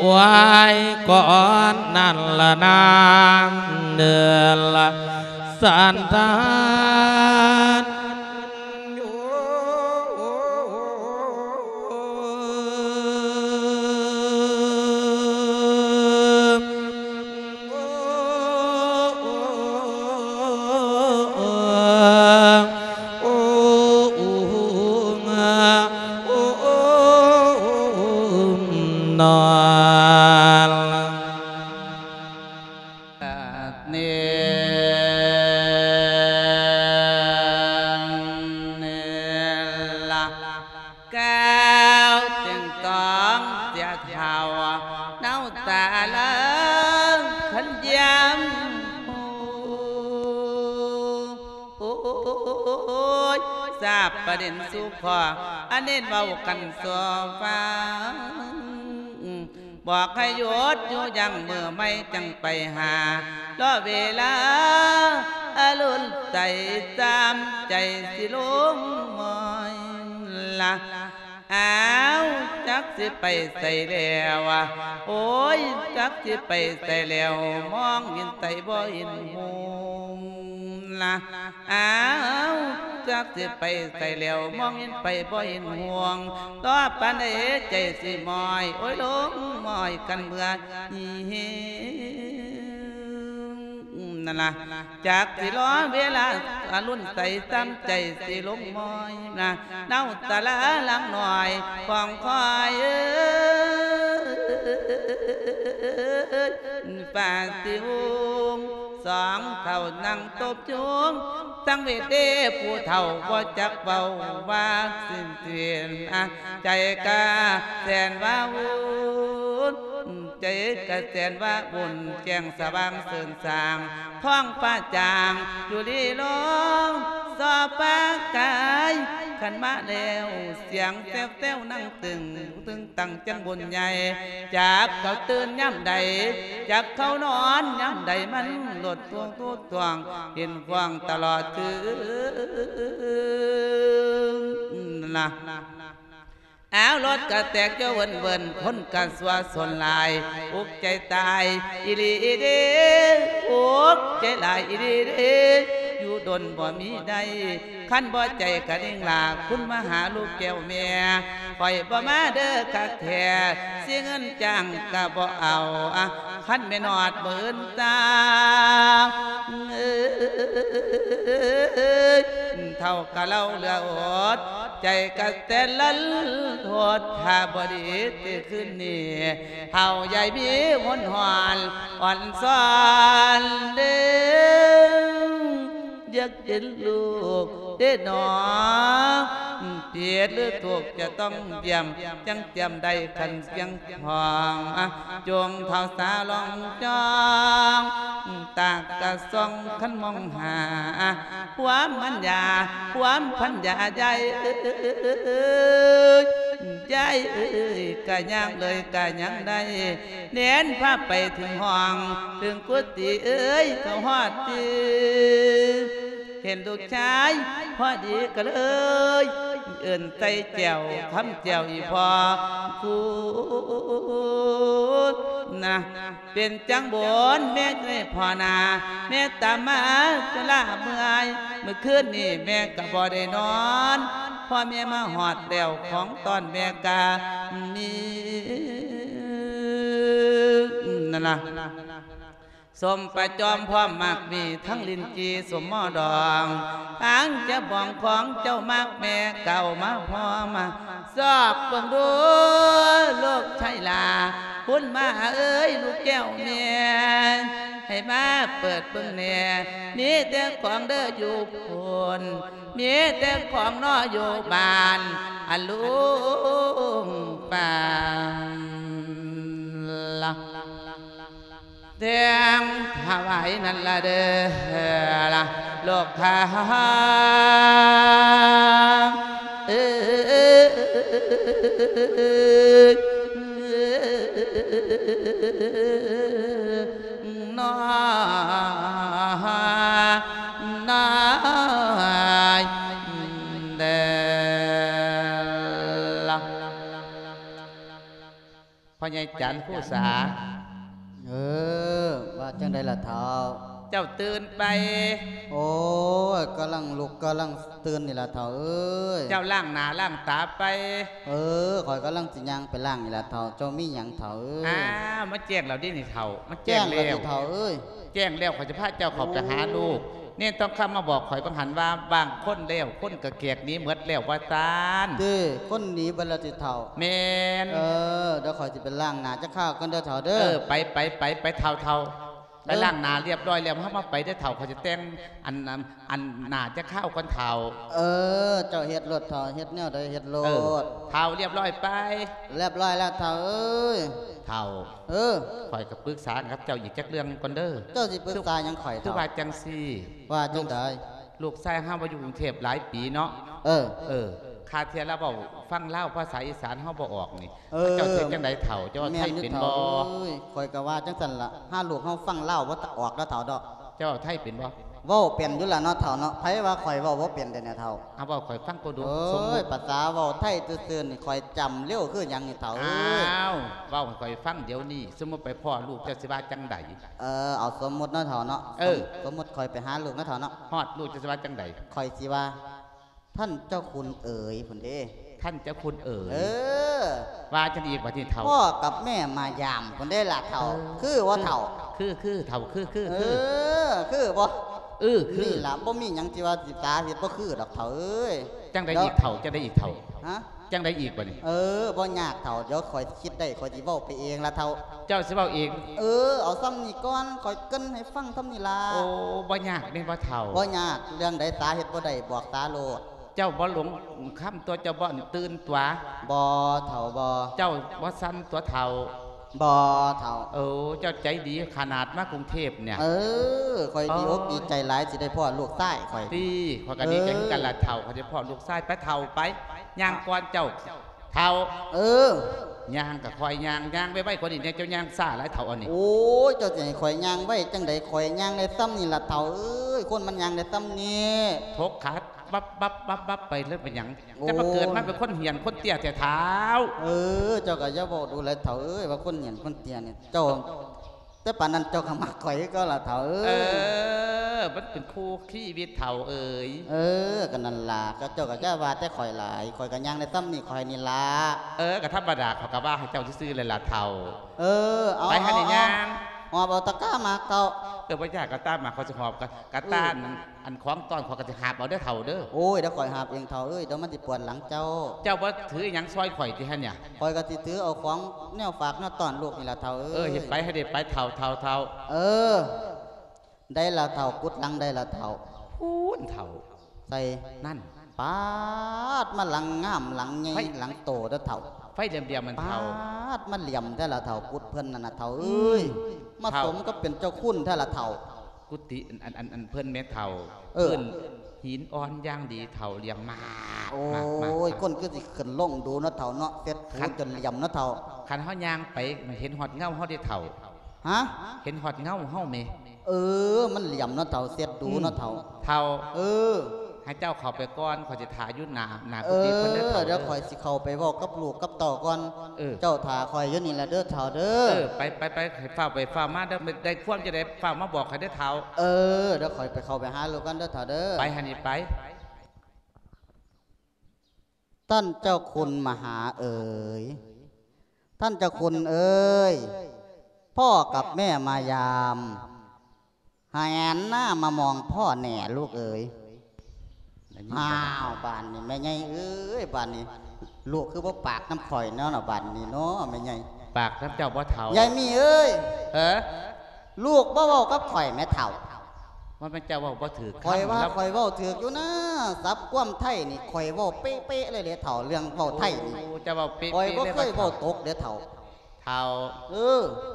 ວາຍກ່ອນນັ້ນລະນາງເນີນລະສັນທານ ກ່າວເຖິງຕ້ອງເສຍເຖົ້າ ເນົາຕາເລີງຄັນຢາມຮູ້ ໂອ້ຍ ຊາບປະເດັນສູ່ພໍ່ ອັນເນັ້ນເວົ້າກັນສູ່ຟັງ ບອກໃຫ້ຢຸດຢູ່ຢັ້ງ ມື້ໃໝ່ຈັ່ງໄປຫາ ລໍເວລາອາລຸນໃສ ຕາມໃຈຊິລົງມອຍລະ ອ້າວ ຈັກຊິໄປໃສແລ້ວ ໂອ້ຍ ຈັກຊິໄປໃສແລ້ວ ມອງເຫັນໃສບໍ່ເຫັນຫຸ່ງລະ ອ້າວ ຈັກຊິໄປໃສແລ້ວ ມອງເຫັນໄປບໍ່ເຫັນຫຸ່ງ ຕໍ່ປານໃດໃຈຊິມອຍ ໂອ້ຍ ລົງມອຍກັນເມືອນີ້ ນັ້ນລະ ຈັກຊິລໍເວລາອາລຸນໃສ ຕາມໃຈຊິລົງມອຍນະ ເນົາຕາລາຫຼັງໜ້ອຍຂອງຂ້ອຍເອີຍ ຟ້າຊິຫຸ່ງ ສອງເຖົ້ານັ່ງຕົບຈຸງ ສັງເວດເດ ຜູ້ເຖົ້າບໍ່ຈັກເວົ້າວ່າສິ້ນເສຍນ ໃຈກະແສນວ່າວຸ່ນ ໃຈກະແສນວ່າວຸ່ນ ແຈ້ງສະຫວ່າງເສີນສາງ ທ້ອງຟ້າຈາງຈຸລີລອງ ສໍ່ຟ້າກາຍ ຄັນມາແລ້ວ ສຽງແຊວໆນັ່ງຕຶງ ຕຶງຕັ້ງຈັ່ງບຸນໃຫຍ່ ຈັກເຂົາຕື່ນຍາມໃດ ຈັກເຂົານອນຍາມໃດ ມັນໂລດທວງໂຕດທວງ ເຫັນຂວາງຕະຫຼອດຄືນລະ ອ້າວ ລົດກະແຕກຢູ່ເວີນໆ ຄົນກະຊົ່ວຊົນຫຼາຍ ອຸກໃຈຕາຍອີ່ຫຼີເດ້ ອຸກໃຈຫຼາຍອີ່ຫຼີເດ້ ຢູ່ດົນບໍ່ມີໄດ້ ຄັນບໍ່ໃຈກະນິງລາ ຄຸນມະຫາລູກແກ້ວແມ່ ຂ້ອຍບໍ່ມາເດີຄັກແທ້ ຊິເງິນຈ້າງກະບໍ່ເອົາ ຄັນແມ່ນຮອດໝື່ນຕາ ເອີຍ ເຖົ້າກະເລົ່າເຫຼືອອົດ ໃຈກະແຕ່ນລັນໂທດ ຖ້າບໍ່ດີຕິຄືນນີ້ ເຖົ້າໃຫຍ່ມີຫົນຫອນ ອ່ອນຊອນເດ້ ຢາກເຫັນລູກເດ້ໜໍ ຜິດຫຼືຖືກຈະຕ້ອງຢ້ຽມ ຈັ່ງຈຽມໄດ້ຄັນສຽງ ຂອງ ອາ ຈົ່ງເຖົ້າສາລອງຈ້ອງ ຕາກະສ່ອງຄັນມອງຫາ ຄວາມພັນຍາ ຄວາມພັນຍາ ຍາຍເອີຍ ຍາຍເອີຍ ກະຍາມເລີຍກະຍັງໄດ້ ແໜນພາໄປເຖິງຫ້ອງ ເຖິງກຸຕິເອີຍ ເຂົ້າຮອດຕີ ເຫັນລູກຊາຍພໍດີກະເລີຍ ເອີ້ນໃສ່ແຈ່ວ ຄຳແຈ່ວອີ່ພໍ່ ຄຸນນະ ເປັນຈັ່ງບຸນແມ່ເອີຍພໍ່ນາ ແມ່ຕາມມາຈຸລາເມື່ອຍ ມື້ຄືນນີ້ແມ່ກະບໍ່ໄດ້ນອນ ພໍແມ່ມາຮອດແລ້ວ ຂອງຕ້ອນແມ່ກະມີ ນັ້ນລະ ສົ້ມປະຈອມພ້ອມໝາກມີ ທັງລິ້ນຈີ່ສົ້ມໝໍດອງ ທາງຈະບອງຂອງເຈົ້າໝາກແມ່ກະເອົາມາພ້ອມ ຊອກເບິ່ງດູລູກຊາຍຫຼ້າ ຄຸນມາເອີຍ ລູກແກ້ວແມ່ ໃຫ້ມາເປີດເບິ່ງແດ່ ມີແຕ່ຂອງເດີຢູ່ພຸ້ນ ມີແຕ່ຂອງນໍຢູ່ບ້ານ ອາລຸງປານລະ ແຕ່ງຖວາຍນັ້ນລະເດີລະ ລູກຄ້າເອີຍ ນ້ອຍ ນ້ອຍເດີລະ ພໍ່ໃຫຍ່ຈັນຄູສາ. ເອີ ວ່າຈັ່ງໃດລະເຖົ້າ? ເຈົ້າຕື່ນໄປ? ໂອ້ຍ ກຳລັງລຸກກຳລັງຕື່ນນີ້ລະເຖົ້າເອີຍ. ເຈົ້າລ້າງໜ້າລ້າງຕາໄປ? ເອີ ຂ້ອຍກຳລັງຊິຍ່າງໄປລ້າງນີ້ລະເຖົ້າ. ເຈົ້າມີຫຍັງເຖົ້າເອີຍ? ອ້າວ ມາແຈ້ງແລ້ວເດນີ້ເຖົ້າ ມາແຈ້ງແລ້ວ ແຈ້ງແລ້ວຕິເຖົ້າເອີຍ. ແຈ້ງແລ້ວ ຂ້ອຍຈະພາເຈົ້າເຂົ້າໄປຫາລູກ. ເນນທອງຄຳມາບອກຂ້ອຍບັງຫັນວ່າ ບາງຄົນແລ້ວ ຄົນກະແຂກໜີເໝິດແລ້ວວ່າຊັ້ນ. ເດ້ ຄົນໜີເບິດແລ້ວຕິເຖົ້າ? ແມ່ນ. ເອີ ດຽວຂ້ອຍຊິໄປລ້າງໜ້າຈັກຄາວກ່ອນເດີເຖົ້າເດີ. ເອີ ໄປ ໄປ ໄປ ໄປເຖົ້າ ເຖົ້າ. ໄປລ້າງໜ້າລຽບຮ້ອຍແລ້ວ ເຮົາມາໄປເດີເຖົ້າ ຂ້ອຍຈະແຕ່ງອັນ ອັນ ອັນໜ້າຈັກຄາວກ່ອນເຖົ້າ. ເອີ ເຈົ້າເຮັດໂລດເຖົ້າ ເຮັດແນວໃດເຮັດໂລດ. ເອີ ເຖົ້າ ລຽບຮ້ອຍໄປ. ລຽບຮ້ອຍແລ້ວເຖົ້າເອີຍ. ເຖົ້າ ເອີ ຂ້ອຍກໍປຶກສາກັບເຈົ້າອີກຈັກເລື່ອງກ່ອນເດີ. ເຈົ້າຊິປຶກສາຫຍັງຂ້ອຍເຖົ້າ? ຄືວ່າຈັ່ງຊີ້ ວ່າຈັ່ງໃດ? ລູກຊາຍເຮົາມາຢູ່ກຸງເທບຫຼາຍປີເນາະ. ເອີ ເອີ ຄາເທື່ອລາວເວົ້າ ຟັງລາວພາສາອີສານເຮົາບໍ່ອອກນີ້ ເອີ ເຈົ້າເຮັດຈັ່ງໃດເຖົ້າ? ເຈົ້າເວົ້າໄທເປັນບໍ່? ຂ້ອຍກໍວ່າຈັ່ງຊັ້ນລະ ຫາລູກເຮົາຟັງລາວບໍ່ອອກເດີເຖົ້າເນາະ. ເຈົ້າເວົ້າໄທເປັນບໍ່? ເວົ້າເປັນຢູ່ລະເນາະເຖົ້າເນາະ. ໃຜວ່າຂ້ອຍເວົ້າບໍ່ເປັນເດແນະເຖົ້າ? ເອົາ ເວົ້າຂ້ອຍຟັງກໍດູ. ໂອ້ຍ ສະມມຸດ ພາສາເວົ້າໄທຊື່ໆນີ້ ຂ້ອຍຈຳເລັວຄືຫຍັງນີ້ເຖົ້າເອີຍ. ອ້າວ ເວົ້າໃຫ້ຂ້ອຍຟັງດຽວນີ້ ສົມມຸດໄປພໍ້ລູກ ເຈົ້າຊິວ່າຈັ່ງໃດ? ເອີ ເອົາສົມມຸດເນາະເຖົ້າເນາະ. ເອີ ສົມມຸດຂ້ອຍໄປຫາລູກເນາະເຖົ້າເນາະ. ຮອດລູກເຈົ້າຊິວ່າຈັ່ງໃດ? ຂ້ອຍຊິວ່າ ທ່ານເຈົ້າຄຸນເອີຍ ພຸ້ນເດ້. ທ່ານເຈົ້າຄຸນເອີຍ. ເອີ ວ່າຈັ່ງໃດອີກບາດນີ້ເຖົ້າ? ພໍ່ກັບແມ່ມາຢາມ ພຸ້ນເດ້ລະເຖົ້າ. ເອີ ຄືບໍ່ເຖົ້າ? ຄື ຄືເຖົ້າ ຄື ຄື ເອີ ຄື ຄືບໍ່? ເອີ ຄື. ນີ້ລະ ບໍ່ມີຫຍັງທີ່ວ່າຊິສາເຮັດບໍ່ຄືດອກເຖົ້າເອີຍ. ຈັ່ງໃດອີກເຖົ້າ? ຈັ່ງໃດອີກເຖົ້າ? ຮະ? ຈັ່ງໃດອີກບາດນີ້? ເອີ ບໍ່ຍາກເຖົ້າ ດຽວຂ້ອຍຄິດໄດ້ ຂ້ອຍຊິເວົ້າໄປເອງລະເຖົ້າ. ເຈົ້າຊິເວົ້າເອງ? ເອີ ເອົາສ່ຳນີ້ກ່ອນ ຂ້ອຍເກີ່ນໃຫ້ຟັງສ່ຳນີ້ລະ. ໂອ້ ບໍ່ຍາກແມ່ນບໍ່ເຖົ້າ? ບໍ່ຍາກ. ເລື່ອງໃດສາເຮັດບໍ່ໄດ້ ບອກສາໂລດ. ເຈົ້າບໍ່ຫຼົງຄຳຕົວະ ເຈົ້າບໍ່ຕື່ນຕົວະ? ບໍ່ເຖົ້າ ບໍ່. ເຈົ້າບໍ່ສັ່ນຕົວະເຖົ້າ? ບໍ່ເຖົ້າ. ໂອ້ ເຈົ້າໃຈດີຂະໜາດມາກຸງເທບເນຍ. ເອີ ຂ້ອຍດີອົກດີໃຈຫຼາຍ ຊິໄດ້ພໍ້ລູກຊາຍຂ້ອຍ. ຕິ ຂ້ອຍກໍດີໃຈຄືກັນລະເຖົ້າ ຂ້ອຍໄດ້ພໍ້ລູກຊາຍ. ໄປເຖົ້າໄປ ຍ່າງກ່ອນເຈົ້າເຖົ້າ. ເອີ ຍ່າງກໍຄ່ອຍຍ່າງ ຍ່າງໄວໆກວ່ານີ້ແດ່ ເຈົ້າຍ່າງຊ້າຫຼາຍເຖົ້າອັນນີ້. ໂອ້ຍ ເຈົ້າຊິໃຫ້ຂ້ອຍຍ່າງໄວຈັ່ງໃດ ຂ້ອຍຍ່າງໄດ້ສ່ຳນີ້ລະເຖົ້າເອີຍ ຄົນມັນຍ່າງໄດ້ສ່ຳນີ້. ທົກຂາບັບໆໆໆໄປແລ້ວເປັນຫຍັງ? ໂອ້ຍ ຈະມາເກີດມາເປັນຄົນຫຽນຄົນເຕ້ຍແທ້ເຖົ້າ. ເອີ ເຈົ້າກໍຢ່າເວົ້າດູແຫຼະເຖົ້າເອີຍ ວ່າຄົນຫຽນຄົນເຕ້ຍນີ້ ເຈົ້າ ແຕ່ປານນັ້ນເຈົ້າກໍມັກຂ້ອຍຄືເກົ່າລະເຖົ້າເອີຍ. ເອີ ມັນເປັນຄູ່ຊີວິດເຖົ້າເອີຍ. ເອີ ກໍນັ້ນລະ ເຈົ້າກໍຢ່າວ່າແຕ່ຂ້ອຍຫຼາຍ ຂ້ອຍກໍຍ່າງໄດ້ສ່ຳນີ້ຂ້ອຍນີ້ລະ. ເອີ ກໍທຳມະດາ ຂ້ອຍກໍວ່າໃຫ້ເຈົ້າຊື່ໆແຫຼະລະເຖົ້າ. ເອີ ເອົາ ໄປຫັ້ນ ເອົາ ຍ່າງ ຫອບເອົາຕະກ້າໝາກເຖົ້າ. ເອີ ບໍ່ຍາກ ກະຕ່າໝາກ ຂ້ອຍຊິຫອບ ກະ ກະຕ່າ ອືມ ອັນຂອງຕ້ອນ ຂ້ອຍກໍຊິຫາບເອົາເດີເຖົ້າເດີ. ໂອ້ຍ ດຽວຂ້ອຍຫາບເອງເຖົ້າເອີຍ ດຽວມັນຊິປວດຫຼັງເຈົ້າ. ເຈົ້າບໍ່ຖືຫຍັງຊ່ອຍຂ້ອຍຕິຫັ້ນຫຍາ? ຂ້ອຍກໍຊິຖືເອົາຂອງແນວຝາກແນວຕ້ອນລູກນີ້ລະເຖົ້າເອີຍ. ເອີ ເຮັດໄປ ໃຫ້ໄດ້ໄປເຖົ້າ ເຖົ້າ ເຖົ້າ. ເອີ ໄດ້ລະເຖົ້າ ກຸດຫຼັງໄດ້ລະເຖົ້າ. ພຸ້ນເຖົ້າ ໃສ່ ນັ້ນ ປາດ ມາຫຼັງງາມ ຫຼັງໃຫຍ່ ໄຟ ຫຼັງໂຕເດີເຖົ້າ. ໄຟຫຼຽມໆມັນເຖົ້າ. ປາດ ມາຫຼຽມແທ້ລະເຖົ້າ ກຸດເພິ່ນນັ້ນນະເຖົ້າເອີຍ. ອືມ ມາ ເຖົ້າ ສົມກັບເປັນເຈົ້າຄຸນແທ້ລະເຖົ້າ. ກຸຕິ ອັນ ອັນ ອັນ ອັນເພິ່ນແມ່ເຖົ້າ. ເອີ ພື້ນຫີນອ່ອນຢ່າງດີເຖົ້າ ຫຼຽມມາກ. ໂອ້ຍ ມາກໆໆ ຄົນຄືຊິຂຶ້ນລົງດູເນາະເຖົ້າເນາະ ເຊັດ ຄັນ ຈົນຫຼຽມເນາະເຖົ້າ. ຄັນເຮົາຍ່າງໄປ ເຫັນຮອດເງົາເຮົາເດ້ເຖົ້າ. ຮະ? ເຫັນຮອດເງົາເຮົາແມ. ເອີ ມັນຫຼຽມເນາະເຖົ້າ ເຊັດດູເນາະເຖົ້າ. ອືມ ເຖົ້າ ເອີ ໃຫ້ເຈົ້າເຂົ້າໄປກ່ອນ ຂ້ອຍຊິຖ້າຢູ່ໜ້າ ໜ້າກຸຕິເພິ່ນເດີເຖົ້າ. ເອີ ດຽວຂ້ອຍຊິເຂົ້າໄປເວົ້າກັບລູກກັບເຕົ້າກ່ອນ. ເອີ ເຈົ້າຖ້າຂ້ອຍຢູ່ນີ້ລະເດີເຖົ້າເດີ. ເອີ ໄປ ໄປ ໄປ ໃຫ້ຟ້າວໄປຟ້າວມາເດີ ໄດ້ຄວາມຈັ່ງໃດຟ້າວມາບອກຂ້ອຍເດີເຖົ້າ. ເອີ ດຽວຂ້ອຍໄປເຂົ້າໄປຫາລູກກ່ອນເດີເຖົ້າເດີ. ໄປຫັ້ນນີ້ໄປ. ທ່ານເຈົ້າຄຸນມະຫາເອີຍ ທ່ານເຈົ້າຄຸນເອີຍ ພໍ່ກັບແມ່ມາຍາມ ຫັນໜ້າມາມອງພໍ່ແດ່ລູກເອີຍ. ໄດ້ຍິນ ອ້າວ ບາດນີ້ແມ່ໃຫຍ່ເອີຍ ບາດນີ້ລູກຄືບໍ່ປາກນຳຂ້ອຍແນວນະ ບາດນີ້ເນາະແມ່ໃຫຍ່. ປາກນຳເຈົ້າບໍ່ເຖົ້າ? ຍາຍມີເອີຍ. ເອີ ລູກບໍ່ເວົ້າກັບຂ້ອຍແມ່ເຖົ້າ. ວ່າແມ່ນເຈົ້າເວົ້າບໍ່ຖືກຄຳ. ຂ້ອຍວ່າຂ້ອຍເວົ້າຖືກຢູ່ນາ ສັບຄວາມໄທນີ້ຂ້ອຍເວົ້າເປະໆເລີຍເດ້ເຖົ້າ ເລື່ອງເວົ້າໄທນີ້. ໂອ້ ເຈົ້າເວົ້າເປະໆເລີຍ. ຂ້ອຍບໍ່ເຄີຍເວົ້າຕົກເດ້ເຖົ້າ. ເຖົ້າ ເອີ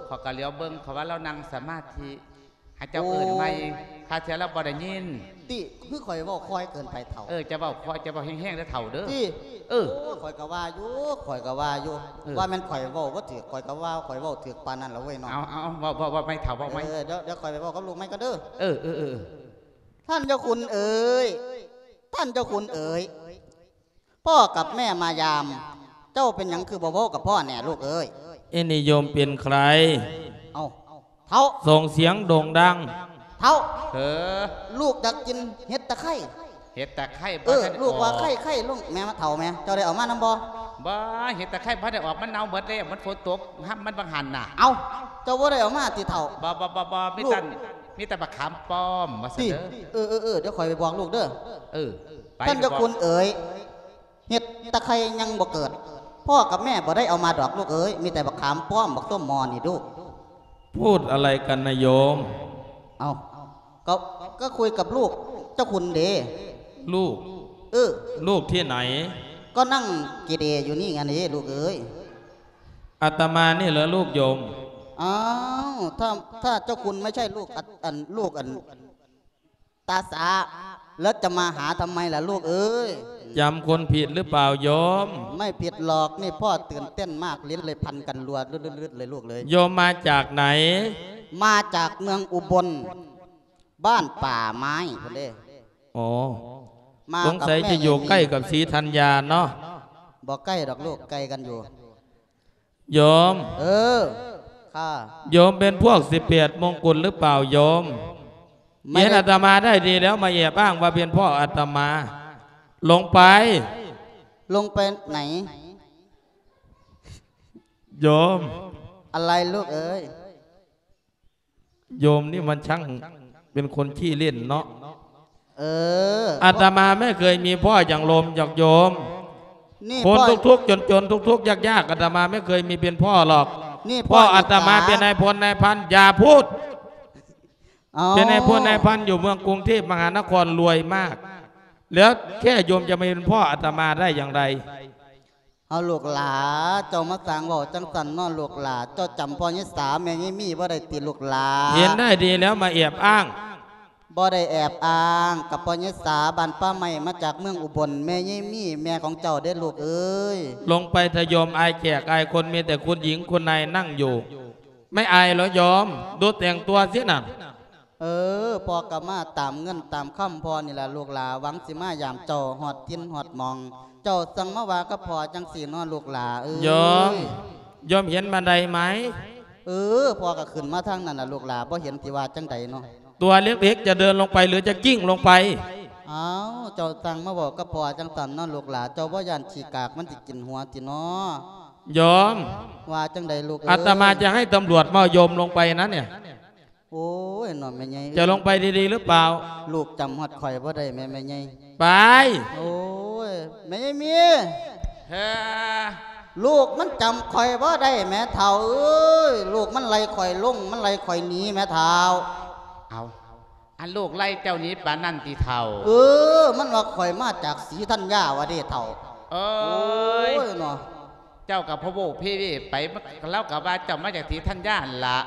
ຂ້ອຍກະຫຼຽວເບິ່ງ ເຂົາວ່າລາວນັ່ງສະມາທິ ໃຫ້ເຈົ້າເອີ້ນໃໝ່. ໂອ້ ຄາເທື່ອລາວບໍ່ໄດ້ຍິນ. ຕິ ຄືຂ້ອຍເວົ້າຄ່ອຍເກີນໄປເຖົ້າ? ເອີ ເຈົ້າເວົ້າຄ່ອຍ ເຈົ້າເວົ້າແຮງໆເດີເຖົ້າເດີ. ຕິ ເອີ ໂອ້ ຂ້ອຍກະວ່າຢູ່ ຂ້ອຍກະວ່າຢູ່ ເອີ ວ່າແມ່ນຂ້ອຍເວົ້າບໍ່ຖືກ ຂ້ອຍກະວ່າຂ້ອຍເວົ້າຖືກປານນັ້ນລະເວີຍເນາະ. ເອົາ ເອົາ ເວົ້າ ເວົ້າ ເວົ້າໃໝ່ເຖົ້າ ເວົ້າໃໝ່. ເອີ ດຽວ ດຽວຂ້ອຍໄປເວົ້າກັບລູກໃໝ່ກ່ອນເດີ. ເອີ ເອີ ເອີ ເອີ ທ່ານເຈົ້າຄຸນເອີຍ ທ່ານເຈົ້າຄຸນເອີຍ ພໍ່ກັບແມ່ມາຢາມ ເຈົ້າເປັນຫຍັງຄືບໍ່ເວົ້າກັບພໍ່ແດ່ລູກເອີຍ? ເອ ນີ້ໂຍມເປັນໃຄ? ເອົ້າ ເຖົ້າ ສົ່ງສຽງໂດ່ງດັງ. ເຖົ້າ ເອີ ລູກຢາກກິນເຫັດຕະໄຄ. ເຫັດຕະໄຄ ເອີ ບໍ່ທັນອອກ ລູກວ່າໄຄໆ ລຸງ ແມ່ມາເຖົ້າແມ່ ເຈົ້າໄດ້ເອົາມານຳບໍ່? ບໍ່ ເຫັດຕະໄຄບໍ່ໄດ້ອອກ ມັນເນົ່າໝົດແລ້ວ ມັນຝົນຕົກ ຮຳມັນບັງຫັນນະ. ເອົ້າ ເຈົ້າບໍ່ໄດ້ເອົາມາຕິເຖົ້າ? ບໍ່ ບໍ່ ບໍ່ ບໍ່ ມີແຕ່ ມີແຕ່ບັກຂາມປ້ອມ ວ່າຊັ້ນເດີ. ເອີ ເອີ ເອີ ດຽວຂ້ອຍໄປບອກລູກເດີ. ເອີ ໄປ ທ່ານເຈົ້າຄຸນເອີຍ ເຫັດຕະໄຄຍັງບໍ່ເກີດ ພໍ່ກັບແມ່ບໍ່ໄດ້ເອົາມາດອກລູກເອີຍ ມີແຕ່ບັກຂາມປ້ອມ ບັກສົ້ມໝໍ້ນີ້ລູກ. พูดอะไรกันนะโยม เอ้า ก็ ก็คุยกับลูกเจ้าคุณเด้ ลูก เออ ลูกที่ไหน ก็นั่งเกเรอยู่นี่ไงนี่ลูกเอ้ย อาตมานี่เหรอลูกโยม อ้าว ถ้า ถ้าเจ้าคุณไม่ใช่ลูกอัน อัน ลูกอัน ตาสา แล้วจะมาหาทำไมล่ะลูกเอ้ย จำคนผิดหรือเปล่าโยม ไม่ผิดหรอก นี่พ่อตื่นเต้นมาก ลิ้นเลยพันกันรัว ลืดๆๆ เลยลูกเลย โยมมาจากไหน มาจากเมืองอุบล บ้านป่าไม้พุ้นเด้ อ๋อ มากับแม่ สงสัยจะอยู่ใกล้กับศรีธัญญาเนาะ บ่ใกล้ดอกลูก ไกลกันอยู่ โยม เออ ค่ะ โยมเป็นพวกสิบแปดมงกุฎหรือเปล่าโยม ไม่ได้ เห็นอาตมาได้ดีแล้วมาแอบอ้างว่าเป็นพ่ออาตมา ลงไป ลงไปไหน โยม อะไรลูกเอ๋ย โยมนี่มันช่างเป็นคนขี้เล่นเนาะ เออ อาตมาไม่เคยมีพ่ออย่างโลม อย่างโยม นี่ คน พ่อ ทุกข์ๆ จนๆ ทุกข์ๆ ยากๆ อาตมาไม่เคยมีเป็นพ่อหรอก นี่พ่อ พ่ออาตมา อิจฉา เป็นนายพลนายพัน อย่าพูด เอา เป็นนายพลนายพันอยู่เมืองกรุงเทพมหานครรวยมาก แล้วแค่โยมจะมาเป็นพ่ออาตมาได้อย่างไร เอาลูกหลา เจ้ามาสร้างเว้าจั่งซั้นเนาะลูกหลา เจ้าจำพ่อยายสาแม่ยายมีบ่ได้ติลูกหลา เห็นได้ดีแล้วมาแอบอ้าง บ่ได้แอบอ้าง กับพ่อยายสาบ้านป่าไม้มาจากเมืองอุบล แม่ยายมีแม่ของเจ้าเด้ลูกเอ้ย ลงไปเถอะโยม อายแขกอายคน มีแต่คุณหญิงคุณนายนั่งอยู่ ไม่อายเหรอโยม ดูแต่งตัวสิน่ะ เออ พ่อก็มาตามเงินตามคำพ่อนี่ล่ะลูกหลา หวังสิมายามเจ้าฮอดถิ่นฮอดหม่อง เจ้าจั่งมาว่ากับพ่อจั่งซี้เนาะลูกหลาเอ้ย โยม โยมเห็นบันไดไหม เออ พ่อก็ขึ้นมาทางนั้นน่ะลูกหลา บ่เห็นสิว่าจั่งใดเนาะ ตัวเล็กๆ จะเดินลงไปหรือจะกลิ้งลงไป อ้าว เจ้าจั่งมาเว้ากับพ่อจั่งซั้นเนาะลูกหลา เจ้าบ่ย้านขี้กากมันสิกินหัวติเนาะ โยม ว่าจั่งใดลูกเอ้ย อาตมาจะให้ตำรวจมาเอาโยมลงไปนะเนี่ย โอ้ย เนาะแม่ใหญ่ จะลงไปดีๆ หรือเปล่า ลูกจำฮอดข้อยบ่ได้แม่ แม่ใหญ่ ไป โอ้ย แม่ใหญ่มี เฮ้อ ลูกมันจำข้อยบ่ได้แม่เฒ่าเอ้ย ลูกมันไล่ข้อยลง มันไล่ข้อยหนีแม่เฒ่า เอา อันลูกไล่เจ้าหนีปานนั้นติเฒ่า เออ มันว่าข้อยมาจากศรีธัญญาว่าเด้เฒ่า เอ้ย โอ้ย เนาะ เจ้าก็พะโว้เพเวไป ลาวก็ว่าเจ้ามาจากศรีธัญญาหั่นล่ะ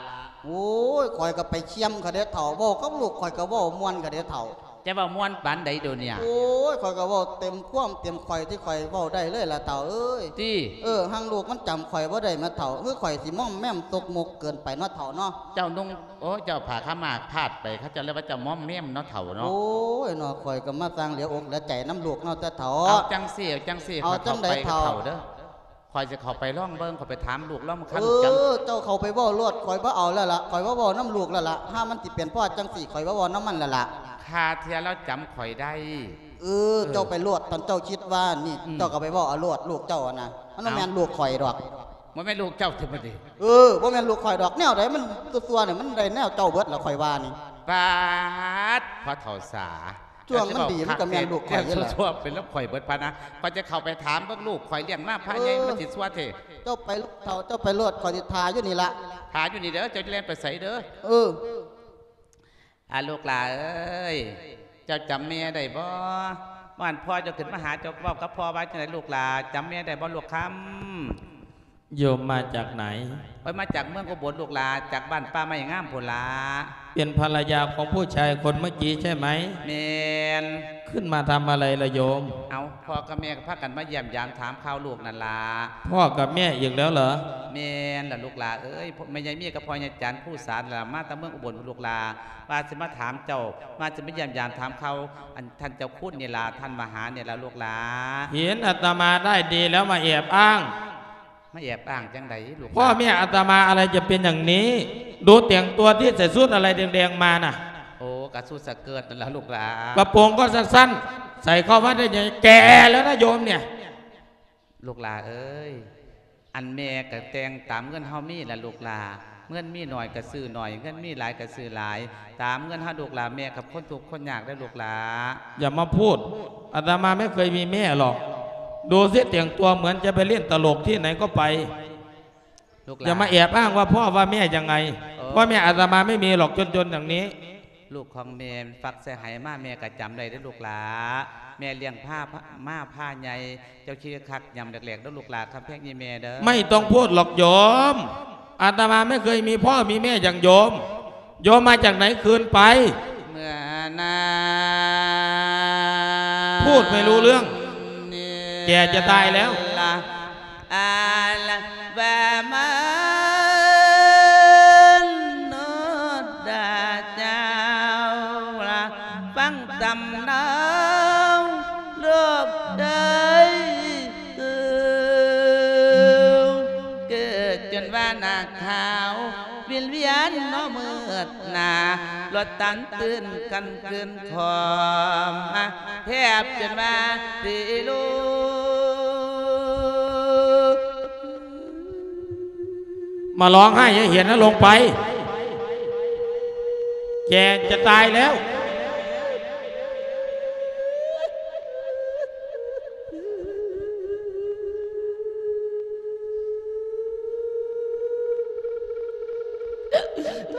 โอ้ย ข้อยก็ไปเคี่ยมเขาเด้เฒ่า เว้ากับลูกข้อยก็เว้าม่วนเขาเด้เฒ่า จะเว้าม่วนปานใดโดเนี่ย โอ้ย ข้อยก็เว้าเต็มความเต็มข้อยที่ข้อยเว้าได้เลยล่ะเฒ่าเอ้ย ติ เออ หั้งลูกมันจำข้อยบ่ได้แม่เฒ่า คือข้อยสิม่อมแม่มตกมกเกินไปเนาะเฒ่าเนาะ เจ้านุ่ง โอ้ย เจ้าผ้าขาวม้าพาดไป เขาเจ้าเรียกว่าเจ้าม่อมแม่มเนาะเฒ่าเนาะ โอ้ย เนาะ ข้อยก็มาสร้างเหลืออกเหลือใจนำลูกเนาะแต่เฒ่า เอาจั่งซี้ เอาจั่งซี้ เอาจั่งใด๋เฒ่า ข้อยเข้าไปกับเฒ่าเด้อ ข้อยสิเข้าไปลองเบิ่ง ข้อยไปถามลูกลอง เออ คันจำ เจ้าเข้าไปเว้าโลด ข้อยบ่เอาแล้วล่ะ ข้อยบ่เว้านำลูกแล้วล่ะ ถ้ามันสิเป็นพ่อจั่งซี้ ข้อยบ่เว้านำมันแล้วล่ะ ห่าเทื่อลาวจำข้อยได้ เออ เออ เจ้าไปโลด คันเจ้าคิดว่านี่ อืม เจ้าก็ไปเว้าเอาโลด ลูกเจ้าอะนะ มันบ่แม่น เอ้า ลูกข้อยดอก บ่แม่นลูกเจ้าติบัดนี้ เออ บ่แม่นลูกข้อยดอก แนวใดมันซั่วๆ นี่ มันได้แนวเจ้าเบิดล่ะ ข้อยว่านี่ ปาด พ่อเฒ่าสา ช่วงมันดีมันก็แม่นลูกข้อยอยู่แล้ว ซั่วๆ เป็นลูกข้อยเบิดพะนะ ข้อยจะเข้าไปถามเบิ่งลูกข้อยเลี้ยงมาพาใหญ่ เออ มันสิซั่วแท้ เจ้าไปลูกเฒ่า เจ้าไปโลด ข้อยสิถ่าอยู่นี่ล่ะ ถ่าอยู่นี่เด้อ เจ้าจะแล่นไปไสเด้อ เออ อา ลูกหลาเอ้ย เจ้าจำแม่ได้บ่ มื้อนั้นพ่อเจ้าขึ้นมาหา เจ้าเว้ากับพ่อว่าจั่งใด๋ลูกหลา จำแม่ได้บ่ลูกคำ โยมมาจากไหน ข้อยมาจากเมืองอุบลลูกหลา จากบ้านป่าไม้งามพู้นหลา เป็นภรรยาของผู้ชายคนเมื่อกี้ใช่ไหม แม่น ขึ้นมาทำอะไรล่ะโยม เอ้า พ่อกับแม่ก็พากันมาเยี่ยมยามถามข่าวลูกนั่นหลา พ่อกับแม่อีกแล้วเหรอ แม่นล่ะลูกหลาเอ้ย แม่ใหญ่มีกับพ่อใหญ่จันทร์ ผู้สารล่ะ มาแต่เมืองอุบลลูกหลา ว่าสิมาถามเจ้า ว่าสิมาเยี่ยมยามถามข่าว อันท่านเจ้าคุณนี่ล่ะ ท่านมาหานี่ล่ะลูกหลา เห็นอาตมาได้ดีแล้วมาแอบอ้าง มาแอบอ้างจั่งใด๋ลูกหลา พ่อแม่อาตมาอะไรจะเป็นอย่างนี้ ดูแต่งตัวที่ใส่ชุดอะไรแดงๆ มาน่ะ โอ้ กะชุดสะเกิร์ตนั่นล่ะลูกหลา กระโปรงก็สั้นๆ ใส่เข้าวัดได้ยังไง แก่แล้วนะโยมเนี่ย ลูกหลาเอ้ย อันแม่ก็แต่งตามเงินเฮามีล่ะลูกหลา เงินมีน้อยก็ซื้อน้อย เงินมีหลายก็ซื้อหลาย ตามเงินเฮาลูกหลา แม่กับคนทุกข์คนยากเด้อลูกหลา อย่ามาพูด อาตมาไม่เคยมีแม่หรอก ดูสิแต่งตัวเหมือนจะไปเล่นตลกที่ไหนก็ไป ลูกหลา อย่ามาแอบอ้างว่าพ่อว่าแม่ยังไง เออ พ่อแม่อาตมาไม่มีหรอก จนๆ อย่างนี้ ลูກของแม่ฝักใส่ไหมา แม่ก็จำได้เด้อลูกหลา แม่เลี้ยงพา พา มาพาใหญ่ เจ้าคิดคักยามแรกๆ เด้อลูกหลา คำแพงอีแม่เด้อ ไม่ต้องพูดหรอกโยม อาตมาไม่เคยมีพ่อมีแม่อย่างโยม โยมมาจากไหน คืนไป เมื่อนา พูดไม่รู้เรื่อง แก่จะตายแล้ว อาละว่ามันนอดดาเจ้าละ ฟังตำนองโลกได้ เกิดจนว่าหน้าขาว วินเวียนเนาะมืดหน้า รถตันตื่นกันเกินขอม แทบจนว่าสิลูก มาร้องไห้ให้เห็นนะ ลงไป แก่จะตายแล้ว โท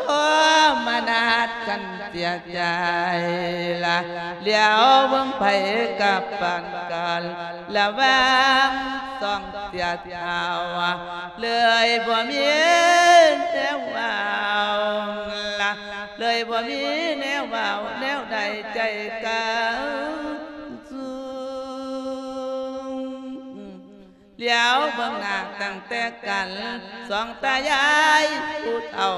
มนัสกันเสียใจละ เหลียวเบิ่งไผกับปานกัน ระหว่างสองเสียเฒ่า เลยบ่มีแนวเว้าละ เลยบ่มีแนวเว้า แนวใดใจกลางสูง เหลียวเบิ่งหน้าตั้งแต่กัน สองตายายผู้เฒ่า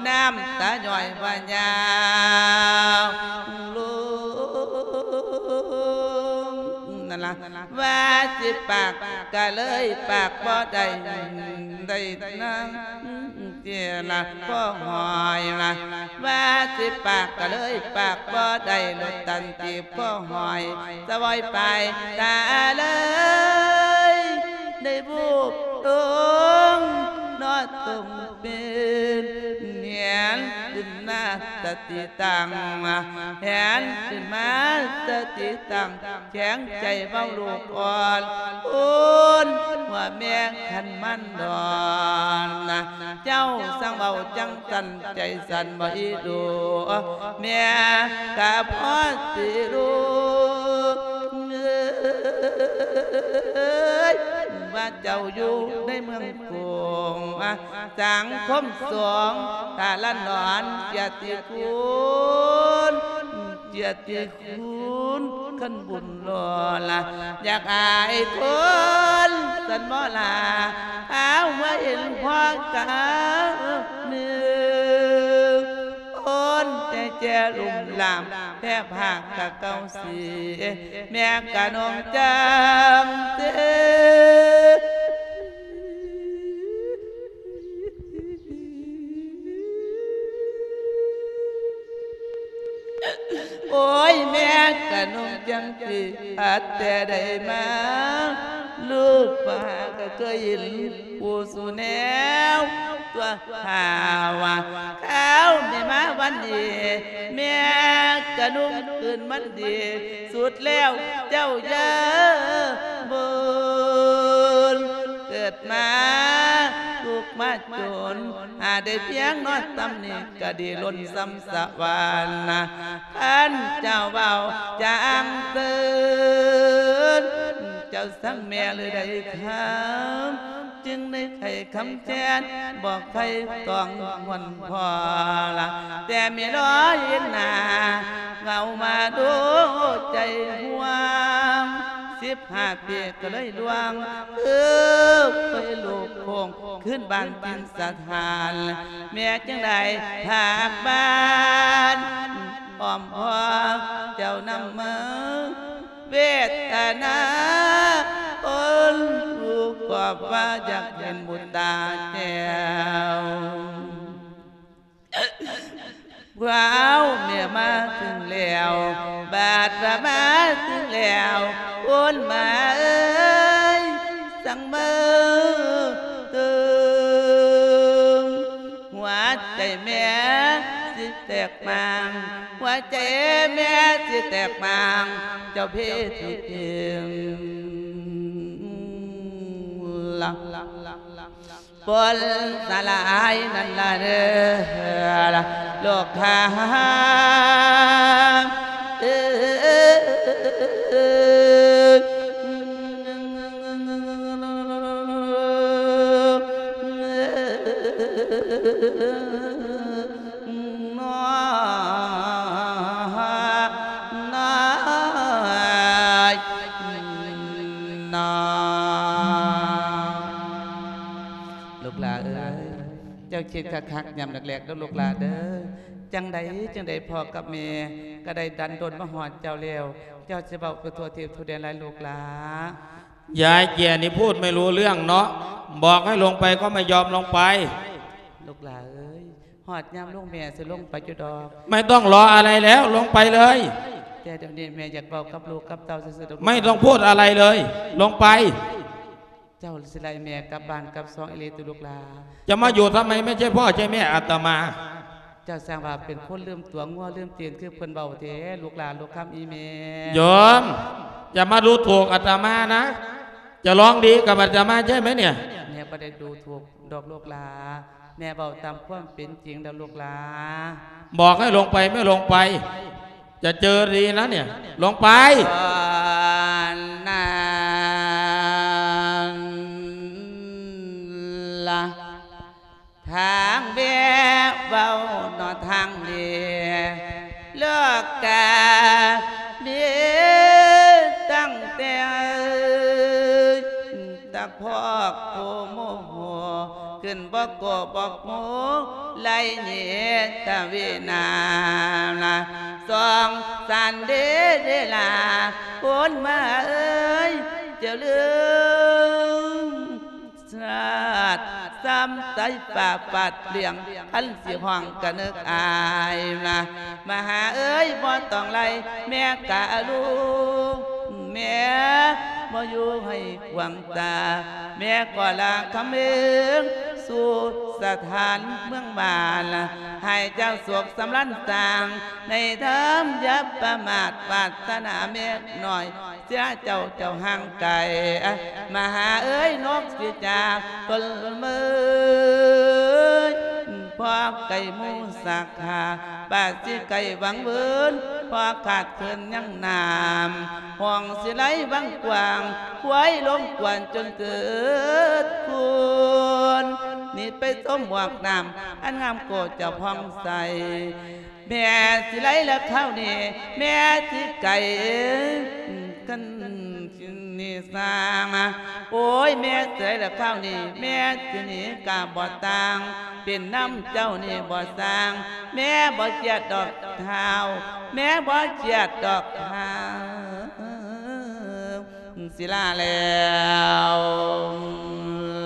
น้ำตาย้อยว่ายาวลง นั่นล่ะ ว่าสิปากก็เลยปากบ่ได้ ได้นั่ง เจยละพ่อหอยละ ว่าสิปากก็เลยปากบ่ได้ รถตันจีบพ่อหอย สะวอยไปตาเลย ได้บูบลงนอนตรงเป็น แหนขึ้นมาสติตั้ง แหนขึ้นมาสติตั้ง แข็งใจเว้าลูกอ่อน โอนว่าแม่คันมันดอนนะ เจ้าสั่งเว้าจังสั่น ใจสั่นบ่อีดู แม่กะพอสิรู้ เอ้ย ว่าเจ้าอยู่ในเมืองกรุง สังคมสงฆ์ ตาละนอน เกียรติคุณ เกียรติคุณ คันบุญหล่อละ อยากอายคนสันบ่ลา เอาไว้เห็นพ่อกาหนึ่ง โอนใจแจลุ่มลาม แทบหักกะเก่าสิ แม่กะนงจังเต โอ้ย แม่กะนงจังสิ อัดแต่ได้มา ลูกมาหาก็เคยเห็นผู้สู่แนว ตัวข่าวว่าข่าวแม่มาวันนี้ แม่กะนุ่งคืนมันดี สุดแล้วเจ้าอย่าบ่น เกิดมาทุกข์มาจน หาได้เพียงนอนตำหนิก็ดีล้นซ้ำสะหวานนะ คันเจ้าเว้าจางเตือน เจ้าสั่งแม่หรือใดคำ จึงได้ไขคำแค้น บอกไขต้องหวนพอละ แต่มีรอยหน้า เงามาดูใจห่วง สิบห้าปีก็เลยล่วง เออ ไปลูกโค้ง ขึ้นบ้านถิ่นสถาน แม่จึงได้พากบ้าน อ้อมพ่อเจ้านำมา เวทนา คนผู้กอบว่าอยากเห็นบุญตาแก้ว ว้าว แม่มาถึงแล้ว บาดมาถึงแล้ว คนมาเอ้ย สั่งมาเติม หัวใจแม่สิแตกมาง หัวใจแม่สิแตกมาง เจ้าเพศที่เพียงละ ຝົນສະຫຼາຍນັ້ນລະເດີ ລູກຄ້າເອີຍ ນ້ອຍ ນ້ອຍ ນ້ອຍ. ລູກຫຼ້າເອີຍ ເຈົ້າຄິດຄັກໆ ຍາມແລກໆ ເດີລູກຫຼ້າເດີ. ຈັ່ງໃດຈັ່ງໃດ ພໍ່ກັບແມ່ກໍໄດ້ດັນດົນມາຮອດເຈົ້າແລ້ວ, ເຈົ້າຊິເວົ້າໄປທົ່ວທີບທົ່ວແດນຫຼາຍລູກຫຼ້າ. ຍາຍแก่นี่พูดไม่รู้เรื่องเนาะ บอกให้ลงไปก็ไม่ยอมลงไป. ລູກຫຼ້າເອີຍ ຮອດຍາມລົງແມ່ຊິລົງໄປຢູ່ດອກ. ไม่ต้องรออะไรแล้ว ลงไปเลย. ແຕ່ດຽວນີ້ແມ່ຢາກເວົ້າກັບລູກກັບເຕົ້າຊື່ໆ ດອກ. ไม่ต้องพูดอะไรเลย ลงไป. ເຈົ້າຊິໄລ່ແມ່ກັບບ້ານກັບຊ່ອງອີ່ຫຼີຕິລູກຫຼ້າ? จะมาอยู่ทำไม ไม่ใช่พ่อใช่แม่อาตมา. ເຈົ້າຊ່າງວ່າເປັນຄົນລືມຕົວງົວລືມຕີນ ຄືເພິ່ນເວົ້າແທ້ ລູກຫຼ້າລູກຄຳອີ່ແມ່. โยม จะมาดูถูกอาตมานะ จะร้องดีกับอาตมาใช่ไหมเนี่ย? ແມ່ບໍ່ໄດ້ດູຖູກດອກລູກຫຼ້າ, ແມ່ເວົ້າຕາມຄວາມເປັນຈິງດອກລູກຫຼ້າ. บอกให้ลงไป ไม่ลงไป จะเจอดีนะเนี่ย ลงไป. ຕອນນັ້ນລະ ທາງແມ່ເວົ້າເນາະ ທາງນີ້ ໂລກາມີຕັ້ງແຕ່ ຕະພອກໂກໂມໂຫ ຂຶ້ນບໍ່ໂກບໍ່ໂມ ໄລເນຕະເວນາ ສອງສານເດເດລາ ໂອນມາເອີຍ ເຈົ້າເລີງຊາດ ຊ້ຳໃຈປາກປາດເລື່ອງ ຄັນຊິຮ້ອງກະນຶກອາຍນະ ມະຫາເອີຍ ບໍ່ຕ້ອງໄລ່ແມ່ກະລູກ ແມ່ບໍ່ຢູ່ໃຫ້ກວາງຕາ ແມ່ກໍລາຄຳເອີງສູ່ສະຖານເມືອງບ້ານ ໃຫ້ເຈົ້າສຸກສຳລານສ້າງໃນທຳ ຢ່າປະໝາດປາດຖະໜາແມ່ນ້ອຍ ເສຍເຈົ້າ ເຈົ້າຫ່າງໄກ ມະຫາເອີຍ ນົກຊິຈາກຕົ້ນເມີຍ ພໍໄກ່ໝູສັກຂາ ປາດຊິໄກ່ຫວັງເວີນ ພໍຂາດເຂີນຍັງນ້ຳ ຫ້ອງຊິໄຫຼຫວັງກວ້າງ ຄວາຍລົມກວນຈົນເກີດຄູນ ນີ້ໄປຊົມໝວກນ້ຳ ອັນງາມໂກເຈົ້າຜ່ອງໃສ ແມ່ຊິໄຫຼລະຄາວນີ້ ແມ່ຊິໄກ່ກັນນີ້ສ້າງ ໂອ້ຍ ແມ່ຊິໄຫຼລະຄາວນີ້ ແມ່ຊິໜີກະບໍ່ຕ່າງ ເປັນນຳເຈົ້ານີ້ບໍ່ສ້າງ ແມ່ບໍ່ຄຽດດອກທ້າວ ແມ່ບໍ່ຄຽດດອກທ້າວ ຊິລາແລ້ວ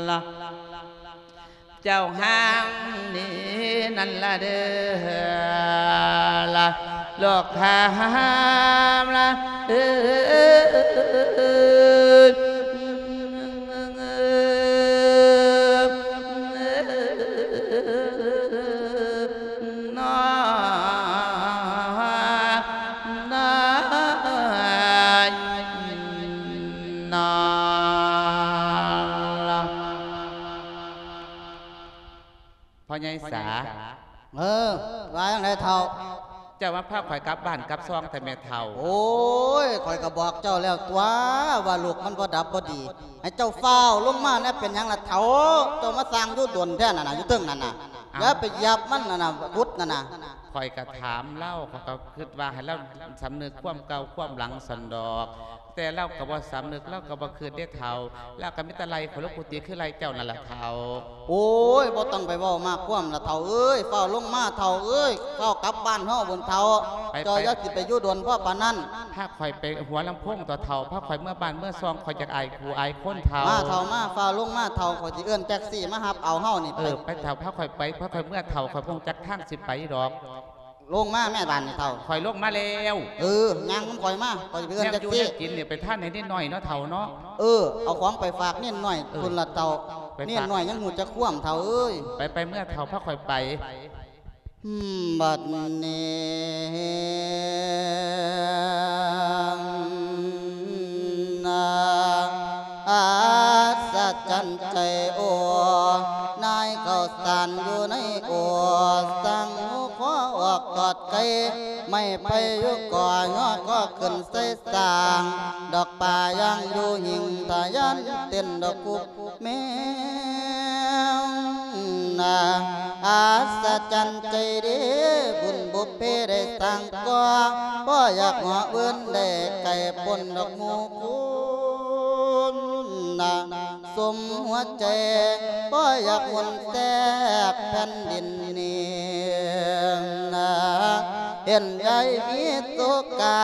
ລະ ເຈົ້າຫ້າມໜີນັ້ນລະເດີ ລະ ລອກຫ້າມລະເອີຍ ນ້ອຍ ນ້ອຍ ນ້ອຍ. ພໍ່ໃຫຍ່ສາ. ເອີ ວ່າຈັ່ງໃດເຖົ້າ? ເຈົ້າມາພາຂ້ອຍກັບບ້ານກັບຊ່ອງແທ້ແມ່ເຖົ້າ. ໂອ້ຍ ຂ້ອຍກໍບອກເຈົ້າແລ້ວຕົວະ ວ່າລູກມັນບໍ່ດັບບໍ່ດີ ໃຫ້ເຈົ້າຟ້າວລົງມາແດ່. ເປັນຫຍັງລະເຖົ້າ? ເຈົ້າມາສ້າງຢູ່ດົນແທ້ນັ້ນນະ ຢູ່ເທິງນັ້ນນະ. ເອົ້າ ຢ່າໄປຢາບມັນນັ້ນນະ ຂຸດນັ້ນນະ. ຂ້ອຍກໍຖາມລາວ ຂ້ອຍກໍຄິດວ່າໃຫ້ລາວສຳນຶກຄວາມເກົ່າຄວາມຫຼັງຊັ້ນດອກ. ແຕ່ລາວກໍບໍ່ສຳນຶກ ລາວກໍບໍ່ຄິດເດ້ເຖົ້າ. ລາວກໍມີແຕ່ໄລ່ຂ້ອຍລົງກຸຕິ ຄືໄລ່ເຈົ້ານັ້ນລະເຖົ້າ. ໂອ້ຍ ບໍ່ຕ້ອງໄປເວົ້າມາກຄວາມລະເຖົ້າເອີຍ. ຟ້າວລົງມາເຖົ້າເອີຍ ຟ້າວກັບບ້ານເຮົາພຸ້ນເຖົ້າ. ໄປ ເຈົ້າ ໄປ ຢ່າຊິໄປຢູ່ດົນພໍປານນັ້ນ. ພາຂ້ອຍໄປຫົວລຳໂພງຕົວະເຖົ້າ. ພາຂ້ອຍເມືອບ້ານເມືອຊ່ອງ ຂ້ອຍຢາກອາຍຜູ້ອາຍຄົນເຖົ້າ. ມາເຖົ້າມາ ຟ້າວລົງມາເຖົ້າ ຂ້ອຍຊິເອີ້ນແທັກຊີມາຮັບເອົາເຮົານີ້. ເອີ ໄປ ໄປເຖົ້າ ພາຂ້ອຍໄປ ພາຂ້ອຍເມືອເຖົ້າ ຂ້ອຍບໍ່ຮູ້ຈັກທາງຊິໄປດອກ. ລົງມາແມ່ບາດນີ້ເຖົ້າ. ຂ້ອຍລົງມາແລ້ວ. ເອີ ຍ່າງນຳຂ້ອຍມາ ຂ້ອຍຊິໄປເອີ້ນແທັກຊີ. ແນວຢູ່ແນວກິນນີ້ ໄປທານໃຫ້ເນນນ້ອຍເນາະເຖົ້າເນາະ. ເອີ ເອົາຂອງໄປຝາກເນນນ້ອຍ. ເອີ ພຸ້ນລະເຖົ້າ. ໄປຝາກ ເນນນ້ອຍຍັງຮູ້ຈັກຄວາມເຖົ້າເອີຍ. ໄປ ໄປເມືອເຖົ້າ ພາຂ້ອຍໄປ. ບັດນີ້ນາ ອັດສະຈ ນໃຈໂອ ນາຍເຂົ້າສານຢູ່ໃນໂອ ສ້າງຫູຄໍອອກຕອດໄກ ໄມ້ໄຜ່ຢູ່ກໍຍໍກໍຂຶ້ນໃສ່ສ້າງ ດອກປາຍ່າງຢູ່ຫິ້ງທະຍານເຕັ້ນດອກກຸບແມວນາ ອັດສະຈັນໃຈເດ້ ບຸນບຸບເພໄດ້ສ້າງກໍ່ ພໍຢາກເຫາະເວີນໄດ້ໄກພົ້ນດອກໝູ່ຄຸນນາ ສົມຫົວໃຈ ພໍຢາກໝູນແທບແຜ່ນດິນນີ້ນາ ເຫັນຍາຍມີໂສກາ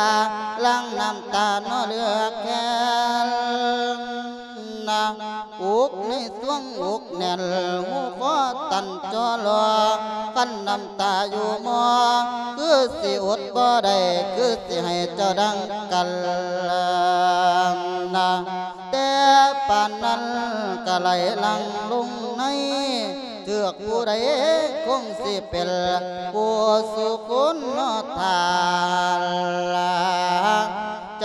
ຫຼັ່ງນ້ຳຕາໜໍ່ເຫຼືອແຄນນາ ອຸກໃນສວງອົກແໜ້ນ ຫູຄໍຕັນຈໍລໍ ກັ້ນນ້ຳຕາຢູ່ໝໍ ຄືຊິອົດບໍ່ໄດ້ ຄືຊິໃຫ້ເຈົ້າດັ່ງກັນນາ ແຕ່ປານນັ້ນກະໄຫຼຫຼັ່ງລົງໃນ ເຖືກຜູ້ໃດຄົງຊິເປັນຜູ້ສູ່ຄຸນເນາະທ່ານລາ ໃຈ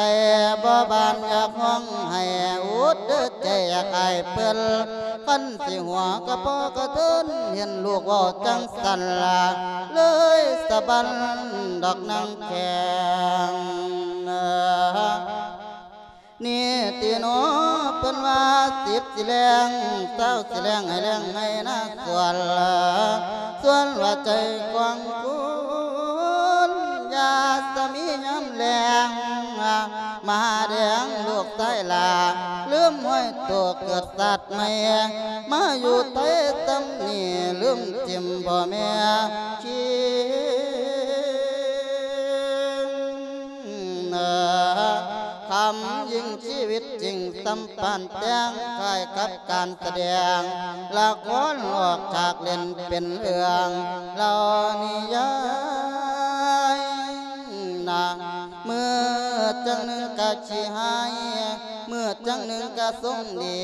ບໍ່ບານຢາກຮ້ອງໄຫ້ ອຸດເດີໃຈຢາກອາຍເພິ່ນ ຄັນຊິຫົວກະພໍກະເທີນ ເຫັນລູກເວົ້າຈັ່ງຊັ້ນລາ ເລີຍສະບັນດອກນາງແຂ້ງ ນີ້ຕິໜໍ ເພິ່ນວ່າສິບຊິແລ້ງ ຊາວຊິແລ້ງ ໃຫ້ແລ້ງໃຫ້ນາສວນລະ ສ່ວນວ່າໃຈຂອງຄຸນ ຢາສະມີຍາມແລ້ງ ມະຫາແດງລູກຊາຍຫຼ້າ ລືມຫ້ອຍໂຕເກີດຊາດໃໝ່ ມາຢູ່ໄທຊ່ຳນີ້ ລືມຖິ້ມພໍ່ແມ່ຄິງ ຄຳຍິ່ງຊີວິດຈິງ ສຳປານແຕ່ງ ຄ້າຍກັບການສະແດງ ລະຄອນອອກຈາກເຫຼັ້ນເປັນເລື່ອງ ເລົ່ານິຍາຍນາ ມື້ຈັ່ງໜຶ່ງກະຂີ້ຮ້າຍ ມື້ຈັ່ງໜຶ່ງກະຊົງດີ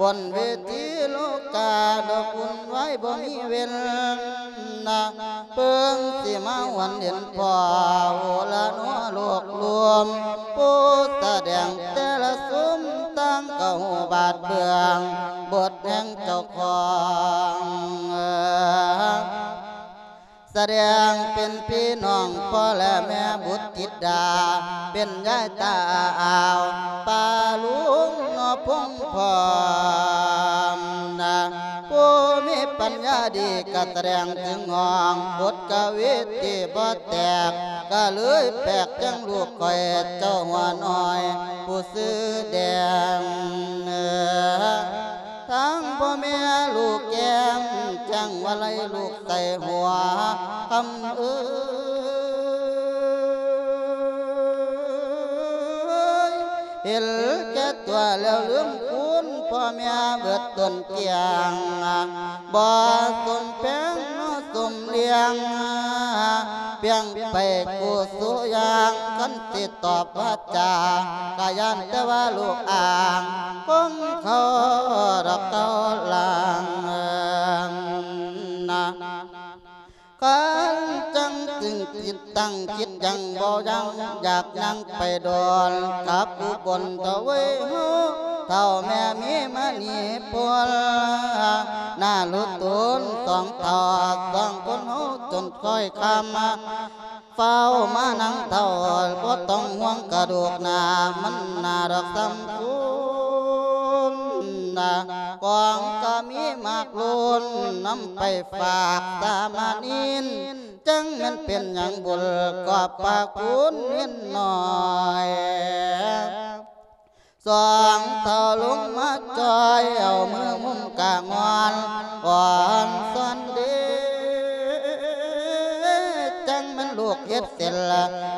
ບົນເວທີໂລກາ ດອກວຸ່ນວາຍບໍ່ມີເວັ້ນນາ ເບິ່ງຊິມາຫວນເຫັນພໍ່ ໂອລະໜໍໂລກລວມ ຜູ້ສະແດງແຕ່ລະຊຸມ ຕ່າງກະຮູ້ບາດເບື້ອງ ບົດແຫ່ງເຈົ້າຂອງ ສະແດງເປັນພີ່ນ້ອງພໍ່ແລະແມ່ບຸດທິດດາ ເປັນຍາຍຕາອາວ ປ້າລຸງເນາະພົງພ້ອມນາ ຜູ້ມີປັນຍາດີກະສະແດງເຖິງຫ້ອງບົດກະວີທີ່ບໍ່ແຕກ ກະເລີຍແປກຈັ່ງລູກຂ້ອຍເຈົ້າຫົວນ້ອຍຜູ້ຊື່ແດງ ທັງພໍ່ແມ່ລູກແກ້ມແຈ້ງວ່າໄລ່ລູກໃສ່ຫົວ ຄຳເອີຍ ເຫັນແກ່ຕົວແລ້ວລືມຄຸນ ພໍ່ແມ່ເບິດຕົ້ນກຽງ ບໍ່ສົມແພງເນາະສົມລ້ຽງ ປ່ຽງໄປກູສູ່ຢ່າງ ຄັນຊິຕອບວາຈາ ກະຢ້ານແຕ່ວ່າລູກອ້າງ ຄົງເຂົ້າດອກເກົ່າຫຼັງນາ ຄັນຈັ່ງຕຶງຕິດຕັ້ງຄິດຢັ້ງບໍ່ຢັ້ງ ຢາກຍັງໄປດອນ ກັບອຸບົນເຖົ້າເວີຍເຮົາ ເຖົ້າແມ່ມີມະນີພົນ ໜ້າລຸໂຕນສອງເຖົ້າ ສອງຄົນເຮົາຈົນຄ່ອຍຄຳ ຟ້າວມານາງເຖົ້າ ບໍ່ຕ້ອງຫ່ວງກະດູກໜ້າ ມັນໜ້າດອກສ່ຳຄູນນາ ຂອງກະມີມາກລົ້ນ ນຳໄປຝາກສາມະເນນ ຈັ່ງແມ່ນເປັນຫຍັງບຸນຂອບພະຄຸນເນນນ້ອຍ ສອງເຖົ້າລົງມາຈ່ອຍ ເອົາມືງຸ້ມກາງອນ ກອນສອນເດ ຈັ່ງແມ່ນລູກເຮັດເສັ້ນ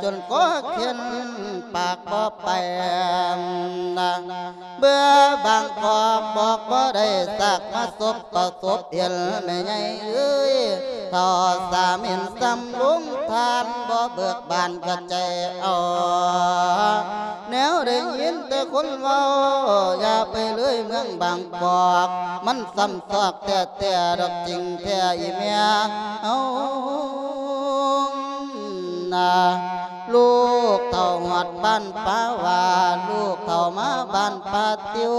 ຈົນກໍເຂັນປາກບໍ່ໄປ ເບື່ອບາງກອກບອກບໍ່ໄດ້ ສາກມາສົບປະສົບເຫັນແມ່ໃຫຍ່ເອີຍ ເຖົ້າສາມິນສ່ຳລຸງທ່ານ ບໍ່ເບີກບານກະໃຈເອົາ ແນວໄດ້ຍິນແຕ່ຄົນເວົ້າ ຢ່າໄປເລີຍເມືອງບາງກອກ ມັນສ່ຳຊອກແທ້ໆ ດອກຈິງແທ້ອີແມ່ເຮົານາ ລູກເຖົ້າຮອດບ້ານປາຫວາດ ລູກເຖົ້າມາບ້ານປາຕິວ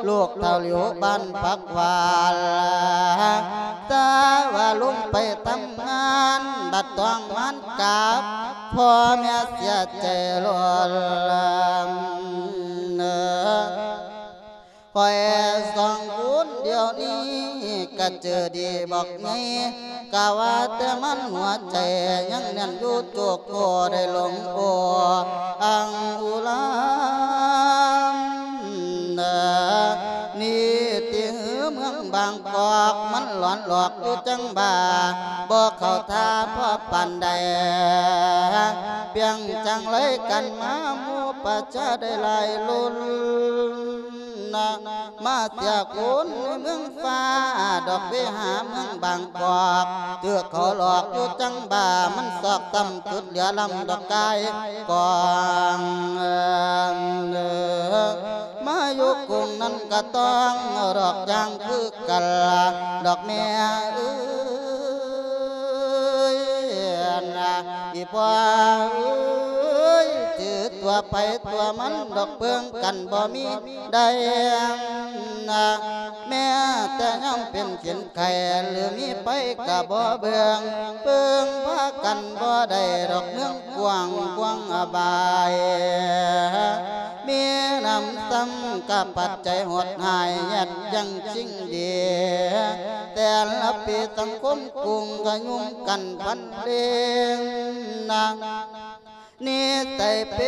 ລູກເຖົ້າຫຼຽວບ້ານຜັກຫວານ ສາວ່າລົງໄປທຳງານ ບັດຕ້ອງມານກັບ ພໍ່ແມ່ເສຍໃຈໂລດ. ຂ້ອຍສອງຄົນດຽວນີ້ກະເຈີດີບັກໃຫຍ່ ກະວ່າແຕ່ມັນຫົວໃຈຍັງແໜ້ນຢູ່ໂຈກ ກໍໄດ້ຫຼົງໂອອັງອຸລານ ນີ້ຕິເຮືອເມືອງບາງກອກ ມັນຫຼອນຫຼອກຢູ່ຈັ່ງບ້າ ບໍ່ເຂົ້າທ່າພໍປານໃດ ປຽງຈັ່ງໄລກັນມາ ໝູ່ປະຊາໄດ້ຫຼາຍລຸນ ມາເສຍຄົນໃນເມືອງຟ້າ ດອກເວຫາເມືອງບາງກອກ ຖືກເຂົາຫຼອກຢູ່ຈັ່ງບ້າ ມັນຊອກຊ້ຳຈຸດເຫຼືອລຳດອກກາຍກອງ ມາຢູ່ກຸງນັ້ນກະຕ້ອງດອກຢ່າງຄືກັນລະ ດອກແມ່ເອີຍ ອີ່ພໍ່ເອີຍ ຖືຕົວໃຜຕົວມັນດອກ ເບິ່ງກັນບໍ່ມີ ໄດ້ນະ ແມ້ແຕ່ຍາມເປັນເຂັນໄຂ້ ຫຼືມີໄປກະບໍ່ເບິ່ງ ເບິ່ງພາກັນບໍ່ໄດ້ດອກ ເມືອງກວ້າງຂວາງອະບາຍ ມີນຳຊ້ຳກະປັດໄຈໂຫດຮ້າຍ ແຍດຍັງຊິງດີ ແຕ່ລະປີສັງຄົມກຸງກະຫຍຸ້ງກັນພັນເລງນະ ນິໄສເປ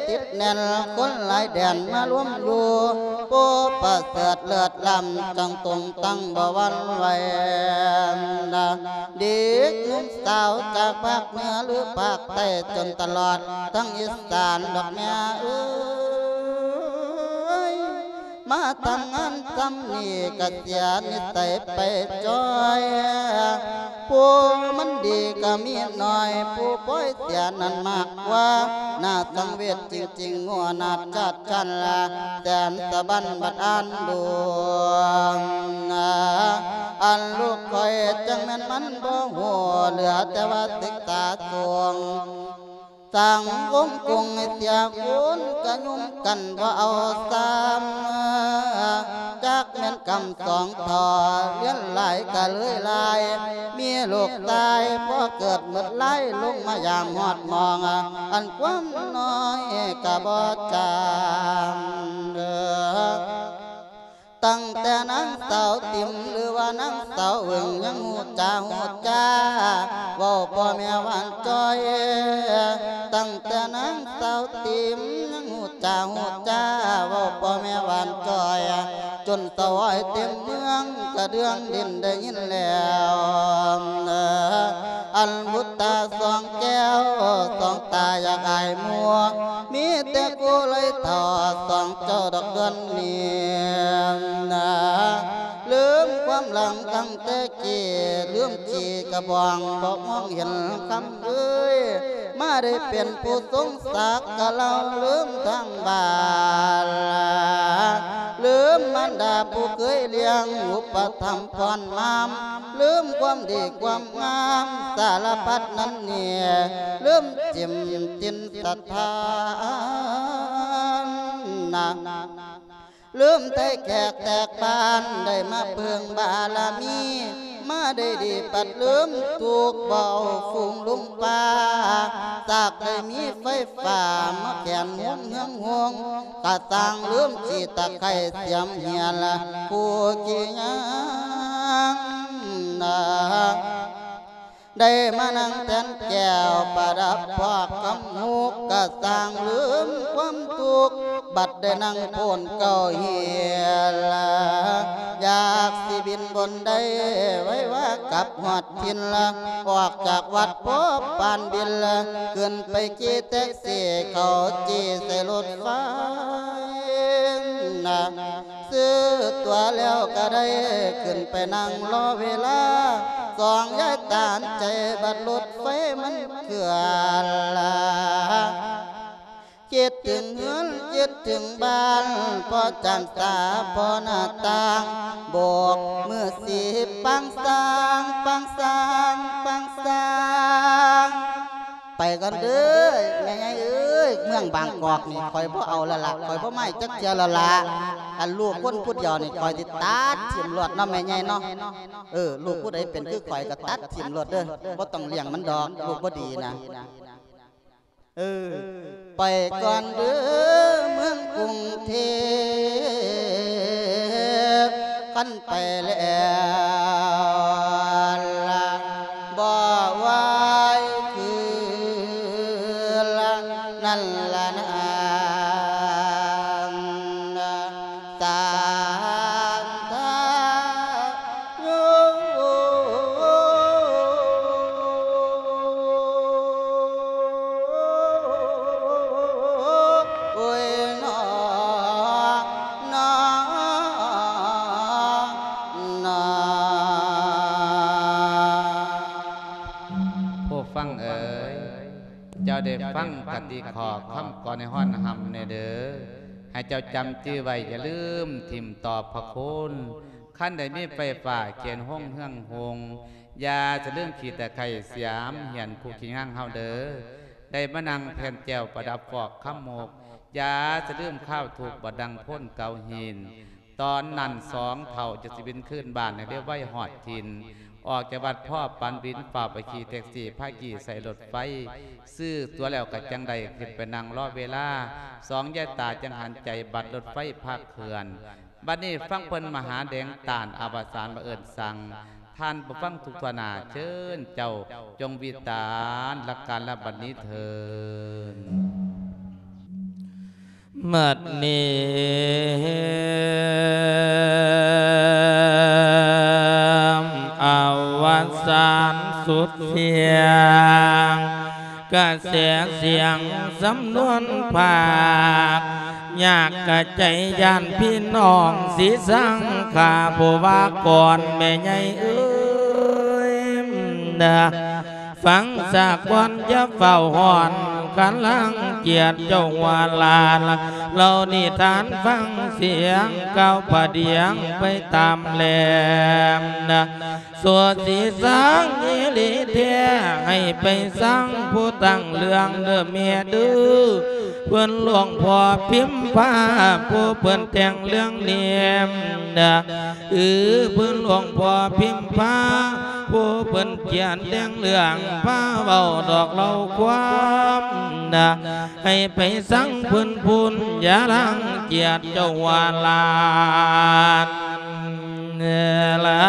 ຕິດແໜ້ນ ຄົນຫຼາຍແດນມາລວມຢູ່ ໂອ້ ປະເສີດເລີດລ້ຳ ຈັ່ງຕົງຕັ້ງບໍ່ຫວັ່ນໄຫວນະ ເດັກໜຸ່ມສາວຈາກພາກເໜືອ ຫຼືພາກໃຕ້ ຈົນຕະຫຼອດທັງອີສານດອກແມ່ເອີຍ ມາທຳງານຊ່ຳນີ້ກະເສຍນິໄສໄປຈ່ອຍ ຜູ້ມັນດີກະມີໜ້ອຍ ຜູ້ປ່ອຍເສຍນັ້ນມາກກວ່າ ໜ້າສັງເວດຈິງໆ ງົວໜາດຈາດຈັນລະ ແສນສະບັນບັດອ່ານດວງ ອັນລູກຂ້ອຍຈັ່ງແມ່ນມັນບໍ່ຮູ້ ເຫຼືອແຕ່ວ່າສຶກສາສູງ ສ້າງວົງກົງໃຫ້ເສຍຄູນ ກະຫຍຸ້ງກັນບໍ່ເອົາຊ້ຳ ຈັກແມ່ນກຳສອງທໍ່ ລຽນຫຼາຍກະເລີຍຫຼາຍ ມີລູກຊາຍພໍເກີດໝົດລາຍ ລົງມາຢາມຮອດໝອງ ອັນຄວາມນ້ອຍກະບໍ່ຈາງ ຕັ້ງແຕ່ນາງສາວຕິມ ຫຼືວ່ານາງສາວເຫວິງ ຍັງຮູ້ຈາຮູ້ຈາ ເວົ້າພໍ່ແມ່ຫວານຈ່ອຍ ຕັ້ງແຕ່ນາງສາວຕິມ ຍັງຮູ້ຈາຮູ້ຈາ ເວົ້າພໍ່ແມ່ຫວານຈ່ອຍ ຈົນສະຫວາຍເຕັມເມືອງ ກະເດືອງດິນໄດ້ຍິນແລ້ວ ອັນບຸດຕາສອງແກ້ວ ສອງຕາຢາກອາຍໝູ່ ມີແຕ່ກູ່ໄລເຖົ້າ ສອງເຈົ້າດອກເດືອນນີ້ນະ ລືມຄວາມຫຼັງຕັ້ງແຕ່ກີ້ ລືມຂີ້ກະບອງ ບໍ່ມອງເຫັນຄຳເອີຍ ມາໄດ້ເປັນຜູ້ຊົງສັກກະເລົ່າ ລືມທາງບ້ານ ລືມມານດາຜູ້ເຄີຍລ້ຽງ ອຸປະຖຳ ພອນມາມ ລືມຄວາມດີຄວາມງາມສາລະພັດນັ້ນນີ້ ລືມຈິ້ມຕິນສະຖານນະ ລືມໄທແຂກແຕກບ້ານ ໄດ້ມາເພິ່ງບາລະມີ ມາໄດ້ດີປັດລືມທຸກ ບໍ່ເອົາຝູງລຸມປ່າ ສາກໄດ້ມີໄຟຟ້າ ມາແຂນຫົງເຮືອງຫົງ ກະສ້າງລືມຂີ້ຕະໄຄສຽມເຫຍລະ ຜູ້ຂີ້ຍາງນະ ໄດ້ມານັ່ງແທນແກ້ວປະດັບພອກຄຳຫຸກ ກະສ້າງລືມຄວາມທຸກ ບັດໄດ້ນັ່ງໂພນເກົ້າເຮລະ ຢາກຊິບິນບົນໄດ້ໄວວາກັບຮອດຖິ່ນລະ ອອກຈາກວັດພໍປານບິນລະ ຂຶ້ນໄປຂີ່ແທັກຊີ ເຂົ້າຈີ່ໃສ່ລົດໄຟນະ ຊື້ຕົ໋ວແລ້ວກະໄດ້ ຂຶ້ນໄປນັ່ງລໍເວລາ ສອງຍາຍຕານໃຈ ບັດລົດໄຟມັນເຄື່ອນລະ ຄິດເຖິງເຮືອນ ຄິດເຖິງບ້ານ ພໍຈານຕາພໍໜ້າຕ່າງ ໂບກມືສີປາງສາງ ປາງສາງ ປາງສາງ ໄປກ່ອນເດີ້ ແມ່ໃຫຍ່ເອີຍ, ເມືອງບາງກອກນີ້ຂ້ອຍບໍ່ເອົາແລ້ວລະ, ຂ້ອຍບໍ່ມາອີກຈັກເທື່ອແລ້ວລະ. ອັນລູກຄົນຜູ້ດຽວນີ້ ຂ້ອຍຊິຕັດຖິ້ມໂລດເນາະ ແມ່ໃຫຍ່ເນາະ. ເອີ ລູກຜູ້ໃດເປັນຄືຂ້ອຍກໍຕັດຖິ້ມໂລດເດີ້, ບໍ່ຕ້ອງລ້ຽງມັນດອກ, ລູກບໍ່ດີນະ. ເອີ ໄປກ່ອນເດີ້ເມືອງກຸງເທບ, ຄັນໄປແລ້ວລະບໍ່ໄຫວຄືນນັ້ນລະນາງ ສານທາໂຍ ໂອ້ຍ ນອ ນອ ນອ. ຜູ້ຟັງເອີຍ, ເຈົ້າໄດ້ຟັງຄະຕິຂໍ້ຄຳກ່ອນໃຫ້ຮ້ອນຮຳແດ່ເດີ້. ໃຫ້ເຈົ້າຈຳຈື່ໄວ້, ຢ່າລືມຖິ້ມຕໍ່ພະຄຸນ. ຄັນໄດ້ມີໄຟຟ້າເຂນຮົງເຮືອງຮຸ່ງ, ຢ່າສະລືມຂີ້ຕະໄຄສຽມ ເຫຍນຄູ່ຂີ້ງາງເຮົາເດີ້. ໄດ້ມານັ່ງແຜ່ນແກ້ວປະດັບຟອກຄຳມຸກ, ຢ່າສະລືມຄາວທຸກບໍ່ດັງໂພນເກົ່າຫີນ. ຕອນນັ້ນສອງເຖົ້າຈະຊິບິນຄືນບ້ານໃຫ້ເລັວໄວຮອດຖິ່ນ. ອອກຈາກວັດພໍປັນບິນ ຟ້າວໄປຂີ່ແທັກຊີ ພາຂີ່ໃສ່ລົດໄຟ. ຊື້ຕົ໋ວແລ້ວກໍຈັ່ງໄດ້ຂຶ້ນໄປນັ່ງລໍເວລາ, ສອງຍາຍຕາຈັ່ງຫັນໃຈບັດລົດໄຟພາເຄື່ອນ. ບັດນີ້ຟັງເພິ່ນມະຫາແດງຕ້ານອະວະສານມາເອີ້ນສັ່ງ. ທ່ານຜູ້ຟັງທຸກທົ່ວໜ້າ, ເຊີນເຈົ້າຈົ່ງວິດຕານລັກການລະບັດນີ້ເທີນ. ບັດນີ້ອະວະສານສຸດສຽງ ກະແສສຽງສຳນວນພາກ ຍາກກະໃຈຢ້ານພີ່ນ້ອງຊິສັງຂາຜູ້ວ່າກ່ອນແມ່ໃຫຍ່ເອີຍນະ. ຟັງສາກ່ອນຢ່າຟ້າວຮ້ອນ ກຳລັງກຽດເຈົ້າຫົວຫຼານ ເລົ່ານິທານຟັງສຽງ ກ່າວປະດຽງໄປຕາມແລນະ. ຊົ່ວຊິສັງອີ່ຫຼີແທ້ ໃຫ້ໄປສັງຜູ້ຕັ້ງເລື່ອງເດີ້ແມ່ເດີ້. ເພິ່ນຫຼວງພໍ່ພິມພາ ຜູ້ເພິ່ນແຕ່ງເລື່ອງນີ້ນະ. ເອີ ເພິ່ນຫຼວງພໍ່ພິມພາ ຜູ້ເພິ່ນຂຽນແຕ່ງເລື່ອງ ພາເວົ້າດອກເລົ່າຄວາມນະ. ໃຫ້ໄປສັງເພິ່ນພຸ້ນ ຢ່າລັງກຽດເຈົ້າວ່າຫຼານລະ.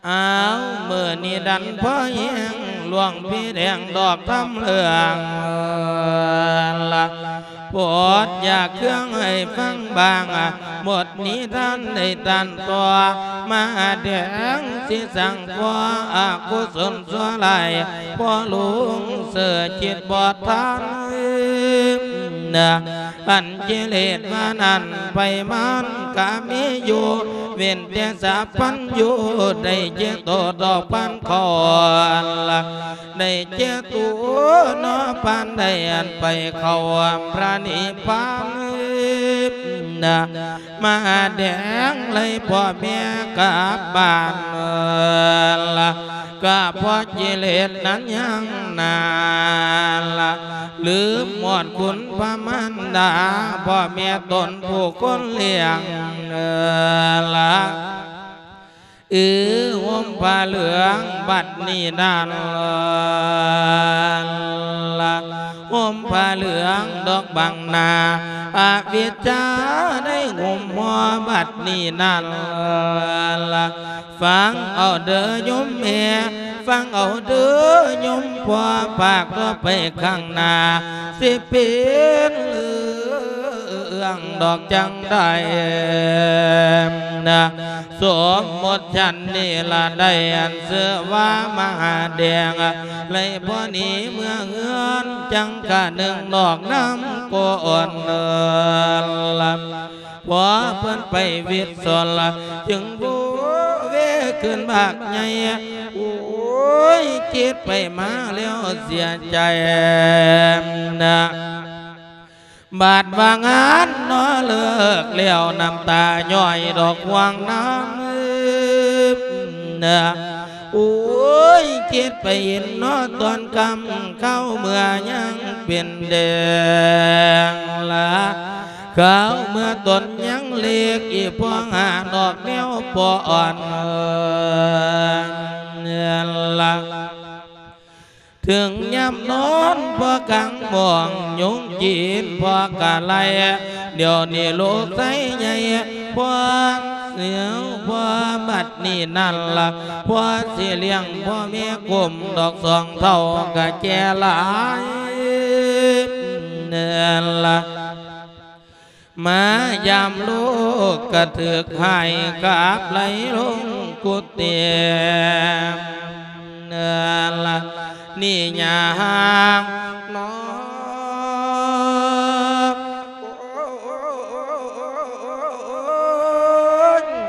ອ້າວ ມື້ນີ້ດັນພໍແຮງ ຫຼວງພີ່ແດງດອກທຳເລື່ອງລະ ໂປດຢາກເຄື່ອງໃຫ້ຟັງບາງ ບົດນິທານໃນຕານຕໍ່ ມະຫາແດງຊິສ້າງກໍ່ອະກຸສົນຊົ່ວຮ້າຍ ພໍ່ຫຼວງເສີຄິດບໍ່ທັນນະ. ອັນກິເລດມານັ້ນໄປມັນກະມີຢູ່ ເວັ້ນແຕ່ສາພັນຢູ່ ໄດ້ແກ່ໂຕດອກພັນເຂົ້າລະ ໄດ້ແກ່ໂຕເນາະ ປານໃດອັນໄປເຂົ້າພະນິບພານນະ. ມະຫາແດງໄລ່ພໍ່ແມ່ກັບບ້ານລະ ກະເພາະກິເລດນັ້ນຍັງໜາລະ ລືມຮອດຄຸນພະມານດາ ພໍ່ແມ່ຕົນຜູ້ຄົນລ້ຽງລະ. ອື ຫົ່ມຜ້າເຫຼືອງບັດນີ້ນັ້ນລະ ຫົ່ມຜ້າເຫຼືອງດອກບັງໜ້າ ອະວິດຈາໄດ້ຫຸ້ມຫົວບັດນີ້ນັ້ນລະ. ຟັງເອົາເດີ້ໂຍມແມ່ ຟັງເອົາເດີ້ໂຍມພໍ່ ພາກຕໍ່ໄປຂ້າງໜ້າ ຊິເປັນເລື່ອງດອກຈັ່ງໃດນະ. ສົມມຸດຊັ້ນນີ້ລະ ໄດ້ອັນຊື່ວ່າມະຫາແດງ ໄລ່ພໍ່ໜີເມືອເຮືອນ ຈັ່ງກະນຶກນອກນຳກ່ອນລະ. ພໍເພິ່ນໄປວິດສົນລະ ຈຶ່ງໂວເວຂຶ້ນບັກໃຫຍ່ ໂອ້ຍ ຄິດໄປມາແລ້ວເສຍໃຈນະ. ບາດວ່າງານເນາະເລີກແລ້ວ ນ້ຳຕາຍ້ອຍດອກຫ່ວງນ້ຳນະ. ໂອ້ຍ ຄິດໄປເຫັນເນາະ ຕອນຄ່ຳຄາວເມື່ອຍັງເປັນແດງລະ ຄາວເມື່ອຕົນຍັງເລັກ ອີ່ພໍ່ຫາດອກແນວພໍ່ອ່ອນລະ ເຖິງຍາມນອນພໍ່ກາງມອງ ຍຸງກິນພໍ່ກະໄລ່ ດຽວນີ້ລູກຊາຍໃຫຍ່ ພໍ່ເສືອ ພໍ່ບັດນີ້ນັ້ນລະ ພໍ່ຊິລ້ຽງພໍ່ແມ່ກຸ້ມ ດອກສອງເຖົ້າກະແກ່ຫຼາຍນັ້ນລະ ມາຢາມລູກກະຖືກໃຫ້ກັບໄລ່ລົງກຸຕິ ເອີ ລະນີ້ຍາງນໍ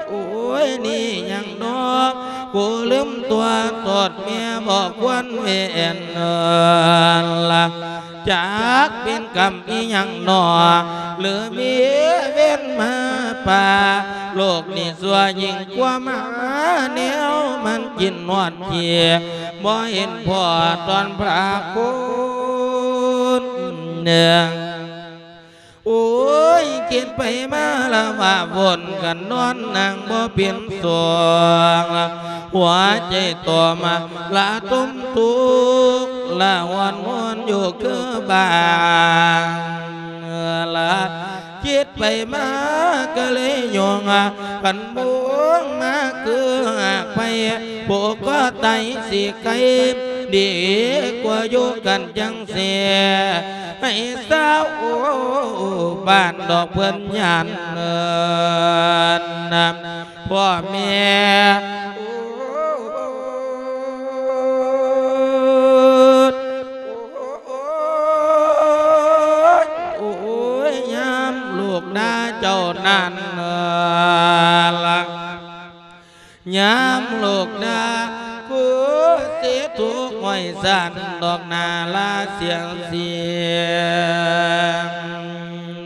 ໂອ້ຍ ໂອ້ຍ ນີ້ຍາງນໍ ກູລືມຕົວໂທດແມ່ບໍ່ຄວນເວນ ເອີ ລະ ຈັກເປັນກຳອີ່ຫຍັງໜໍ ຫຼືມີເວນມາປາ ໂລກນີ້ຊົ່ວຍິ່ງກວ່າໝາ ແນວມັນກິນຮອດຂີ້ ບໍ່ເຫັນພໍຕອນພະຄຸນເໜືອງ ໂອ້ຍ ຄິດໄປມາລະວ່າວົນກັນນອນນັ່ງບໍ່ເປັນສຸກ ຫົວໃຈຕົວມາລະຕົມທຸກ ລະຫວນຫວນຢູ່ຄືບາງລະ ຄິດໄປມາກະເລີຍຍົງ ຄັນບົງມາຄືຫາກໄປ ຜູ້ກໍຕາຍຊິໄກ ດີກວ່າຢູ່ກັນຈັ່ງຊີ້ ໃຫ້ສາວບ້ານດອກເພິ່ນຢ້ານເອີນ ພໍ່ແມ່ ໂອ້ຍ ໂອ້ຍ ຍາມລູກດ່າເຈົ້ານັ້ນລະ ຍາມລູກດ່າ ຄືຊິທຸກຫ້ອຍສັນດອກໜ້າລາສຽງສີ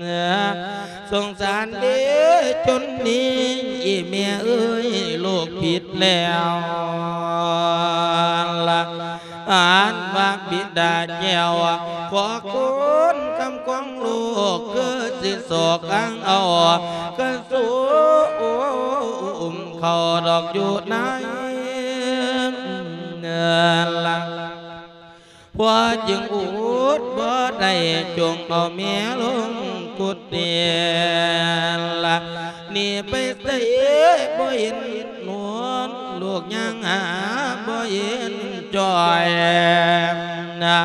ຍງ ສົງສານເດ ຈົນນີ້ ອີ່ແມ່ເອີຍ ລູກຜິດແລ້ວລະ ອ່ານວ່າບິດາແກ້ວ ຂໍຄຸນຄຳຂອງລູກ ຄືຊິສອກອ້າງເອົາ ກະສູມເຂົ້າດອກຢູ່ໃນ ລະ ພໍ່ຈຶ່ງອຸດບໍ່ໄດ້ ຈົ່ງເອົາແມ່ລົງກຸຕິລະ ໜີໄປໃສບໍ່ເຫັນນວນ ລູກຍ່າງຫາບໍ່ເຫັນຈ້ອຍນະ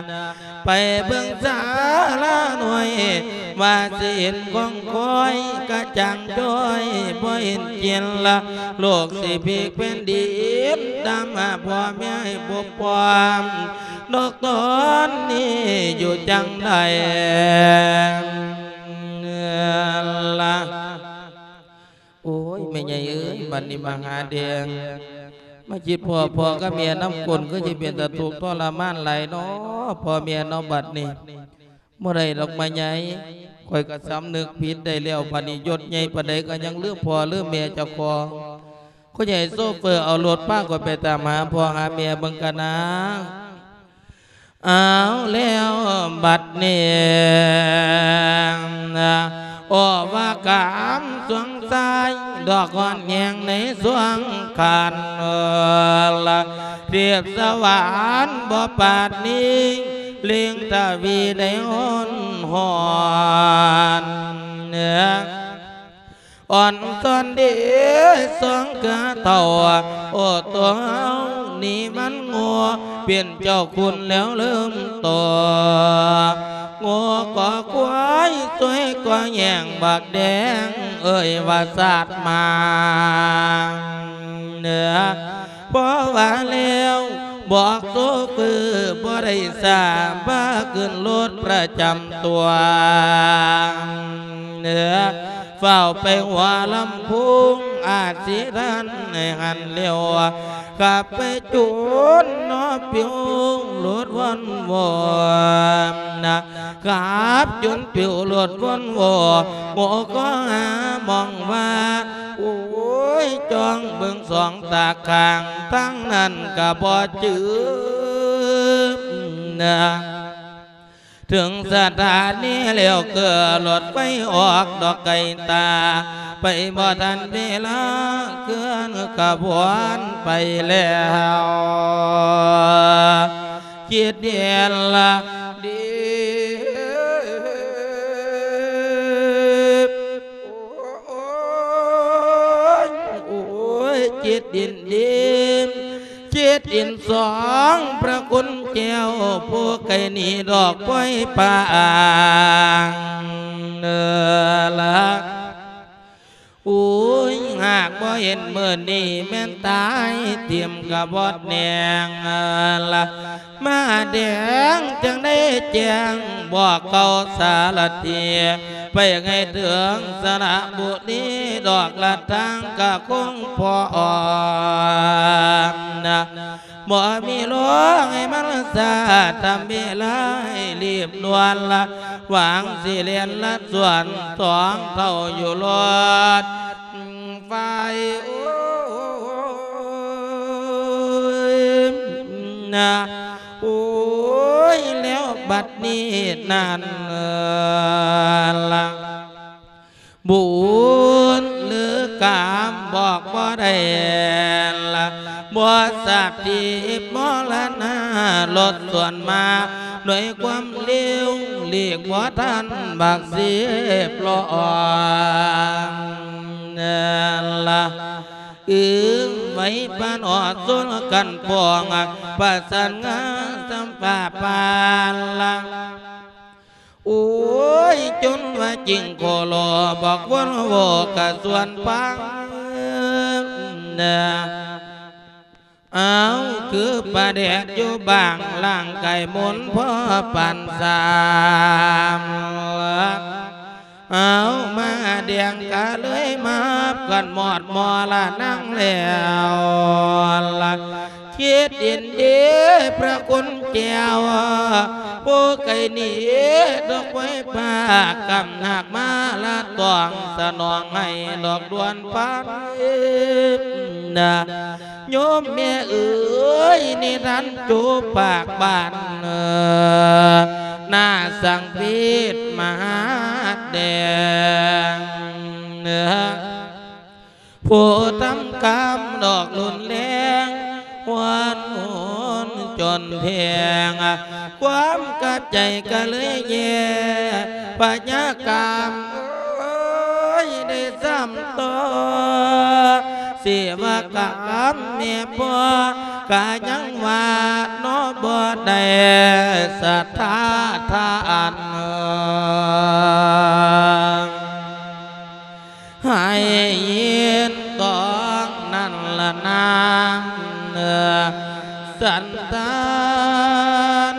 ໄປເບິ່ງສາລານ້ອຍ ວ່າຊິເຫັນຂອງຂ້ອຍກະຈ່າງຈ້ອຍ ບໍ່ເຫັນກິນລະ ໂລກຊິພິກແຜ່ນດິນ ຕາມຫາພໍ່ແມ່ໃຫ້ບົບພ້ອມ ດອກຕອນນີ້ຢູ່ຈັ່ງໃດລະ. ໂອ້ຍ ແມ່ໃຫຍ່ເອີຍ ບັດນີ້ມະຫາແດງ ມາຄິດພໍ້ພໍ່ກັບແມ່ນຳກົ້ນ ຄືຊິເປັນຕາທຸກທໍລະມານຫຼາຍເນາະ ພໍ່ແມ່ເນາະ ບັດນີ້. ບໍ່ໄດ້ດອກ ມະໃຫຍ່ ຂ້ອຍກໍສຳນຶກຜິດໄດ້ແລ້ວ ບັດນີ້ຍົດໃຫຍ່ປານໃດກໍຍັງລືມພໍ່ລືມແມ່ເຈົ້າຂອງ. ຜູ້ໃຫຍ່ໂຊເຟີເອົາລົດພາຂ້ອຍໄປຕາມຫາພໍ່ຫາແມ່ເບິ່ງກະນາ. ເອົາແລ້ວບັດນີ້ ໂອ້ ວ່າກາມສວງຊາຍ ດອກອ່ອນແຍງໃນສວງຄັນ ເອີ ລະ ເທບສະຫວານບໍ່ປາດນີ້ ເລັ່ງທະວີໄດ້ຮ້ອນຮ້ອນ ເອີ ອ່ອນຊອນເດ ສອງເທື່ອເທົ່າ ໂອ້ ຕົວເຮົານີ້ມັນໂງ່ ເປັນເຈົ້າຄຸນແລ້ວເລີ່ມໂຕ ໂງ່ກໍຄວາຍ ຊ່ວຍກໍແຍ່ງບັກແດງ ເອີຍວ່າສາດມາ ເໜືອ ພໍວ່າແລ້ວບອກໂຊເຟີບໍ່ໄດ້ຊ້າ ພາຂຶ້ນລົດປະຈຳຕົວ ເໜືອ ຟ້າວໄປຫົວລຳໂພງ ອາດຊິທັນໃຫ້ຫັນແລ້ວ ຂັບໄປຈົນເນາະປິວລົດວອນໂວນະ ຂັບຈົນປິວລົດວອນໂວ ໂງ່ກໍຫາມອງວ່າ ໂອ້ຍ ຈ້ອງເບິ່ງສອງຕາຂ້າງ ທາງນັ້ນກໍບໍ່ຈື່ນະ. ເຖິງສະຖານີແລ້ວ ເກີດລົດໄຟອອກດອກໄກຕາ ໄປບໍ່ທັນເວລາ ເຄື່ອນຂະບວນໄປແລ້ວ ຄິດເຫັນລະດີ ໂອ້ຍ ໂອ້ຍ ຄິດເຫັນດີ ຄິດເຫັນສອງພະຄຸນແກ້ວ ຜູ້ໄກໜີດອກປອຍປາງເນີລະ. ໂອ້ຍ ຫາກບໍ່ເຫັນມື້ນີ້ ແມ່ນຕາຍຖິ້ມກະບອດແໜງລະ ມະຫາແດງຈຶ່ງໄດ້ແຈ້ງບອກເຂົາສາລະຖີ ໄປໃຫ້ເຖິງສະລະບຸລີ ດອກລະທາງກະຄົງພ້ອມນະ. ບໍ່ມີລົມໃຫ້ມັນຊາ ທຳເວລາໃຫ້ລີບດ່ວນລະ ຫວັງຊິແລ່ນລະສວນສອງເທົ່າຢູ່ລົດໄຟ ໂອ້ຍ ນະ ໂອ້ຍ ແລ້ວບັດນີ້ນັ້ນລະ ບຸນຫຼືກາມບອກບໍ່ໄດ້ລະ ບໍ່ຊາບທີ່ມໍລະນາ ລົດສວນມາດ້ວຍຄວາມເລວ ຫຼີກບໍ່ທັນບັກສິບລ້ອງລະ ອຶງໄວ້ປານອອດຊົນກັນປອງ ປະສານງານສຳປະປານລະ. ໂອ້ຍ ຈົນວ່າຈິງໂຄໂລ ບອກວົນໂວກະສວນຟັງນະ ເອົາ ຄືປາແດກຢູ່ບ້າງ ຮ່າງກາຍມົນພໍປານສາມ ເອົາ ມະຫາແດງກະເລີຍມາກັນໝອດມໍລະນາງແລ້ວລະ. ຄິດເຫັນດີພະຄຸນແກ້ວ ຜູ້ໄກໜີດອກໄມ້ປ່າ ກຳໜາກມາລະຕ້ອງສະໜອງໃຫ້ດອກດວນພັນນະ ໂຍມແມ່ເອີຍ ນິທານໂຈປາກບ້ານ ໜ້າສັງເວດມະຫາແດງ ຜູ້ທຳກຳດອກຮຸນແຮງ ຫວນຫູນຈົນແພງ ຄວາມກັບໃຈກະເລີຍແຍ່ ພະຍາກາມເອີຍ ໄດ້ຊ້ຳຕໍ່ ເສວະກາມແມ່ພໍ່ ກະຍັງວ່າເນາະ ບໍ່ໄດ້ສັດທາທານ ໃຫ້ຍິນຕ້ອງນັ້ນລະນາງ ສັນຕານ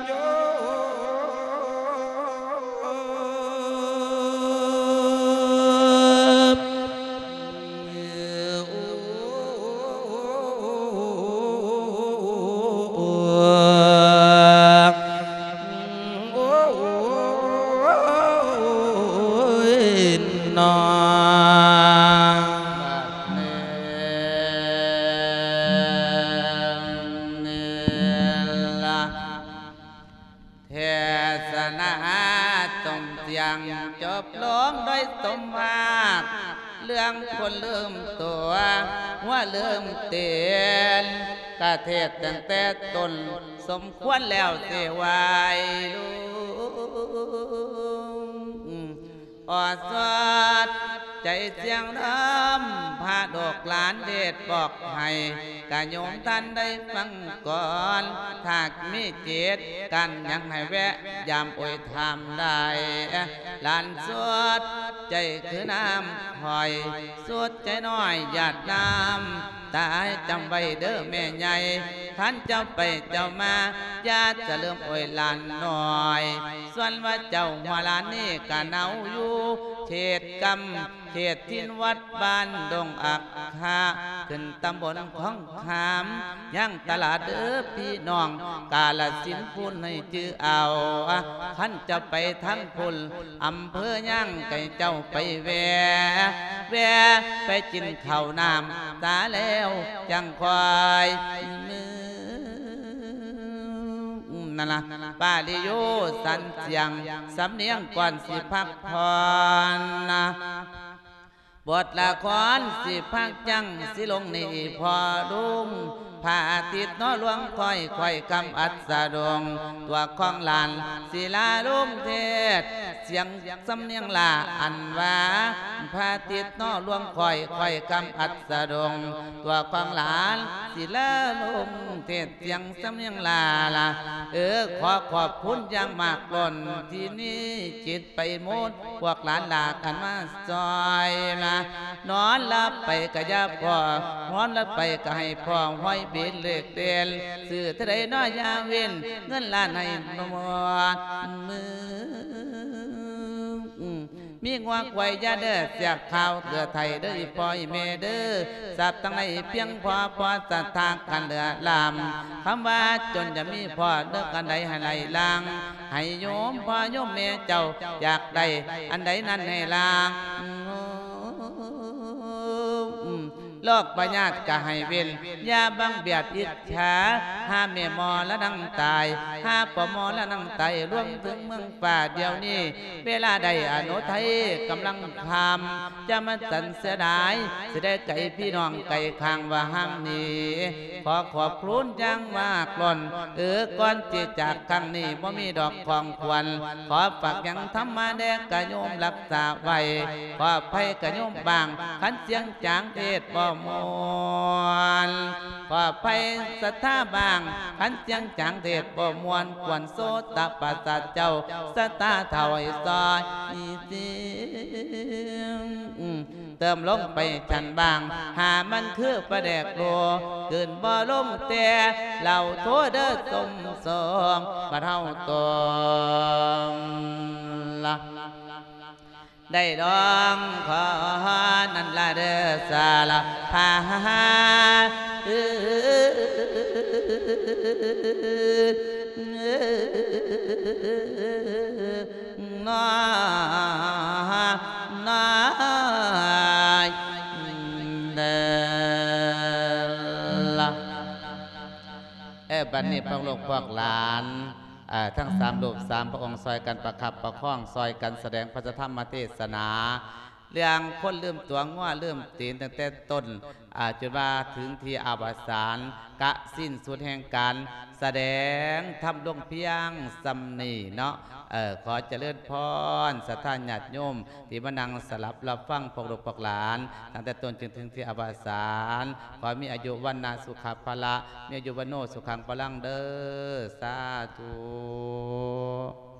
ໂຍມ. ເທດສະນາຕົງຕຽງ ຈົບລົງໂດຍສົມຫາກ ເລື່ອງຄົນລືມຕົວ ຫົວລືມຕີນ ກະເທດຕັ້ງແຕ່ຕົ້ນ ສົມຄວນແລ້ວຊິໄຫວ້ລຸງ. ອອດສອດໃຈສຽງນຳ ພະລູກຫຼານເທດບອກໃຫ້ ກະໂຍມທ່ານໄດ້ຟັງກ່ອນ ຖ້າມີເຈດການຫຍັງໃຫ້ແວະຢາມໂອຍຖາມໄດ້ ຫຼານສຸດໃຈຄືນ້ຳຫ້ອຍ ສຸດໃຈນ້ອຍຢາດນ້ຳ ຕາຈຳໄວ້ເດີແມ່ໃຫຍ່ ຄັນເຈົ້າໄປເຈົ້າມາ ຢ່າຈະລືມໂອຍຫຼານນ້ອຍ ສ່ວນວ່າເຈົ້າຫົວຫຼານນີ້ກະເນົາຢູ່ ເຂດກຳ ເຂດຖິ່ນວັດບ້ານດົງອັກຄະ ຂຶ້ນຕຳບົນຂອງຂາມ ຍັງຕະຫຼາດເດີພີ່ນ້ອງ ກາລະສິນພຸ້ນໃຫ້ຈື່ເອົາ ຄັນເຈົ້າໄປທາງພຸ້ນ ອຳເພີຍາງໃຫ້ເຈົ້າໄປແວ່ ແວ່ ໄປກິນເຂົ້ານ້ຳຕາແລ້ວຈັ່ງຄ່ອຍ ນັ້ນລະ ປາລິໂຍສັນສຽງ ສຳນຽງກ່ອນຊິພັກຜ່ອນນະ. ບົດລະຄອນຊິພັກຈັ່ງຊິລົງນີ້ພໍ່ລຸງ ພະອາທິດເນາະລວງຄ່ອຍ ຄ່ອຍຄຳອັດສະດົງ ຕົວຂອງຫຼານສິລາລົງເທດ ສຽງສຳນຽງຫຼ້າອັນວ່າ ພະອາທິດເນາະລວງຂ້ອຍ ຂ້ອຍຄຳອັດສະດົງ ຕົວຂອງຫຼານສິລາລົງເທດ ສຽງສຳນຽງຫຼ້າລະ ເອີ ຂໍຂອບຄຸນຢ່າງມາກລົ້ນ ທີ່ມີຈິດໄປໝົດ ພວກຫຼານຫຼ້າກັນມາຊ່ອຍລະ ນອນຫຼັບໄປກະຢ່າພໍ້ ນອນຫຼັບໄປກະໃຫ້ພໍ້ ຫ້ອຍເບັນເລກເດັ່ນ ຊື້ເທົ່າໃດເນາະຢ່າເວັ້ນ ເງິນລ້ານໃຫ້ໝົດ ມີງົວຄວາຍຢ່າເດີ ເສຍຂ່າວເຫຼືອໄຖເດີ ອີ່ພໍ່ອີ່ແມ່ເດີ ຊັບທັງຫຼາຍພຽງພໍ ພໍສັດທາກັນເຫຼືອລ້ຳ ຄຳວ່າຈົນຢ່າມີພໍ ເດີ ອັນໃດໃຫ້ໄຫຼຫຼັງ ໃຫ້ໂຍມພໍ່ໂຍມແມ່ເຈົ້າ ຢາກໄດ້ອັນໃດນັ້ນໃຫ້ຫຼັງ ໂລກພະຍາດກະໃຫ້ເວັ້ນ ຢ່າບັງບຽດອິດສາ ຫາແມ່ໝໍລະນັງຕາຍ ຫາພໍ່ໝໍລະນັງຕາຍ ລວມເຖິງເມືອງຟ້າດຽວນີ້ ເວລາໃດອະນຸໄທກຳລັງຄ່ຳ ຢ່າມາສັນເສຍດາຍ ຊິໄດ້ໄກພີ່ນ້ອງໄກຂ້າງວ່າຫ່າງໜີ ຂໍຂອບຄຸນຢ່າງມາກລົ້ນ ເອີ ກ່ອນທີ່ຈາກຄັ້ງນີ້ ບໍ່ມີດອກຂອງຂວັນ ຂໍຝາກຫຍັງທຳມາແດ່ກະໂຍມລັກສາໄວ້ ຂໍອະໄພກະໂຍມບ້າງ ຄັນສຽງຈາງເທດບໍ່ມ່ວນ ຂໍອະໄພສັດທາບ້າງ ຄັນສຽງຈາງເທດບໍ່ມ່ວນ ຄວນໂສດຕະປະສາດເຈົ້າ ສັດທາເທົ່າໃຫ້ຊອຍຊິ ເຕີມລົງໄປຊັ້ນບາງ ຫາມັນຄືປາແດກໂລ ກືນບໍ່ລົງແຕ່ເຫຼົ້າໂທເດີ ສົມສອງບັດເຮົາຕ້ອງລະ ໄດ້ດອງຂໍນັ້ນລະເດີ ສາລະພາ ນ້ອຍ ນ້ອຍເດີລະ ເອີ ບັດນີ້ພວກລູກພວກຫຼານ ເອີ ທັງສາມຮູບສາມພະອົງ ຊ່ອຍກັນປະຄັບປະຄອງ ຊ່ອຍກັນສະແດງພະທຳມະເທດສະໜາ ເລື່ອງຄົນລືມຕົວ ງົວລືມຕີນ ຕັ້ງແຕ່ຕົ້ນ ອາ ຈົນວ່າເຖິງທີ່ອະວະສານ ກະສິ້ນສຸດແຫ່ງການສະແດງທຳລົງພຽງສ່ຳນີ້ເນາະ. ເອີ ຂໍຈະເລີນພອນ ສັດທາຍາດໂຍມທີ່ມານັ່ງສະດັບຮັບຟັງ ພວກລູກພວກຫຼານ ຕັ້ງແຕ່ຕົ້ນຈົນເຖິງທີ່ອະວະສານ ຂໍມີອາຍຸວັນນະສຸຂະພະລະ ມີອາຍຸວັນໂນສຸຂັງພະລັງເດີ ສາທຸ.